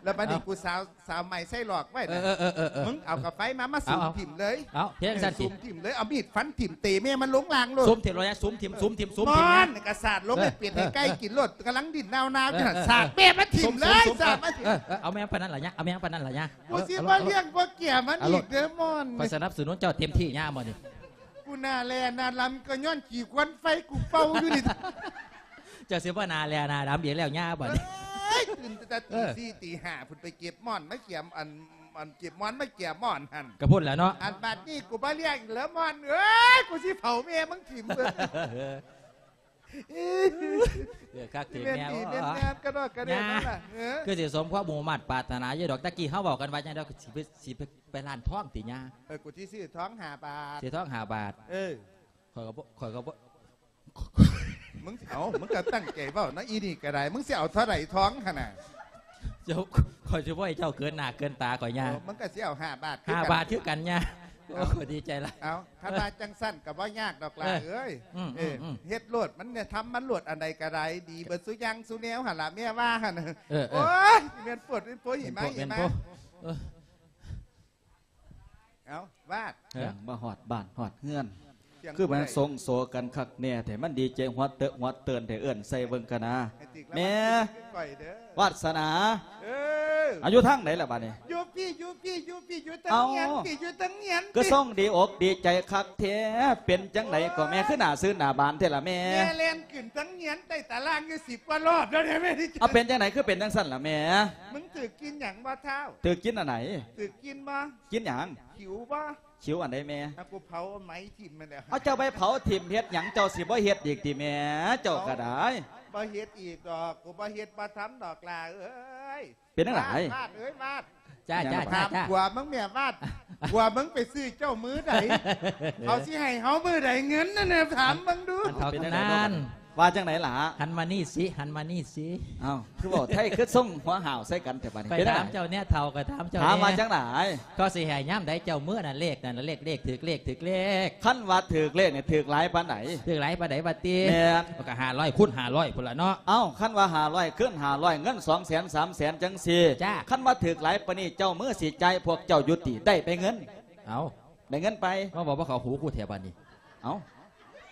ແລ້ວບັດນີ້ ເອົາ ກູສາວ ສາວໃໝ່ໃສ່ຫຼອກໄວ້ນະ. ເອີ ເອີ ເອີ ເອີ ເອີ ມຶງເອົາກາໄຟມາ ມາ ເອີ ສຸມຖິ້ມເລີຍ. ເອົາ ເຮັດຈັ່ງຊັ້ນຕິ ເອີ ສຸມຖິ້ມເລີຍ ເອົາມີດຟັນຖິ້ມ ເຕະແມ່ມັນລົງລ່າງໂລດ. ສຸມຖິ້ມໂລດ ສຸມຖິ້ມ ສຸມ ສຸມ ສຸມ ມອນກະສາດລົງໃຫ້ເປັດໃຫ້ໄກ່ກິນໂລດ. ເອີ ເອີ ກຳລັງດິ້ນນາວໆຢູ່ຫັ້ນ. ເອີ ເອີ ສາດແມ່ມັນຖິ້ມເລີຍ ເອົາ ສາດມັນຖິ້ມ. ເອີ ເອີ ເອົາແມ່ມັນປານນັ້ນລະຍາ ເອົາແມ່ມັນປານນັ້ນລະຍາ. ກູຊິບໍ່ລ້ຽງບໍ່ເກຍມັນອີກເດີມອນ. ຂ້ອຍສະໜັບສະໜູນເຈົ້າເຕັມທີ່ຍາມມື້ນີ້. ກູໜ້າແຫຼ້ໜ້າດຳກໍຍ້ອນຂີ້ຄວັນໄຟກູເປົ່າຢູ່ນີ້. ເຈົ້າຊິບໍ່ໜ້າແຫຼ້ໜ້າດຳອີກແລ້ວຍາບາດນີ້. ເອີຍ ຕື່ນແຕ່ຕີສີ່ຕີຫ້າພຸ້ນ ໄປເກັບໝອນມາເກຍ ອັນ ອັນເກັບໝອນມາເກຍໝອນຫັ້ນ. ກະພຸ້ນແຫຼະເນາະ. ອັນບາດນີ້ກູບໍ່ລ້ຽງແລ້ວໝອນເອີຍ ກູຊິເຜົາແມ່ມຶງຖິ້ມເບິ່ງ. ເອີ ຄັກເຖິງແນວ ແມ່ນດີແມ່ນງາມກະດອກກະເດຍນັ້ນລະ. ເອີ ຄືຊິສົມຄວາມມຸ່ງມາດປາດຖະໜາຢູ່ດອກ. ຕະກີ້ເຮົາເວົ້າກັນວ່າຈັ່ງໃດ? ຊິໄປ ຊິໄປ ໄປຮ້ານທອງຕິຍາ? ເອີ ກູຊິຊື້ທອງຫ້າບາດ. ຊື້ທອງຫ້າບາດ. ເອີ ຂ້ອຍກໍບໍ່ ຂ້ອຍກໍບໍ່ ມຶງ ເອົ້າ ມຶງກໍຕັ້ງໃຈເວົ້ານະ ອີນີ້ກໍໄດ້. ມຶງຊິເອົາເທົ່າໃດທອງຫັ້ນນະ? ເຈົ້າ ຂ້ອຍຊິບໍ່ໃຫ້ເຈົ້າເກີນໜ້າເກີນຕາຂ້ອຍຍາ. ເອີ ມຶງກໍຊິເອົາຫ້າບາດຄືກັນ ຫ້າບາດຄືກັນຍາ. ໂອ້ ດີໃຈຫຼາຍ. ເອົ້າ ຄັນວ່າຈັ່ງຊັ້ນກໍບໍ່ຍາກດອກຫຼ້າເອີຍ. ເອີ ເຮັດໂລດ ມັນແນະ ທຳມັນໂລດ ອັນໃດກໍໄດ້ ດີເບິດຊຸຢ່າງຊຸແນວຫັ້ນລະ ແມ່ວ່າຫັ້ນ. ເອີ ໂອ້ຍ ແມ່ນໂພດ ແມ່ນໂພດ ຫິມະ ຫິມະ. ເອົ້າ ວາດ ຫຍັງມາຮອດບ້ານຮອດເຮືອນ ຄືມັນສົງໂສກັນຄັກແນ່ແທ້. ມັນດີໃຈຫົວເຕີນຫົວເຕີນແທ້ ເອີ້ນໃສ່ເບິ່ງກະນາ. ແມ່ ວາດສະໜາ ເອີ ອາ ຢູ່ທາງໃດລະບາດນີ້? ຢູ່ພີ້ ຢູ່ພີ້ ຢູ່ພີ້ ຢູ່ເທິງຫຽນພີ້ ຢູ່ເທິງຫຽນພີ້. ຄືຊົງດີອົກດີໃຈຄັກແທ້. ເປັນຈັ່ງໃດກໍແມ່ ຄືໜ້າຊື່ນໜ້າບານແທ້ລະແມ່? ແມ່ແລ່ນຂຶ້ນເທິງຫຽນໃຕ້ຕາລ່າງຢູ່ສິບກວ່າລອບແລ້ວເດ້ແມ່. ເອົາ ເປັນຈັ່ງໃດຄືເປັນຈັ່ງຊັ້ນລະແມ່? ມຶງຖືກກິນຫຍັງບໍ່ທ້າວ? ຖືກກິນອັນໃດ? ຖືກກິນບໍ່? ກິນຫຍັງ? ຂິວບໍ່? ຂິວອັນໃດແມ່? ອາ ກູເຜົາໄມ້ຖິ້ມຫັ້ນແຫຼະ. ເອົາ ເຈົ້າໄປເຜົາຖິ້ມເຮັດຫຍັງ? ເຈົ້າຊິບໍ່ເຮັດອີກຕິແມ່? ເຈົ້າກໍໄດ້. ບໍ່ເຮັດອີກດອກ ກູບໍ່ເຮັດບໍ່ທຳດອກຫຼ້າເອີຍ. ເປັນຈັ່ງໃດ? ວາດ ວາດເອີຍ ວາດ. ຈ້າ ຈ້າ ຈ້າ ຂ້າມ ຂ້າມຂົວມຶງແມ່ ວາດ. ຜົວມຶງໄປຊື້ເຈົ້າມື້ໃດ? ເຂົາຊິໃຫ້ເຮົາມື້ໃດເງິນນັ້ນນະ? ຖາມເບິ່ງດູ. ອັນເຖົ້າຕຳນານ ວ່າຈັ່ງໃດລະ? ຫັນມານີ້ຊິ ຫັນມານີ້ຊິ. ເອົ້າ ຄືເວົ້າໄທຄືຊົງຫົວຫ້າວໃສ່ກັນແທ້ບາດນີ້. ໄປຖາມເຈົ້າແນ່ ເຖົ້າກໍຖາມເຈົ້າແນ່. ຖາມວ່າຈັ່ງໃດ? ເຂົາຊິໃຫ້ຍາມໃດເຈົ້າເມືອນັ້ນ ເລກນັ້ນລະ ເລກ ເລກ ຖືກເລກ ຖືກເລກ. ຄັນວ່າຖືກເລກນີ້ ຖືກຫຼາຍປານໃດ? ຖືກຫຼາຍປານໃດບາດຕິ? ແມ່ນ. ກໍຫ້າຮ້ອຍຄູນຫ້າຮ້ອຍພຸ້ນລະເນາະ. ເອົ້າ ຄັນວ່າຫ້າຮ້ອຍ ຄືນຫ້າຮ້ອຍ ເງິນສອງແສນ ສາມແສນ ຈັ່ງຊີ້. ຈ້າ. ຄັນວ່າຖືກຫຼາຍປານນີ້ ເຈົ້າມືຊິຈ່າຍພວກເຈົ້າຢູ່ຕິ? ໄດ້ໄປເງິນ. ເອົ້າ ໄດ້ເງິນໄປ. ມາເວົ້າບໍ່ເຂົ້າຫູກູແທ້ບາດນີ້. ເອົ້າ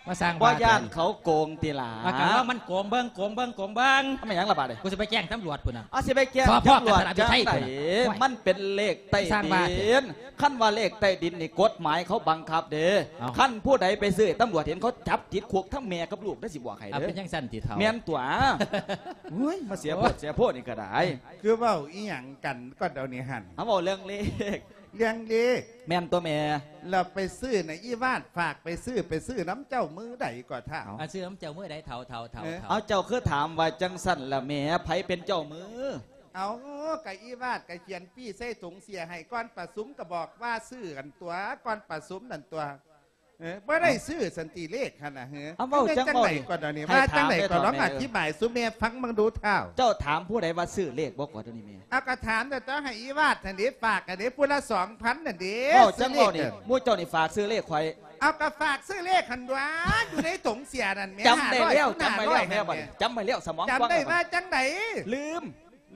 ມາສ້າງ ບໍ່ຢ້ານເຂົາໂກງຕິລະ? ວ່າກັນວ່າມັນໂກງເບິ່ງ ໂກງເບິ່ງ ໂກງເບິ່ງ. ແມ່ນຫຍັງລະບາດນີ້? ສົພ ກັນລະຢູ່ໄທພຸ້ນນະ. ເອົາ ຊິໄປແຈ້ງຕຳຫຼວດ. ມັນເປັນເລກໃຕ້ດິນ. ຄັນວ່າເລກໃຕ້ດິນນີ້ ກົດໝາຍເຂົາບັງຄັບເດ້. ເອົ້າ ຄັນຜູ້ໃດໄປຊື້ ຕຳຫຼວດເຫັນເຂົາຈັບຕິດຄຸກທັງແມ່ກັບລູກເດ້ ຊິບອກໃຫ້ເດີ. ເປັນຈັ່ງຊັ້ນຕິເຖົ້າ? ແມ່ນຕົວະ. ໂອ້ຍ ມາເສຍໂພດເສຍໂພດນີ້ກໍໄດ້. ຄືເວົ້າອີ່ຫຍັງກັນກໍດຽວນີ້ຫັ້ນ? ເຮົາເວົ້າເລື່ອງເລກ. ເລື່ອງເລກ ແມ່ນຕົວະແມ່. ແລ້ວໄປຊື້ນະ ອີວາດຝາກໄປຊື້ ໄປຊື້ນຳເຈົ້າມື້ໃດກໍທ້າວ? ເອົາ ຊື້ນຳເຈົ້າມື້ໃດ ເຖົ້າ ເຖົ້າ ເຖົ້າ ເອີ ເຖົ້າ? ເອົາ ເຈົ້າຄືຖາມວ່າຈັ່ງຊັ້ນລະແມ່ ໃຜເປັນເຈົ້າມື? ເອົາ ກະອີວາດກະຂຽນປີ້ໃສ່ຖົງເສຍໃຫ້ ກ່ອນປະຊຸມກະບອກວ່າຊື້ກັນຕົວະ ກ່ອນປະຊຸມນັ້ນຕົວະ. ເອີ ບໍ່ໄດ້ຊື້ສັນຕິເລກຫັ້ນນະ ເອີ ເອົາ ເວົ້າຈັ່ງເວົ້ານີ້ ວ່າຈັ່ງໃດກ່ອນດຽວນີ້ ໃຫ້ຖາມແມ່ ວ່າຈັ່ງໃດກ່ອນ ລອງອະທິບາຍສູ່ແມ່ຟັງເບິ່ງດູທ້າວ. ເຈົ້າຖາມຜູ້ໃດວ່າຊື້ເລກບໍ່ກ່ອນດຽວນີ້ແມ່? ເອົາ ກະຖາມແຕ່ຕ້ອງໃຫ້ອີວາດຫັ້ນເດ້ ຝາກກັນເດ້ ຜູ້ລະສອງພັນຫັ້ນເດ້. ເວົ້າຈັ່ງເວົ້ານີ້ ຊື້ເລກ ໝູ່ເຈົ້ານີ້ຝາກຊື້ເລກຂ້ອຍ. ເອົາ ກະຝາກຊື້ເລກຫັ້ນຕົວະ ຢູ່ໃນຖົງເສຍນັ້ນແມ່. ຈຳໄດ້ແລ້ວ ຈຳໄດ້ແລ້ວແມ່ ບັດນີ້ ຈຳໄດ້ແລ້ວ ສະໝອງ ຈຳໄດ້ວ່າຈັ່ງໃດ? ລືມ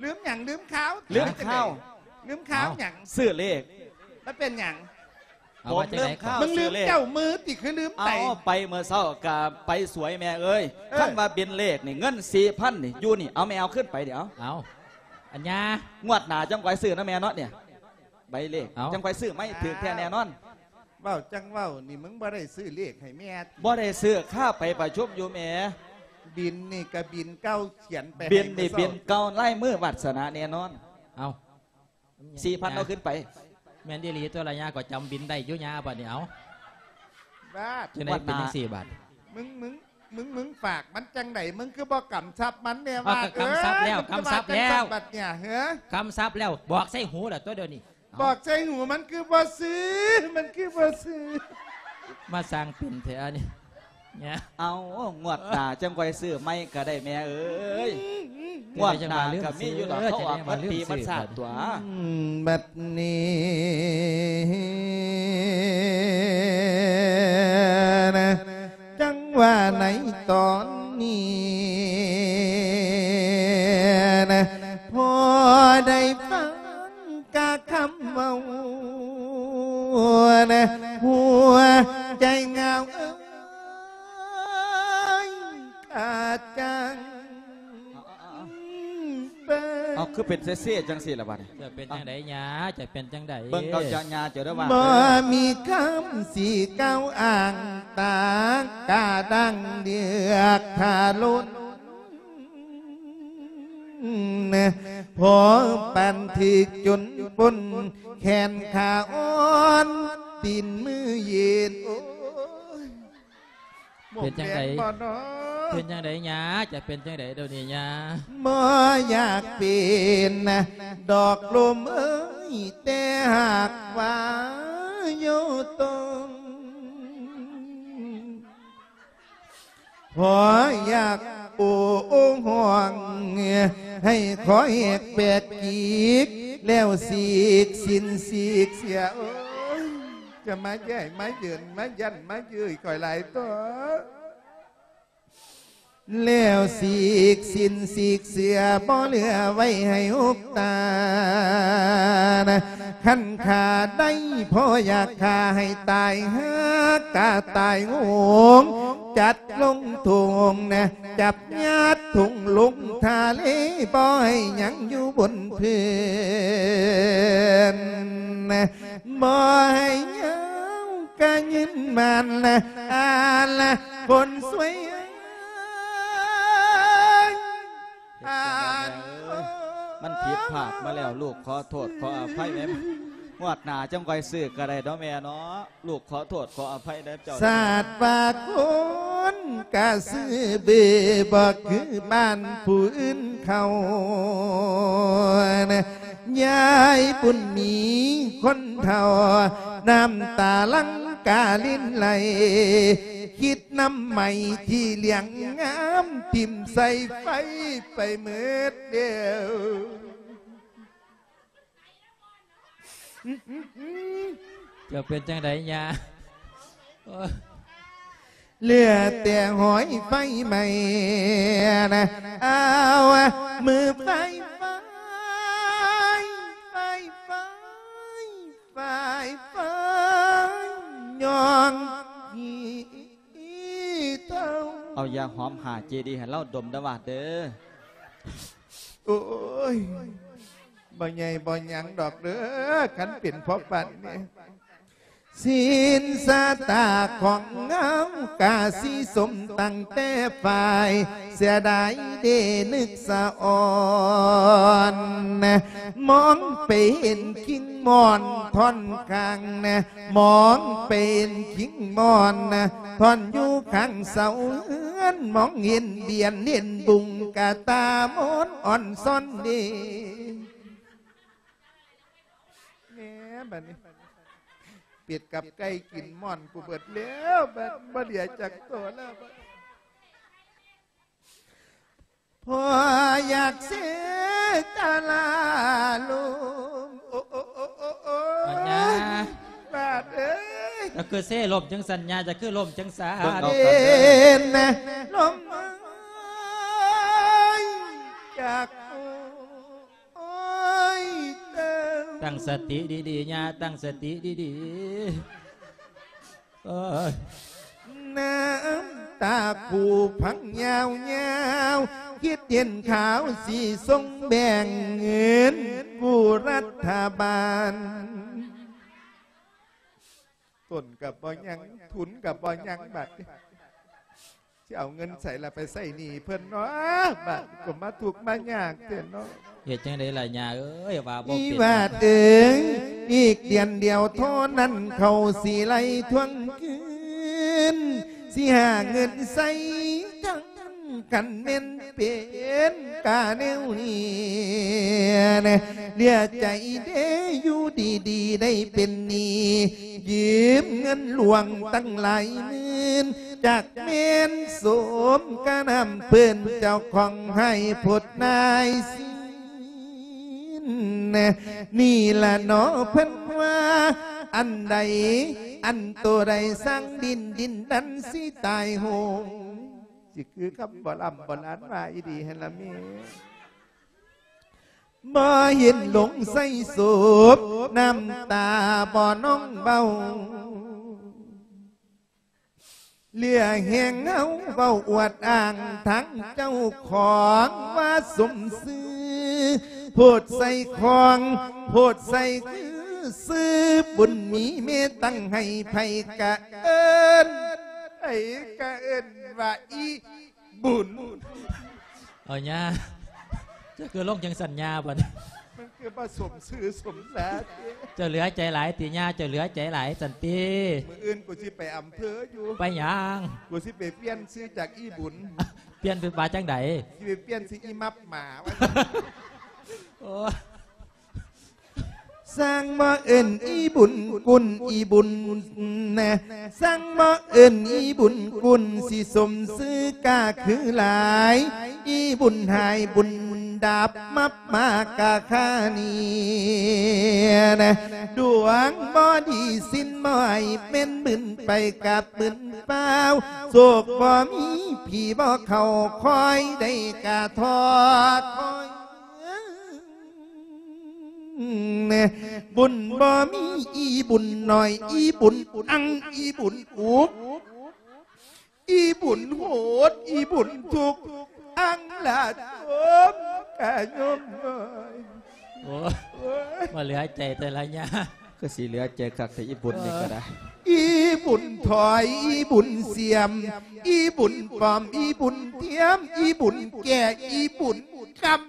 ລືມຫຍັງ? ລືມຂ່າວ ລືມຂ່າວ ລືມຂ່າວຫຍັງ? ຊື້ເລກ ມັນເປັນຫຍັງ? ເອົາ ຜົມລືມຂ່າວ ມຶງລືມເຈົ້າມືຕິ ຄືລືມໄປ? ເອົາ ໄປເມື່ອເຊົ້າກະໄປສວຍແມ່ເອີຍ. ເອີ ຄັນວ່າບິນເລກນີ້ ເງິນສີ່ພັນນີ້ຢູ່ນີ້ ເອົາແມ່ເອົາຄືນໄປດຽວ. ເອົາ ອັນຍາ ງວດໜ້າຈັ່ງຄ່ອຍຊື້ນະແມ່ເນາະ ເນຍ ໃບເລກ ເອົາ ຈັ່ງຄ່ອຍຊື້ໃໝ່ ຖືກແທ້ແນ່ນອນ. ເວົ້າຈັ່ງເວົ້ານີ້ ມຶງບໍ່ໄດ້ຊື້ເລກໃຫ້ແມ່ຕິ? ບໍ່ໄດ້ຊື້ ຄາໄປປະຊຸມຢູ່ແມ່. ບິນນີ້ກະບິນເກົ່າ ຂຽນໄປ ບິນນີ້ບິນເກົ່າ ລາຍມືວາດສະໜາແນ່ນອນ. ເອົາ ສີ່ພັນເອົາຄືນໄປ. ແມ່ນອີ່ຫຼີຕົວະລະຍາ ກໍຈຳບິນໄດ້ຢູ່ຍາ ບາດນີ້. ເອົາ ບາດ ຈັ່ງໃດເປັນຈັ່ງຊີ້ບາດ? ມຶງ ມຶງ ມຶງ ມຶງຝາກມັນຈັ່ງໃດ? ມຶງຄືບໍ່ກຳຊັບມັນແນ່ ວ່າ ກຳຊັບແລ້ວ ເອີ ກຳຊັບແລ້ວ ມັນຄືວ່າຈັ່ງຊັ້ນບາດເນຍ ເຮີ ກຳຊັບແລ້ວ ບອກໃສ່ຫູລະຕົວະດຽວນີ້. ບອກໃສ່ຫູ ມັນຄືບໍ່ຊື້ ມັນຄືບໍ່ຊື້. ມາສ້າງເປັນແທ້ອັນນີ້ ເອົາ ງວດໜ້າຈັ່ງຄ່ອຍຊື້ໃໝ່ກະໄດ້ແມ່ເອີຍ. ງວດໜ້າກະມີຢູ່ດອກ ເຂົາອອກໝົດປີໝົດຊາດຕົວະ. ບັດນີ້ນະ ຈັ່ງວ່າໃນຕອນນີ້ນະ ພໍໄດ້ຟັງ ກະຄຳເວົ້ານະ ຫົວໃຈເຫງົາເອີຍ ກະຈັ່ງເປີ. ເອົາ ຄືເປັນເຊໆຈັ່ງຊີ້ລະບາດນີ້? ຈະເປັນຈັ່ງໃດຍາ ຈະເປັນຈັ່ງໃດ? ເບິ່ງເອົາເຈົ້າຍາເຈົ້າເດີວ່າ ບໍ່ມີຄຳຊິກ່າວອ້າງຕາກະດັງເລືອກທາລຸນ ພໍປານຖືກຈົນປົນ ແຂນຂາອ່ອນ ຕີນມືເຢັນ ໂອ້ຍ ເປັນຈັ່ງໃດ? ເປັນຈັ່ງໃດຍາ? ຈະເປັນຈັ່ງໃດດຽວນີ້ຍາ? ບໍ່ຢາກເປັນດອກລົມເອີຍ ແຕ່ຫາກວ່າຢູ່ຕົງ ພໍຢາກໂອ້ຮ້ອງ ໃຫ້ຂໍແຫກແປກກີກ ແລ້ວສີກສິ້ນສີກເສຍ. ໂອ້ຍ ຈະມາແຍ່ມາເຢິນ ມາຢັນມາເຍີ້ຍຂ້ອຍຫຼາຍຕົວະ. ແລ້ວສີກສິ້ນສີກເສຍ ບໍ່ເຫຼືອໄວ້ໃຫ້ຫົກຕານະ. ຄັນຂ້າໄດ້ພໍຢາກຂ້າໃຫ້ຕາຍ ຫາກກະຕາຍໂຫງ ຈັດລົງຖົງນະ ຈັບຍາດຖົງລົງທະເລ ບໍ່ໃຫ້ຫຍັງຢູ່ບົນພື້ນນະ ບໍ່ໃຫ້ຫຍັງກະຢືນໝັ້ນນະ ອາລະຄົນສວຍ. ເຮັດຈັ່ງໃດແມ່ເອີຍ ມັນຜິດພາດມາແລ້ວ ລູກຂໍໂທດຂໍອະໄພແມ່. ງວດໜ້າຈັ່ງຄ່ອຍຊື້ກະໄດ້ເນາະແມ່ເນາະ ລູກຂໍໂທດຂໍອະໄພເດີເຈົ້າ. ຊາດວ່າຄົນກະຊື້ເບ ບໍ່ຄືບ້ານຜູ້ອື່ນເຂົານະ ຍາຍບຸນມີຄົນເຖົ້າ ນ້ຳຕາຫຼັ່ງກະລິນໄຫຼ ຄິດ ນ້ຳໄມ້ທີ່ຫຼຽງງາມ ຖິ້ມໃສ່ໄຟໄປເໝິດແລ້ວ. ຈະເປັນຈັ່ງໃດຍາ? ໂອ້ຍ ເຫຼືອແຕ່ຫອຍໄຟໄໝ້ນະ ອ້າວ ມືໄຟ ໄຟ ໄຟ ໄຟ ໄຟ ໄຟ ຍ້ອງ ເອົາຢາຫອມຫ້າເຈດີໃຫ້ລາວດົມເດີວາດເດີ. ໂອ້ຍ ບໍ່ໃຫຍ່ບໍ່ຫຍັງດອກເດີ ຄັນເປັນພໍປານນີ້. ສິນຊະຕາຂອງເຮົາກະຊິສົມຕັ້ງແຕ່ຝ່າຍ ເສຍດາຍເດນຶກສະອອນ ມອງໄປເຫັນຄິງມ່ອນທ່ອນຂ້າງ ມອງໄປເຫັນຄິງມ່ອນທ່ອນຢູ່ຂ້າງເສົາເຮືອນ ມອງເຫັນບຽນເຫັນບຸງກະຕາມອນອອນຊອນເດ. ແໝ ບັດນີ້ ເປັດກັບໄກ່ກິນມ່ອນກູເບິດແລ້ວ ບັດບໍ່ເຫຼືອຈັກໂຕແລ້ວ ບັດ ພໍ່ຢາກເສກະລາລົມ ໂອ້ ໂອ້ ໂອ້ ໂອ້ ໂອ້ຍ ອັນຍາ ບາດເອີຍ ເຈົ້າຄືເຊລົມຈັ່ງຊັ້ນ ຍາ ເຈົ້າຄືລົມຈັ່ງຊັ້ນ ເບິ່ງເອົາກັນເດີ ເປັນລົມເອີຍ ຢາກ ໂອ້ຍ ຕັ້ງສະຕິດີໆ ຍ່າ ຕັ້ງສະຕິດີໆ ໂອ້ຍ ນ້ຳຕາຄູພັງຍາວໆ ຄິດເຫັນຂ່າວຊິສົ່ງແບ່ງເງິນກູ້ລັດຖະບານ. ຕົ້ນກໍບໍ່ຍັງ ທຶນກໍບໍ່ຍັງ ບາດນີ້ຊິເອົາເງິນໃສລະໄປໃຊ້ໜີ້ເພິ່ນເນາະ ບາດນີ້ກໍມາທຸກມາຍາກແທ້ເນາະ. ເຮັດຈັ່ງໃດລະຍ່າເອີຍ ວ່າບໍ່ເປັນ ອີຫວາດເອີຍ ອີກເດືອນດຽວທໍ່ນັ້ນ ເຂົາຊິໄລ່ທວງຄືນ ຊິຫາເງິນໃຊ້ທັງ ຄັນແມ່ນເປັນກາແນວນີ້ ເຫຼືອໃຈເດ ຢູ່ດີໆ ໄດ້ເປັນໜີ້ ຢືມເງິນຫຼວງຕັ້ງຫຼາຍໝື່ນ ຈັກແມ່ນສົມກະນ້ຳເພິ່ນ ເຈົ້າຂອງໃຫ້ພົດນາຍສິນ ນີ້ລະເນາະເພິ່ນວ່າ ອັນໃດອັນໂຕໃດສ້າງດິນ ດິນນັ້ນຊິຕາຍໂຫງ. ຊິຄືຄຳໂບລຳໂບລານວ່າອີ່ຫຼີຫັ້ນລະແມ່ ບໍ່ເຫັນລົງໃສ່ສົບ ນ້ຳຕາບໍ່ນອງເບົາ ເຫຼືອແຮງເຮົາເວົ້າອວດອ້າງທັງເຈົ້າຂອງວ່າສົມຊື່ ໂພດໃສ່ຂອງ ໂພດໃສ່ຄືຊື່ ບຸນມີແມ່ຕັ້ງໃຫ້ໃຜກະເອີ້ນ ໃຜກະເອີ້ນວ່າອີ່ ບຸນ ເອົາຍ່າ ເຈົ້າຄືລົງຈັ່ງຊັ້ນຍ່າ ບັດນີ້ ມັນຄືບໍ່ສົມຊື່ສົມສາເດ. ເຈົ້າເຫຼືອໃຈຫຼາຍຕິຍ່າ ເຈົ້າເຫຼືອໃຈຫຼາຍຊັ້ນຕິ. ມື້ອື່ນກູຊິໄປອຳເພີຢູ່. ໄປຫຍັງ? ກູຊິໄປປ່ຽນຊື່ຈາກອີ່ບຸນ. ປ່ຽນເປັນວ່າຈັ່ງໃດ? ຊິໄປປ່ຽນຊື່ອີ່ມັບໝາ ວ່າຊັ້ນ. ໂອ້. ຊ່າງບໍ່ເອີ້ນອີ່ບຸນກຸນອີ່ບຸນນະ ຊ່າງບໍ່ເອີ້ນອີ່ບຸນກຸນ ຊິສົມຊື່ກະຄືຫຼາຍ ອີ່ບຸນຫາຍບຸນດັບ ມັບມາກະຄານີ້ນະ ດວງບໍ່ດີສິນບໍ່ໃຫ້ ແມ່ນບຶນໄປກັບບຶນຟ້າວ ໂຊກບໍ່ມີຜີບໍ່ເຂົ້າ ຄອຍໄດ້ກະທໍ້ຖອຍ. ບຸນບໍ່ມີ ອີ່ບຸນໜ້ອຍ ອີ່ບຸນອັ່ງ ອີ່ບຸນອຸກ ອີ່ບຸນໂຫດ ອີ່ບຸນທຸກ ອັ່ງລະຊົມກະຍົມນ້ອຍ. ໂອ້ຍ ໂອ້ຍ ບໍ່ເຫຼືອໃຈແຕ່ລະຍາ ຄືຊິເຫຼືອໃຈຄັກແທ້ ອີ່ບຸນນີ້ກໍໄດ້. ເອີ ອີ່ບຸນຖອຍ ອີ່ບຸນສຽມ ອີ່ບຸນປອມ ອີ່ບຸນທຽມ ອີ່ບຸນແກ່ ອີ່ບຸນກຳ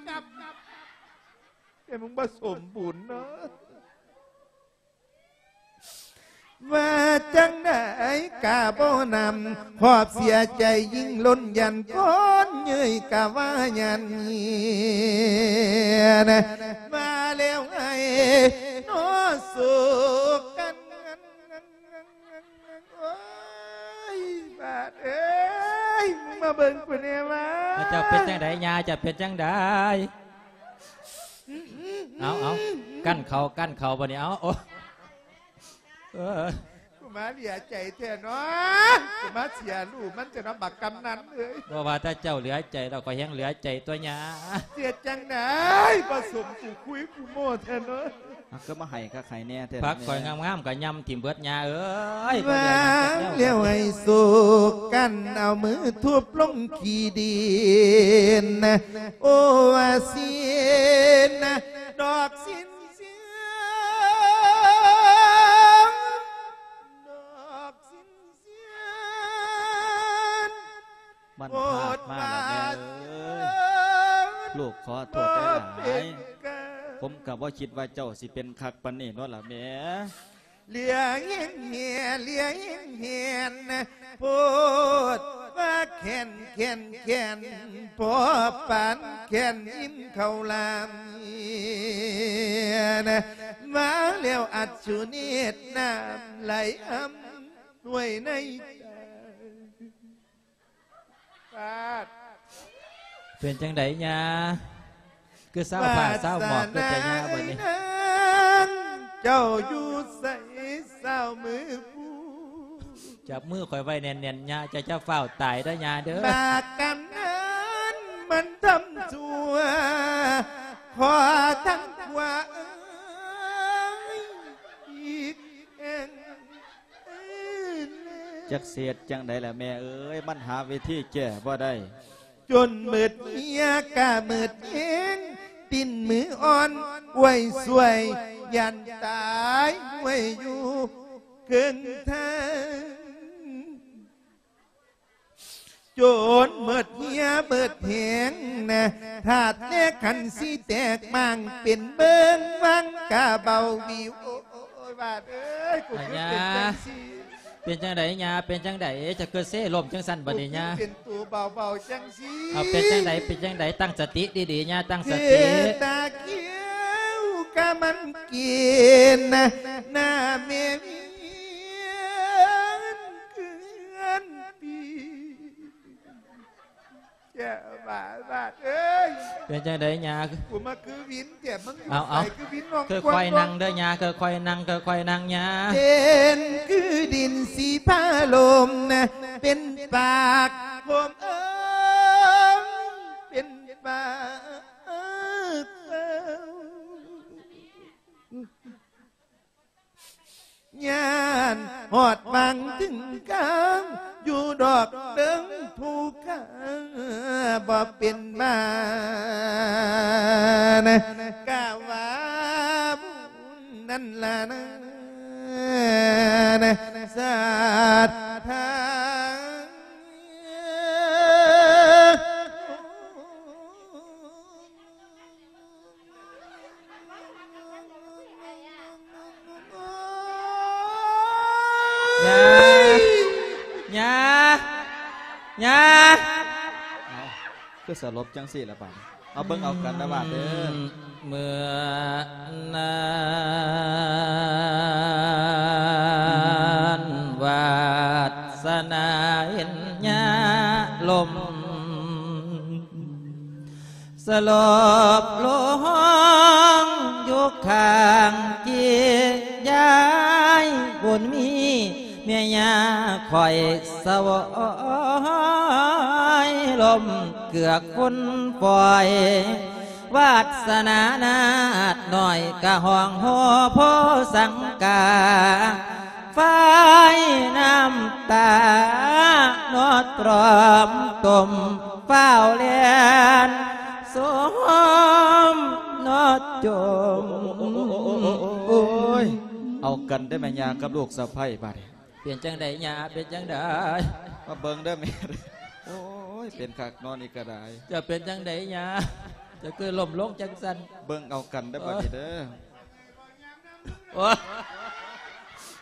ແຕ່ມຶງບໍ່ສົມບູນເນາະ. ວ່າຈັ່ງໃດກະບໍ່ນຳ ຄອບເສຍໃຈຍິ່ງລົ້ນ ຢ້ານຄົນເຍີ້ຍກະວ່າຢ້ານເມຍນະ ວ່າແລ້ວໃຫ້ນອໂສກກັນ. ໂອ້ຍ ບາດເອີຍ ມຶງມາເບິ່ງກູແດ່ວ່າ ເຈົ້າເປັນຈັ່ງໃດຍາ ເຈົ້າເປັນຈັ່ງໃດ? ເອົາ ເອົາ ກັ້ນເຂົາ ກັ້ນເຂົາບັດນີ້ ເອົາ ໂອ້ ເອີ ກູມາເຫຼືອໃຈແທ້ເນາະ ກູມາເສຍລູກມັນແທ້ເນາະ ບັກກຳນັນເອີຍ. ບໍ່ວ່າແຕ່ເຈົ້າເຫຼືອໃຈດອກ ຂ້ອຍແຮ່ງເຫຼືອໃຈຕົວຍາ. ເຮັດຈັ່ງໃດ ປະສົມກູຄຸຍກູໂມ້ແທ້ເນາະ. ອ່ະ ຄືມາໃຫ້ຄັກໃຫ້ແນ່ແທ້ ຜັກຂ້ອຍງາມໆກໍຍ່ຳຖິ້ມເບິດຍາເອີຍ. ວາງແລ້ວໃຫ້ໂສກກັນ ເອົາມືທຸບລົງຂີ້ດິນ ໂອວາສິນ ດອກສິນເສືອງ ผมก็บ่คิดว่าเจ้าสิเป็นคักปานนี้เนาะล่ะแม่ เหลือแฮงแห่ เหลือแฮงแหน โพดว่าแขน แขน แขน พอปานแขนอิ่มข้าวหลาม มาแล้วอัศเนตรน้ำไหลอำนวยในใจ ปาด เป็นจั่งใด๋ย่า คือซาวฟ้าซาวหมอกคือแต่ย่าบัดนี้ วาสนาเอ้ยนาง เจ้าอยู่ไสซาวมือผู้ จับมือข่อยไว้แน่นๆ ย่า เจ้าจะฟ้าวตายเด้อย่าเด้อ บากกำนันมันทำชั่ว ขอทางผัวเอ้ยอีกแห่ง จักสิเฮ็ดจั่งใด๋ล่ะแม่เอ๋ย มันหาวิธีแก้บ่ได้ จนหมดเหี่ยกะหมดแฮง ดิ้นมืออ่อน อวยสวย ย่านตาย อวยอยู่เคิ่งทาง จนหมดเหี่ยหมดแฮงนะ ธาตุและขันธ์สิแตกหม่าง เป็นเบิ่งวังกะเบาวิว โอ้ย บาดเอ้ย กูคือเป็นจั่งซี้ เป็นจั่งใด๋ย่า เป็นจั่งใด๋ จะเกิดเซล้มจั่งซั่นบัดนี้ย่า กูคือเป็นตัวเบาๆจั่งซี้ เอา เป็นจั่งใด๋ เป็นจั่งใด๋ ตั้งสติดีๆย่า ตั้งสติ เทตาเขียวกะมันกินนะ หน้าแม่เมียนเกือนปี แก่บาดบาดเอ้ย เป็นจั่งใด๋ย่า กูมาคือวินแก่มึง เอา เอา ใส่คือวินน้อง ค่อยๆนั่งเด้อย่า ค่อยๆนั่ง ค่อยๆนั่งย่า เป็นคือดินสีฟ้าลมนะ เป็นปากผมเอ้ย เป็นปากเอ้ย ย่านฮอดฟังถึงกลาง อยู่ดอกเดิงภูเขาบ่เป็นบ้าน กะว่าบุญนั่นล่ะนะ ศรัทธา ย่า ย่า ย่า เอ้า คือสลบจั่งซี้ล่ะบาดนี้ เอาเบิ่งเอากันนะบาดเด้อ เมื่อนั้นวาสนาเห็นย่าล้ม สลบลงอยู่ข้างเคียงยายบุญมี แม่ย่าข้อยสะวอยล้มเกือกฝนปล่อย วาสนานาดน้อยกะห้องโฮโพสังกา ฝ่ายน้ำตานอดตรอมต้มฟ้าวแล่นสมนอดจม โอ้ย เอากันเด้อแม่ย่ากับลูกสะใภ้บาดนี้ เป็นจั่งใด๋ย่า เป็นจั่งใด๋ มาเบิ่งเด้อแม่ โอ้ย เป็นคักนอนอีกกะได้ เจ้าเป็นจั่งใด๋ย่า เจ้าคือล้มลงจั่งซั่น เบิ่งเอากันเด้อบาดนี้เด้อ โอ้ย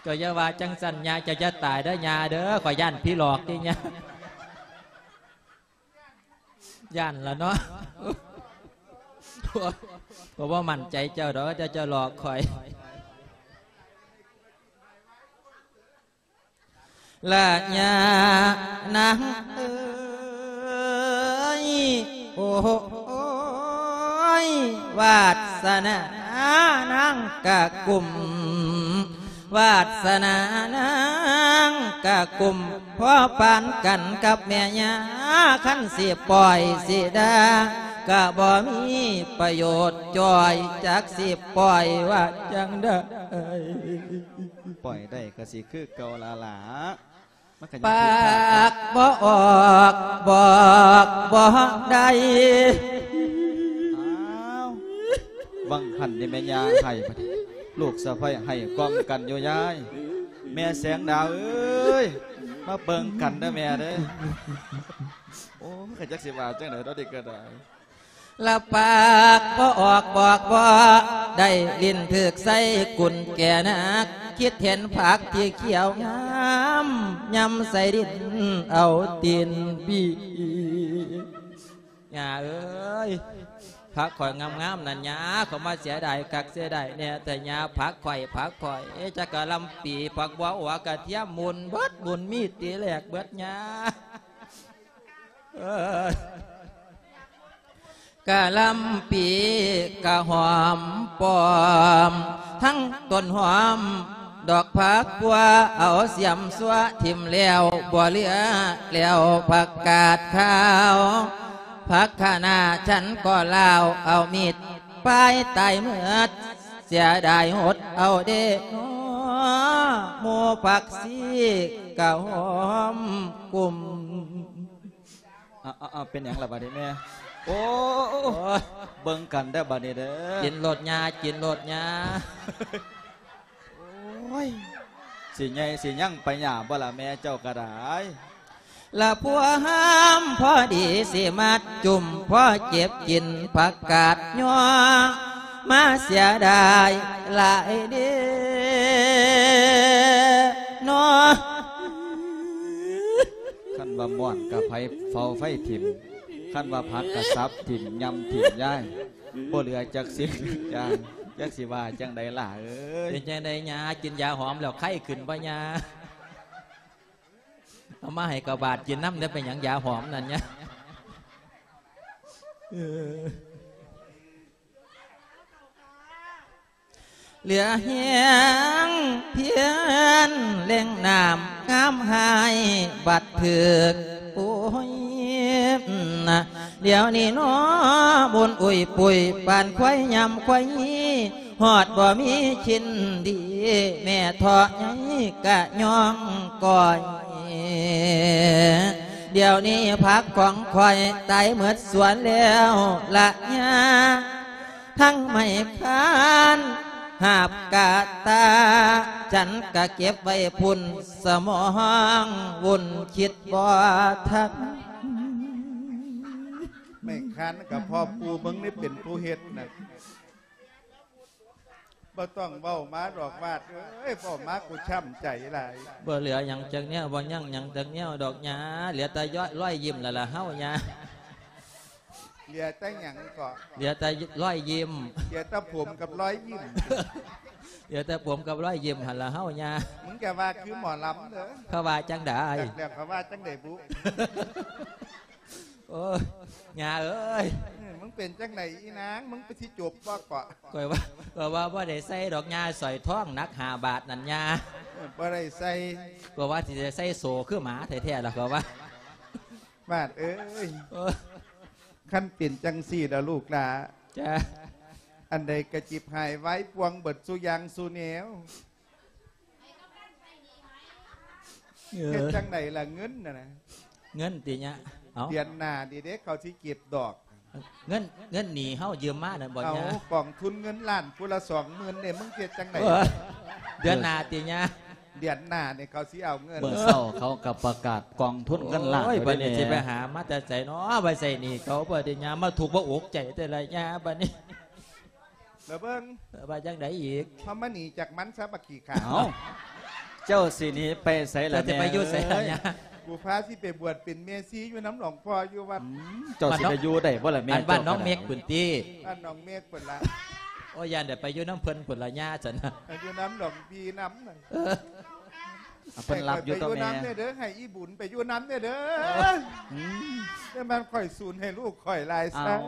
เจ้าอย่าว่าจั่งซั่นย่า เจ้าอย่าตายเด้อย่าเด้อ ข้อยย้านผีหลอกติย่า ย้านล่ะเนาะ โอ้ย ข้อยบ่มั่นใจเจ้าดอก เจ้า เจ้าหลอกข้อย ละย่านางเอ๋ย โอ้ยวาสนานางกะกุม วาสนานางกะกุม พอปานกันกับแม่ย่า คันสิปล่อยสิด่ากะบ่มีประโยชน์จ้อย จักสิปล่อยว่าจั่งใด๋ ปล่อยได้กะสิคือเก่าล่ะล่ะ มันกะยัง ปากบ่ออก บอกบ่ได้ อ้าว วังหันนี่แม่ย่าไห้บัดนี้ ลูกสะใภ้ไห้กล่อมกันอยู่ยาย แม่แสงดาวเอ้ย มาเบิ่งกันเด้อแม่เด้อ โอ้ย กะจักสิว่าจั่งใด๋เนาะเด็กกะได้ ລະປາກບໍ່ອອກບອກບໍ່ໄດ້ ຫຼິ້ນຖືກໃສ່ກຸນແກ່ນັກ ຄິດເຫັນຜັກທີ່ຂຽວງາມ ຍຳໃສ່ດິນເອົາຕີນບີ. ຍ່າເອີຍ ຜັກຂ້ອຍງາມໆນັ້ນ ຍ່າ ເຂົາມາເສຍດາຍຄັກເສຍດາຍແນ່ແທ້ ຍ່າ ຜັກຂ້ອຍ ຜັກຂ້ອຍ ຈັກກະລຳປີ ຜັກບົວ ຫົວກະທຽມ ໝຸ່ນເບິດ ໝຸ່ນມີຕີແຫຼກເບິດ ຍ່າ ເອີ ກະລຳປີກະຫອມປ້ອມ ທັງຕົ້ນຫອມ ດອກຜັກບົວ ເອົາສຽມຊົ່ວຖິ້ມແລ້ວ ບໍ່ເຫຼືອແລ້ວຜັກກາດຂາວ ຜັກຄະນ້າ ສັນກໍລາວ ເອົາມີດປາຍຕາຍເໝິດ ເສຍດາຍຫົດເອົາເດເນາະ ໝູ່ຜັກຊີກະຫອມກຸ້ມ. ເອົາ ເອົາ ເອົາ ເປັນຫຍັງລະບາດນີ້ແມ່? ໂອ້ ໂອ້ຍ ເບິ່ງກັນເດີບາດນີ້ເດີ ກິນໂລດຍ່າ ກິນໂລດຍ່າ. ໂອ້ຍ ຊິໃຫຍ່ຊິຍັງໄປຫຍ້າບໍ່ລະແມ່ເຈົ້າກະດາຍ? ລະພວມພໍດີຊິມັດຈຸ້ມ ພໍເກັບກິນຜັກກາດຍໍ ມາເສຍດາຍຫຼາຍເດເນາະ. ຄັນວ່າມ່ອນກະໄຟ ເຝົ້າໄຟຖິ້ມ ຄັນວ່າຜັກກະສັບຖິ້ມ ຍຳຖິ້ມຍາຍ ບໍ່ເຫຼືອຈັກສິ່ງຈັກຢ່າງ ຈັກຊິວ່າຈັ່ງໃດຫຼ້າເອີຍ. ເປັນຈັ່ງໃດຍ່າ ກິນຢາຫອມແລ້ວໄຂ້ຂຶ້ນບໍ່ຍ່າ? ເອົາມາໃຫ້ກະບາດກິນນຳເດີ ເປັນຫຍັງຢາຫອມນັ້ນຍາ? ເອີ ເຫຼືອແຮງພຽນເລັ່ງນ້ຳງາມຫາຍ ບັດຖືກ ໂອ້ຍ ດຽວນີ້ນໍ ບຸນອຸ້ຍປຸ້ຍ ປານຄວາຍຍຳຄວາຍ ຮອດບໍ່ມີຊິນດີ ແມ່ເທາະໃຫຍ່ກະຍ້ອງກ້ອຍ ດຽວນີ້ຜັກຂອງຂ້ອຍຕາຍເໝິດສວນແລ້ວລະຍ່າ ທັງໄມ້ຄານຫາບກະຕ່າ ສັນກະເກັບໄວ້ພຸ້ນ ສະໝອງວຸ່ນຄິດບໍ່ທັນ. ໄມ້ຄານກະພໍ່ປູ່ເບິ່ງນີ້ເປັນຜູ້ເຮັດນະ. ບໍ່ຕ້ອງເວົ້າມາດອກວາດເອີຍ ເວົ້າມາກູຊ້ຳໃຈຫຼາຍ. ບໍ່ເຫຼືອຫຍັງຈັກແນວ ບໍ່ຍັງຫຍັງຈັກແນວດອກຍ່າ ເຫຼືອແຕ່ລອຍ ລອຍຍິ້ມລະລະເຮົາຍ່າ. ເຫຼືອແຕ່ຫຍັງເກາະ? ເຫຼືອແຕ່ລອຍຍິ້ມ. ເຫຼືອແຕ່ຜົມກັບລອຍຍິ້ມ. ເຫຼືອແຕ່ຜົມກັບລອຍຍິ້ມຫັ້ນລະເຮົາຍ່າ. ມຶງຈະວ່າຄືໝໍລຳເດີ. ເຂົາວ່າຈັ່ງໃດ? ຈັກແລ້ວເຂົາວ່າຈັ່ງໃດບຸ? ໂອ້ຍ ຍ່າເອີຍ ເອີ ມຶງເປັນຈັ່ງໃດອີນາງ? ມຶງໄປຊິຈົບບໍ່ເກາະ? ຂ້ອຍວ່າ ຂ້ອຍວ່າບໍ່ໄດ້ໃສ່ດອກຍ່າ ສ້ອຍທອງໜັກຫ້າບາດນັ້ນຍ່າ. ເອີ ບໍ່ໄດ້ໃສ່. ຂ້ອຍວ່າຊິໄດ້ໃສ່ໂສ້ຄືໝາແທ້ໆລະ ຂ້ອຍວ່າ. ບາດເອີຍ ໂອ້ຍ ຄັນເປັນຈັ່ງຊີ້ລະລູກຫຼ້າ ຈ້າ ອັນໃດກະຈິບຫາຍວາຍປ່ວງເບິດສູ່ຢ່າງສູ່ແນວ. ເອີ ເຮັດຈັ່ງໃດລະເງິນຫັ້ນນະ? ເງິນຕິຍະ? ເອົ້າ ເດືອນໜ້ານີ້ເດ້ ເຂົາຊິເກັບດອກ. ເງິນ ເງິນໜີ້ເຮົາຢືມມານັ້ນບໍ່ຍາ? ເອົາ ກອງທຶນເງິນລ້ານຜູ້ລະສອງໝື່ນເດ້ ມຶງເຮັດຈັ່ງໃດ? ເອີ ເດືອນໜ້າຕິຍາ? ເດືອນໜ້ານີ້ເຂົາຊິເອົາເງິນ. ມື້ເຊົ້າເຂົາກໍປະກາດກອງທຶນເງິນລ້ານ. ໂອ້ຍ ບັດນີ້ຊິໄປຫາມາແຕ່ໃສເນາະ ໄວ້ໃຊ້ໜີ້ເຂົາ ບັດນີ້ຍາມາທຸກມາອົກໃຈແຕ່ລະຍາ ບັດນີ້. ລະເບິ່ງ ເອີ ວ່າຈັ່ງໃດອີກ? ເຮົາມາໜີຈາກມັນຊະບັກຂີ້ຂ້າ. ເອົ້າ ເຈົ້າຊິໜີໄປໃສລະ? ເຈົ້າຊິໄປຢູ່ໃສລະຍາ? ກູພາຊິໄປບວດເປັນແມ່ຊີຢູ່ນຳຫຼວງພໍ່ຢູ່ວັດ. ອືມ ເຈົ້າຊິໄປຢູ່ໄດ້ບໍ່ລະແມ່? ອັນບ້ານໜອງເມັກພຸ້ນຕິ? ບ້ານໜອງເມັກພຸ້ນລະ. ໂອ້ຍ ຢ້ານໄດ້ໄປຢູ່ນຳເພິ່ນພຸ້ນລະຍາ ຊັ້ນນະ. ໄປຢູ່ນຳຫຼວງພີ່ນຳນັ້ນ. ເອີ ເພິ່ນຮັບຢູ່ຕົວແມ່. ໃຫ້ຂ້ອຍໄປຢູ່ນຳແດ່ເດີ ໃຫ້ອີບຸນໄປຢູ່ນຳແດ່ເດີ. ອືມ ແຕ່ມັນຂ້ອຍສູນໃຫ້ລູກຂ້ອຍຫຼາຍຊະ. ເອົ້າ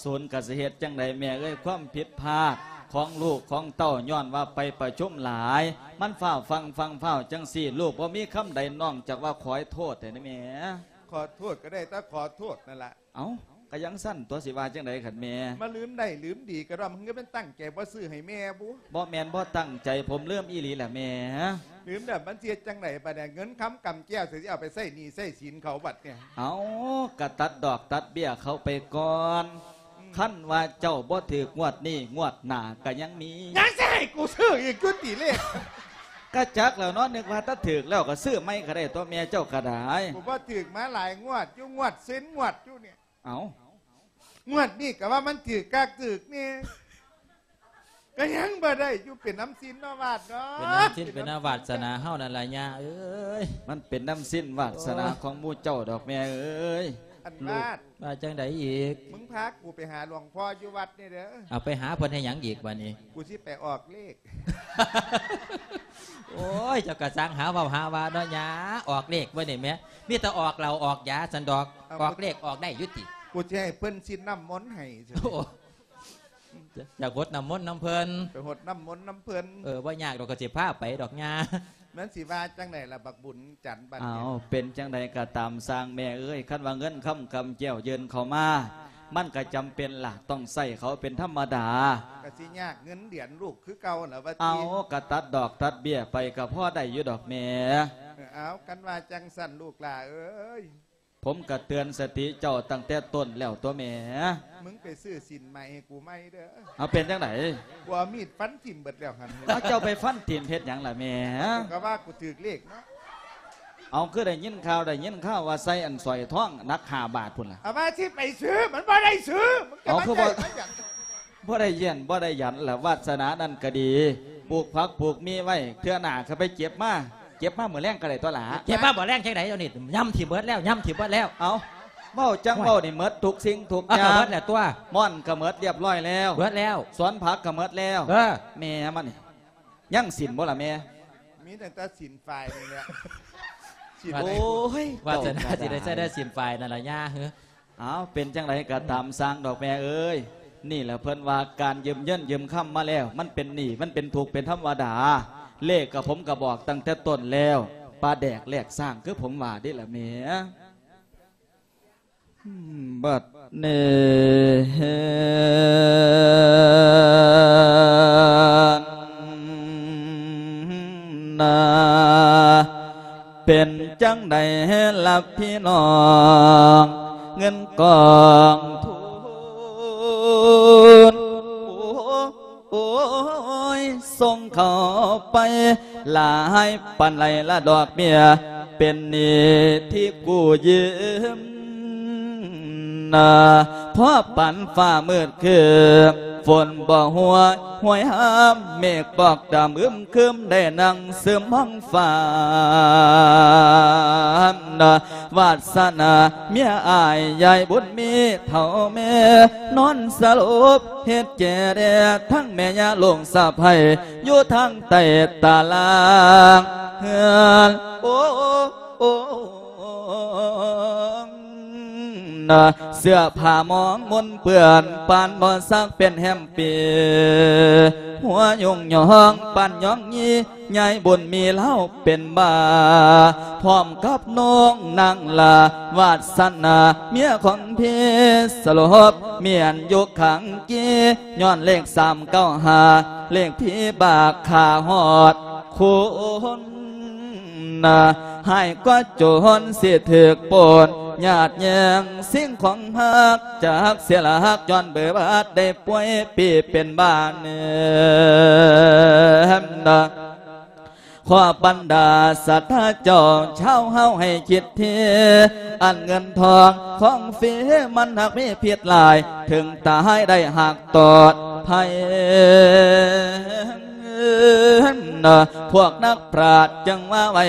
ສູນກະຊິເຮັດຈັ່ງໃດແມ່ເອີຍ? ຄວາມຜິດພາດຂອງລູກຂອງເຕົ້າ ຍ້ອນວ່າໄປປະຊຸມຫຼາຍ ມັນຟ້າວຟັ່ງຟັ່ງຟ້າວຈັ່ງຊີ້ ລູກບໍ່ມີຄຳໃດນອກຈາກວ່າຂໍໂທດແທ້ນະແມ່. ຂໍໂທດກໍໄດ້ແຕ່ຂໍໂທດນັ້ນລະ. ເອົ້າ ກະຈັ່ງຊັ້ນຕົວະ ຊິວ່າຈັ່ງໃດຄັນແມ່? ມາລືມໄດ້ລືມດີກະດ້ອມ ຄືແມ່ນຕັ້ງໃຈບໍ່ຊື້ໃຫ້ແມ່ບຸ? ບໍ່ແມ່ນບໍ່ຕັ້ງໃຈ ຜົມລືມອີ່ຫຼີລະແມ່. ລືມແລ້ວມັນຊິເຮັດຈັ່ງໃດບາດນີ້? ເງິນຄຳກຳແກ້ວ ຊິເອົາໄປໃຊ້ໜີ້ໃຊ້ສິນເຂົາບັດນີ້. ເອົ້າ ກະຕັດດອກຕັດເບ້ຍເຂົາໄປກ່ອນ. ອືມ ຄັນວ່າເຈົ້າບໍ່ຖືກງວດນີ້ ງວດໜ້າກະຍັງມີ. ຍັງຊິໃຫ້ກູຊື້ອີກຢູ່ຕິເລກ? ກະຈັກແລ້ວເນາະ ນຶກວ່າຖ້າຖືກແລ້ວກະຊື້ໃໝ່ກະໄດ້ຕົວະແມ່ເຈົ້າກະໄດ້. ກູບໍ່ຖືກມາຫຼາຍງວດຢູ່ ງວດເຊັ່ນງວດຢູ່ນີ້. ເອົ້າ ງວດນີ້ກໍว่าມັນຖືກຄັກຖືກແນ່ ກໍຍັງບໍ່ໄດ້ຢູ່ ເປັນນຳສິນເນາະ ວາດເນາະ ເປັນນຳສິນເປັນນຳວາດສະໜາເຮົານັ້ນລະ ຍ່າເອີຍ ມັນເປັນນຳສິນວາດສະໜາ ໂອ້ຍ ຂອງໝູ່ເຈົ້າດອກແມ່ເອີຍ ອັນ ລູກ ວາດ ວ່າຈັ່ງໃດອີກ? ມຶງພາກູໄປຫາຫຼວງພໍ່ຢູ່ວັດນີ້ເດີ ເອົາ ໄປຫາເພິ່ນເຮັດຫຍັງອີກບາດນີ້? ກູຊິໄປອອກເລກ ໂອ້ຍ ເຈົ້າກໍຊ່າງຫາເວົ້າຫາວ່າເນາະ ຍ່າ ອອກເລກບໍ່ນີ້ແໝ ມີແຕ່ອອກເຫຼົ້າອອກຢາຊັ້ນດອກ ເອົາ ອອກເລກອອກໄດ້ຢູ່ຕິ? ກູຊິໃຫ້ເພິ່ນຊິດນ້ຳມົນໃຫ້ ໂອ້ ຢາກຫົດນ້ຳມົນນຳເພິ່ນ ໄປຫົດນ້ຳມົນນຳເພິ່ນ ເອີ ບໍ່ຍາກດອກ ກໍຊິພາໄປດອກ ຍ່າ ມັນຊິວ່າຈັ່ງໃດລະ ບັກບຸນຈັນ ບັດນີ້? ອ້າວ ເປັນຈັ່ງໃດກໍຕາມຊ່າງແມ່ເອີຍ ຄັນວ່າເງິນຄຳກຳແກ້ວຍື່ນເຂົ້າມາ ມັນກໍຈຳເປັນລະ ຕ້ອງໃຊ້ເຂົາເປັນທຳມະດາ ກໍຊິຍາກເງິນດຽນລູກຄືເກົ່າລະວ່າຕິ? ເອົາ ກໍຕັດດອກຕັດເບ້ຍໄປ ກໍພໍໄດ້ຢູ່ດອກແມ່ ເອີ ເອົາ ຄັນວ່າຈັ່ງຊັ້ນລູກຫຼ້າເອີຍ ຜົມກໍເຕືອນສະຕິເຈົ້າຕັ້ງແຕ່ຕົ້ນແລ້ວຕົວະແມ່ ມຶງໄປຊື້ສິນໃໝ່ໃຫ້ກູໃໝ່ເດີ ເອົາ ເປັນຈັ່ງໃດ? ກູເອົາມີດຟັນຖິ້ມເບິດແລ້ວຫັ້ນ ເອົາ ເຈົ້າໄປຟັນຖິ້ມເຮັດຫຍັງລະແມ່? ກູກໍວ່າກູຖືກເລກເນາະ ເອົາ ຄືໄດ້ຍິນຂ່າວ ໄດ້ຍິນຂ່າວວ່າໃສ່ອັນສ້ອຍທອງໜັກຫ້າບາດພຸ້ນລະ ເອົາ ວ່າຊິໄປຊື້ ມັນບໍ່ໄດ້ຊື້ ມຶງຈະ ເອົາ ມາ ຄືບໍ່ ໃຊ້ມັນຫຍັງ? ບໍ່ໄດ້ຢ້ຽນບໍ່ໄດ້ຢັນລະ ວາດສະໜານັ້ນກໍດີ ປູກຜັກປູກມີໄວ້ ເທື່ອໜ້າກໍໄປເກັບມາ ເກັບມາມື້ແລງກໍໄດ້ຕົວະຫຼ້າ ເກັບມາມື້ແລງຈັ່ງໃດ? ດຽວນີ້ຍຳຖິ້ມເບິດແລ້ວ ຍຳຖິ້ມເບິດແລ້ວ ເອົາ ເວົ້າຈັ່ງເວົ້ານີ້ ໂອ້ຍ ໝົດທຸກສິ່ງທຸກຢ່າງ ເອົາ ກໍເບິດແລ້ວຕົວະ ມ່ອນກໍໝົດລຽບຮ້ອຍແລ້ວ ເບິດແລ້ວ ສວນຜັກກໍໝົດແລ້ວ ເອີ ແມ່ມັນນີ້ ຍັງສິນບໍ່ລະແມ່? ມີຕັ້ງແຕ່ສິນຝ້າຍນີ້ແຫຼະ ສິນ ໂອ້ຍ ວາດສະໜາ ເຈົ້າ ຊິໄດ້ໃຊ້ໄດ້ສິນຝ້າຍນັ້ນລະຍ່າເຮີ ເອົາ ເປັນຈັ່ງໃດກໍຕາມຊ່າງດອກແມ່ເອີຍ ນີ້ແຫຼະເພິ່ນວ່າການຢືມເງິນຢືມຄຳມາແລ້ວ ມັນເປັນໜີ້ ມັນເປັນທຸກເປັນທຳມະດາ ເລກກໍ ຜົມກໍບອກຕັ້ງແຕ່ຕົ້ນແລ້ວ ປາແດກແລກຊ້າງ ຄືຜົມວ່າເດ້ລະແມ່ ບັດນີ້ ນາ ເປັນຈັ່ງໃດລະພີ່ນ້ອງ ເງິນກອງທຶນ ໂອ້ຍ ສົ່ງເຂົ້າໄປຫຼາຍປານໃດລະດອກເບ້ຍ ເປັນໜີ້ທີ່ກູ້ຢືມ ນາ ພໍປານຟ້າມືດຄຶ້ມ ຝົນບໍ່ຫົວ ຫ້ວຍຫ້າມ ເມກປອກດຳອຶມຄຶມ ໄດ້ນັ່ງຊຶມຫ້ອງຟ້າ ນາ ວາດສະໜາເມຍອ້າຍ ຍາຍບຸນມີເຖົ້າແມ່ ນອນສະຫຼົບເຮັດແຈແດ່ ທັງແມ່ຍ່າລູກສະໃພ້ ຢູ່ທາງໃຕ້ຕາລ່າງເຮືອນ ໂອ້ ນາ ເສື້ອຜ້າໝອງມົນເປື້ອນ ປານບໍ່ຊັກເປັນແຮມປີ ຫົວຍົງຍອງປານຍອງຢີ ຍາຍບຸນມີລາວເປັນບ້າ ພ້ອມກັບນ້ອງນາງຫຼ້າ ວາດສະໜາເມຍຂອງພີ່ສະຫຼົບ ເມຍນຢູ່ຂ້າງກີ ຍ້ອນເລກສາມເກົ້າຫ້າ ເລກຜີບາກຂ້າຮອດຄຸນ ນາ ຮ້າຍກວ່າໂຈນຊິຖືກປຸ້ນ ຍາດແຍ່ງສິ່ງຂອງຮັກ ຈັກເສຍຫຼັກຍ້ອນເບີບາດ ໄດ້ປ່ວຍປີ້ເປັນບ້າເນີນນາ ຂໍບັນດາສັດທາເຈົ້າ ຊາວເຮົາໃຫ້ຄິດທີ ອັນເງິນທອງຂອງຟຣີ ມັນຫາກມີພິດຫຼາຍ ເຖິງຕາຍໄດ້ຫາກຕອດໄພ ພວກນັກປາດຈຶ່ງວ່າໄວ້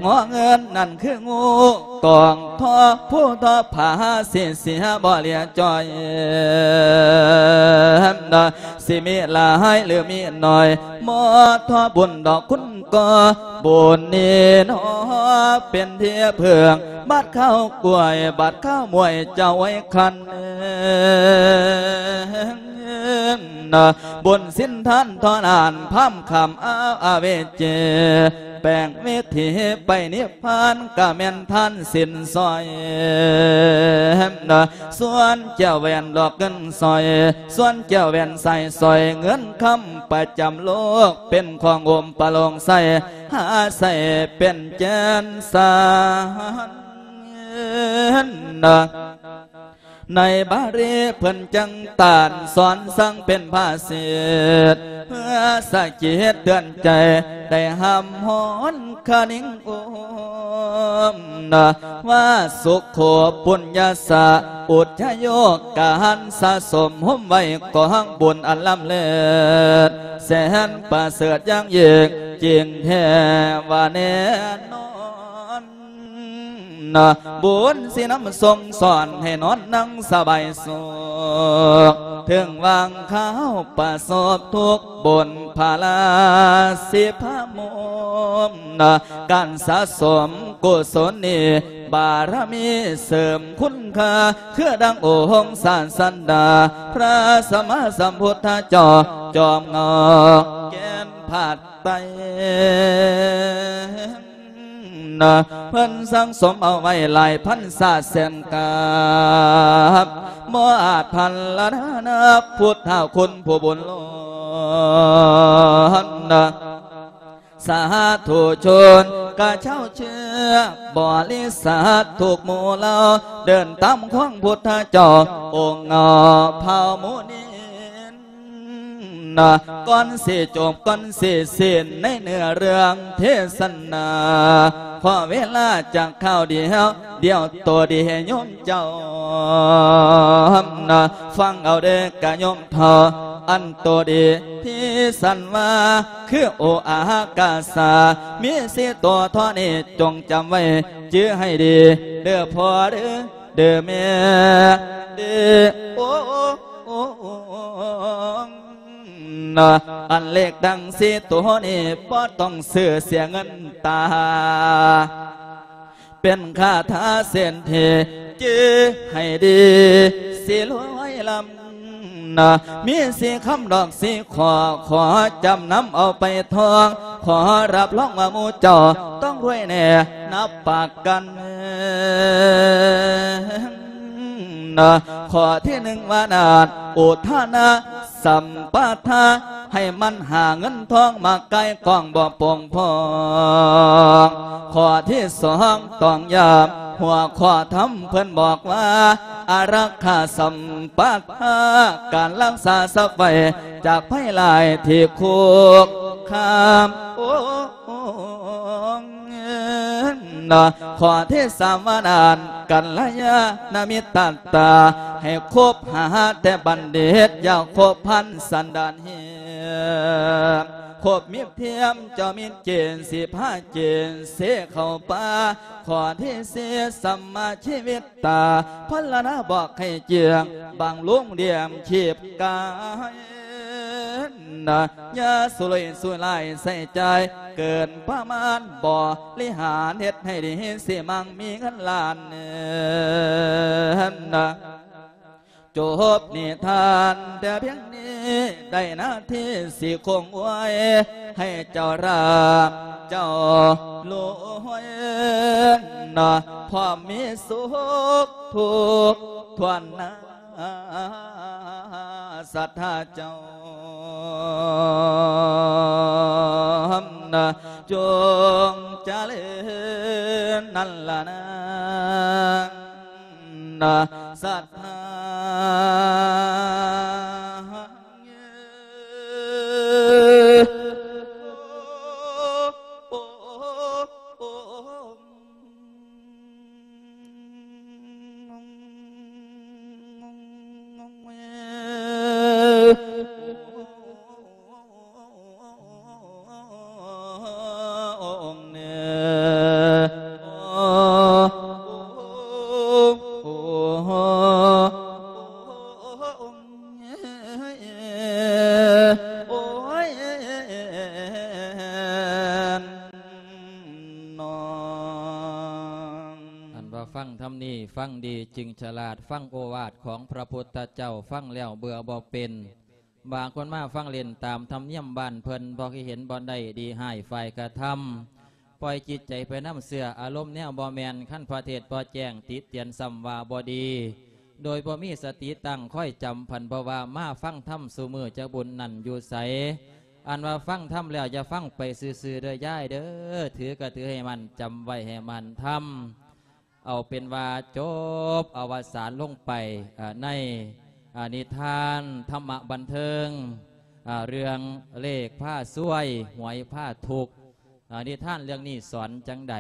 ງໍເງິນນັ້ນຄືງູກອງທອງ ຜູ້ທອບພາສີເສຍບໍ່ເຫຼືອຈ່ອຍ ຊິມີຫຼາຍຫຼືມີໜ້ອຍ ບໍ່ທໍ່ບຸນດອກຄຸນກໍ ບຸນນີ້ໜໍ ເປັນທີ່ເພິ່ງ ບາດຄາວກ້ວຍ ບາດຄາວໝວຍ ເຈົ້າໄວ້ຄັນ ບຸນສິນທານທໍນານ ພາມຄຳອາວອາເວຈີ ແປງວິຖີໄປນິບພານ ກະແມ່ນທານສິນຊ່ອຍ ສ່ວນແກ້ວແຫວນດອກເງິນສ້ອຍ ສ່ວນແກ້ວແຫວນສາຍສ້ອຍ ເງິນຄຳປະຈຳໂລກ ເປັນຂອງອົມປະໂລງໃສ ຫາໃຊ້ເປັນແກ່ນສານ ໃນບາລີເພິ່ນຈັ່ງຕ້ານສອນສັ່ງເປັນພາສິດ ເພື່ອສະກິດເຕືອນໃຈ ໄດ້ຫ້າມຮ້ອນຄະນິງໂອມ ວ່າສຸໂຂປຸນຍະສະ ໂອ ບຸດຍະໂຍກການສະສົມໂຮມໄວ້ກອງບຸນອັນລ້ຳເລີດ ແສນປະເສີດຢ່າງຍິ່ງ ຈິງແທ້ວ່າແນ່ນອນ. ບຸນຊິນຳສົ່ງສອນໃຫ້ນອນນັ່ງສະບາຍສຸກ ເຖິງຫວ່າງຄາວປະສົບທຸກບຸນພາລາສິພະມຸມ ການສະສົມກຸສົນນີ້ ບາລະມີເສີມຄຸນຄ່າ ຄືດັ່ງອົງສາດສັນດາ ພະສຳມາສຳພຸດທະເຈົ້າ ຈອມເງົາແກ່ນພາກໃຕ້ ເພິ່ນສັ່ງສົມເອົາໄວ້ຫຼາຍພັນຊາດແສນກັບ ບໍ່ອາດພັນລະນານັບ ພຸດທະຄຸນຜູ້ບຸນລ້ນ. ສາທຸຊົນກະເຈົ້າເຊື້ອບໍລິສັດທຸກໝູ່ເຫຼົ່າ ເດີນຕາມຂອງພຸດທະເຈົ້າອົງເງົາເຜົ່າມຸນິນ ກ່ອນຊິຈົບກ່ອນຊິສິ້ນໃນເນື້ອເລື່ອງເທສະນາ ຂໍເວລາຈັກຄາວດຽວ ດຽວໂຕດີໃຫ້ໂຍມເຈົ້າ ຟັງເອົາເດີ້ກະໂຍມເຖົ້າ ອັນໂຕດີທີ່ສັນວ່າ ຄືໂອອາກາສາ ມີສີ່ຕົວເທົ່ານີ້ ຈົ່ງຈຳໄວ້ຈື່ໃຫ້ດີ ເດີ້ພໍ່ເດີ້ ເດີ້ແມ່ ເດີ້ໂອ ອັນເລກດັ່ງສີ່ຕົວນີ້ ບໍ່ຕ້ອງຊື້ເສຍເງິນຕາ ເປັນຄາຖາເສນຖີ ຈື່ໃຫ້ດີ ຊິລວຍລ້ຳ ນະ ມີສີ່ຄຳດອກສີ່ຂໍ້ ຂໍຈຳນຳເອົາໄປທ່ອງ ຂໍຮັບຮອງວ່າໝູ່ເຈົ້າຕ້ອງລວຍແນ່ ນັບປະກັນ ນະ ຂໍ້ທີໜຶ່ງວ່ານານ ອຸທານະ ສຳປະທາ ໃຫ້ໝັ່ນຫາເງິນທອງມາກາຍກອງບໍ່ປົ່ງພອງ. ຂໍ້ທີສອງຕ້ອງຢ້ຳ ຫົວຂໍ້ທຳເພິ່ນບອກວ່າ ອາລັກຂາສຳປະທາ ການລັກສາຊັບໄວ້ຈາກໄພຮ້າຍທີ່ຄຸກຄາມ. ໂອ້ ນະ ຂໍ້ທີສາມວ່ານັ້ນ ກັນລະຍານະມິດຕະຕາ ໃຫ້ຄົບຫາແຕ່ບັນດິດ ຢ່າຄົບພັນສັນດານເຫຍ ຄົບມິດທຽມເຈົ້າມິດເຈນ ສິພາເຈນ ເສເຂົ້າປ່າ. ຂໍ້ທີສີ່ ສຳມາຊີວິດຕາ ພັນລະນາບອກໃຫ້ເຈື່ອງ ບັງລຸງລ້ຽງຊີບກາຍ ນະ ຢ່າສຸລຸຍສຸລາຍໃຊ້ຈ່າຍເກີນປະມານ ບໍລິຫານເຮັດໃຫ້ດີ ຊິມັ່ງມີເງິນລ້ານ ນະ. ຈົບນິທານແຕ່ພຽງນີ້ ໄດ້ໜ້າທີ່ຊິຄົງອວຍ ໃຫ້ເຈົ້າລາບເຈົ້າລວຍ ນະ ພ້ອມມີສຸກທຸກທວນນາ ສັດທາເຈົ້າ ນະ ຈົ່ງຈະເລີນນັ້ນລະນາ ນະ ສັດທາ. ອັນວ່າຟັງທຳນີ້ ຟັງດີຈຶ່ງສະຫຼາດ, ຟັງໂອວາດຂອງພະພຸດທະເຈົ້າ ຟັງແລ້ວເບື່ອບໍ່ເປັນ. ບາງຄົນມາຟັງເຫຼັ້ນຕາມທຳນຽມບ້ານເພິ່ນ, ບໍ່ເຄີຍເຫັນບ່ອນໃດດີຮ້າຍຝ່າຍກະທຳ, ປ່ອຍຈິດໃຈໄປນຳເຊື່ອອາລົມແນວບໍ່ແມ່ນ, ຄັນພະເທດບໍ່ແຈ້ງຕິຕຽນຊ້ຳວ່າບໍ່ດີ, ໂດຍບໍ່ມີສະຕິຕັ້ງຄອຍຈຳພັນ, ເພາະວ່າມາຟັງທຳຊຸມື້ຈັກບຸນນັ້ນຢູ່ໃສ? ອັນວ່າຟັງທຳແລ້ວຢ່າຟັງໄປຊື່ໆເດີຍາຍເດີ, ຖືກະຖືໃຫ້ໝັ້ນ, ຈຳໄວ້ໃຫ້ໝັ້ນທຳ. ເອົາເປັນວ່າຈົບອະວະສານລົງໄປ ອາ ໃນ ອາ ນິທານທຳມະບັນເທີງ ອາ ເລື່ອງເລກພາຊວຍ ຫວຍພາທຸກ. ອາ ນິທານເລື່ອງນີ້ສອນຈັ່ງໃດ?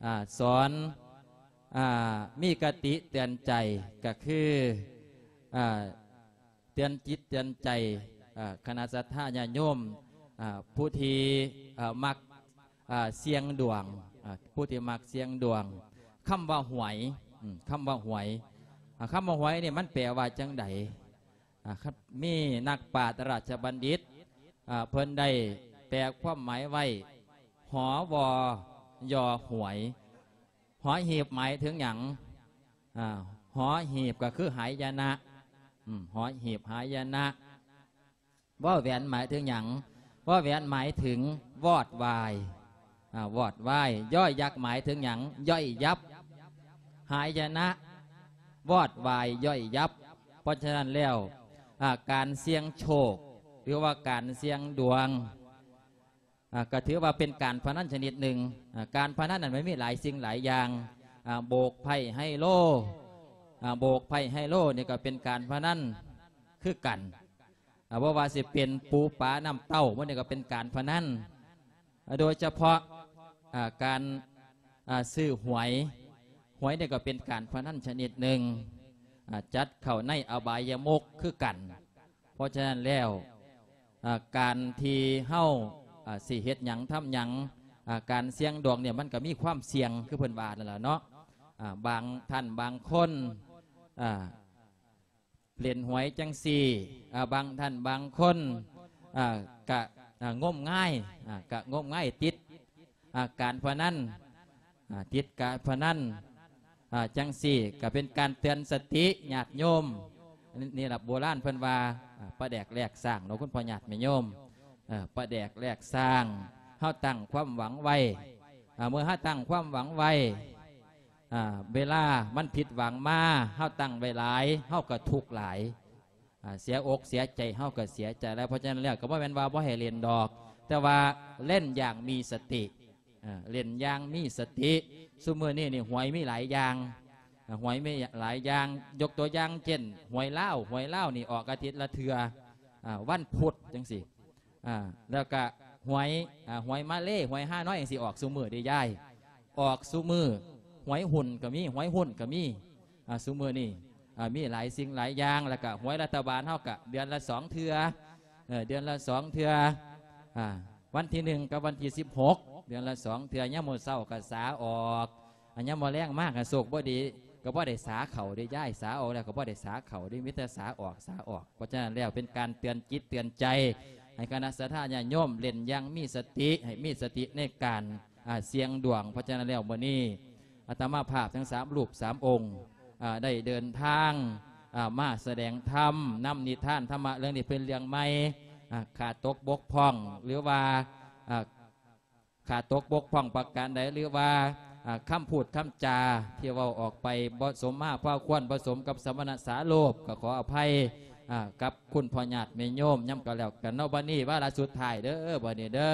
ອາ ສອນ ອ່າ ມີຄະຕິເຕືອນໃຈ ກໍຄື ອ່າ ເຕືອນຈິດເຕືອນໃຈ ອ່າ ຄະນະສັດທາຍາດໂຍມ ອ່າ ຜູ້ທີ່ ເອີ່ ມັກ ອ່າ ສ່ຽງດວງ ອ່າ ຜູ້ທີ່ມັກສ່ຽງດວງ. ຄຳວ່າຫວຍ ອືມ ຄຳວ່າຫວຍ ອ່າ ຄຳວ່າຫວຍນີ້ມັນແປວ່າຈັ່ງໃດ? ອ່າ ຄັບ ມີນັກປາດລາຊະບັນດິດ ອ່າ ເພິ່ນໄດ້ແປຄວາມໝາຍໄວ້ ຫ ວ ຢ ຫວຍ. ຫໍຫີບໝາຍເຖິງຫຍັງ? ອ່າ ຫໍຫີບກໍຄືຫາຍະນະ ອືມ ຫໍຫີບຫາຍະນະ. ວ ແຫວນໝາຍເຖິງຫຍັງ? ວ ແຫວນໝາຍເຖິງວອດວາຍ ອ່າ ວອດວາຍ. ຢ ຍັກໝາຍເຖິງຫຍັງ? ຍ່ອຍຍັບ ຫາຍະນະ ວອດວາຍ ຍ່ອຍຍັບ. ເພາະສະນັ້ນແລ້ວ ອ່າ ການສ່ຽງໂຊກ ຫຼືວ່າການສ່ຽງດວງ ອ່າ ກໍຖືວ່າເປັນການພະນັນຊະນິດໜຶ່ງ. ອ່າ ການພະນັນນັ້ນມັນມີຫຼາຍສິ່ງຫຼາຍຢ່າງ ອ່າ ໂບກໄພ້ໄຮໂລ ອ່າ ໂບກໄພ້ໄຮໂລນີ້ກໍເປັນການພະນັນຄືກັນ. ອ່າ ບໍ່ວ່າຊິເປັນປູປານ້ຳເຕົ້າ ມັນນີ້ກໍເປັນການພະນັນ. ອ່າ ໂດຍສະເພາະ ອ່າ ການ ອ່າ ຊື້ຫວຍ ຫວຍນີ້ກໍເປັນການພະນັນຊະນິດໜຶ່ງ ອ່າ ຈັດເຂົ້າໃນອະບາຍະມຸກຄືກັນ. ເພາະສະນັ້ນແລ້ວ ອ່າ ການທີ່ເຮົາ ອ່າ ຊິເຮັດຫຍັງທຳຫຍັງ ອ່າ ການສ່ຽງດວງນີ້ມັນກໍມີຄວາມສ່ຽງ ຄືເພິ່ນວ່ານັ້ນລະເນາະ. ອ່າ ບາງທ່ານບາງຄົນ ອ່າ ຫຼິ້ນຫວຍຈັ່ງຊີ້ ອ່າ ບາງທ່ານບາງຄົນ ອ່າ ກະ ອ່າ ງົມງາຍ ອ່າ ກະງົມງາຍຕິດ ອ່າ ການພະນັນ ອ່າ ຕິດການພະນັນ ອ່າ ຈັ່ງຊີ້ ກະເປັນການເຕືອນສະຕິຍາດໂຍມ. ນີ້ລະ ໂບລານເພິ່ນວ່າ ອ່າ ປາແດກແລກສ້າງເນາະ ຄຸນພໍ່ຍາດແມ່ໂຍມ ເອີ ປາແດກແລກສ້າງ. ເຮົາຕັ້ງຄວາມຫວັງໄວ້ ອ່າ ເມື່ອເຮົາຕັ້ງຄວາມຫວັງໄວ້ ອ່າ ເວລາມັນຜິດຫວັງມາ ເຮົາຕັ້ງໄວ້ຫຼາຍ ເຮົາກໍທຸກຫຼາຍ ອ່າ ເສຍອົກເສຍໃຈ ເຮົາກໍເສຍໃຈຫຼາຍ. ເພາະສະນັ້ນແລ້ວ ກໍບໍ່ແມ່ນວ່າບໍ່ໃຫ້ຫຼິ້ນດອກ ແຕ່ວ່າຫຼິ້ນຢ່າງມີສະຕິ ອ່າ ຫຼິ້ນຢ່າງມີສະຕິ. ຊຸມື້ນີ້ນີ້ຫວຍມີຫຼາຍຢ່າງ ອ່າ ຫວຍມີຫຼາຍຢ່າງ ຍົກຕົວຢ່າງເຊັ່ນ ຫວຍລາວ ຫວຍລາວນີ້ອອກອາທິດລະເທື່ອ ອ່າ ວັນພຸດຈັ່ງຊີ້ ອ່າ ແລ້ວກະຫວຍ ອ່າ ຫວຍມາເລ ຫວຍຮ່ານ້ອຍຈັ່ງຊີ້ ອອກຊຸມື້ເດ້ຍາຍ ອອກຊຸມື້. ຫວຍຫຸ້ນກໍມີ ຫວຍຫຸ້ນກໍມີ ອ່າ ຊຸມື້ນີ້ ອ່າ ມີຫຼາຍສິ່ງຫຼາຍຢ່າງ. ແລ້ວກະຫວຍລັດຖະບານເຮົາກະເດືອນລະສອງເທື່ອ ເອີ ເດືອນລະສອງເທື່ອ ອ່າ ວັນທີໜຶ່ງກັບວັນທີສິບຫົກ ເດືອນລະສອງເທື່ອ. ຍາມມື້ເຊົ້າກໍສາອອກ ອັນຍາມມື້ແລງມາກໍໂຊກບໍ່ດີ ກໍບໍ່ໄດ້ສາເຂົ້າເດ້ຍາຍ ສາອອກແລ້ວກໍບໍ່ໄດ້ສາເຂົ້າເດ້ ມີແຕ່ສາອອກ ສາອອກ. ເພາະສະນັ້ນແລ້ວ ເປັນການເຕືອນຈິດເຕືອນໃຈ ໃຫ້ຄະນະສັດທາຍາດໂຍມຫຼິ້ນຢ່າງມີສະຕິ ໃຫ້ມີສະຕິໃນການ ອ່າ ສ່ຽງດວງ. ເພາະສະນັ້ນແລ້ວ ມື້ນີ້ອາດຕະມາພາບທັງສາມຮູບສາມອົງ ອ່າ ໄດ້ເດີນທາງ ອ່າ ມາສະແດງທຳ ນຳນິທານທຳມະເລື່ອງນີ້ເປັນເລື່ອງໃໝ່ ອ່າ ຂາດຕົກບົກຜ່ອງ ຫຼືວ່າ ອ່າ ຂາດຕົກບົກຜ່ອງປະການໃດ ຫຼືວ່າ ອ່າ ຄຳພູດຄຳຈາທີ່ເວົ້າອອກໄປບໍ່ສົມມາພາຄວນ ບໍ່ສົມກັບສະມະນະສາໂລບ ກໍຂໍອະໄພ ອ່າ ກັບຄຸນພໍ່ຍາດແມ່ໂຍມນຳກັນແລ້ວກັນເນາະ. ບັດນີ້ວາລະສຸດທ້າຍເດີ ບັດນີ້ເດີ